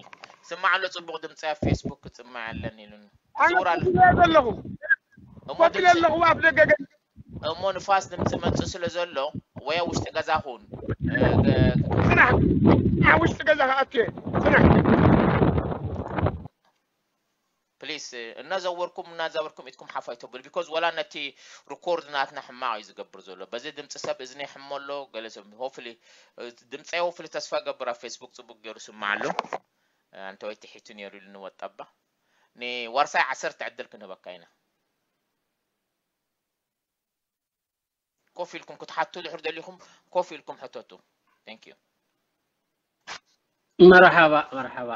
ስማዕ ኣሎ ጽቡቕ ድምፂ ኣብ ፌስቡክ ክጽማዕ ኣለኒ ኢሉኒ። ኣነ ትዝውር ኣሎ ኮፍ ኢለ ኣለኹ እሞ ኮፍ ኢለ ድምፂ ኣለኹ ኣብ ደገ ገ- እሞ ንፋስ ድምፂ መጽእ ስለ ዘሎ ወይ ኣብ ውሽጢ ገዛ ኹን እ፣ ገ- ስራሕ ኣብ ውሽጢ ገዛ ክኣትየ ስራሕ ፕሊስ እናዘወርኩም እናዘወርኩም ኢድኩም ሓፍ ኣይተብሉ ቢኮዝ ወላ ነቲ ሪኮርድ ናትና ሕማቕ እዩ ዝገብር ዘሎ። በዚ ድምፂ ሰብ እዝኒ ይሕሞ ኣሎ። ገለ ሰብ ሆፍሊ ድምፀይ ሆፍሊ ተስፋ ገብር ኣብ ፌስቡክ ፅቡቅ ገይሩ ስማዕ ኣሎ። ኣንተ ወይ ትሒቱ ነይሩ ኢሉ ንወጣባ ንዋርሳይ ዓሰርተ ዕድል ክንህበካ ኢና። ኮፍ ኢልኩም ክትሓቱ ድሕር ደሊኹም ኮፍ ኢልኩም ሕተቱ። Thank you። መርሓባ መርሓባ።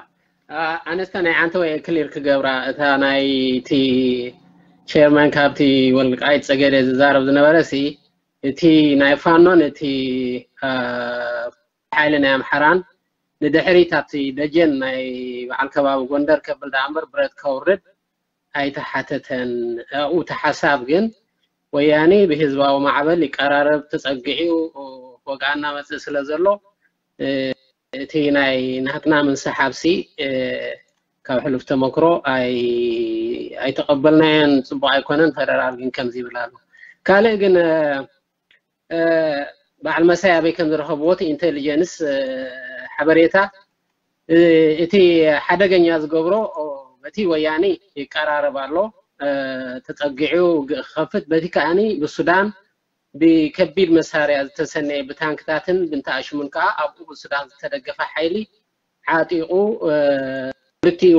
ኣነስተ ናይ ዓንተ ወይ ክሊር ክገብራ እታ ናይ እቲ ቸርማን ካብቲ ወልቃይት ጸገዴ ዝዛረብ ዝነበረ ሲ እቲ ናይ ፋኖን እቲ ሓይሊ ናይ ኣምሓራን ንድሕሪት ኣብቲ ደጀን ናይ በዓል ከባቢ ጎንደር ከብል ደኣ እምበር ብረት ከውርድ ኣይተሓተተን። ኣብኡ እቲ ሓሳብ ግን ወያኔ ብህዝባዊ ማዕበል ይቀራረብ ተጸግዒኡ ወግኣ እናመጽእ ስለ ዘሎ እቲ ናይ ናትና ምንስሓብሲ ካብ ሕሉፍ ተመክሮ ኣይተቐበልናዮን፣ ጽቡቕ ኣይኮነን። ፈደራል ግን ከምዚ ይብል ኣሎ። ካልእ ግን በዓል መሳይ ኣበይ ከም ዝረኸብዎ እቲ ኢንቴሊጀንስ ሓበሬታ እቲ ሓደገኛ ዝገብሮ በቲ ወያኔ ይቀራረብ ኣሎ ተጸጊዑ ክኸፍት በቲ ከኣኒ ብሱዳን ብከቢድ መሳርያ ዝተሰነየ ብታንክታትን ብንተኣሽሙን ከኣ ኣብኡ ብሱዳን ዝተደገፈ ሓይሊ ዓጢቑ ክልቲኡ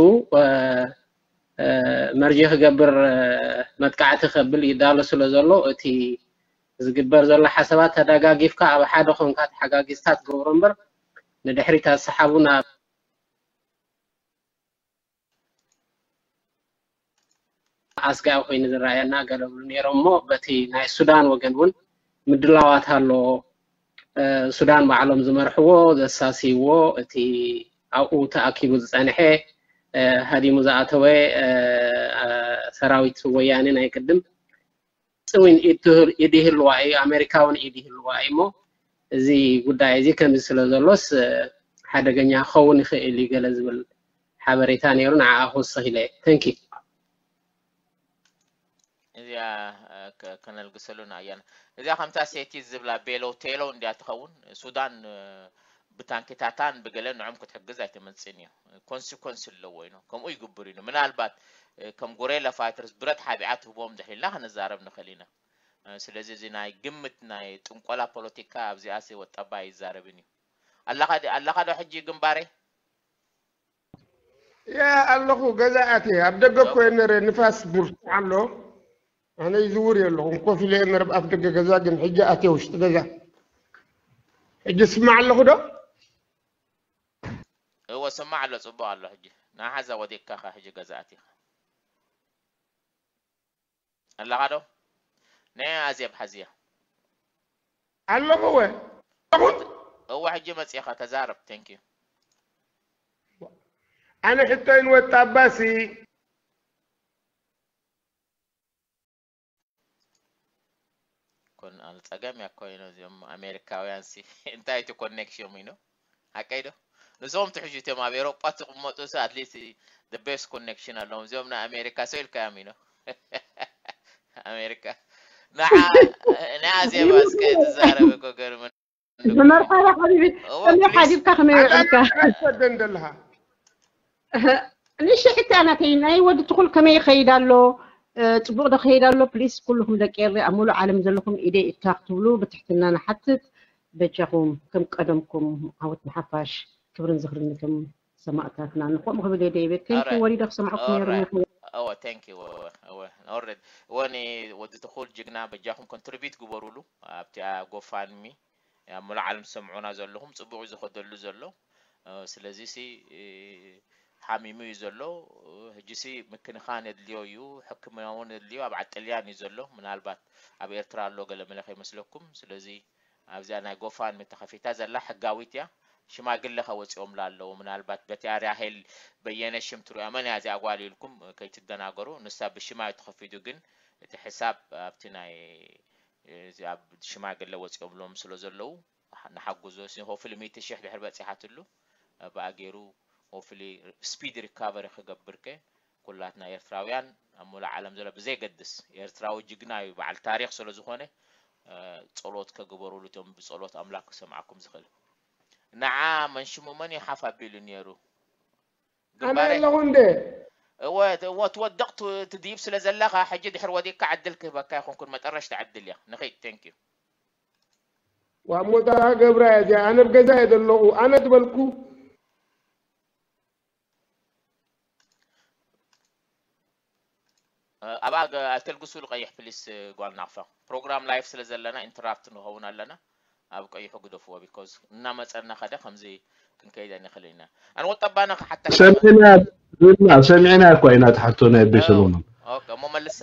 መርጀ ክገብር መጥቃዕቲ ከብል ይዳሎ ስለ ዘሎ እቲ ዝግበር ዘሎ ሓሳባት ተደጋጊፍካ ኣብ ሓደ ኮንካ ተሓጋጊዝካ ትገብሮ እምበር ንድሕሪት ኣሰሓቡ ናብ ኣስጋኢ ኮይኑ ዝረኣየና ገለ ብሉ ነይሮም እሞ በቲ ናይ ሱዳን ወገን እውን ምድላዋት ኣሎ። ሱዳን ባዕሎም ዝመርሕዎ ዘሳስይዎ እቲ ኣብኡ ተኣኪቡ ዝፀንሐ ሃዲሙ ዝኣተወ ሰራዊት ወያኔ ናይ ቅድም እውን ኢድ ይህልዋ እዩ፣ ኣሜሪካ እውን ኢድ ይህልዋ እዩ እሞ እዚ ጉዳይ እዚ ከምዚ ስለ ዘሎስ ሓደገኛ ክኸውን ይኽእል እዩ ገለ ዝብል ሓበሬታ ነይሩ። ንዓኣ ክውስኽ ኢለ። Thank you። እዚኣ ከነልግሰሉ ንኣያና እዚኣ ከምታ ሴቲ ዝብላ ቤሎ ቴሎ እንዲያ ትኸውን ሱዳን ብታንኪታታን ብገለ ንዖም ክትሕግዝ ኣይትመፅን እዩ። ኮንሲኮንስ ኣለዎ እዩ። ከምኡ ይግብር እዩ። ምናልባት ከም ጎሬላ ፋይተርስ ብረት ሓቢኣ ትህቦም ድሕር ኢልና ክንዛረብ ንኽእል ኢና። ስለዚ እዚ ናይ ግምት ናይ ጥንቆላ ፖለቲካ ኣብዚኣስ ወጣባ ኣይዛረብን እዩ። ኣለኻ ዶ ሕጂ ግንባረይ? ያ ኣለኹ ገዛ ኣትየ ኣብ ደገ እኮ እየ ነረ ንፋስ ብርቱዕ ኣሎ ኣነ ይዝውር እየ ኣለኹ ኮፍ ኢለ እየ ነረ ኣብ ደገ ገዛ ግን ሕጂ ኣትየ ውሽጢ ገዛ ሕጂ ስማዕ ኣለኹ ዶ እወ ስማዕ ኣሎ ጽቡቕ ኣሎ ሕጂ ንሓዛ ወዲቅካ ሕጂ ገዛ ኣቲኻ ኣለኻ ዶ ናይ ኣዜብ ሓዝያ ኣለኹ እወ ኣለኹ እወ ሕጂ መጺኻ ተዛረብ thank you ኣነ ሕቶይ ንወጣባሲ ኮን ኣነ ጸገም እያ ኮይኖ እዚኦም ኣሜሪካውያን ሲ እንታይ እቲ ኮኔክሽን ኢኖ ሓቀይ ዶ ንሶም ትሕሹ እቲኦም ኣብ ኤሮጳ ትቕመጡ ሲ ኣትሊስት the best connection ኣለዎም እዚኦም ናይ ኣሜሪካ ሰው ኢልካዮም ኢኖ ኣሜሪካ ንዓ ንዓ ዜባ እስከ ትዛረብ እኮ ገርም መርሓባ ሓቢቢ ከመይ ሓዲርካ ከመይ ውዕልካ ኣይትሰደን ዘለኻ ንእሽተይ ሕቶ ናተይ፣ ናይ ወዲ ትኹል ከመይ ይኸይድ ኣሎ? ጽቡቕ ዶ ከይድ ኣሎ? ፕሊስ ኩልኹም ደቂ ኤሪ ኣብ ሙሉእ ዓለም ዘለኹም ኢደይ እካ ክትብሉ ብትሕትና ንሓትት። በጃኹም ከም ቀደምኩም ዓወት ንሓፋሽ፣ ክብርን ዝኽርን ከም ሰማእታትና ንኮም ክብል የደይበት ከንኪ ወሪደ ክሰማዕኩም ነይሩ። እወ thank you እወ እወ already እወ ኒ ወዲ ትኹል ጅግና በጃኹም ኮንትሪቢዩት ግበሩሉ ኣብቲ ጎፋንሚ ኣብ ሙሉእ ዓለም ትሰምዑና ዘለኹም ጽቡቕ እዩ ዝኸደሉ ዘሎ። ስለዚ ሲ ሓሚሙ እዩ ዘሎ። ሕጂ ሲ ምክንኻን የድልዮ እዩ፣ ሕክምና እውን የድልዮ። ኣብ ዓጥልያን እዩ ዘሎ፣ ምናልባት ኣብ ኤርትራ ኣሎ ገለ መለ ከይመስለኩም። ስለዚ ኣብዚኣ ናይ ጎፋንሚ ተኸፊታ ዘላ ሕጋዊት እያ። ሽማግለ ከወፂኦምላ ኣለዉ። ምናልባት በቲ ኣርያ ሄል በየነ ሽም ትሪኦ መን እያ እዚኣ ጓል ኢልኩም ከይትደናገሩ። ንሳ ብሽማ እዩ ተኸፊቱ፣ ግን እቲ ሕሳብ ኣብቲ ናይ ኣብ ሽማግለ ወፂኦምሎም ስለ ዘለዉ ንሓግዞ። ሆፍሊ ሚእቲ ሽሕ ድሕር በፂሓትሉ ብኣገይሩ ሆፍሊ ስፒድ ሪካቨሪ ክገብር ከ ኩላትና ኤርትራውያን ኣብ ሙሉእ ዓለም ዘሎ ብዘይገድስ ኤርትራዊ ጅግና እዩ፣ በዓል ታሪኽ ስለ ዝኾነ ጸሎት ከግበሩሉ እቶም ብጸሎት ኣምላክ ክሰምዓኩም ዝኽእል። ንዓ መንሽሙ መን እዩ ሓፍ ኣቢሉ ነይሩ? ኣነ ኣለኹ እንደ እወ እወ ትወድቕ ት- ትድይብ ስለ ዘለኻ ሕጂ ድሕር ወዲቅካ ዕድል ክህበካ ይኹንኩን መጠረሽታ ዕድል እያ። ንኺድ thank you። ዋሞታ ገብራ እያ እዚኣ። ኣነ ኣብ ገዛ እየ ዘለኹ። ኣነ ትበልኩ ኣብኣ ኣይተልግሱሉ ቀይሕ ፕሊስ። ጓል ናቕፋ ፕሮግራም ላይፍ ስለ ዘለና ኢንተራፕት ንኸውን ኣለና። ኣብ ቀይሑ ግደፍዎ ቢኮዝ እናመፀና ከደ ከምዚ ክንከይድ ኣይንኽእል ኢና። ኣነ ወጠባና ክሓታ ሰሚዕና ዝና ሰሚዕና እኳ ኢና ትሓቶ ናይ ኣቤ ሰሎሞን። ኦኬ እሞ መልሳ።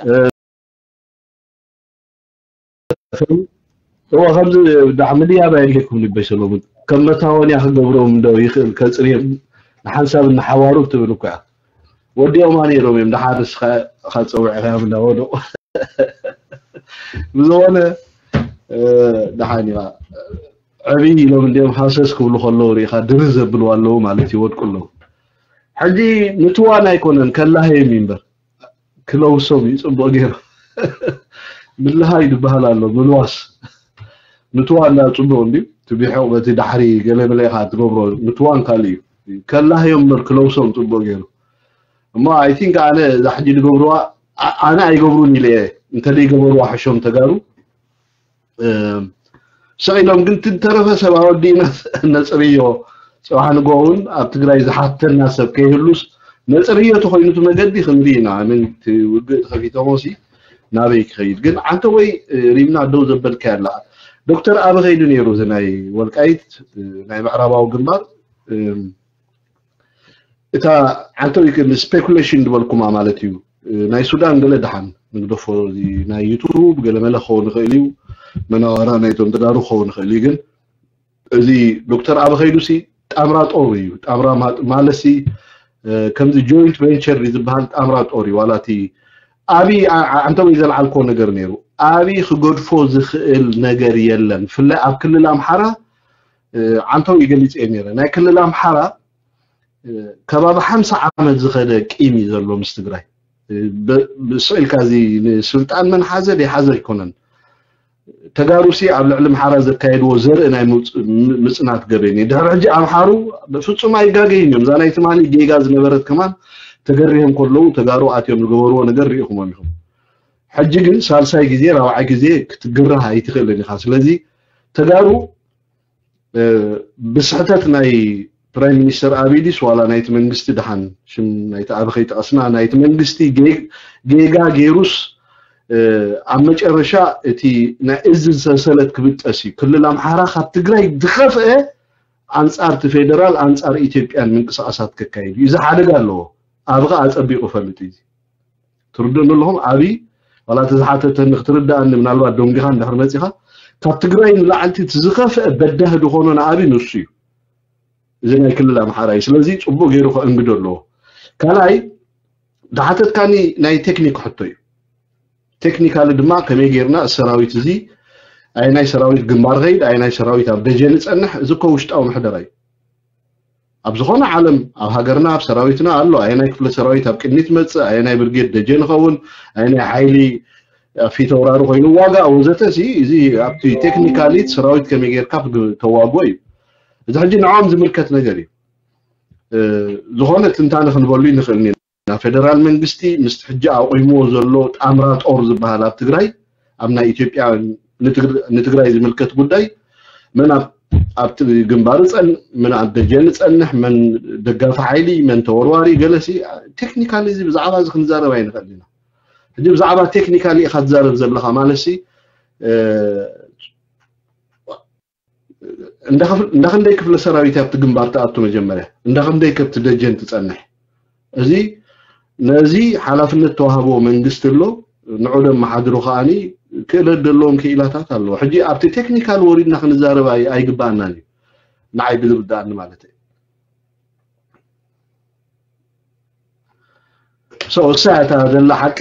እዋ ከምዚ ብጣዕሚ ድያብ ኣየድልየኩም ልበይ ሰሎሙን ከም መታወንያ ክገብሮም እንዶ ይኽእል ከፅርዮም ንሓንሳብ እናሓዋሩ ትብል እኳ እያ ወዲኦማ ነይሮም እዮም ደሓር ንስኻ ኢኻ ፀውዕኻዮም እንዳወደቑ ብዝኾነ ደሓን እያ ዕብይ ኢሎም እንዲኦም ሃሰስ ክብሉ ከለዉ ርኢኻ ድርህ ዘብልዋ ኣለዉ ማለት ይወድቁ ኣለዉ ሕጂ ምትዋን ኣይኮነን ከላህዮም እዩ እምበር ክለውሶም እዩ ፅቡቅ ገይሩ ምልሃይ ዝበሃል ኣሎ ምልዋስ ምትዋን ዳ ፅቡቅ እንድዩ ትቢሖ በቲ ዳሕሪ ገለመለ ኢካ ትገብሮ ምትዋን ካልእ እዩ ከላህዮም እምበር ክለውሶም ፅቡቅ ገይሩ እሞ I think ኣነ እዛ ሕጂ ዝገብርዋ ኣነ ኣይገብሩን ኢለ እየ እንተዘይገበርዋ ሕሾም ተጋሩ ስቕ ኢሎም ግን ትተረፈ ሰብ ኣወዲእና ነፅርዮ ፅባሕ ንጎ እውን ኣብ ትግራይ ዝሓተና ሰብ ከይህሉስ ነፅርዮ ተኮይኑ እቲ መገዲ ክንዲ ኢና ኣነ ውግእ ተከፊቶሞሲ ናበይ ክኸይድ ግን ዓንተ ወይ ሪምና ደው ዘበልካ ያላ ዶክተር ኣበ ከይዱ ነይሩ እዚ ናይ ወልቃይት ናይ ምዕራባዊ ግንባር እታ ዓንተው ይክእል ስፔኩሌሽን ዝበልኩማ ማለት እዩ ናይ ሱዳን ገለ ድሓን ንግደፎ ናይ ዩቱብ ገለ መለ ክኸውን ይኽእል እዩ መናዋራ ናይቶም ተጋሩ ክኸውን ይኽእል እዩ ግን እዚ ዶክተር ኣበ ከይዱ ሲ ጣምራ ጦር እዩ ጣምራ ማለሲ ከምዚ ጆይንት ቬንቸር ዝበሃል ጣምራ ጦር እዩ ዋላ እቲ ኣብይ ዓንተው ይዘልዓልኮ ነገር ነይሩ ኣብይ ክገድፎ ዝኽእል ነገር የለን ብፍላይ ኣብ ክልል ኣምሓራ ዓንተው ይገሊፅ እየ ነይረ ናይ ክልል ኣምሓራ ከባቢ ሓምሳ ዓመት ዝኸደ ቂም እዩ ዘሎ ምስ ትግራይ ስቕ ኢልካ እዚ ንስልጣን መን ሓዘ ደይሓዘ ኣይኮነን ተጋሩሲ ኣብ ልዕሊ ምሓራ ዘካየድዎ ዘርኢ ናይ ምፅናት ገበን እዩ ድሕሪ ሕጂ ኣምሓሩ ፍፁም ኣይጋገይን እዮም እዛ ናይ ትማሊ ጌጋ ዝነበረት ከማን ተገሪሆም ከለዉ ተጋሩ ኣትዮም ዝገበርዎ ነገር ርኢኹሞም ኢኹም ሕጂ ግን ሳልሳይ ግዜ ራብዓይ ግዜ ክትግርህ ኣይትኽእልን ኢኻ ስለዚ ተጋሩ ብስሕተት ናይ ፕራይም ሚኒስተር ኣቢይ ድስ ዋላ ናይቲ መንግስቲ ደሓን ሽም ናይቲ ኣበ ከይጠቐስና ናይቲ መንግስቲ ጌጋ ገይሩስ ኣብ መጨረሻ እቲ ናይ እዚ ዝሰንሰለት ክብጠስ እዩ ክልል ኣምሓራ ካብ ትግራይ ዝኸፍአ ኣንፃር እቲ ፌደራል ኣንፃር ኢትዮጵያን ምንቅስቃሳት ከካይድ እዩ እዚ ሓደጋ ኣለዎ ኣበ ከዓ ኣፀቢቁ ፈልጥ እዩ ትርድእኒ ኣለኹም ኣብይ ዋላ እቲ ዝሓተተኒ ክትርድኣኒ ምናልባት ደንጊኻ እንድሕር መፂኻ ካብ ትግራይ ንላዕልቲ እቲ ዝኸፍአ በዳሂ ዝኾኖ ንኣብይ ንሱ እዩ እዚ ናይ ክልል ኣምሓራ እዩ ስለዚ ፅቡቅ ገይሩ ከእንግዶ ኣለዎ ካልኣይ ዝሓተትካኒ ናይ ቴክኒክ ሕቶ እዩ ቴክኒካሊ ድማ ከመይ ገይርና ሰራዊት እዚ ኣየናይ ሰራዊት ግንባር ኸይድ ኣየናይ ሰራዊት ኣብ ደጀን ይፀንሕ እዚ እኮ ውሽጣዊ ምሕደራ እዩ ኣብ ዝኾነ ዓለም ኣብ ሃገርና ኣብ ሰራዊትና ኣሎ ኣየናይ ክፍለ ሰራዊት ኣብ ቅድሚት መፅእ ኣየናይ ብርጌድ ደጀን ይኸውን ኣየናይ ሓይሊ ፊተውራሪ ኮይኑ ዋጋ ወዘተ እዚ ኣብቲ ቴክኒካሊ ሰራዊት ከመይ ጌርካ ተዋግኦ እዩ እዚ ሕጂ ንዖም ዝምልከት ነገር እዩ ዝኾነ ትንታነ ክንበሉ ንኽእል ኢና። ፌደራል መንግስቲ ምስ ሕጂ ኣቑምዎ ዘሎ ጣምራ ጦር ዝበሃል ኣብ ትግራይ፣ ኣብ ናይ ኢትዮጵያ ንትግራይ ዝምልከት ጉዳይ፣ መን ኣብቲ ግንባር ምን ኣብ ደጀን ጸንሕ፣ መን ደጋፊ ሓይሊ፣ መን ተወርዋሪ፣ ገለሲ ቴክኒካል፣ እዚ ብዛዕባ እዚ ክንዛረብ ኣይንኽእል ኢና። ሕጂ ብዛዕባ ቴክኒካል ኢኻ ትዛረብ ዘለኻ ማለት ሲ እንዳክንደይ ክፍለ ሰራዊት ኣብቲ ግንባር ተኣቱ፣ መጀመርያ እንዳክንደይ ከብቲ ደጀን ትጸንሕ፣ እዚ ነዚ ሓላፍነት ተዋህቦ መንግስቲ ኣሎ። ንዑ ደመሓድሩ ከዓኒ ክእለት ዘለዎም ክኢላታት ኣለዎ። ሕጂ ኣብቲ ቴክኒካል ወሪድና ክንዛረብ ኣይግባኣናን እዩ፣ ንዓይ ብዝርዳኣኒ ማለት እዩ። እሳ እታ ዘላ ሓቂ።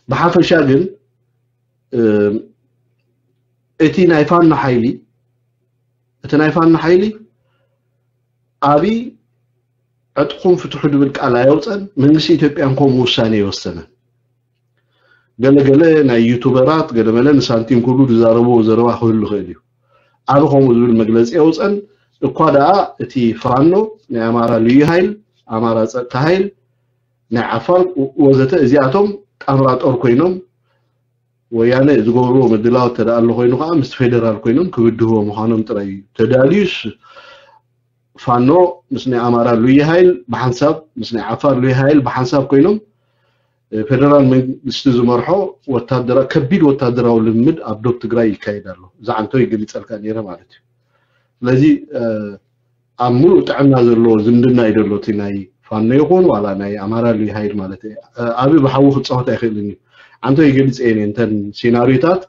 ብሓፈሻ ግን እቲ ናይ ፋኖ ሓይሊ እቲ ናይ ፋኖ ሓይሊ ኣብይ ዕጥቁም ፍትሑ ድብል ቃል ኣየውፀን። መንግስቲ ኢትዮጵያን ከምኡ ውሳኔ ይወሰነን። ገለገለ ናይ ዩቱበራት ገለመለ ንሳንቲም ክብሉ ዝዛረብዎ ዘረባ ክህሉ ይኽእል እዩ። ኣብ ከምኡ ዝብል መግለፂ የውፀን። እኳ ደኣ እቲ ፋኖ ናይ ኣማራ ልዩ ሃይል፣ ኣማራ ፀጥታ ሃይል፣ ናይ ዓፋር ወዘተ እዚኣቶም ጣምራ ጦር ኮይኖም ወያነ ዝገብርዎ ምድላው ተደኣ ኣሎ ኮይኑ ከዓ ምስ ፌደራል ኮይኖም ክብድህዎ ምዃኖም ጥራይ እዩ። ተዳልዩስ ፋኖ ምስ ናይ ኣማራ ልዩ ሃይል ብሓንሳብ ምስ ናይ ዓፋር ልዩ ሃይል ብሓንሳብ ኮይኖም ፌደራል መንግስቲ ዝመርሖ ወታደራ ከቢድ ወታደራዊ ልምምድ ኣብ ዶብ ትግራይ ይካየድ ኣሎ። እዚ ዓንቶ ይገሊፀልካ ነይረ ማለት እዩ። ስለዚ ኣብ ሙሉእ ጥዕና ዘለዎ ዝምድና እዩ ዘሎ እቲ ናይ ፋኖ ይኹን ዋላ ናይ ኣማራ ልዩ ሃይል ማለት እዩ። ኣብ ብሓዊ ክፃወት ኣይኽእልን እዩ። ዓንቶ ይገልፅ እየ እተን ሴናሪዮታት።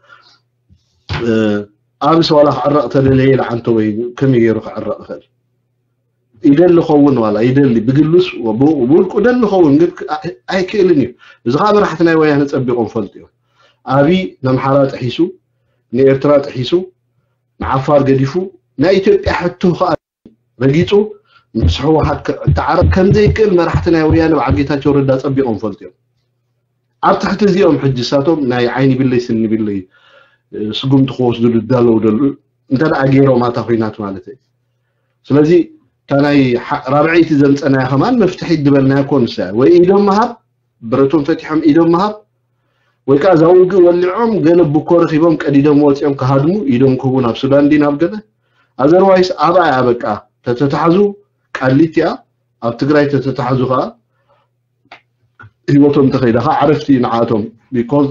ኣብስ ዋላ ክዕረቕ ተደለየ ኢለ ዓንቶ ወይ ከመይ ገይሩ ክዕረቕ ይኽእል? ይደሊ ኸውን ዋላ ይደሊ ብግሉስ ብውልቁ ደሊ ኸውን ግን ኣይክእልን እዩ። እዚ ከዓ መራሕቲ ናይ ወያነ ፀቢቆም ፈልጡ እዮም። ኣብይ ነምሓራ ጥሒሱ ንኤርትራ ጥሒሱ ንዓፋር ገዲፉ ናይ ኢትዮጵያ ሕቶ ከዓ ረጊፁ ምስ ህወሓት ክተዓረቕ ከምዘይክእል መራሕቲ ናይ ወያነ በዓል ጌታቸው ረዳ ፀቢቆም ፈልጡ እዮም። ኣብ ትሕቲ እዚኦም ሕጂ እሳቶም ናይ ዓይኒ ቢለይ ስኒ ቢለይ ስጉምቲ ክወስዱ ዝዳለው ደሉ እንተ ደኣ ገይሮም ኣታ ኩናት ማለት እዩ። ስለዚ እታ ናይ ራብዐይቲ ዘምፀናያ ከማን መፍትሒ ድበልናያ ኮንሳ ወይ ኢዶም ምሃብ ብረቶም ፈቲሖም ኢዶም ምሃብ ወይ ከዓ እዛ ውግእ ወሊዖም ገለ ብኮ ረኪቦም ቀዲዶም ወፂኦም ክሃድሙ ኢዶም ክህቡ ናብ ሱዳን ዲ ናብ ገለ ኣዘርዋይስ ኣብኣ እያ በቃ ተተታሕዙ ቃሊት እያ ኣብ ትግራይ ተተታሕዙ ከዓ ህይወቶም እንተኸይዳ ከዓ ዕረፍቲ ንዓቶም because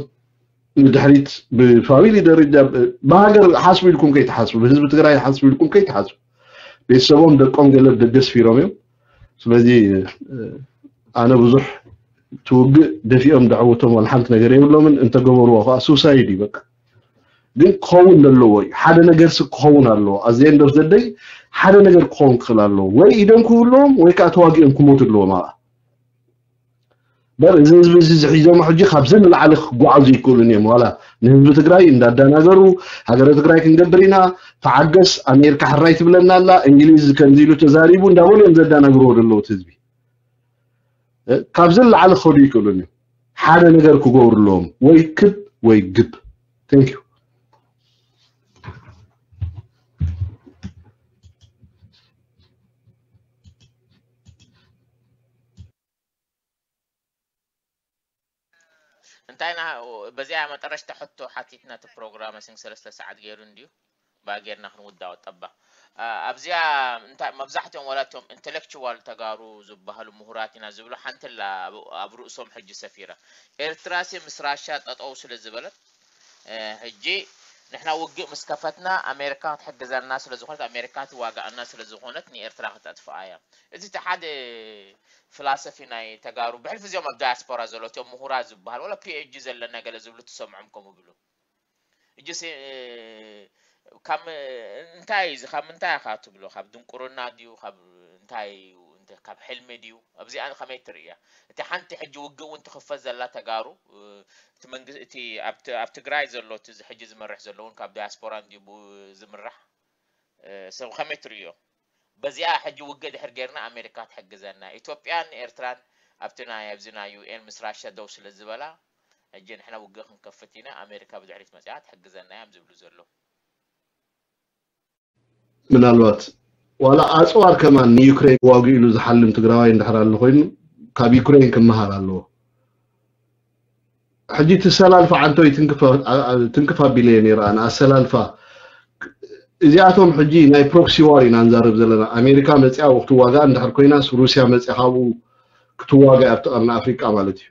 ንድሕሪት ብፋሚሊ ደረጃ ብሃገር ሓስቡ ኢልኩም ከይትሓስቡ ብህዝቢ ትግራይ ሓስቡ ኢልኩም ከይትሓስቡ ቤተሰቦም ደቆም ገለ ደገስፊሮም እዮም። ስለዚ ኣነ ብዙሕ ትውግእ ደፊኦም ደዕውቶም ዋላ ሓንቲ ነገር የብሎምን እንተገበርዎ ከዓ ሱሳይድ እዩ በቃ። ግን ክኸውን ዘለዎ እዩ ሓደ ነገር ስ ክኸውን ኣለዎ ኣዘ end of the day ሓደ ነገር ክኸውን ክኽእል ኣለዎ ወይ ኢዶም ክህልዎም ወይ ከዓ ተዋጊኦም ክሞቱ ኣለዎም ኣብኣ በር እዚ ህዝቢ እዚ ዝሒዞም ሕጂ ካብዚ ንላዕሊ ክጓዓዙ ይክእሉን እዮም ዋላ ንህዝቢ ትግራይ እንዳዳናገሩ ሃገረ ትግራይ ክንገብር ኢና ተዓገስ ኣሜሪካ ሕራይ ትብለና ኣላ እንግሊዝ ከምዚ ኢሉ ተዛሪቡ እንዳበሉ እዮም ዘዳናግርዎ ዘለዉ ህዝቢ ካብዚ ንላዕሊ ክኸዱ ይክእሉን እዮም ሓደ ነገር ክገብሩ ኣለዎም ወይ ክብ ወይ ግብ thank you እንታይ ና በዚኣ መጠረሽታ ሕቶ ሓቲትና እቲ ፕሮግራም ስን ሰለስተ ሰዓት ገይሩ እንድዩ ባ ገይርና ክንውዳኦ ጠባ ኣብዚኣ እንታይ መብዛሕትኦም ወላቶም ኢንተሌክቹዋል ተጋሩ ዝበሃሉ ምሁራት ኢና ዝብሉ ሓንቲ ላ ኣብ ርእሶም ሕጂ ሰፊራ ኤርትራሲ ምስ ራሻ ጠጠው ስለ ዝበለት ሕጂ ንሕና ውግእ ምስ ከፈትና ኣሜሪካ ክትሕግዘና ስለ ዝኾነት ኣሜሪካ ትዋጋኣና ስለ ዝኾነት ንኤርትራ ክተጥፍኣ እያ እዚ እቲ ሓደ ፍላሰፊ ናይ ተጋሩ ብሕልፊ እዚኦም ኣብ ዳያስፖራ ዘሎ እቲኦም ምሁራት ዝበሃል ወላ ፒኤችዲ ዘለና ገለ ዝብሉ ትሰምዖም ከምኡ ብሉ እጅስ ካብ እንታይ እዚ ካብ ምንታይ ኢኻ ትብሎ ካብ ድንቁርና ድዩ ካብ እንታይ እዩ ካብ ሕልሚ ድዩ ኣብዚኣ ከመይ ትርእያ እቲ ሓንቲ ሕጂ ውግእ እውን ትኽፈት ዘላ ተጋሩ እቲ መንግስቲ እቲ ኣብ ትግራይ ዘሎ እቲ ሕጂ ዝመርሕ ዘሎ እውን ካብ ዲያስፖራ እንድዩ ዝምራሕ ሰብ ከመይ ትርእዮ በዚኣ ሕጂ ውግእ ድሕር ጌርና ኣሜሪካ ትሕግዘና ኢትዮጵያን ኤርትራን ኣብቲ ናይ ኣብዚ ናይ ዩኤን ምስ ራሻ ደው ስለ ዝበላ ሕጂ ንሕና ውግእ ክንከፍት ኢና ኣሜሪካ ብድሕሪት መፅያ ትሕግዘና እዮም ዝብሉ ዘለዉ ምናልባት ዋላ ኣፅዋር ከማን ንዩክሬን ዋጉ ኢሉ ዝሓልም ትግራዋይ እንድሕር ኣሎ ኮይኑ ካብ ዩክሬን ክመሃር ኣለዎ። ሕጂ ትሰላልፋ ዓንቶይ ትንክፍ ኣቢለ እየ ነይረ ኣነ ኣሰላልፋ። እዚኣቶም ሕጂ ናይ ፕሮክሲ ዋር ኢና ንዛረብ ዘለና። ኣሜሪካ መፅያ ክትዋጋእ እንድሕር ኮይናስ ሩስያ መፅያ ካብኡ ክትዋጋእ ኣብቲ ቀርኒ ኣፍሪቃ ማለት እዩ።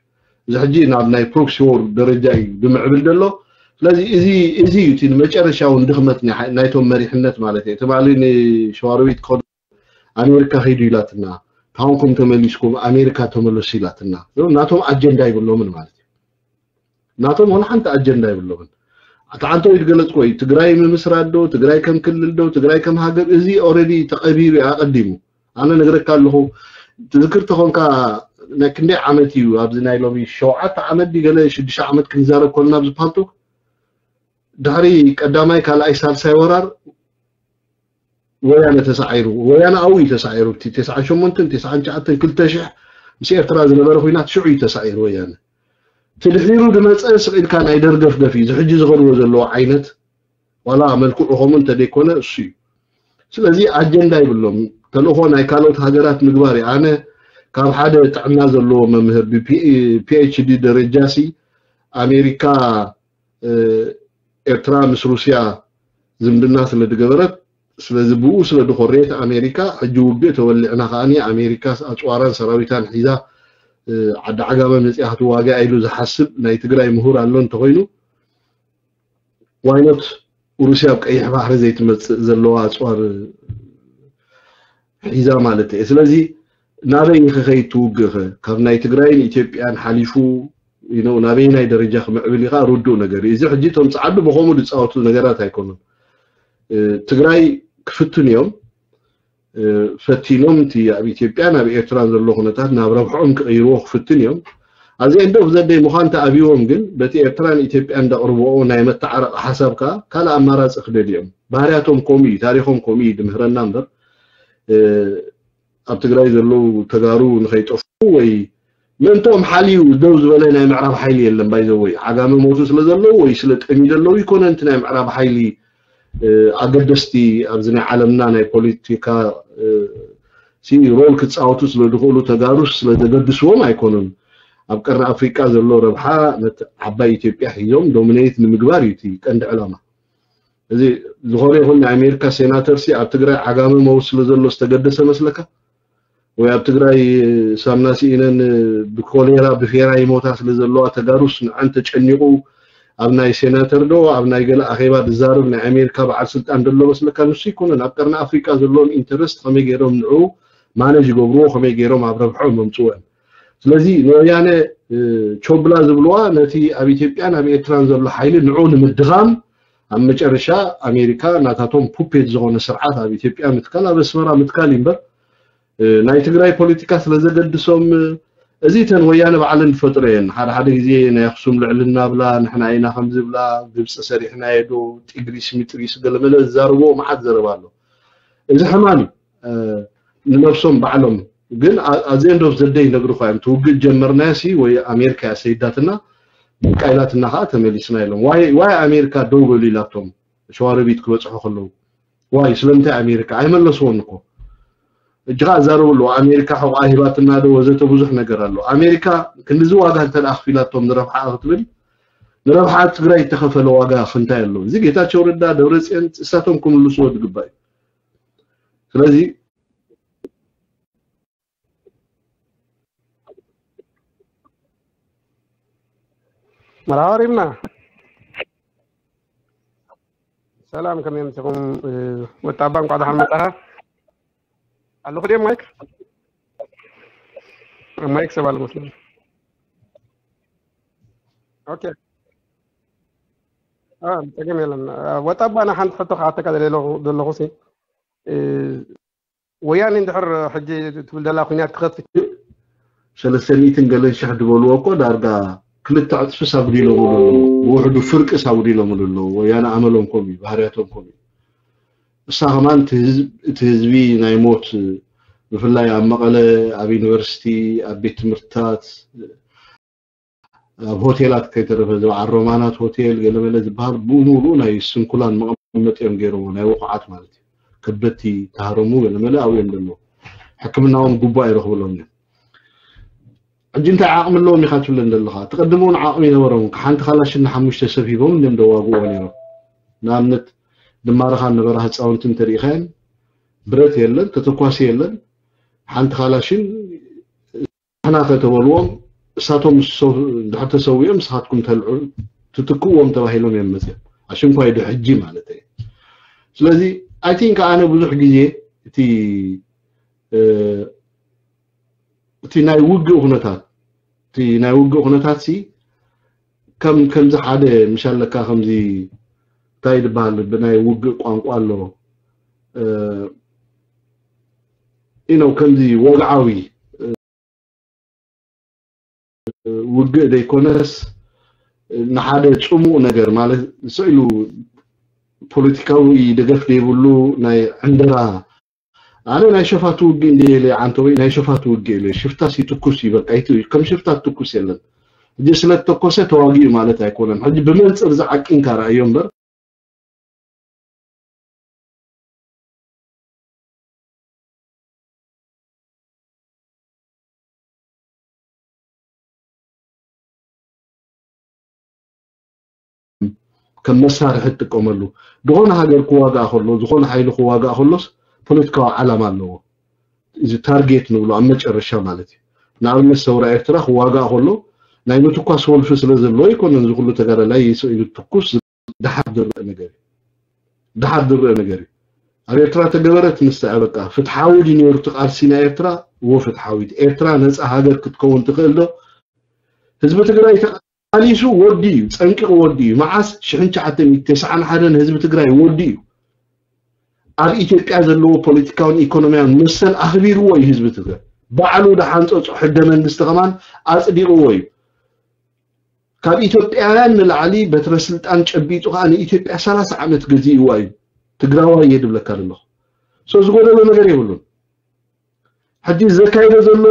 እዚ ሕጂ ናብ ናይ ፕሮክሲ ዎር ደረጃ እዩ ብምዕብል ዘሎ። ስለዚ እዚ እዚ እዩ እቲ ንመጨረሻ እውን ድኽመት ናይ ሓ- ናይቶም መሪሕነት ማለት እዩ። ትማሊ ንሸዋሮቢት ከዱ ኣሜሪካ ከይዱ ኢላትና፣ ታንኩም ተመሊስኩም ኣሜሪካ ተመለሱ ኢላትና። ናቶም ኣጀንዳ ይብሎምን ማለት እዩ። ናቶም ዋላ ሓንቲ ኣጀንዳ ይብሎምን። ኣቲ ዓንቶ እዩ ዝገለጽኮ እዩ። ትግራይ ምምስራት ዶ ትግራይ ከም ክልል ዶ ትግራይ ከም ሃገር እዚ ኦረዲ ተቐቢሩ እዩ ኣቐዲሙ። ኣነ ነግረካ ኣለኹ። ትዝክር ተኾንካ ናይ ክንደይ ዓመት እዩ ኣብዚ ናይ ሎሚ ሸውዓተ ዓመት ድዩ ገለ ሽዱሽተ ዓመት ክንዛረብ ኮልና ኣብዚ ፓልቶክ ድሕሪ ቀዳማይ ካልኣይ ሳልሳይ ወራር ወያነ ተሳዒሩ። ወያነ ኣብኡ እዩ ተሳዒሩ። እቲ ተስዓን ሸሞንተን ተስዓን ትሽዓተን ክልተ ሽሕ ምስ ኤርትራ ዝነበረ ኩናት ሽዑ እዩ ተሳዒሩ ወያነ። ትድሒሩ ዝመፀ ስቕ ኢልካ ናይ ደርገፍገፍ እዩ። እዚ ሕጂ ዝኸድዎ ዘለዎ ዓይነት ዋላ መልክዑ ከምኡ እንተደይኮነ እሱ እዩ። ስለዚ ኣጀንዳ ይብሎም። ተልእኾ ናይ ካልኦት ሃገራት ምግባር እዩ። ኣነ ካብ ሓደ ጥዕና ዘለዎ መምህር ብፒኤችዲ ደረጃ ሲ ኣሜሪካ ኤርትራ ምስ ሩስያ ዝምድና ስለ ዝገበረት ስለዚ ብኡ ስለ ዝኮረየት ኣሜሪካ ሕጂ ውግእ ተወሊዕና ከኣ ኣሜሪካ ኣፅዋራን ሰራዊታን ሒዛ ዓዲ ዓጋመ መፅያ ክትዋግኣ ኢሉ ዝሓስብ ናይ ትግራይ ምሁር ኣሎ እንተኮይኑ ዋይኖት ሩስያ ኣብ ቀይሕ ባሕሪ ዘይትመፅእ ዘለዋ ኣፅዋር ሒዛ ማለት እየ። ስለዚ ናበይ ንክኸይድ ትውግእ ከ? ካብ ናይ ትግራይን ኢትዮጵያን ሓሊፉ you know ናበየናይ ደረጃ ክምዕብል ኢኻ ርዱእ ነገር እዩ። እዚ ሕጂ እቶም ፀዓዱ ብከምኡ ዝፃወቱ ነገራት ኣይኮኑን። ትግራይ ክፍትን እዮም ፈቲኖም እቲ ኣብ ኢትዮጵያን ኣብ ኤርትራን ዘሎ ኩነታት ናብ ረብሕኦም ክቕይርዎ ክፍትን እዮም። ኣብዚ end of the day ምዃን ተኣብይዎም ግን በቲ ኤርትራን ኢትዮጵያን ዘቕርብኦ ናይ መተዓረቂ ሓሳብ ከዓ ካልእ ኣማራፂ ክደልዮም ባህርያቶም ከምኡ እዩ ታሪኾም ከምኡ እዩ ድምህረና እምበር ኣብ ትግራይ ዘለዉ ተጋሩ ንኸይጠፍኡ ወይ ምእንቶም ሓልዩ ደው ዝበለ ናይ ምዕራብ ሓይሊ የለን ባይዘወይ ዓጋመ ሞቱ ስለ ዘለዉ ወይ ስለ ጠሚ ዘለዉ ይኮነንቲ ናይ ምዕራብ ሓይሊ ኣገደስቲ ኣብዚ ናይ ዓለምና ናይ ፖለቲካ ሲ ሮል ክፃወቱ ስለ ዝኽእሉ ተጋሩስ ስለ ዘገድስዎም ኣይኮኑን ኣብ ቀርኒ ኣፍሪቃ ዘሎ ረብሓ ነቲ ዓባይ ኢትዮጵያ ሒዞም ዶሚኔት ንምግባር እዩ እቲ ቀንዲ ዕላማ እዚ ዝኾነ ይኹን ናይ ኣሜሪካ ሴናተር ሲ ኣብ ትግራይ ዓጋመ መውት ስለ ዘሎ ዝተገደሰ መስለካ ወይ ኣብ ትግራይ ሳምና ስኢነን ብኮሌራ ብፌራ ይሞታ ስለ ዘለዋ ተጋሩስ ንዐን ተጨኒቑ ኣብ ናይ ሴናተር ዶ ኣብ ናይ ገለ ኣኼባ ዝዛረብ ናይ ኣሜሪካ በዓል ስልጣን ደሎ መስለካ ንሱ ይኮነን ኣብ ቀርኒ ኣፍሪቃ ዘለዎም ኢንተረስት ከመይ ገይሮም ንዑ ማነጅ ይገብርዎ ከመይ ገይሮም ኣብ ረብሖም መምፅወን ስለዚ ንወያነ ቾብላ ዝብልዋ ነቲ ኣብ ኢትዮጵያን ኣብ ኤርትራን ዘሎ ሓይሊ ንዑ ንምድኻም ኣብ መጨረሻ ኣሜሪካ ናታቶም ፑፔት ዝኾነ ስርዓት ኣብ ኢትዮጵያ ምትካል ኣብ ኣስመራ ምትካል እዩ እምበር ናይ ትግራይ ፖለቲካ ስለ ዘገድሶም እዚ ተን ወያነ ባዕለን ዝፈጥሮ እየን ሓደ ሓደ ግዜ ናይ ኣክሱም ልዕልና ብላ ንሕና ኢና ከም ዝብላ ግብፂ ሰሪሕናዮ ዶ ጢግሪስ ሚጥሪስ ገለመለ ዝዛረብዎ መዓት ዘረባ ኣሎ እዚ ሕማም እዩ ንነብሶም ባዕሎም ግን ኣዘ end of the day ነግርኳ እዮም ትውግእ ጀመርናዮ ሲ ወይ ኣሜሪካ እያ ሰይዳትና በቃ ኢላትና ከዓ ተመሊስና ኢሎም ዋይ ኣሜሪካ ደው በሉ ኢላቶም ሸዋረቢት ክበፅሑ ከለዉ ዋይ ስለምንታይ ኣሜሪካ ኣይመለስዎን እኮ እጅኻ ኣዛረቡ ኣለዎ ኣሜሪካ ሕቑኣ ሂባትና ዶ ወዘተ ብዙሕ ነገር ኣሎ ኣሜሪካ ክንድዚ ዋጋ እንተ ኣኽፊላቶም ንረብሓ ክትብል ንረብሓ ትግራይ እተኸፈለ ዋጋ ክንታይ ኣሎ እዚ ጌታቸው ረዳ ደብረፅዮን እሳቶም ክምልስዎ ዝግባእ እዩ ስለዚ መርሃባ ሪምና ሰላም ከመይ ምሲኹም ወጣባ እንኳዕ ደሓን መጣኻ ኣለኹ ድየ ማይክ ማይክ ሰብ ኣሎ መስለኒ ኦኬ ጸገም የለን ወጣባ ና ሓንቲ ሕቶ ክሓተካ ዘለኹ ሲ ወያኔ እንድሕር ሕጂ ትብል ዘላ ኩናት ክኸፍት እዩ። ሰለስተ ሚእትን ገለን ሽሕ ዝበልዎ እኮ ዳርጋ ክልተ ዕፅፍስ ኣጉዲሎምሉ ኣለዉ። ብውሕዱ ፍርቅስ ኣጉዲሎምሉ ኣለዉ። ወያነ ኣመሎም ከምኡ እዩ፣ ባህርያቶም ከምኡ እዩ። እሳ ከማን እቲ ህዝብ- እቲ ህዝቢ ናይ ሞት ብፍላይ ኣብ መቐለ፣ ኣብ ዩኒቨርሲቲ፣ ኣብ ቤት ትምህርትታት፣ ኣብ ሆቴላት ከይተረፈ እዚ በዓል ሮማናት ሆቴል ገለመለ ዝበሃል ብሙሉኡ ናይ ስንኩላን መቐመጢ እዮም ገይሮሞ ናይ ውቑዓት ማለት እዩ ከበድቲ ተሃረሙ ገለመለ ኣብኡ እዮም ዘለዉ። ሕክምና እውን ግቡእ ኣይረኽብሎም እዮም። ሕጂ እንታይ ዓቕሚ ኣለዎም ኢኻ ትብለን ዘለኻ? እቲ ቅድም እውን ዓቕሚ ይነበሮም። ሓንቲ ካላሽን ንሓሙሽተ ሰብ ሂቦም እንዲም ደዋግዎ ነይሮም። ንኣብነት ድማረኻ ነበራ ህፃውንቲ እንተሪኢኻየን ብረት የለን፣ ተተኳሲ የለን። ሓንቲ ካላሽን ንሕና ከተበልዎም እሳቶም ምስ ሰው- እንድሕር ተሰዊኦም ንስኻትኩም ተልዑ ትትክእዎም ተባሂሎም እዮም መፅኦም። ኣሽንኳይ ዶ ሕጂ ማለት እዩ። ስለዚ ኣይ ቲንክ ኣነ ብዙሕ ግዜ እቲ እ፣ እቲ ናይ ውግእ ኩነታት እቲ ናይ ውግእ ኩነታት ሲ ከም ከምዚ ሓደ ምሽ ኣለካ ከምዚ እንታይ ዝበሃል ብናይ ውግእ ቋንቋ ኣሎ እ፣ you know ከምዚ ወግዓዊ ውግእ ዘይኮነስ ንሓደ ጽሙእ ነገር ማለት ስኢሉ ፖለቲካዊ ደገፍ ዘይብሉ ናይ ዕንደራ ኣነ ናይ ሸፋቱ ውግእ እንደ ኢለ ዓንተወይ ናይ ሸፋቱ ውግእ ኢለ ሽፍታ ሲትኩስ ይበቃ ይት ከም ሽፍታ ትኩስ የለን ሕጂ ስለ ተኮሰ ተዋጊኡ ማለት ኣይኮነን ሕጂ ብመንጽር ዝዓቂንካ ረኣዮ እምበር ከም መሳርሒ ትጥቀመሉ ዝኾነ ሃገር ክዋጋእ ከሎ ዝኾነ ሓይሊ ክዋጋእ ከሎስ ፖለቲካዊ ዓላማ ኣለዎ እዚ ታርጌት ንብሎ ኣብ መጨረሻ ማለት እዩ ንኣብነት ሰውራ ኤርትራ ክዋጋእ ከሎ ናይ ምትኳስ ወልፊ ስለ ዘለዎ ኣይኮነን ዝኩሉ ተጋዳላይ ይስኢሉ ትኩስ ድሓር ዝረአ ነገር እዩ ድሓር ዝረአ ነገር እዩ ኣብ ኤርትራ ተገበረት ንስዐ በቃ ፍትሓዊ ድዩ ነይሩ እቲ ቃልሲ ናይ ኤርትራ እዎ ፍትሓዊት ኤርትራ ነፃ ሃገር ክትከውን ትኽእል ዶ ህዝቢ ትግራይ ተቃሊሱ ወዲ እዩ ጸንቂቑ ወዲ እዩ መዓስ ሽሕን ትሽዓተ ሚእቲ ተስዓን ሓደን ህዝቢ ትግራይ ወዲ እዩ ኣብ ኢትዮጵያ ዘለዎ ፖለቲካውን ኢኮኖሚያውን መሰል ኣኽቢርዎ እዩ ህዝቢ ትግራይ ባዕሉ ዝሓንፀፁ ሕገ መንግስቲ ከማን ኣፅዲቕዎ እዩ ካብ ኢትዮጵያውያን ንላዕሊ በትረ ስልጣን ጨቢጡ ከዓ ንኢትዮጵያ ሰላሳ ዓመት ገዚእዋ እዩ ትግራዋይ እየ ድብለካ ዘለኹ so ዝጎደሎ ነገር የብሉን ሕጂ ዘካይዶ ዘሎ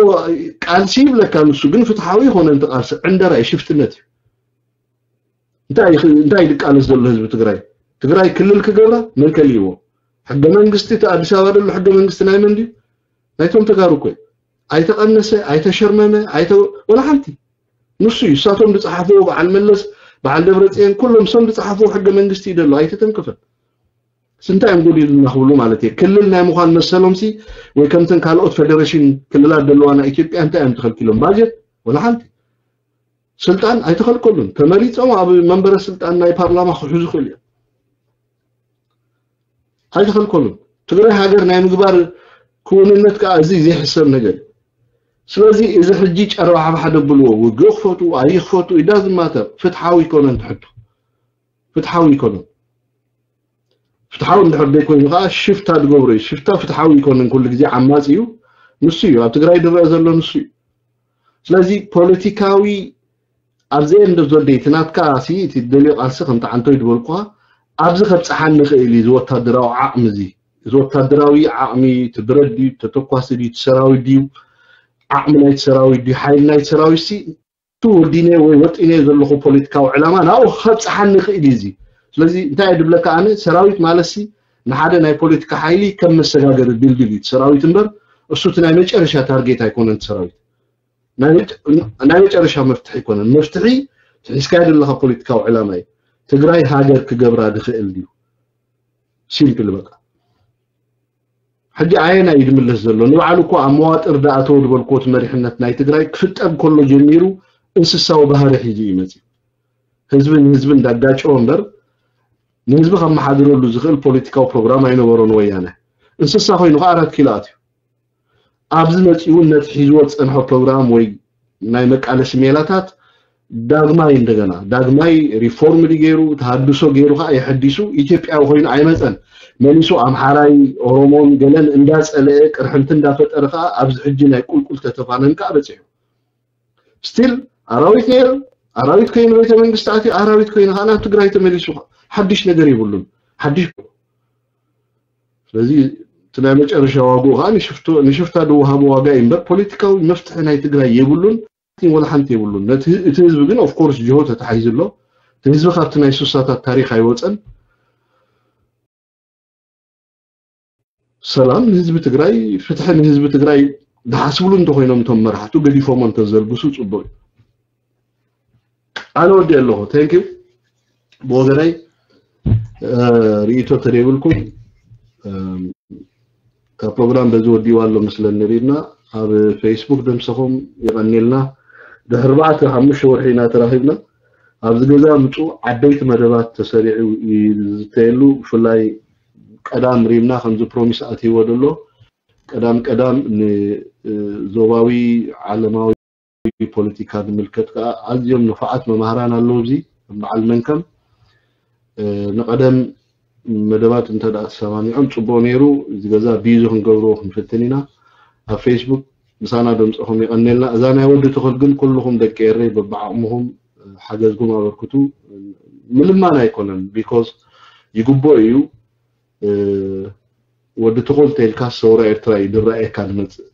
ቃልሲ ይብለካ ንሱ ግን ፍትሓዊ ይኮነ እንተ ቃልሲ ዕንደራ እዩ ሽፍትነት እዩ እንታይ ይኽ- እንታይ ይቃለስ ዘሎ ህዝቢ ትግራይ ትግራይ ክልል ክገብራ መን ከልይዎ ሕገ መንግስቲ እቲ ኣዲስ ኣበባ ዘሎ ሕገ መንግስቲ ናይ መን ድዩ ናይቶም ተጋሩ እኮ እዩ ኣይተቐነሰ ኣይተሸርመመ ኣይተ ወላ ሓንቲ ንሱ እዩ እሳቶም ዝፀሓፍዎ በዓል መለስ በዓል ደብረፅየን ኩሎም እሶም ዝፀሓፍዎ ሕገ መንግስቲ እዩ ዘሎ ኣይተተንክፈን ስንታይ እዮም ጎዲሉና ክብሉ ማለት እየ ክልል ናይ ምዃን መሰሎም ሲ ወይ ከምተን ካልኦት ፈደረሽን ክልላት ዘለዋ ናይ ኢትዮጵያ እንታይ እዮም ተኸልኪሎም ባጀት ወላ ሓንቲ ስልጣን ኣይተኸልከሉን ተመሪፆም ኣብ መንበረ ስልጣን ናይ ፓርላማ ክሕዙ ክእል እዮም ኣይተኸልከሉን ትግራይ ሃገር ናይ ምግባር ክውንነት ከዓ እዚ ዘይሕሰብ ነገር እዩ ስለዚ እዚ ሕጂ ጨረባሕባሕ ደብልዎ ውግእ ክፈቱ ኣይክፈቱ ኢዳ ዝማተር ፍትሓዊ ይኮነን ትሕቶ ፍትሓዊ ይኮነን ፍትሓዊ እንድሕር ዘይኮይኑ ከዓ ሽፍታ ዝገብሮ እዩ ሽፍታ ፍትሓዊ ይኮነን ኩሉ ግዜ ዓማፂ እዩ ንሱ እዩ ኣብ ትግራይ ዝረአ ዘሎ ንሱ እዩ ስለዚ ፖለቲካዊ ኣብዚ እንዶ ዘደይ እቲ ናትካ ሲ እቲ ደልዮ ቃልሲ ከምቲ ዓንቶይ ዝበልኩኻ ኣብዚ ከብፅሓኒ ይኽእል እዩ እዚ ወታደራዊ ዓቕሚ እዚ እዚ ወታደራዊ ዓቕሚ እቲ ብረት ድዩ ተተኳሲ ድዩ እቲ ሰራዊት ድዩ ዓቕሚ ናይቲ ሰራዊት ድዩ ሓይሊ ናይቲ ሰራዊት ሲ እቲ ወዲነ ወይ ወጢነ ዘለኹ ፖለቲካዊ ዕላማ ናብኡ ከብፅሓኒ ይኽእል እዩ እዚ ስለዚ እንታይ እየ ድብለካ ኣነ ሰራዊት ማለት ሲ ንሓደ ናይ ፖለቲካ ሓይሊ ከም መሰጋገሪ ድልድል እዩ ሰራዊት እምበር እሱ እቲ ናይ መጨረሻ ታርጌት ኣይኮነን ሰራዊት ናይ መጨረሻ መፍትሒ ኣይኮነን መፍትሒ ትሒዝካዮ ዘለካ ፖለቲካዊ ዕላማ እዩ ትግራይ ሃገር ክገብራ ድኽእል ድዩ ሲምፕል በቃ ሕጂ ኣየና እዩ ዝምለስ ዘሎ ንባዕሉ እኮ ኣብ መዋጥር ዝኣተወ ዝበልክዎ እቲ መሪሕነት ናይ ትግራይ ክፍጠር ከሎ ጀሚሩ እንስሳዊ ባህሪ ሒዙ እዩ መፅዩ ህዝቢ ንህዝቢ እንዳጋጨወ እምበር ንህዝቢ ከመሓድረሉ ዝኽእል ፖለቲካዊ ፕሮግራም ኣይነበሮን ወያነ እንስሳ ኮይኑ ከዓ ኣራት ኪሎ ኣትዩ ኣብዚ መፂኡ ነቲ ሒዝዎ ዝፀንሖ ፕሮግራም ወይ ናይ መቃለሲ ሜላታት ዳግማይ እንደገና ዳግማይ ሪፎርም ድዩ ገይሩ ተሃድሶ ገይሩ ከዓ የሐዲሱ ኢትዮጵያዊ ኮይኑ ኣይመፀን መሊሱ ኣምሓራይ ኦሮሞን ገለን እንዳፀለአ ቅርሕንቲ እንዳፈጠረ ከዓ ኣብዚ ሕጂ ናይ ቁልቁል ተተፋነን ከዓ በፂሑ ስቲል ኣራዊት ነይሩ ኣራዊት ኮይኑ ቤተ መንግስቲ ኣትዩ ኣራዊት ኮይኑ ከዓ ናብ ትግራይ ተመሊሱ ሓድሽ ነገር የብሉን ሓድሽ ስለዚ እቲ ናይ መጨረሻ ዋግኡ ከዓ ንሽፍቶ- ንሽፍታ ዝወሃቦ ዋጋ እዩ እምበር ፖለቲካዊ መፍትሒ ናይ ትግራይ የብሉን ወላ ሓንቲ የብሉን ነቲ ህ- እቲ ህዝቢ ግን ኦፍኮርስ ጅሆ ተታሒዙ ኣሎ እቲ ህዝቢ ካብቲ ናይ ሱሳታት ታሪክ ኣይወፀን ሰላም ንህዝቢ ትግራይ፣ ፍትሒ ንህዝቢ ትግራይ ዝሓስብሉ እንተኮይኖም እቶም መራሕቱ ገዲፎሞ እንተዘልግሱ ፅቡቅ እዩ። ኣነ ወዲ ኣለኹ። Thank you። ብወገናይ እ፣ ርእይቶ ተደይብልኩም፣ እም፣ ካብ ፕሮግራም በዚ ወዲዋ ኣሎ መስለኒ ሪድና ኣብ ፌስቡክ ደምሰኹም ይቐኒልና። ድሕሪ ኣርባዕተ ሓሙሽተ ወርሒ ኢና ተራኺብና። ኣብዚ ገዛ ምፁ ዓበይቲ መደባት ተሰሪዑ ይዝተየሉ። ብፍላይ ቀዳም ሪምና ከምዚ ፕሮሚስ ኣትይዎ ደሎ ቀዳም ቀዳም ንዞባዊ ዓለማዊ ፖለቲካ ዝምልከት ከዓ ኣዝዮም ንፉዓት መማህራን ኣለዉ። ኣብዚ በዓል መንከም ንቀደም መደባት እንተ ደኣ ተሰማሚዖም ጽቡቕ ነይሩ። እዚ ገዛ ቢዚ ክንገብርዎ ክንፍትን ኢና። ኣብ ፌስቡክ ምሳና ደምፅኹም የቐኔልና። እዛ ናይ ወዲ ትኹል ግን ኩልኹም ደቂ ኤረይ በብዓቕምኹም ሓገዝኩም ኣበርክቱ። ምልማን ኣይኮነን፣ ቢኮዝ ይግቦ እዩ። ወዲ ትኹል ተልካ ሰውራ ኤርትራ እዩ ድረኣየካ ዝመፅእ።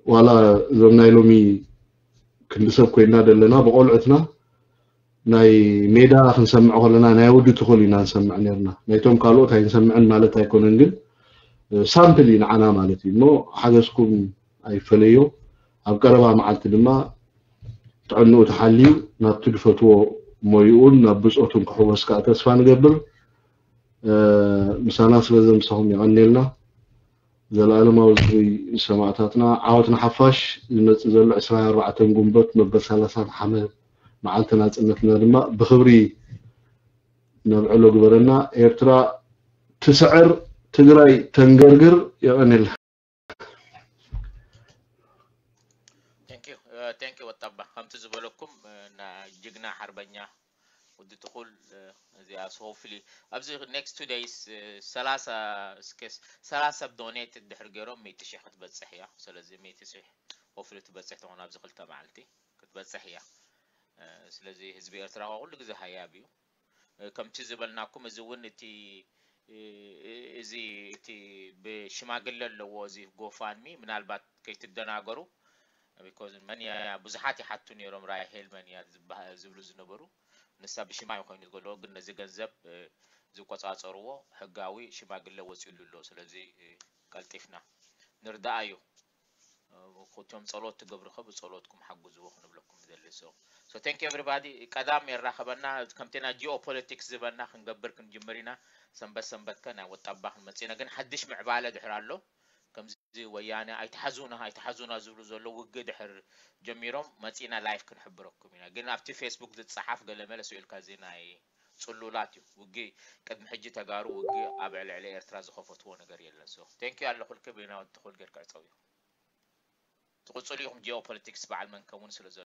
ዋላ እዞም ናይ ሎሚ ክንዲ ሰብ ኮይና ዘለና ብቆልዑትና ናይ ሜዳ ክንሰምዕ ከለና ናይ ወዲ ትኹል ኢና ንሰምዕ ነርና። ናይቶም ካልኦት ኣይንሰምዕን ማለት ኣይኮነን፣ ግን ሳምፕል እዩ ንዓና ማለት እዩ። እሞ ሓገዝኩም ኣይፈለዮ። ኣብ ቀረባ መዓልቲ ድማ ጥዕንኡ ተሓልዩ ናብቲ ዝፈትዎ ሞይኡን ናብ ብፆቱን ክሕወስ ከዓ ተስፋ ንገብር። ምሳና ስለ ዘምሰኹም የቐኔልና። ዘለኣለማዊ ዝኽሪ ንሰማእታትና። ዓወት ንሓፋሽ። ዝመፅእ ዘሎ ዕስራን ኣርባዕተን ጉንበት መበል ሰላሳን ሓመ መዓልቲ ናፅነትና ድማ ብኽብሪ ነብዕሎ ግበረና። ኤርትራ ትስዕር፣ ትግራይ ተንገርግር። የቐኔልና። Thank you. Thank you ወጣባ። ከምቲ ዝበለኩም ና ጅግና ሓርበኛ ወዲ ትኹል እዚኣ ሶፍሊ ኣብዚ next two days ሰላሳ እስከ ሰላሳ ሰብ ዶኔት ድሕር ገይሮም ሚእቲ ሺሕ ክትበፅሕ እያ። ስለዚ ሚእቲ ሺሕ ሆፍሊ ትበፅሕ ትኾን ኣብዚ ክልተ መዓልቲ ክትበፅሕ እያ። ስለዚ ህዝቢ ኤርትራ ኩሉ ግዜ ሃያብ እዩ። ከምቲ ዝበልናኩም እዚ እውን እቲ እዚ እቲ ብሽማግለ ኣለዎ እዚ ጎፋንሚ ምናልባት ከይትደናገሩ because መን እያ ብዙሓት ይሓቱ ነይሮም ራሄል መን እያ ዝበሃ- ዝብሉ ዝነበሩ ንሳ ብሽማ እዩ ኮይኑ ዝገለኦ ግን ነዚ ገንዘብ እ፣ ዝቆፃፀርዎ ሕጋዊ ሽማግለ ወፂሉ ኣሎ ስለዚ እ፣ ቀልጢፍና ንርዳኣዮ እ፣ እቶም ፀሎት ትገብሩ ከ ብፀሎትኩም ሓግዝዎ ክንብለኩም ንደሊ so so thank you everybody ቀዳም የራኸበና ከምቲ ና ጂኦፖለቲክስ ዝበልና ክንገብር ክንጅምር ኢና ሰንበት ሰንበት ከ ናይ ወጣባ ክንመፅእ ኢና ግን ሓድሽ ምዕባለ ድሕር ኣሎ ከምዚ ወያነ ኣይትሓዙና ኣይትሓዙና ዝብሉ ዘሎ ውግእ ድሕር ጀሚሮም መፂና ላይፍ ክንሕብረኩም ኢና ግን ኣብቲ ፌስቡክ ዝፀሓፍ ገለመለ ስኢልካ እዚ ናይ ፅሉላት እዩ ውግእ ቅድሚ ሕጂ ተጋሩ ውግእ ኣብ ዕልዕሊ ኤርትራ ዝኸፈትዎ ነገር የለን so thank you ኣለኹልክ ብናወት ትኹል ገይር ክዕፀው እዩ ትቕፅሉ ኢኹም ጂኦፖለቲክስ በዓል መንከም እውን ስለ ዘሎ